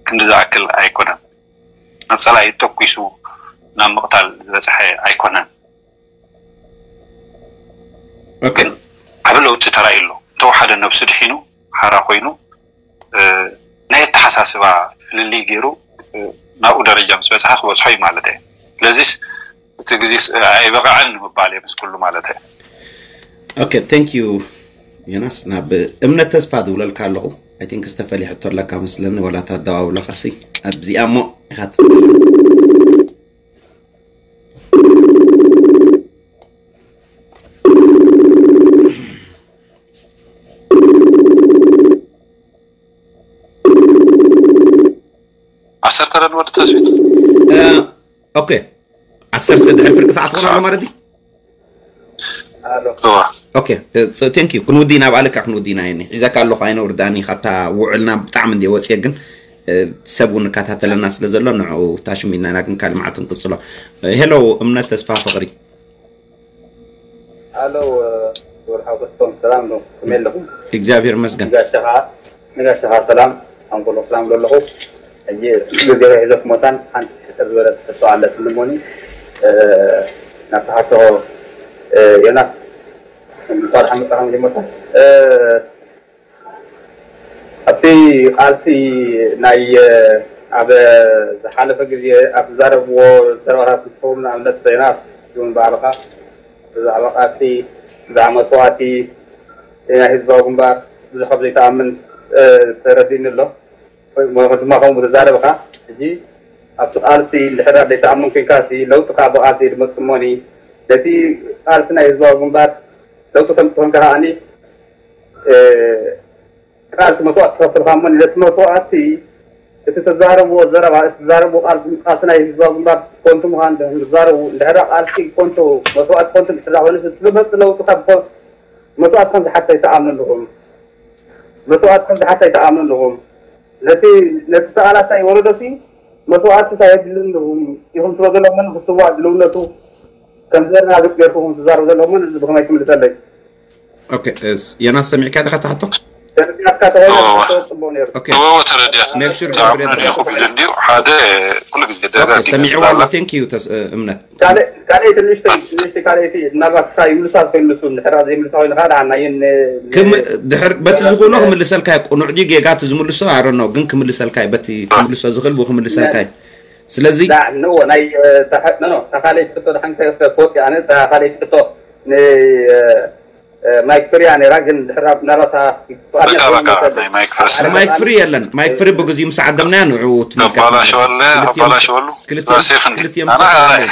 ክንዲ ዝኣክል ኣይኮነን። ናብ ፀላኢ ተኩሱ ናብ ምቕታል ዝበፅሐ ኣይኮነን። ግን ዓብ ለውጢ ተራእዩ ኣሎ። እንተወሓደ ነብሱ ድሒኑ ሓራ ኮይኑ ናይ ኣተሓሳስባ ፍልልይ ገይሩ ናብኡ ደረጃ ምስ በፅሐ ክበፅሖ እዩ ማለት እየ። ስለዚስ እቲ ግዜስ ኣይበቕዐን ንምባል እየ ምስ ኩሉ ማለት እየ። Okay, thank you ዮናስ። ናብ እምነት ተስፋ ዝብለልካ ኣለኹ። I think ዝተፈለየ ሕቶ ኣለካ መስለኒ፣ ዋላ እታ ኣደዋውላኻሲ ኣብዚኣ እሞ ኢኻ ዓሰርተ ረን ወዲ ተስፊት ኦኬ፣ ዓሰርተ ድሕሪ ፍርቂ ሰዓት ክኾን ኣሎ ማለት እዩ። ኦኬ፣ ቴንክ ዩ። ክንውዲ ኢና፣ ኣብ ኣልካ ክንውዲ ኢና። የኒ ሒዘካ ኣለኹ፣ ኣይነውርዳኒ። ካብታ ውዕልና ብጣዕሚ እንዲ ወፅየ፣ ግን ሰብ እውን እከታተለና ስለ ዘሎ ንዕኡ ታሽም ኢና፣ ግን ካልእ መዓልቲ ንቅፅሎ። ሄሎ እምነት ተስፋ ፍቕሪ። ኣሎ ወርሓው ተስፎም ሰላም ዶ? ከመይ ኣለኹም? እግዚኣብሔር ይመስገን። ንጋሻኻ ንጋሻኻ ሰላም ኣንቆሎ ሰላም ዶ ኣለኹ? ሕጂ ግዜ ሒዘ ክሞታን ሓንቲ ሕፅር ዝበለት ሕቶ ኣለትኒ ሞኒ ናብቲ ሓቶ ዮናስ እንኳን ሓመፃኻ መጀመርታ ኣብቲ ቃልሲ ናይ ኣብ ዝሓለፈ ግዜ ኣብ ዝዛረብዎ ዘረባታት ዝኸውን ንኣብነት ዮናስ እውን ባዕልኻ ብዛዕባ ቃልሲ ብዛዕባ መስዋእቲ ናይ ህዝባዊ ግንባር ብዙሕ ካብ ዘይተኣምን ተረዲኒ ኣሎ። ወይ ድማ ከምኡ ዝዛረብካ፣ ሕጂ ኣብቲ ቃልሲ እንድሕር ዘይተኣምን ኮይንካ፣ እቲ ለውጢ ከዓ ብቃልሲ ድመጽእ እሞኒ፣ ነቲ ቃልሲ ናይ ህዝባዊ ግንባር ለውጢ ከምፅእ ከዓኒ፣ ቃልሲ መስዋእቲ ትኸፍል እሞ፣ ነቲ መስዋእቲ፣ እቲ ተዛረብዎ ዘረባ፣ እቲ ተዛረብዎ ቃልሲ፣ ቃልሲ ናይ ህዝባዊ ግንባር ኮንቱ ምዃን ዝዛረቡ፣ እንድሕር ቃልሲ ኮንቱ፣ መስዋእቲ ኮንቱ እንድሕር ኮይኑ፣ እቲ ዝመፅእ ለውጢ ካብ ኮ-፣ መስዋእቲ ከም ዝሓትት ኣይትኣምኑ ኣለኹም። መስዋእቲ ከም ዝሓትት ኣይትኣምኑ ኣለኹም። ነቲ፣ ነቲ ተቓላሳይ ወለዶሲ መስዋእቲ እንታይ የድልን ኢኹም ትብሎ ዘለኹም፣ ክስዋእ ድልውነቱ ከም ዘረጋግጽ ጌርኩም ትዛረቡ ዘለኹም፣ እዚ ብኸመይ ትምልሰለይ? ኦኬ፣ እስ-፣ ዮናስ ሰሚዕካ ዲኻ ትሓቶ? ተረዲኣካ ተኾይኑ እወ። ጽቡቕ ነይሩ። ኦኬ፣ እወ ተረዲኣ make sure ብጣዕሚ ገብረ ረዲኹ ተረዲኣ። ብልንዲዩ ሓደ ኩሉ ግዜ ኦኬ፣ ደጋጊመ ሰሚዕዋ ስላላ ኣሎ። Thank you ተስ-፣ እ፣ እምነት። ኦኬ። ካልእ ካልእ ትንሽተይ ትንሽተይ ካልኣይቲ ናባትካ ይምልሳ ኮይኑሱ እንድሕር ዘይምልሳ ኮይኑ ከዓ ደሓና ይን ክም ድሕር በቲ ዝኾኖ ክምልሰልካ እዩ። ቁኑዕ ድዩ ጌጋ እቲ ዝምልሶ ኣረኖ ግን ክምልሰልካ እዩ። በቲ ክምልሶ ዝኽእል ብኡ ክምልሰልካ እዩ። ስለዚ ዳ ንዎ ናይ ኖ ኖ ካልኣይቲ ሕቶ ደሓን ከወፂ ኣነ ካልኣይቲ ሕቶ ን ማይክ ፍርያ ነይራ ግን ድሕር ናባታ በቃ በቃ ናይ ማይክ ፍርስ ማይክ ፍሪ የለን። ማይክ ፍሪ ብግዚኡ ምስ ዓደምናያ ንዑ ከባላሸወለ ከባላሸወሉ ክልቲኦም ሴፍ እንዲ ክልቲኦም ኣና ዝፈላለዩ።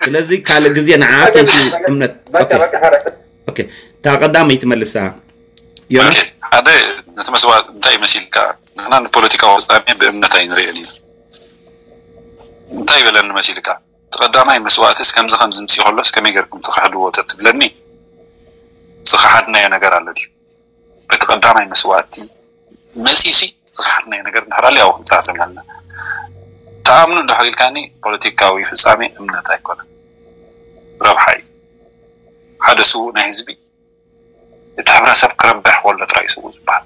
ስለዚ ካልእ ግዜ ንዓ thank you እምነት። በቃ ኦኬ በቃ ሓረ ኦኬ። እታ ቀዳመይቲ መልሳ ዮናስ። ኦኬ፣ ሓደ ነቲ መስዋእቲ እንታይ መሲልካ? ንሕና ንፖለቲካዊ ፍጻሜ ብእምነት ኣይንርእን ኢና። እንታይ ይበለኒ መሲልካ? እቲ ቀዳማይ መስዋእትስ ከምዚ ከምዚ ምጽእ ከሎስ ከመይ ጌርኩም ትኽሕድዎ ተትብለኒ፣ ዝኸሓድናዮ ነገር ኣሎ ድዩ? በቲ ቀዳማይ መስዋእቲ መጺሲ ዝኸሓድናዮ ነገር እንድሕር ኣሎ ያው ክንተዛዘም ኣለና። ተኣምኑ እንድሕር ኢልካኒ ፖለቲካዊ ፍጻሜ እምነት ኣይኮነን፣ ረብሓ እዩ። ሓደ ስዉእ ናይ ህዝቢ እቲ ሕብረተሰብ ክረብሕ ከሎ ጥራይ ስዉእ ዝበሃል፣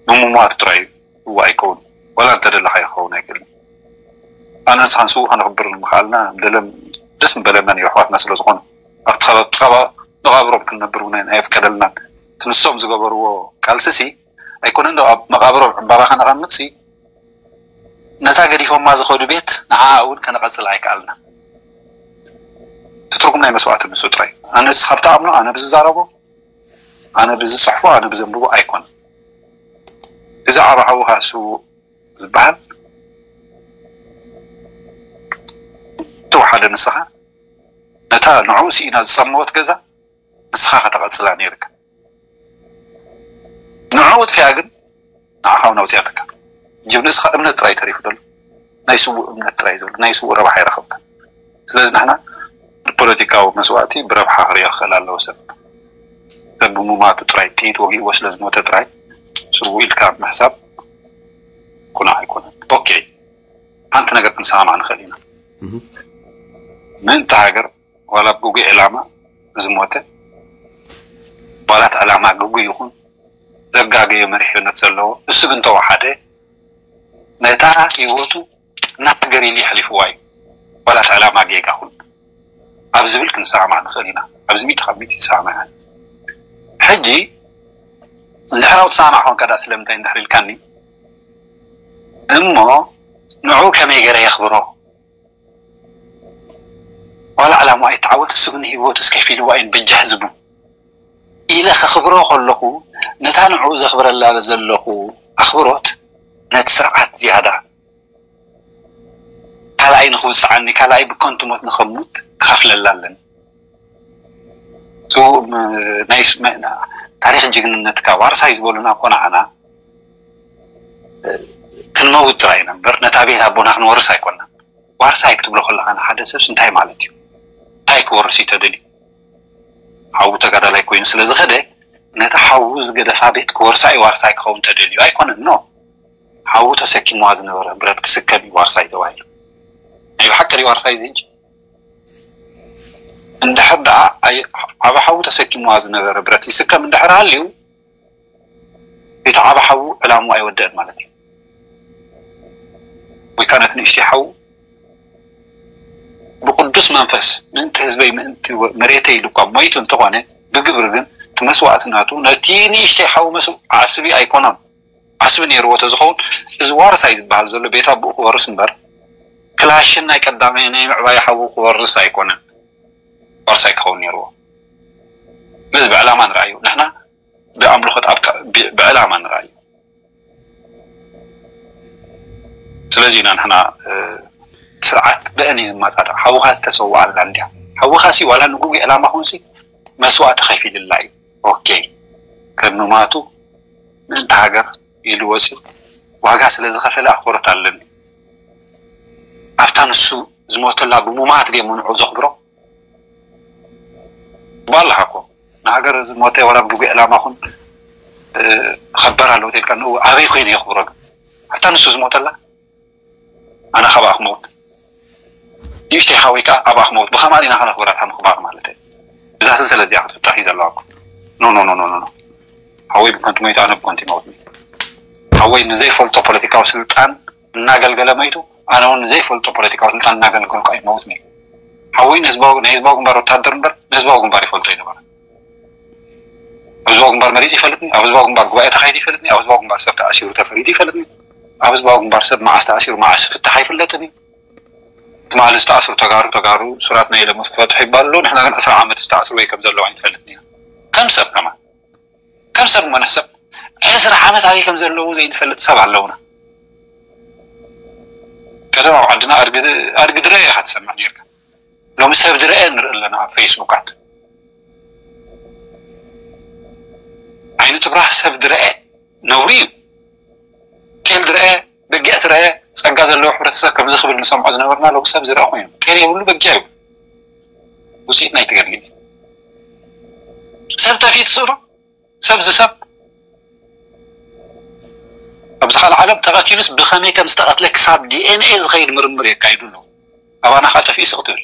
ብምሟቱ ጥራይ ስዉእ ኣይከውን። ዋላ እንተደለኻ ይኸውን ኣይክእልን። ኣነ ንስኻን ስዉእ ከነኽብር ንምኽኣልና ደለም ደስ ምበለና ነይሩ ኣሕዋትና ስለ ዝኾኑ ኣብቲ ከባቢ ከባቢ መቓብሮም ክንነብር እውን ኣይፍቀደልናን። እቲ ንሶም ዝገበርዎ ቃልስሲ ኣይኮነን ዶ ኣብ መቓብሮም ዕምባባ ከነቐምጥሲ ነታ ገዲፎማ ዝኸዱ ቤት ንዓኣ እውን ከነቐጽል ኣይከኣልና። እቲ ትርጉም ናይ መስዋእቲ ንሱ ጥራይ። ኣነ ንስኻ ብትኣምኖ ኣነ ብዝዛረቦ ኣነ ብዝፅሕፎ ኣነ ብዘንብቦ ኣይኮነን። እዚ ዓብ ሓውኻ እሱ ዝበሃል ተወሓደ ንስኻ ነታ ንዕኡ ስኢና ዝፀመወት ገዛ ንስኻ ከተቐፅላ ነይርካ። ንዕኡ ጥፊኣ ግን ንዓኻ እውን ኣውፅኣትካ። ሕጂ ንስኻ እምነት ጥራይ ተሪፉ ዘሎ ናይ ስዉእ እምነት ጥራይ ዘሎ ናይ ስዉእ ረብሓ ይረኸብካ። ስለዚ ንሕና ንፖለቲካዊ መስዋእቲ ብረብሓ ክሪኦ ክኽእል ኣለዎ ሰብ ሰብ ብምማቱ ጥራይ ጥይት ወጊእዎ ስለ ዝሞተ ጥራይ ስዉእ ኢልካ ምሕሳብ ኩና ኣይኮነን። ኦኬ ሓንቲ ነገር ክንሰማማዕ ንኽእል ኢና። ምእንቲ ሃገር ዋላ ብግጉይ ዕላማ ዝሞተ ዋላ እቲ ዕላማ ግጉይ ይኹን ዘጋገየ መሪሕነት ዘለዎ እሱ ግን ተወሓደ ነታ ህይወቱ ንሃገር ኢሉ የሕሊፍዋ እዩ። ዋላ እቲ ዕላማ ጌጋ ኩን ኣብ ዝብል ክንሰማማዕ ንኽእል ኢና። ኣብዚ ሚእቲ ካብ ሚእቲ ይሰማማዕ። ሕጂ እንድሕር ትሰማማዕ ኮንካ ዳ ስለምንታይ እንድሕር ኢልካኒ እሞ ንዑ ከመይ ገይረ የኽብሮ ዋላ ዕላማ ኣይተዓወት እሱ ግን ህይወቱ እስከፊልዋ እዩን በጃ ህዝቡ ኢለ ከኽብሮ ከለኹ ነታ ንዑ ዘኽብረላ ዘለኹ ኣኽብሮት ነቲ ስርዓት ዝያዳ ካልኣይ ንኽውስዓኒ ካልኣይ ብከንቱ ሞት ንኸሙት ክኸፍለላ ኣለኒ። ናይ ታሪክ ጅግንነትካ ዋርሳይ ዝበሉና እኮ ንዓና ክንመውት ጥራይ ኢና እምበር ነታ ቤት ኣቦና ክንወርስ ኣይኮናን። ዋርሳይ ክትብሎ ከለኻ ንሓደ ሰብስ እንታይ ማለት እዩ? እንታይ ክወርስ እዩ ተደልዩ? ሓዉ ተጋዳላይ ኮይኑ ስለ ዝኸደ ነቲ ሓዉ ዝገደፋ ቤት ክወርሳ እዩ ዋርሳይ ክኸውን ተደልዩ ኣይኮነን። ኖ ሓዉ ተሰኪምዋ ዝነበረ ብረት ክስከም እዩ ዋርሳይ ተባሂሉ። ናይ ብሓቂ ድዩ ዋርሳይ እዚ ሕጂ? እንድሕር ደኣ ኣይ- ዓቢ ሓዉ ተሰኪምዋ ዝነበረ ብረት ይስከም እንድሕር ሃልዩ እቲ ዓቢ ሓዉ ዕላምኡ ኣይወደአን ማለት እዩ። ወይ ከዓ ነቲ ንእሽተይ ሓዉ ብቅዱስ መንፈስ ምእንቲ ህዝበይ ምእንቲ ወ- መሬተይ ኢሉ እኳ ሞይቱ እንተኾነ ብግብሪ ግን እቲ መስዋእትነቱ ነቲ ንእሽተይ ሓዉ መስዋእቲ ዓስቢ ኣይኮነን። ዓስቢ ነይርዎ ተዝኸውን እዚ ዋርሳይ ዝበሃል ዘሎ ቤት ኣቦኡ ክወርስ እምበር ክላሽን ናይ ቀዳማይ ናይ ምዕባይ ሓዉ ክወርስ ኣይኮነን። ዋርሳይ ክኸውን ነይርዎ። ስለዚ ብዕላማ ንርኣዩ ንሕና ብኣምልኾት ኣብ ካ- ብ- ብዕላማ ንርኣዩ። ስለዚ ኢና ንሕና ስርዓት ብአን እዩ ዝመፃደቕ። ሓውኻ ዝተሰዋኣላ እንዲያ ሓውኻ ሲ ዋላ ንጉጉ ዕላማ ኹንሲ መስዋእቲ ከፊልላ እዩ። ኦኬ ከም ምማቱ ምእንቲ ሃገር ኢሉ ወፂኡ ዋጋ ስለ ዝኸፈለ ኣኽብሮት ኣለኒ። ኣብታ ንሱ ዝሞተላ ብምማት ደ ምንዑ ዘኽብሮ ባላሓ እኮ ንሃገር ዝሞተ ዋላ ብጉ ዕላማ ኹን ኸበር ኣለዎ ተልካ ንኡ ኣበይ ኮይኑ የኽብሮ ግን ኣብታ ንሱ ዝሞተላ ኣነ ካብ ኣኽመውት ንእሽተይ ሓወይ ከዓ ኣብ ኣኽመውት ብኸማን ኢና ከነኽብራ እታ ምኽባር ማለት እዩ። እዛ ስን ስለዚኣ ክትፍታሕ እዩ ዘለዋ እኮ ኖ ኖ ኖ ኖ ኖ ሓወይ ብከንቱ መይቱ ኣነ ብከንቱ ይመውት ሓወይ ንዘይፈልጦ ፖለቲካዊ ስልጣን እናገልገለ መይቱ ኣነ እውን ንዘይፈልጦ ፖለቲካዊ ስልጣን እናገልገልኩ ኣይመውት ሓወይ ንህዝባዊ ናይ ህዝባዊ ግንባር ወታደር እምበር ንህዝባዊ ግንባር ይፈልጦ ይነበረ ኣብ ህዝባዊ ግንባር መሪፅ ይፈልጥኒ ኣብ ህዝባዊ ግንባር ጉባኤ ተካይዱ ይፈልጥኒ ኣብ ህዝባዊ ግንባር ሰብ ተኣሲሩ ተፈሪዱ ይፈልጥኒ ኣብ ህዝባዊ ግንባር ሰብ መዓስ ተኣሲሩ መዓስ ፍታሕ ኣይፍለጥን እዩ ትማሊ ዝተኣስሩ ተጋሩ ተጋሩ ሱራት ናይ ኢሎም ፍፈትሑ ይባሉ ኣለዉ ንሕና ግን ዕስራ ዓመት ዝተኣስሩ ወይ ከም ዘለዉ ኣይንፈልጥን ኢና ከም ሰብ ከማን ከም ሰብ እሞ ንሕሰብ ዕስራ ዓመት ኣበይ ከም ዘለዉ ዘይንፈልጥ ሰብ ኣለውና ቀደም ኣብ ዓድና ኣድጊ ድረ ኢኻ ትሰምዕ ነርካ ሎሚ ሰብ ድረአ ንርኢ ኣለና ኣብ ፌስቡካት ዓይኒ ትብራህ ሰብ ድረአ ነውሪ እዩ ጤል ድረአ በጊዕ ትረአ ፀጋ ዘለዎ ሕብረተሰብ ከምዚ ክብል ንሰምዖ ዝነበርና ሎም ሰብ ዝረአ ኮይኑ ጤል የብሉ በጊዕ ይብሉ ውፅኢት ናይ ትገድሊ ሰብ ተፊት ስእሩ ሰብ ዝሰብ ኣብዚ ካልእ ዓለም ተቐቲሉስ ብኸመይ ከም ዝተቐትለ ክሳብ ዲኤንኤ ዝኸይድ ምርምር የካይዱ ኣለዉ ኣባና ከዓ ጠፊኡ ስቕ ትብል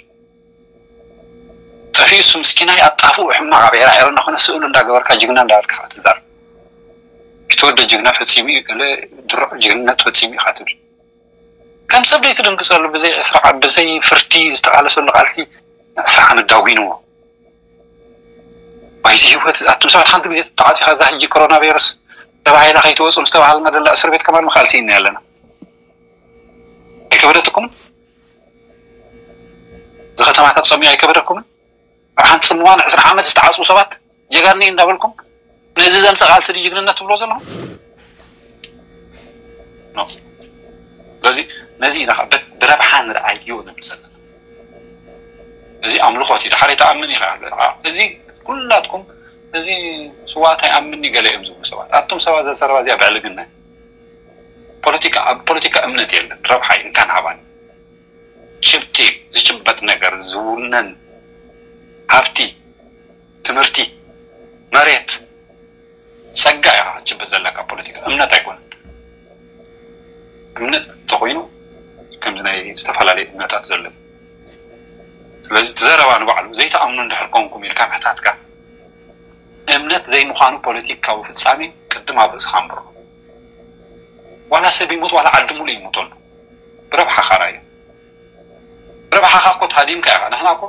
ጠፊኡ እሱ ምስኪናይ ኣጣፍኡ ሕማቕ ኣብ ዒራ ዒረ እናኾነ ስእሉ እንዳገበርካ ጅግና እንዳበልካ ትዛር ኪትወደ ጅግና ፈፂሙ እዩ ገለ ድሩዕ ጅግንነት ፈፂሙ ኢኻ ትብል ከም ሰብ ደይ ትድንግፀሉ ብዘይ ዕስራ ዓመት ብዘይ ፍርዲ ዝተቃለሰሉ ቃልሲ ዕስራ ዓመት ዳጒንዎ ዋይዚ ህይወት ኣቱም ሰባት ሓንቲ ግዜ ተዓፂኻ እዛ ሕጂ ኮሮና ቫይረስ ተባሂላ ከይትወፁ ምስ ተባሃልና ደላ እስር ቤት ከማን ምክኣል ስኢና ኣለና ኣይከበደትኩም እዚ ከተማታት ፀሚኡ ኣይከበደኩምን ኣብ ሓንቲ ስምዋን ዕስራ ዓመት ዝተዓፅቡ ሰባት ጀጋኒ እንዳበልኩም ነዚ ዘምፀ ቃልሲ ድዩ ጅግንነት ትብሎ ዘለኹም ስለዚ ነዚ ኢና ብረብሓ ንርኣዮ ንብል ዘለና እዚ ኣምልኾት እዩ ድሓር ተኣምን ኢኻ እዚ ኩላትኩም እዚ ስዋእት ኣይኣምን ገለ እዮም ዝብሉ ሰባት ኣቱም ሰባት ዘሰረባ እዚኣ ብዕልግና ፖለቲካ ኣብ ፖለቲካ እምነት የለን ረብሓ እዩ እንካን ሃባን ጭብጢ ዝጭበጥ ነገር ዝውነን ሃብቲ ትምህርቲ መሬት ጸጋ ኢኻ ክትጭብጥ ዘለካ ፖለቲካ እምነት ኣይኮነን እምነት እንተኮይኑ ከምዚ ናይ ዝተፈላለዩ እምነታት ዘሎ ስለዚ እቲ ዘረባ ንባዕሉ ዘይተኣምኑ እንድሕር ኮንኩም ኢልካ ምሕታትካ እምነት ዘይምዃኑ ፖለቲካዊ ፍጻሜ ቅድም ኣብ ርእስኻ ኣንብሮ ዋላ ሰብ ይሙት ዋላ ዓዲ ሙሉ ይሙተሉ ብረብሓኻ ራዮ ረብሓኻ እኮ ተሃዲምካ ኢኻ ንሕና እኮ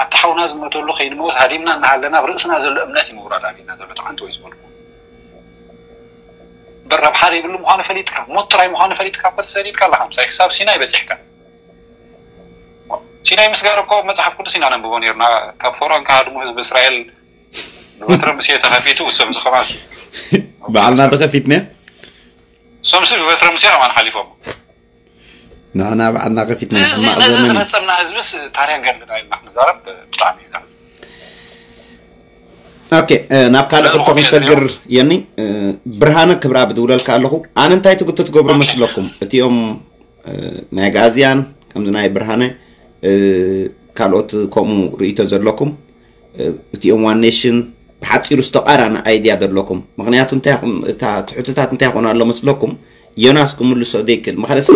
ኣቲ ሓውና ዝመተሉ ከይንመውት ሃዲምና እናሃለና ኣብ ርእስና ዘሎ እምነት እዩ ምውራድ ኣቢልና ዘሎ ተዓንቲ ወይ ዝበልኩ እምበር ረብሓ ዘይብሉ ምዃኑ ፈሊጥካ ሞት ጥራይ ምዃኑ ፈሊጥካ እኮ ተሰዲድካ ኣለኻ ምሳይ ክሳብ ሲናይ በፂሕካ ሲናይ ምስጋር እኮ መፅሓፍ ቅዱስ ኢና ነንብቦ ነርና ካብ ፈርኦን ክሃድሙ ህዝቢ እስራኤል ብበትረ ሙሴ ተኸፊቱ እሶም ዝኸማስ ባዕልና ተኸፊትና እሶም ሲ ብበትረ ሙሴ ከማን ሓሊፎም ንሕና ባዕልና ከፊትና ሕማቕ ነዚ ዘመን እዩ። ዝፈፀምና ህዝብስ ታሪክ ገድልና ኢልና ክንዛረብ ብጣዕሚ እዩ ኦኬ ናብ ካልእ ሕቶ ክንሰግር የኒ ብርሃነ ክብራ ብድውለልካ ኣለኹ ኣነ እንታይ ትግቱ ትገብሩ መስለኩም እቲኦም ናይ ጋዝያን ከምዚ ናይ ብርሃነ ካልኦት ከምኡ ርእይቶ ዘለኩም እቲኦም ዋን ኔሽን ብሓፂሩ ዝተቃራኒ ኣይድያ ዘለኩም ምክንያቱ እንታይ እታ ትሕትታት እንታይ ይኾኑ ኣሎ መስለኩም ዮናስ ክምልሶ ዘይክእል ምክንያት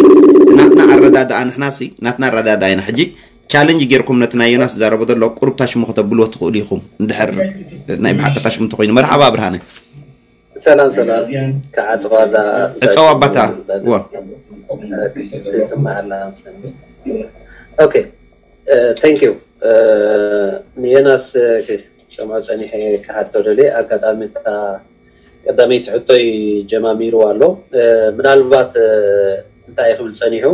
ናትና ኣረዳድኣ ንሕናሲ ናትና ኣረዳድኣ ኢና ሕጂ ቻለንጅ ጌርኩም ነቲ ናይ ዮናስ ዝዛረቦ ዘሎ ቁሩብ ታሽሙ ከተብልዎ ትኽእሉ ኢኹም እንድሕር ናይ ብሓቂ ታሽሙ እንተኮይኑ መርሓባ ብርሃነ ሰላም ሰላም ክዓፅዋ እዛ ዕፀው ኣባታ ዋ ትስማዓላ ኦኬ thank you ንዮናስ ክሰምዖ ፀኒሐ ክሓቶ ደልየ ኣጋጣሚ እታ ቀዳመይቲ ሕቶይ ጀማሚርዋ ኣሎ ምናልባት እንታይ ክብል ፀኒሑ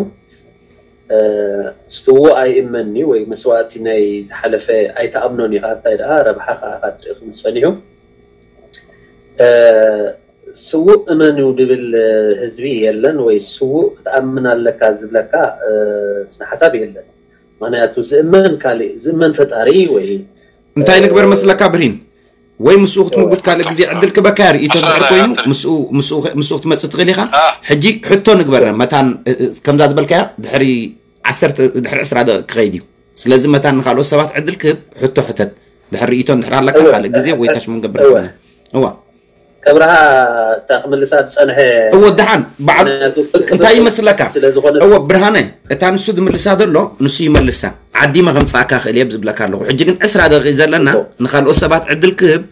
ስትዎ ኣይእመኒ ወይ መስዋእቲ ናይ ዝሓለፈ ኣይተኣምኖን ኢኻ እንታይ ደኣ ረብሓኻ ኢኻ ትርኢ ክብል ፀኒሑ ስዉእ እመን እዩ ድብል ህዝቢ የለን፣ ወይ ስዉእ ክትኣምን ኣለካ ዝብለካ ስነ ሓሳብ የለን። ምክንያቱ ዝእመን ካሊእ፣ ዝእመን ፈጣሪ ወይ እንታይ ንግበር መስለካ ብርሂን? ወይ ምስኡ ክትምጉት ካልእ ግዜ ዕድል ክበካ ርእይቶ ድሕር ኮይኑ ምስኡ ክትመፅእ ትኽእል ኢኻ። ሕጂ ሕቶ ንግበር መታን ከምዛ ዝበልካያ ድሕሪ ዓሰርተ ድሕሪ ዕስራ ደቂቕ ክኸይድ እዩ። ስለዚ መታን ንካልኦት ሰባት ዕድል ክህብ ሕቶ ሕተት። ድሕር ርእይቶ እንድሕር ኣለካ ካልእ ግዜ ወይ ታሽሙ ንገብር። እዋ ከብርሃ እታ ክምልሳ ዝፀንሐ እዎ ደሓን በዓል እንታይ ይመስለካ? እዎ ብርሃነ እታ ንሱ ዝምልሳ ዘሎ ንሱ ይመልሳ። ዓዲመ ከምፃእካ ክእል እየ ዝብለካ ኣለኹ። ሕጂ ግን ዕስራ ደቂቕ ዘለና ንካልኦት ሰባት ዕድል ክህብ።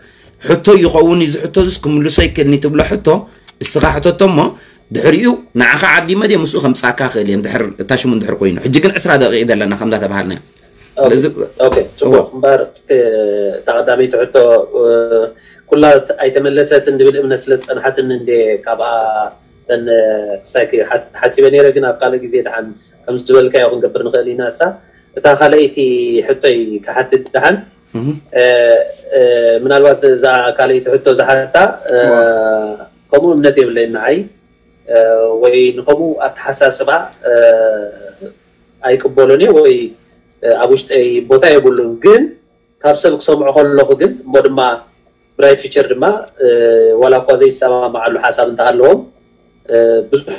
ሕቶ ይኸውን እዚ ሕቶ ዚስ ክምልሶ ይክእልኒ ትብሎ ሕቶ እስኻ ሕተቶ እሞ ድሕሪኡ ንዓኻ ዓዲመ ድየ ምስኡ ከምፃእካ ክእል እየ ድሕር እታ ሽሙ እንድሕር ኮይኑ። ሕጂ ግን ዕስራ ደቂቕ ዘለና ከምዛ ተባሃልና። ስለዚ ኦኬ ጽቡቅ እምበር እታ ቀዳመይቲ ሕቶ ኩላ ኣይተመለሰትን ዝብል እምነት ስለ ዝጸንሓትኒ እንደ ካብኣ ተን ሳይክ ሓሲበ ነይረ። ግን ኣብ ካልእ ግዜ ደሓን ከምዚ ዝበልካዮ ክንገብር ንኽእል ኢና። እሳ እታ ካልኣይቲ ሕቶይ ክሓትት ደሓን ምናልባት እዛ ካልኣይቲ ሕቶ ዝሓታ ከምኡ እምነት የብለይን ንዓይ ወይ ንኸምኡ ኣተሓሳስባ ኣይቅበሎን እየ ወይ ኣብ ውሽጠይ ቦታ የብሉን። ግን ካብ ሰብ ክሰምዖ ከለኹ ግን እሞ ድማ ብራይት ፊቸር ድማ ዋላ እኳ ዘይሰማማዓሉ ሓሳብ እንተሃለዎም ብዙሕ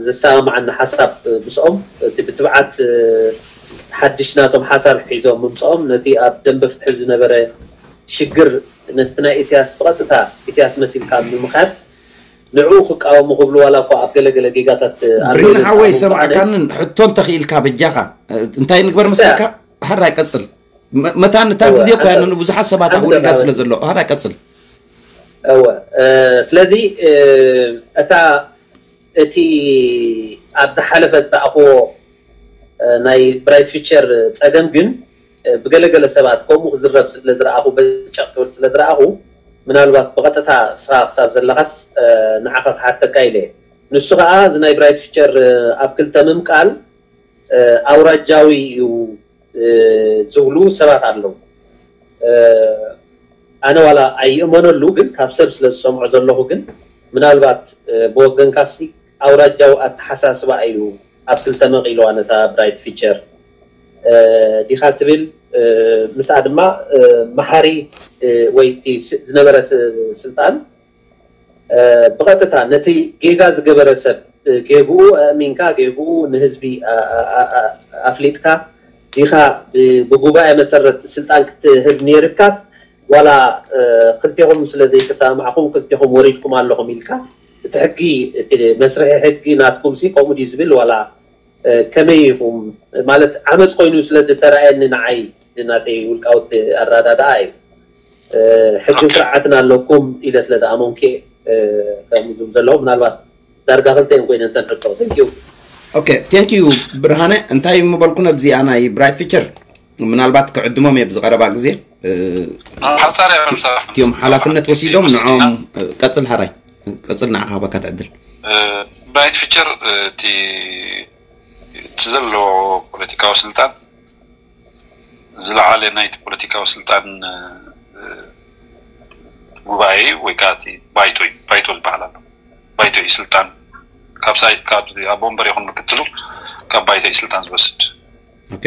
ዝሰማማዓኒ ሓሳብ ምስኦም እቲ ብትብዓት ሓድሽ ናቶም ሓሳብ ሒዞም ምምፅኦም ነቲ ኣብ ደንበ ፍትሒ ዝነበረ ሽግር ነቲ ናይ ኢሳያስ ብቐጥታ ኢሳያስ መሲልካ ምምኻድ ንዕኡ ክቃወሙ ክብሉ ዋላ እኳ ኣብ ገለገለ ጌጋታት ኣለዉ ብሪን ሓወይ ሰማዕካንን ሕቶ እንተኽኢልካ በጃኻ እንታይ ንግበር መስለካ? ሃራይ ቀጽል። መታን እታ ግዜ እኮ ያንን ብዙሓት ሰባት ኣውሪዳ ስለ ዘሎ ሃራይ ቀጽል። እወ ስለዚ እታ እቲ ኣብ ዝሓለፈ ዝረኣኽዎ ናይ ብራይት ፊቸር ጸገም ግን ብገለገለ ሰባት ከምኡ ክዝረብ ስለ ዝረኣኹ በጨቕ ክብል ስለ ዝረኣኹ ምናልባት ብቐጥታ ስኻ ክሳብ ዘለኻስ ንዓኻ ክሓተካ ኢለ። ንሱ ከዓ እዚ ናይ ብራይት ፊቸር ኣብ ክልተ ምምቃል ኣውራጃዊ እዩ ዝብሉ ሰባት ኣለዉ። ኣነ ዋላ ኣይእመነሉ ግን ካብ ሰብ ስለ ዝሰምዖ ዘለኹ ግን ምናልባት ብወገንካሲ ኣውራጃዊ ኣተሓሳስባ እዩ ኣብ ክልተ መቒልዋ ነታ ብራይት ፊቸር ዲኻ ትብል ምስኣ ድማ መሓሪ ወይ ዝነበረ ስልጣን ብቐጥታ ነቲ ጌጋ ዝገበረ ሰብ ጌግኡ ኣእሚንካ ጌግኡ ንህዝቢ ኣፍሊጥካ ዲኻ ብጉባኤ መሰረት ስልጣን ክትህብ ነይርካስ ዋላ ክልቴኹም ስለ ዘይተሰማማዕኹም ክልቴኹም ወሪድኩም ኣለኹም ኢልካ እቲ ሕጊ እቲ መስርሒ ሕጊ ናትኩም ሲ ከምኡ ድዩ ዝብል ዋላ ከመይ ኢኹም ማለት ዓመፅ ኮይኑ ስለ ዝተረኣየኒ ንዓይ ናተይ ውልቃዊ ኣረዳድኣ እዩ ሕግን ስርዓትን ኣለኩም ኢለ ስለ ዝኣመንኩ ከምኡ ዝብል ዘለኹ ምናልባት ዳርጋ ክልተ እዮም ኮይነን ተን ሕቶ thank you okay thank you ብርሃነ እንታይ ምበልኩ ነብዚኣ ናይ ብራይት ፊቸር ምናልባት ክዕድሞም እየ ብዝቐረባ ግዜ እቲኦም ሓላፍነት ወሲዶም ንዖም ቀፅል ሃራይ ቀፅል ንዓኻ ክበካ ትዕድል ብራይት ፊቸር እቲ እቲ ዘለዎ ፖለቲካዊ ስልጣን ዝለዓለ ናይቲ ፖለቲካዊ ስልጣን ጉባኤ እዩ ወይ ከዓ እቲ ባይቶ እዩ ባይቶ ዝበሃል ኣሎ ባይቶ እዩ ስልጣን ካብ ሳይ ካብ ኣቦ ወንበር ይኹን ምክትሉ ካብ ባይቶ እዩ ስልጣን ዝወስድ ኦኬ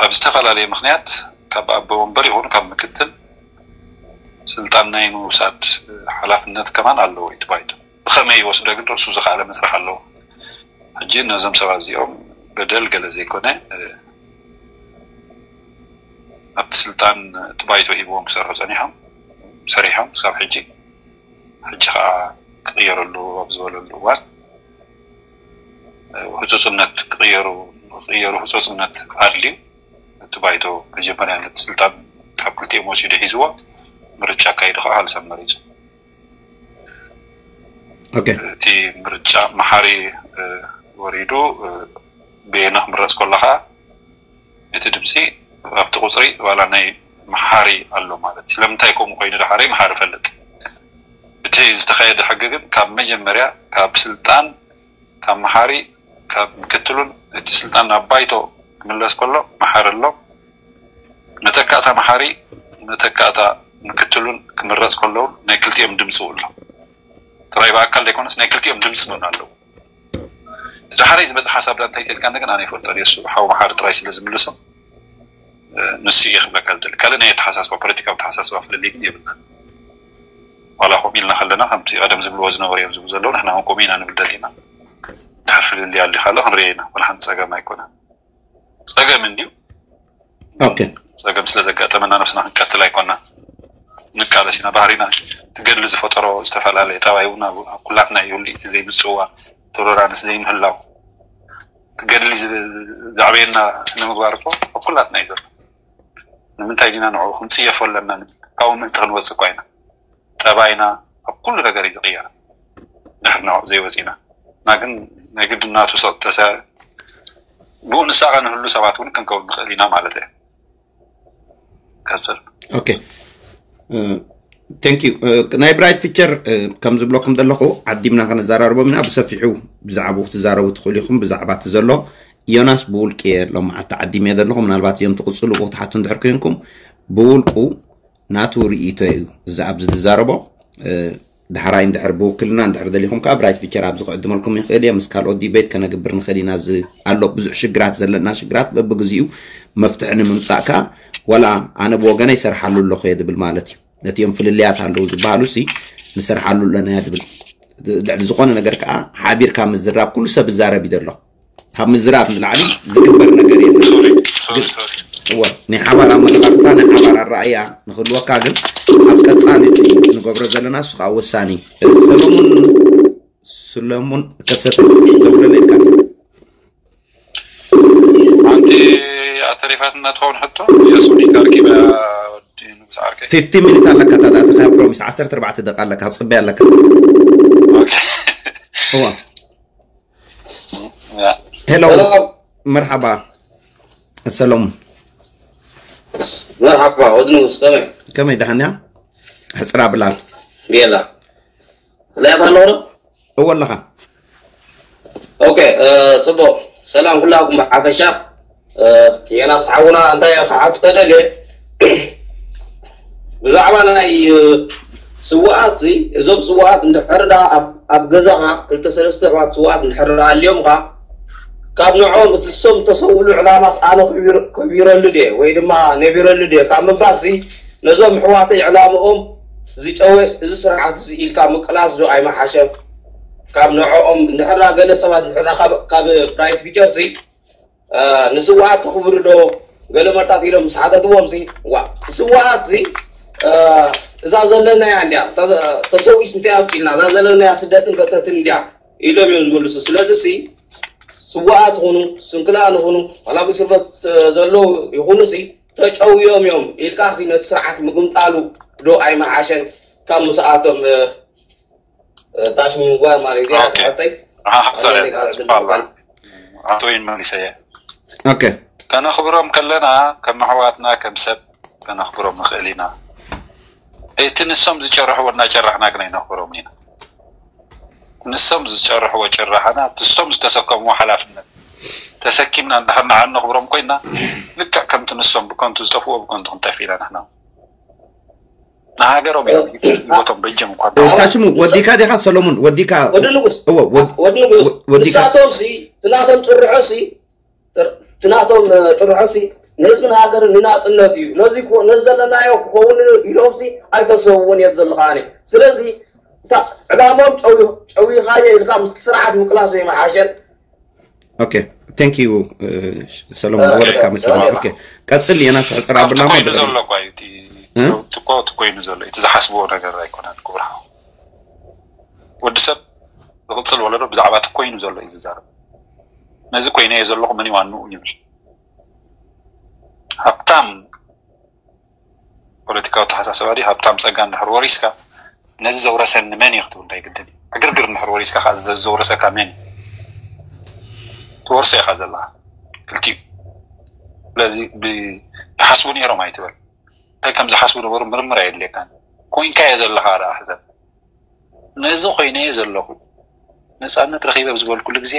ኣብ ዝተፈላለየ ምክንያት ካብ ኣቦ ወንበር ይኹን ካብ ምክትል ስልጣን ናይ ምውሳድ ሓላፍነት ከማን ኣለዎ እዩ እቲ ባይቶ ብኸመይ ይወስዶ ግን ርእሱ ዝኸኣለ መስርሕ ኣለዎ ሕጂ ነዞም ሰባት እዚኦም በደል ገለ ዘይኮነ ኣብቲ ስልጣን እቲ ባይቶ ሂብዎም ክሰርሑ ፀኒሖም ሰሪሖም ክሳብ ሕጂ ሕጂ ከዓ ክቕየረሉ ኣብ ዝበለሉ እዋን ህፁፅነት ክቕየሩ ክቕየሩ ህፁፅነት ኣድልዩ እቲ ባይቶ መጀመርያ ነቲ ስልጣን ካብ ክልቲኦም ወሲዱ ሒዝዎ ምርጫ ኣካይዱ ከዓ ሃልሳን መሪፁ ኦኬ እቲ ምርጫ መሓሪ ወሪዱ ብየነ ክምረፅ ከሎ ከዓ እቲ ድምፂ ኣብቲ ቁፅሪ ዋላ ናይ መሓሪ ኣሎ ማለት እዩ ስለምንታይ ከምኡ ኮይኑ ደሓረይ መሓሪ ፈልጥ እቲ ዝተካየደ ሕጊ ግን ካብ መጀመርያ ካብ ስልጣን ካብ መሓሪ ካብ ምክትሉን እቲ ስልጣን ናብ ባይቶ ክምለስ ከሎ መሓሪ ኣሎ መተካእታ መሓሪ መተካእታ ምክትሉን ክምረፅ ከለውን ናይ ክልቲኦም ድምፂ ውእሎ ጥራይ ብኣካል ዘይኮነስ ናይ ክልቲኦም ድምፂ እውን ኣለዎ። እዚ ሓረይ ዝመፅእ ሓሳብ ዳ እንታይ ተልካ እንደገና ኣነ ይፈልጦ እሱ ሓው መሓሪ ጥራይ ስለ ዝምልሶ ንሱ እየ ክብለካ ዝደሊ። ካልእ ናይ ኣተሓሳስባ ፖለቲካዊ ኣተሓሳስባ ፍልልይ ግን የብልና። ዋላ ከምኡ ኢልና ከለና ከምቲ ቀደም ዝብልዎ ዝነበሩ እዮም ዝብሉ ዘለዉ ንሕና እውን ከምኡ ኢና ንብል ደሊና። ድሓር ፍልልይ ኣሊ ካሎ ክንሪኦ ኢና። ዋላ ሓንቲ ፀገም ኣይኮነን። ፀገም እንድዩ። ኦኬ ፀገም ስለ ዘጋጠመና ነብስና ክንቀትል ኣይኮና። ንቃለስ ኢና። ባህሪና ትገድሊ ዝፈጠሮ ዝተፈላለየ ጠባይ እውን ኣብ ኩላትና ይህሉ። እቲ ዘይምፅዋ ቶሎራንስ ዘይምህላው ትገድሊ ዘዕበየና ንምግባር እኮ ኣብ ኩላትና እዩ ዘሎ። ንምንታይ ዲና ንዑ ክንፅየፎ ኣለና? ካብኡ ምእንቲ ክንወፅእ እኳ ኢና። ጠባይና ኣብ ኩሉ ነገር እዩ ዝቕየር። ድሕር ንዑ ዘይወፂና እና ግን ናይ ግድናቱ ሰብ ተሰ ብኡ ንሳቐ ንህሉ ሰባት እውን ክንከውን ንኽእል ኢና ማለት እየ። ቀፅል። ኦኬ ቴንክ ዩ። ናይ ብራይት ፊቸር ከም ዝብለኩም ዘለኹ ዓዲምና ከነዘራርቦም ኢና። ብሰፊሑ ብዛዕባኡ ክትዛረቡ ትኽእሉ ኢኹም። ብዛዕባ እቲ ዘሎ ዮናስ ብውልቂ እየ ሎማዓንቲ ዓዲም እየ ዘለኹ። ምናልባት እዚኦም ትቕፅሉ ክትሓቱ እንድሕር ኮይንኩም ብውልቁ ናቱ ርእይቶ እዩ እዚ ኣብዚ ዝዛረቦ። ዳሕራይ እንድሕር ብውክልና እንድሕር ደሊኹም ከዓ ብራይት ፊቸር ኣብዚ ክዕድመልኩም ይኽእል እየ። ምስ ካልኦት ዲቤት ከነግብር ንኽእል ኢና። እዚ ኣሎ ብዙሕ ሽግራት ዘለና ሽግራት በብግዚኡ መፍትሒ ንምምፃእ ከዓ ዋላ ኣነ ብወገነ ይሰርሓሉ ኣለኹ እየ ዝብል ማለት እዩ። ነቲኦም ፍልልያት ኣለዉ ዝበሃሉ ሲ ንሰርሓሉ ኣለና እያ ዝብል። ልዕሊ ዝኾነ ነገር ከዓ ሓቢርካ ምዝራብ ኩሉ ሰብ ይዛረብ እዩ ዘሎ። ካብ ምዝራብ ንላዕሊ ዝግበር ነገር የለን። እወ ናይ ሓባር ኣመለኻኽታ ናይ ሓባር ኣረኣእያ ንክህልወካ ግን ኣብ ቀፃሊ እቲ ንገብሮ ዘለና እሱ ከዓ ወሳኒ እዩ። ሰሎሙን ሰሎሙን ከሰተ ደውለለ ኢልካ ሓንቲ ኣተሪፋትና ትኸውን ሕቶ ያሱኒ ካርኪባ ወዲ ንጉስ ዓርከይ ፊፍቲ ሚኒት ኣለካ ታዳእተካ ፕሮሚስ ዓሰርተ ኣርባዕተ ደቂ ኣለካ ክፅበይ ኣለካ ኦኬ። እዋ ያ። ሄሎ ሰላም መርሓባ ሰሎሙን መርሓባ ወዲ ንጉስ ከመይ ከመይ ደሓንያ ሕፅራ ብላል ቤላ ላይፍ ኣለኹ ዶ እወ ኣለኻ ኦኬ እ፣ ፅቡቅ ሰላም ኩላኩም ብሓፈሻ እ፣ ዮናስ ሓውና እንታይ ክሓቱ ተደልየ ብዛዕባ ናይ እ፣ ስዋኣት እዚ እዞም ስዋኣት እንድሕር ዳ ኣብ- ኣብ ገዛኻ ክልተ ሰለስተ ኣሕዋት ስዋኣት እንድሕር ዳ ኣልዮምካ ካብ ንዕኦም እቲ እሶም እተሰውእሉ ዕላማስ ኣነ ከቢር- ከቢረሉ ድየ ወይ ድማ ነቢረሉ ድየ ካብ ምባልሲ ነዞም ኣሕዋተይ ዕላምኦም ዝጨወስ እዚ ስርዓት እዚ ኢልካ ምቅላስ ዶ ኣይመሓሸን? ካብ ንዕኦም እንድሕር ዳ ገለ ሰባት እንድሕር ዳ ካብ- ካብ ፕራይት ፊቸር ሲ እ፣ ንስዋኣት ተኽብሩ ዶ ገለ መርታት ኢሎም ምስ ሓተትዎም ሲ ዋ ስዋኣት ሲ እ፣ እዛ ዘለናያ እንድያ ተ- ተሰዊስ እንታይ ኣብፂልና እዛ ዘለናያ ስደትን ሰተትን እንድያ ኢሎም እዮም ዝምልሱ። ስለዚ ሲ ስዋኣት ይኹኑ ስንክላን ይኹኑ ዋላ ኣብ እስር ቤት ዘለዉ ይኹኑ ሲ ተጨውዮም እዮም ኢልካ ሲ ነቲ ስርዓት ምግምጣሉ ዶ ኣይመሓሸን? ካብ ምስኣቶም እ፣ እ፣ ታሽ ምግባር ማለት እዚኣ ኦኬ። ትሕተይ ሓፍታ ኣለኒ ካልእ ስብሓላ ድምፅታት። ኣቶ ወይን መሊሰየ ኦኬ ከነኽብሮም ከለና ከም ኣሕዋትና ከም ሰብ ከነኽብሮም ንኽእል ኢና። እቲ ንሶም ዝጨርሕዎ እናጨራሕና ግን ኣይነኽብሮም ኢና። ንሶም ዝጨርሕዎ ጭራሕና ንሶም ዝተሰከምዎ ሓላፍነት ተሰኪምና እንድሕር ንዓ ነኽብሮም ኮይና ልክዕ ከምቲ ንሶም ብከንቱ ዝጠፍዎ ብከንቱ ክንጠፍ ኢና ንሕና ንሃገሮም እዮም ህይወቶም በጀም እኳ ታሽሙ ወዲካ ዲኻ ሰሎሙን ወዲካ ወዲ ንጉስ እወ ወድ- ወዲ ንጉስ ወ- ወዲካ- ንሳቶም ሲ ትናቶም ጥርሖ ሲ ትናቶም ጥርሖ ሲ ንህዝብን ሃገርን ንናፅነት እዩ ነዚ ክኾ- ነዚ ዘለናዮ ክኸውን ኢሎም ሲ ኣይተሰውውን እየ ዘለኻ ኣነ ስለዚ እታ ዕላሞም ጨዊ- ጨዊኻዮ ኢልካ ምስ ስርዓት ምቅላሶ ይመሓሸን ኦኬ ቴንክ ዩ ሰሎሞን ወረድካ መሰለኝ ኦኬ ቀፅል የናስ ሕፅር ኣብላ ኮይኑ ዘሎ እኳ እዩ እቲ እ? እቲ እኮ እቲ ኮይኑ ዘሎ እቲ ዝሓስብዎ ነገር ኣይኮነን ክቡር ሓው ወዲ ሰብ ዝቕፅል ወለዶ ብዛዕባ እቲ ኮይኑ ዘሎ እዩ ዝዛረብ ነዚ ኮይነዮ ዘለኹ መን ዋንኡ ይብል ሃብታም ፖለቲካዊ ተሓሳስባ ድዩ ሃብታም ፀጋ እንድሕር ወሪስካ ነዚ ዘውረሰኒ መን እዩ ክትብል እንታይ ግድን እዩ ዕግርግር እንድሕር ወሪስካ ከዓ ዘ- ዘውረሰካ መን እዩ ትወርሶ ኢኻ ዘለካ ክልቲኡ ስለዚ ብ- ይሓስቡ ነይሮም ኣይትበል እንታይ ከም ዝሓስቡ ነበሩ ምርምር ኣየድልየካን ኮይንካዮ ዘለካ ደኣ ሕሰብ ነዚ ኮይነዮ ዘለኹ ነፃነት ረኺበ ኣብ ዝበልኩሉ ግዜ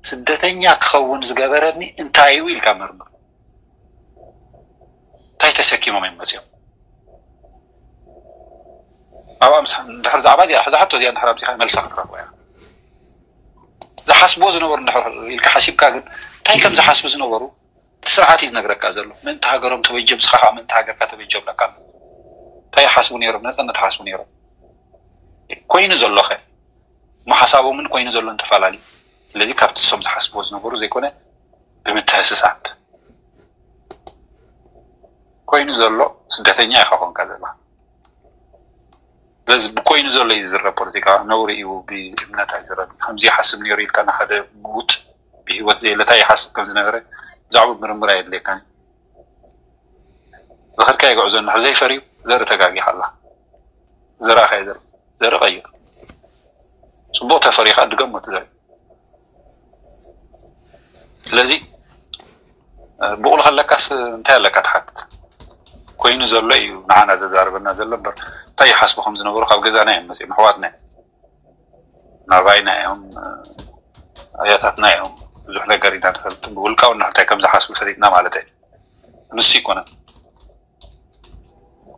ስደተኛ ክኸውን ዝገበረኒ እንታይ እዩ ኢልካ መርምር እንታይ ተሰኪሞም እዮም መፅኦም ኣብኣ ምስ እንድሕር ዛዕባ እዚኣ፣ እዛ ሕቶ እዚኣ እንድሕር ኣብዚኻ መልሳ ክትረኽቦ እያ። ዝሓስብዎ ዝነበሩ እንድሕር ኢልካ ሓሲብካ ግን፣ እንታይ ከም ዝሓስቡ ዝነበሩ እቲ ስርዓት እዩ ዝነግረካ ዘሎ። ምእንቲ ሃገሮም ተበጀም፣ ንስኻ ከዓ ምእንቲ ሃገርካ ተበጀም ለካ ኣሎ። እንታይ ይሓስቡ ነይሮም? ነፃነት ይሓስቡ ነይሮም። ኮይኑ ዘሎ ኸ? እሞ ሓሳቦምን ኮይኑ ዘሎን ተፈላለዩ። ስለዚ ካብቲ እሶም ዝሓስብዎ ዝነበሩ ዘይኮነ፣ ብምትህስሳብ ኮይኑ ዘሎ ስደተኛ ኢኻ ኮንካ ዘለኻ። ስለዚ ብኮይኑ ዘሎ እዩ ዝዝረብ ፖለቲካ፣ ነውሪ እዩ፣ ብእምነት ኣይዝረብን። ከምዚ ይሓስብ ነይሩ ኢልካ ንሓደ ምዉት ብህይወት ዘየለ እንታይ ይሓስብ ከም ዝነበረ ብዛዕባ ምርምር ኣየድልየካን። ዝኸድካዮ ጉዕዞ እንድሕር ዘይፈርዩ ዘርኢ ተጋጊኻ ኣላ። ዘርእኻዮ ዘርኢ፣ ዘርኢ ቀይር። ጽቡቕ ተፈሪኻ ድገሞ እቲ ዘርኢ። ስለዚ እ፣ ብቑል ከለካስ እንታይ ኣለካ ትሓትት? ኮይኑ ዘሎ እዩ ንዓና ዘዛርበና ዘሎ እምበር፣ እንታይ ይሓስቡ ከም ዝነበሩ ካብ ገዛና እዮም መጺኦም፣ ኣሕዋትና እዮም። ናባይና እዮም፣ እ፣ ኣያታትና እዮም። ብዙሕ ነገር ኢና ንፈልጥ። ብውልቃዊ እንታይ ከም ዝሓስቡ ፈሊጥና ማለት እዩ። ንሱ ይኮነን።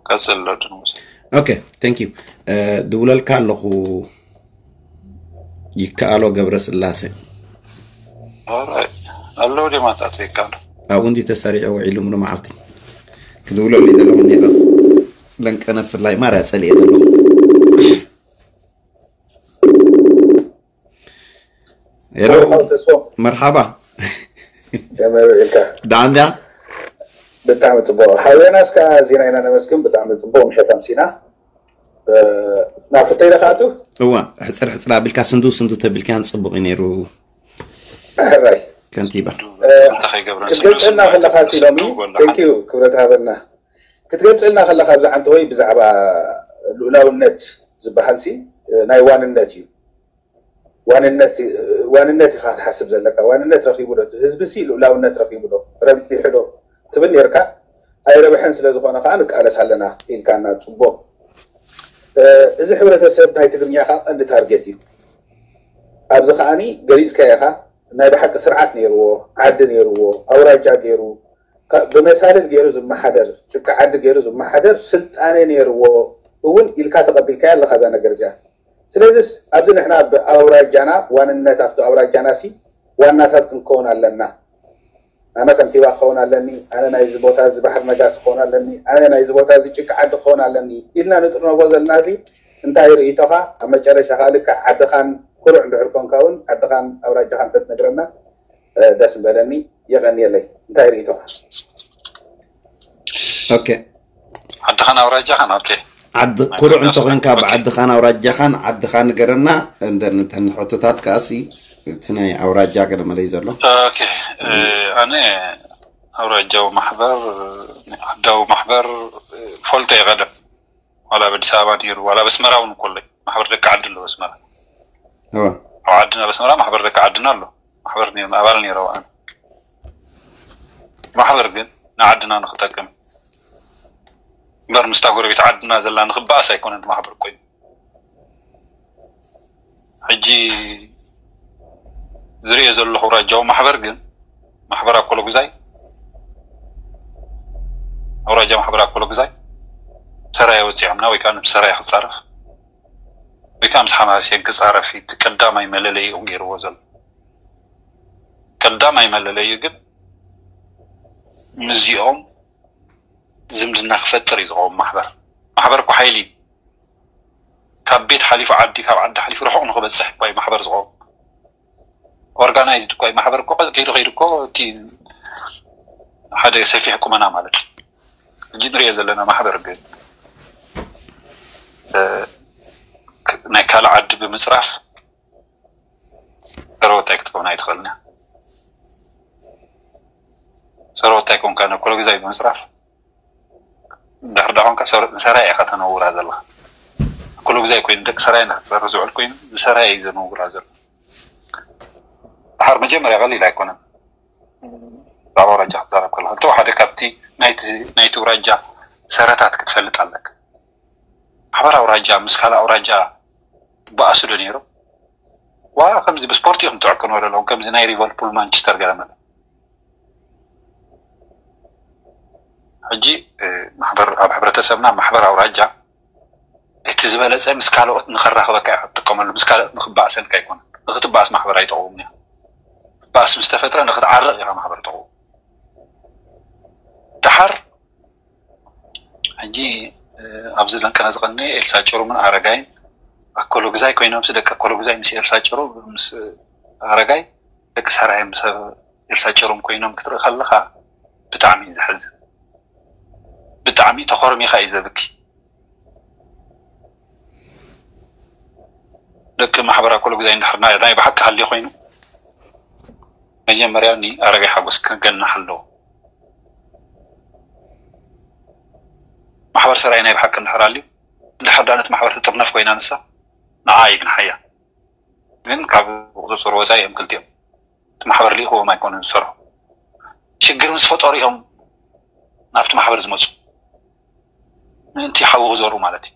ቀጽል ኣሎ ድንጉስ። ኦኬ፣ thank you። እ፣ ድውለልካ ኣለኹ። ይከኣሎ ገብረ ስላሴ። ኣራይ፣ ኣለዉ ድማታት ይከኣሎ። ኣብኡ እንዲ ተሰሪዑ ውዒሉ ምሉ መዓልቲ ክድውለሉ ይደለኹ ነይረ። ለንቀነ ፍላይ ማርያ ጸሊኤ ዘለኹ። ሄሎ፣ ተስፎ። መርሓባ። ከመይ ውዒልካ? ደሓን ድያ? ብጣዕሚ ጽቡቕ። ሓውና እስካ ዜና ኢና ነመስግን። ብጣዕሚ ጽቡቕ ምሸት ኣምሲና። እ፣ ናብ ሕቶይ ዶ ክኣቱ? እዋ፣ ሕጽር ሕጽር ኣቢልካ ስንዱ ስንዱ ተቢልካን ጽቡቕ እዩ ነይሩ። ሕራይ። ከንቲባ። እ፣ እንታይ ከይገብረን ስንዱ ክትገልጸልና ስንዱ ከለኻ ሲ ሎሚ፣ ስንዱ ጎላ thank you፣ ክብረት ሃበልና። ክትገልጸልና ከለኻ ብዛዕባ እንተወይ ብዛዕባ ልኡላውነት ዝበሃል ሲ፣ እ፣ ናይ ዋንነት እዩ። ዋንነት፣ ዋንነት ኢኻ ክትሓስብ ዘለካ። ዋንነት ረኺቡ ዶ? እቲ ህዝቢ ሲ ልኡላውነት ረኺቡ ዶ? ረቢሑ ዶ? ትብል ነርካ። ኣይረብሐን ስለ ዝኾነ ከዓ ንቃለስ ኣለና ኢልካና። ጽቡቕ። እ፣ እዚ ሕብረተሰብ ናይ ትግርኛ ከዓ ቀንዲ ታርጌት እዩ። ኣብዚ ከዓኒ ገሊጽካዮ ኢኻ። ናይ ብሓቂ ስርዓት ነይርዎ፣ ዓዲ ነይርዎ፣ ኣውራጃ ገይሩ፣ ካ-፣ ብመሳልል ገይሩ ዝመሓደር፣ ጭቃ ዓዲ ገይሩ ዝመሓደር ስልጣነ ነይርዎ እውን ኢልካ ተቐቢልካያ ኣለኻ እዛ ነገር እዚኣ። ስለዚስ ኣብዚ ንሕና ብኣውራጃና ዋንነት ኣብቲ ኣውራጃና ሲ ዋናታት ክንከውን ኣለና። ኣነ ከንቲባ ክኸውን ኣለኒ፣ ኣነ ናይዚ ቦታ እዚ ባሕሪ ነጋሲ ክኸውን ኣለኒ፣ ኣነ ናይዚ ቦታ እዚ ጭቃ ዓዲ ክኸውን ኣለኒ ኢልና ንጥርነፎ ዘለና ሲ እንታይ ርእይቶኻ? ኣብ መጨረሻ ከዓ ልክዕ ዓድኻን ኩሩዕ እንድሕር ኮንካ እውን ዓድኻን ኣውራጃኻን ተትነግረና፣ እ፣ ደስ ምበለኒ። የቐንየለይ። እንታይ ርእይቶኻ? ኦኬ። ዓድኻን ኣውራጃኻን፣ ኦኬ። ዓዲ ናይ ኩሩዕ ኩልና እንተኾንካ ሰባት። ብዓድኻን ኣውራጃኻን ዓድኻ ንገረና። እንደ-፣ እንተ ንሕቶታት ከኣሲ እቲ ናይ ኣውራጃ ገለ መለይ ዘሎ። ኦኬ። እ፣ ኣነ ኣውራጃዊ ማሕበር፣ ዓዳዊ ማሕበር፣ እ፣ ፈልጦ እየ ቀደም። ዋላ ኣብ ኣዲስ ኣበባ ነይሩ፣ ዋላ ኣብ ኣስመራ እውን እኮ ኣሎ። ማሕበር ደቂ ዓዲ ኣሎ ኣብ ኣስመራ። እወ። ኣብ ዓድና ኣብ ኣስመራ ማሕበር ደቂ ዓድና ኣሎ። ማሕበር ነይሩ፣ ኣባል ነይረ ኣነ። ማሕበር ግን ንዓድና ንክጠቅም እምበር ምስታ ጎረቤት ዓድና ዘላ ንክበኣስ ኣይኮነን ማሕበር ኮይኑ። ሕጂ ዝርእዮ ዘለኹ ኣውራጃዊ ማሕበር ግን፣ ማሕበር ኣኮሎጉዛይ፣ ኣውራጃ ማሕበር ኣኮሎጉዛይ፣ ሰራየ ወፂዖምና ወይ ከዓ ምስ ሰራየ ክፃረፍ ወይ ከዓ ምስ ሓማሴን ክፃረፍ እዩ እቲ ቀዳማይ መለለይኡ ገይርዎ ዘሎ። ቀዳማይ መለለይኡ ግን ምስዚኦም ዝምድና ክፈጥር እዩ ዝኸውን ማሕበር። ማሕበር እኮ ሓይሊ እዩ። ካብ ቤት ሓሊፉ ዓዲ፣ ካብ ዓዲ ሓሊፉ ርሑቕ ንክበፅሕ እኳ እዩ ማሕበር ዝኸውን። ኦርጋናይዝድ እኳ እዩ ማሕበር እኮ። ከይዱ ከይዱ እኮ እቲ ሓደ ሰፊሕ ቁመና ማለት እዩ። ሕጂ ንሪኦ ዘለና ማሕበር ግን፣ እ፣ ክ-፣ ናይ ካልእ ዓዲ ብምፅራፍ ሰረወታይ ክትከውን ኣይትኽእልን እያ። ሰረወታይ ኮንካ ንኮሎ ግዛይ ብምፅራፍ እንድሕር ዳ ኮንካ ሰር-፣ ሰራይ ኢኻ ተነውራ ዘለኻ። ኩሉ ግዜ ኮይኑ ደቂ ሰራይ እንዳተፀርፍ ዝውዕል ኮይኑ፣ ዝሰራይ እዩ ዘነውራ ዘሎ። ድሓር መጀመርያ ቀሊል ኣይኮነን። ብዛዕባ ኣውራጃ ክትዛረብ ከለኻ፣ እንተ ሓደ ካብቲ ናይቲ፣ ናይቲ ኣውራጃ ሰረታት ክትፈልጥ ኣለካ። ማሕበር ኣውራጃ ምስ ካልእ ኣውራጃ ትበኣሱ ዶ ነይሩ? ዋ፣ ከምዚ ብስፖርት ኢኹም ትዕቅንዎ ዘለኹም፣ ከምዚ ናይ ሊቨርፑል ማንቸስተር ገለ መለ። ሕጂ፣ እ፣ ማሕበር፣ ኣብ ሕብረተሰብና ማሕበር ኣውራጃ እቲ ዝበለፀ ምስ ካልኦት ንኸራኽበካ ኢኻ ትጥቀመሉ። ምስ ካልኦት ንኽበኣሰልካ ኣይኮነን። ንኽትበኣስ ማሕበር ኣይጠቕውም እያ። ባእሲ ምስ ተፈጥረ ንኽትዓርቕ ኢኻ ማሕበር ጠቕው። ደሓር ሕጂ ኣብዚ ለንቀነ ዝቐነ ኤልሳ ጭሩምን ኣረጋይን ኣኮሎግዛይ ኮይኖም፣ ደቂ ኣኮሎግዛይ ምስ ኤልሳ ጭሩ ምስ ኣረጋይ፣ ደቂ ሰራየ ምስ ኤልሳ ጭሩም ኮይኖም ክትርኢ ከለኻ ብጣዕሚ እዩ ዘሕዝን። ብጣዕሚ ተኾርሚኻ እዩ ዘብኪ። ደቂ ማሕበር ኣኮሎግዛይ እንድሕር ናይ ናይ ብሓቂ ሃልዩ ኮይኑ፣ መጀመርያ ንኣረጋይ ሓጎስ ክገናሕ ኣለዎ። ማሕበር ሰራየ ናይ ብሓቂ እንድሕር ኣልዩ፣ እንድሕር ዳኣ ነቲ ማሕበር ትጥርነፍ ኮይና ንሳ፣ ንዓ ይግንሓያ። ግን ካብ ቁፅፅር ወፃኢ እዮም ክልቲኦም። እቲ ማሕበር ልኢኽዎም ኣይኮኑን ዝሰርሑ። ሽግር ምስ ፈጠሩ እዮም ናብቲ ማሕበር ዝመፁ። ምእንቲ ሓዊ ክዘሩ ማለት እዩ።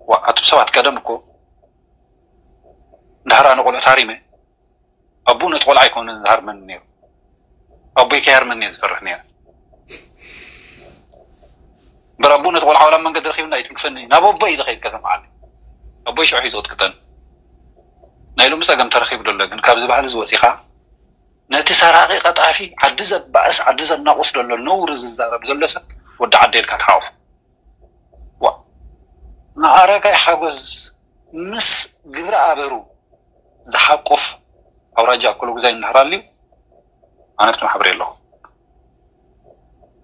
ዋ፣ ኣቱም ሰባት ቀደም እኮ እንድሕር ኣነ ቆልዑ ታሪመ፣ ኣቦኡ ነቲ ቆልዓ ኣይኮነን ዝሃርመኒ ነይሩ። ኣቦይ ከይሃርመኒ እየ ዝፈርሕ ነይረ። እምበር ኣቦኡ ነቲ ቆልዓ ዋላ ኣብ መንገዲ ረኺብና ይትንክፈኒ። ናብ ኣቦይ እዩ ዝኸይድ ከተማዓኒ። ኣቦይ ሽዑ እዩ ዝቕጥቅጠኒ። ናይ ሎሚ ጸገም ተረኺቡ ደሎ፣ ግን ካብዚ ባህሊ እዚ ወጺኻ ነቲ ሰራቒ ቀጣፊ ዓዲ ዘባእስ ዓዲ ዘናቑስ ደሎ ነውሪ ዝዛረብ ዘሎ ሰብ ወዲ ዓደ ኢልካ ትሓቑፎ። ዋ፣ ንኣረጋይ ሓጎስ ምስ ግብረ ኣበሩ ዝሓቁፍ ኣውራጃ ኣኮሎጉዛይ እንድሕር ኣልዩ፣ ኣነ ኣብቲ ማሕበር የለኹ።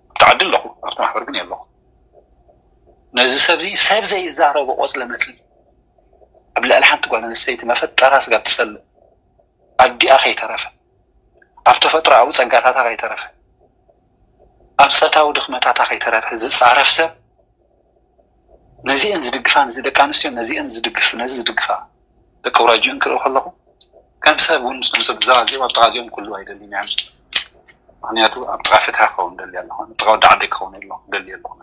ኣብቲ ዓዲ ኣለኹ፣ ኣብቲ ማሕበር ግን የለኹ። ነዚ ሰብዚ ሰብ ዘይዛረቦ ቆጽለ መጽሊ ኣብ ልዕሊ ሓንቲ ጓል ኣንስተይቲ መፈጠራ ስጋብ ትጸልእ፣ ኣዲኣ ከይተረፈ፣ ኣብ ተፈጥሮኣዊ ጸጋታታ ከይተረፈ፣ ኣብ ጸታዊ ድኽመታታ ከይተረፈ ዝጻረፍ ሰብ፣ ነዚአን ዝድግፋ፣ ነዚ ደቂ ኣንስትዮ ነዚአን ዝድግፍ፣ ነዚ ዝድግፋ ደቂ ኣውራጅኡ እንክርኢ ከለኹ፣ ከም ሰብ እውን ምስቶም ሰብ እዛ እዚኦም ኣብ ጥቓ እዚኦም ክህልዉ ኣይደልን እየ። ምኽንያቱ ኣብ ጥቓ ፍትሒ ክኸውን ደሊ ኣለኹ፣ ኣብ ጥቓ ወዲ ዓደይ ክኸውን የለ-፣ ደሊ ኣለኹ።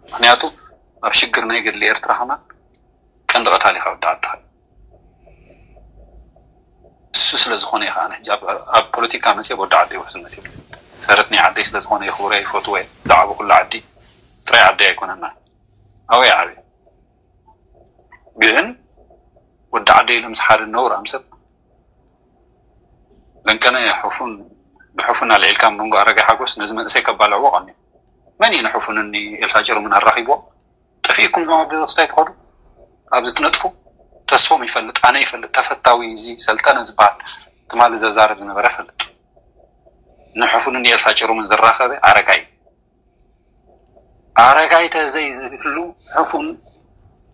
ምኽንያቱ ኣብ ሽግር ናይ ገድሊ ኤርትራ ከማን ቀንዲ ቀታሊ ካብ ወዲ ዓድኻ እዩ። እሱ ስለ ዝኾነ እዩ ከዓ ሕጂ ኣብ፣ ኣብ ፖለቲካ መፅየ ወዲ ዓደይ ውሕስነት ይብሉ። ሰረት ናይ ዓደይ ስለ ዝኾነ የኽብሮ ይፈትዎ እየ። ዝዓበኹሉ ዓዲ ጥራይ ዓደይ ኣይኮነና። ኣበይ ዓብየ? ግን ወዲ ዓደይ ኢሉ ምስ ሓደ ነውራም ሰብ ለንቀነ ሕፉን፣ ብሕፉን ኣልዒልካ መንጎ ኣረጋይ ሓጎስ ነዚ መንእሰይ ከባልዕዎ ቀንዩ። መን እዩ ንሕፉንኒ ኤልሳ ጭሩምን ኣራኺብዎ? ጠፊእኩም ዞም ኣብ ደረስታይ ትኸዱ፣ ኣብዚ ትነጥፉ። ተስፎም ይፈልጥ፣ ኣነ ይፈልጥ፣ ተፈታዊ እዚ ሰልጠነ ዝበሃል ትማሊ ዘዛረብ ዝነበረ ፈልጥ። ንሕፉንን ኤልሳ ጭሩምን ዘራኸበ ኣረጋይ። ኣረጋይ ተዘይ ዝህሉ ሕፉን፣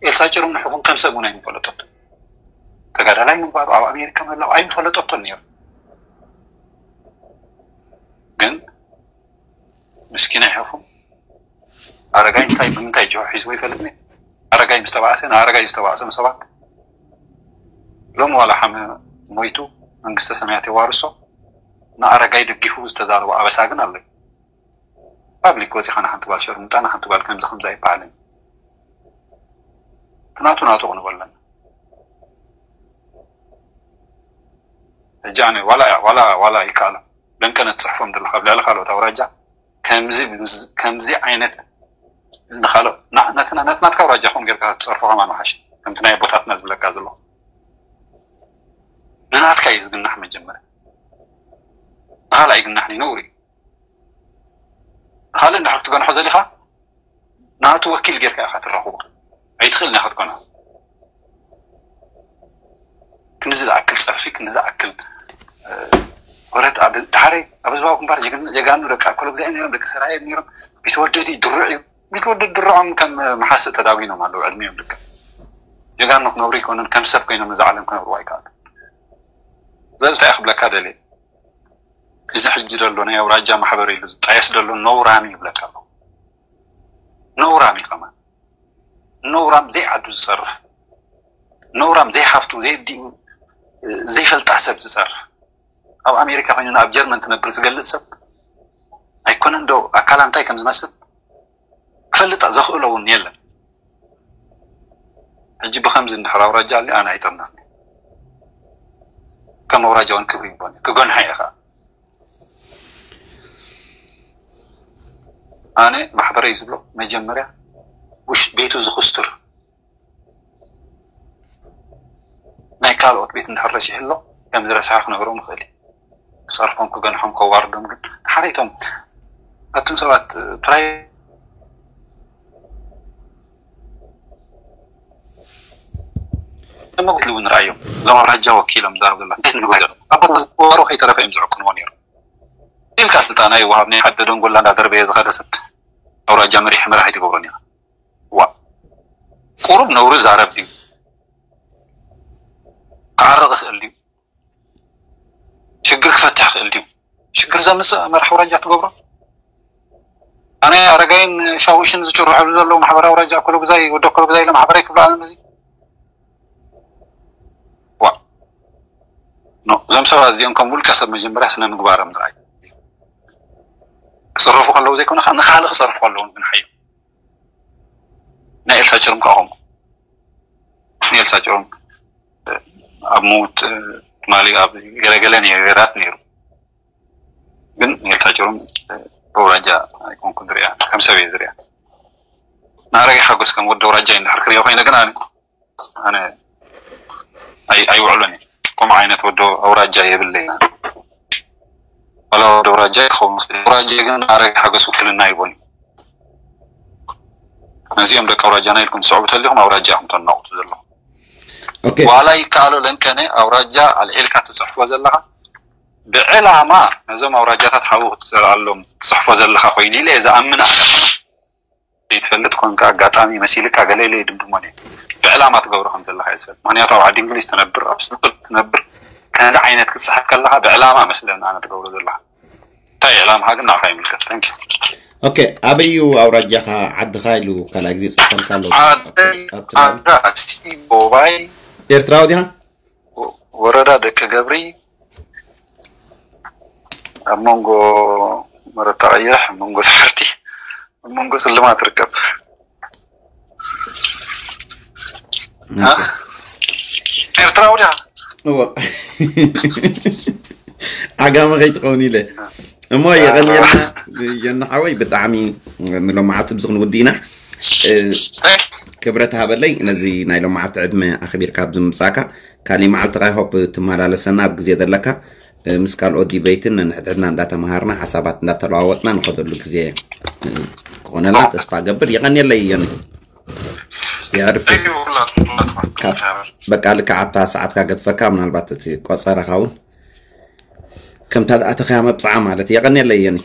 ኤልሳ ጭሩም ንሕፉን ከም ሰብ እውን ኣይምፈለጠቶን። ተጋዳላይ ምንባሩ፣ ኣብ ኣሜሪካ ምህላው ኣይምፈለጠቶን ነይሩ። ግን ምስኪናይ ሕፉን ኣረጋይ እንታይ ብምንታይ ጅሆ ሒዝዎ ይፈልጥኒ። ኣረጋይ ምስ ተባእሰ፣ ንኣረጋይ ዝተባእሰም ሰባት ሎሚ ዋላ ሓመ ሞይቱ መንግስተ ሰማያት የዋርሶ፣ ንኣረጋይ ደጊፉ ዝተዛረቦ ኣበሳ ግን ኣሎ። ፓብሊክ ወፂኻ ንሓንቲ ጓል ሸርሙጣ፣ ንሓንቲ ጓል ከምዚ ከምዚ ኣይበሃልን። ናቱ ናቱ ክንበለና። ሕጂ ኣነ ዋላ፣ ዋላ፣ ዋላ ይከኣሎ። ደንቀነ ትጽሕፎም ዘለኻ ኣብ ልዕሊ ካልኦት ኣውራጃ ከምዚ፣ ከምዚ ዓይነት ንኻልኦ፣ ና-፣ ናትና፣ ናት-፣ ናትካ ኣውራጃ ኹን ጌርካ ትጸርፎ ከማን ወሓሽ። ከምቲ ናይ ኣቦታትና ዝብለካ ዘለኹ። ንናትካ እዩ ዝግናሕ መጀመርያ። ንኻልኣይ ይግናሕ እዩ፣ ነውሪ እዩ። ንኻልእ እንድሕር ክትገንሖ ዘሊኻ፣ ናቱ ወኪል ጌርካ ኢኻ ትራኽቦ። ኣይትኽእልን ኢኻ ክትኮና። ክንዲ ዝኣክል ጸርፊ፣ ክንዲ ዝኣክል፣ እ፣ ወረት ኣብ፣ ድሓረይ ኣብ ህዝባዊ ግንባር ጀግን-፣ ጀጋኑ ደቂ ኣኮሎ ግዛይ ነይሮም፣ ደቂ ሰራየ ነይሮም። ቢትወደድ እዩ፣ ድሩዕ እዩ። ቢትወደድ ድሩዖም ከም መሓስእ ተዳጒኖም ኣለዉ፣ ዕድሚኦም ልክዕ። ጀጋኑ ክነብሩ ይኮኑን፣ ከም ሰብ ኮይኖም ነዛ ዓለም ክነብሩ ኣይከኣሉን። ስለዚ እንታይ ክብለካ ደልየ? እዚ ሕጂ ዘሎ ናይ ኣውራጃ ማሕበር ኢሉ ዝጣየስ ዘሎ ነውራም እዩ ይብለካ ኣለኹ። ነውራም እዩ ከማን። ነውራም ዘይዓዱ ዝጸርፍ፣ ነውራም ዘይሓፍቱ፣ ዘይዲኡ፣ ዘይፈልጣ ሰብ ዝጸርፍ። ኣብ ኣሜሪካ ኮይኑ ኣብ ጀርመን ትነብር ዝገልጽ ሰብ ኣይኮነን ዶ ኣካላ እንታይ ከም ዝመስል ክፈልጥ ዘኽእሎ እውን የለን። ሕጂ ብኸምዚ እንድሕር ኣውራጃ ኣሊ ኣነ ኣይጠምናኒ። ከም ኣውራጃ እውን ክብሪ ይቦን ክጎንሓ እየ ኸዓ። ኣነ ማሕበረይ ዝብሎ መጀመርያ ውሽ ቤቱ ዝኹስትር ናይ ካልኦት ቤት እንድሕር ረሲሑ ኣሎ ከም ዝረስሐ ክነግሮ ንኽእል እዩ። ክፀርፎም ክገንሖም ከዋርዶም ግን ሓደ እቶም ኣቱም ሰባት ፕራይ እሞ ክትልው ንርኣዮም እዞም ኣውራጃ ወኪሎም ዛረብ ዘላ እንታይ ንግባይ ዘሎ ኣቦ ዝወሮ ከይተረፈ እዮም ዝዕቅንዎ ነይሩ ኢልካ ስልጣና ይወሃብ ናይ ሓደ ደንጎላ እንዳደርበየ ዝኸደ ሰብ ኣውራጃ መሪሒ መራሒ ትገብሮ ነይራ ዋ ቁሩብ ነውሪ ዛረብ ድዩ ክዓርቕ ይኽእል ድዩ ሽግር ክፈትሕ ይኽእል ድዩ ሽግር ዘምፅእ መራሕ ኣውራጃ ትገብሮ ኣነ ኣረጋይን ሻውሽን ዝጭርሐሉ ዘለዉ ማሕበር ኣውራጃ ኮሎግዛይ ወደ ኮሎግዛይ ኢለ ማሕበረይ ክብሎ ኣለም እዚ ዋ ኖ እዞም ሰባት እዚኦም ከም ውልቀ ሰብ መጀመርያ ስነ ምግባሮም ጥራይ ክፅረፉ ከለዉ ዘይኮነ ከዓ ንካልእ ክፀርፉ ከለዉ ግን ሓዮም ናይ ኤልሳ ጭርም ከዓ ከምኡ ናይ ኤልሳ ጭርም ኣብ ምውት ትማሊ ኣብ ገለገለ ነገራት ነይሩ ግን ናይ ኤልሳ ጭርም ኣውራጃ ኣይኮንኩን ዝሪኣ ከም ሰብ እየ ዝሪኣ ንኣረጋይ ሓጎስ ከም ወዲ ኣውራጃ እዩ እንድሕር ክሪኦ ኮይነ ግን ኣነ ኣነ ኣይ- ኣይውዕሎን እዩ ከምኡ ዓይነት ወዲ ኣውራጃ የብለይ ዋላ ወዲ ኣውራጃ ክኸውን ይኽእል እዩ። ኣውራጃ ግን ኣረጋይ ሓጎስ ውክልና ይቦን እዩ ነዚኦም ደቂ ኣውራጃና ኢልኩም ትስዕቡ ተሊኹም ኣውራጃ ኢኹም ተናቑቱ ዘለኹም ኦኬ ዋላ ይከኣሎ ለንቀነ ኣውራጃ ኣልዒልካ ትፅሕፎ ዘለኻ ብዕላማ ነዞም ኣውራጃታት ሓው ክትዘርኣሎም ትፅሕፎ ዘለኻ ኮይኑ ኢለ እየ ዝኣምን ኣነ ዘይትፈልጥ ኮንካ ኣጋጣሚ መሲልካ ገለ ኢለ ይድምድሞን እየ ብዕላማ ትገብሮ ከም ዘለኻ እየ ዝፈልጥ ምክንያቱ ኣብ ዓዲ እንግሊዝ ትነብር ኣብ ስንቅል ትነብር ከምዚ ዓይነት ክትፅሕፍ ከለኻ ብዕላማ መስለኒ ኣነ ትገብሮ ዘለኻ እንታይ ዕላምኻ ግን ንዓኻ ይምልከት thank you ኦኬ ኣበዩ ኣውራጃኻ ዓድኻ ኢሉ ካልኣይ ግዜ ፅሕፈልካ ኣሎ ዓደይ ኣብ ትግራይ ዓዳ ኣስቲ ቦባይ ኤርትራዊ ዲኻ ወረዳ ደቂ ገብሪ ኣብ መንጎ መረታ ቀይሕ ኣብ መንጎ ሳሕርቲ ኣብ መንጎ ስልማት ትርከብ እ? ኤርትራዊ ዲኻ እዎ ዓጋመ ከይትኸውን ኢለ እሞ የቐንየልና የኒ ሓወይ ብጣዕሚ ንሎማዓቲ ብዚ ክንውዲ ኢና እ፣ ክብረት ሃበለይ ነዚ ናይ ሎማዓቲ ዕድመ ኣኽቢርካ ኣብዚ ምምፃእካ ካሊእ መዓልቲ ካ ሆፕ ትመላለሰና ኣብ ግዜ ዘለካ እ፣ ምስ ካልኦት ዲበይትን ነንሕድሕድና እንዳተምሃርና ሓሳባት እንዳተለዋወጥና ንኸደሉ ግዜ እ፣ ክኾነልና ተስፋ ገብር የቐንየለይ የኒ የዕርፍ ካብ በቃ ልክዕ ኣብታ ሰዓትካ ገድፈካ ምናልባት እቲ ቆፀረኻ እውን ከምታ ዝኣተኸያ መብፅዓ ማለት የቐንየለይ የኒ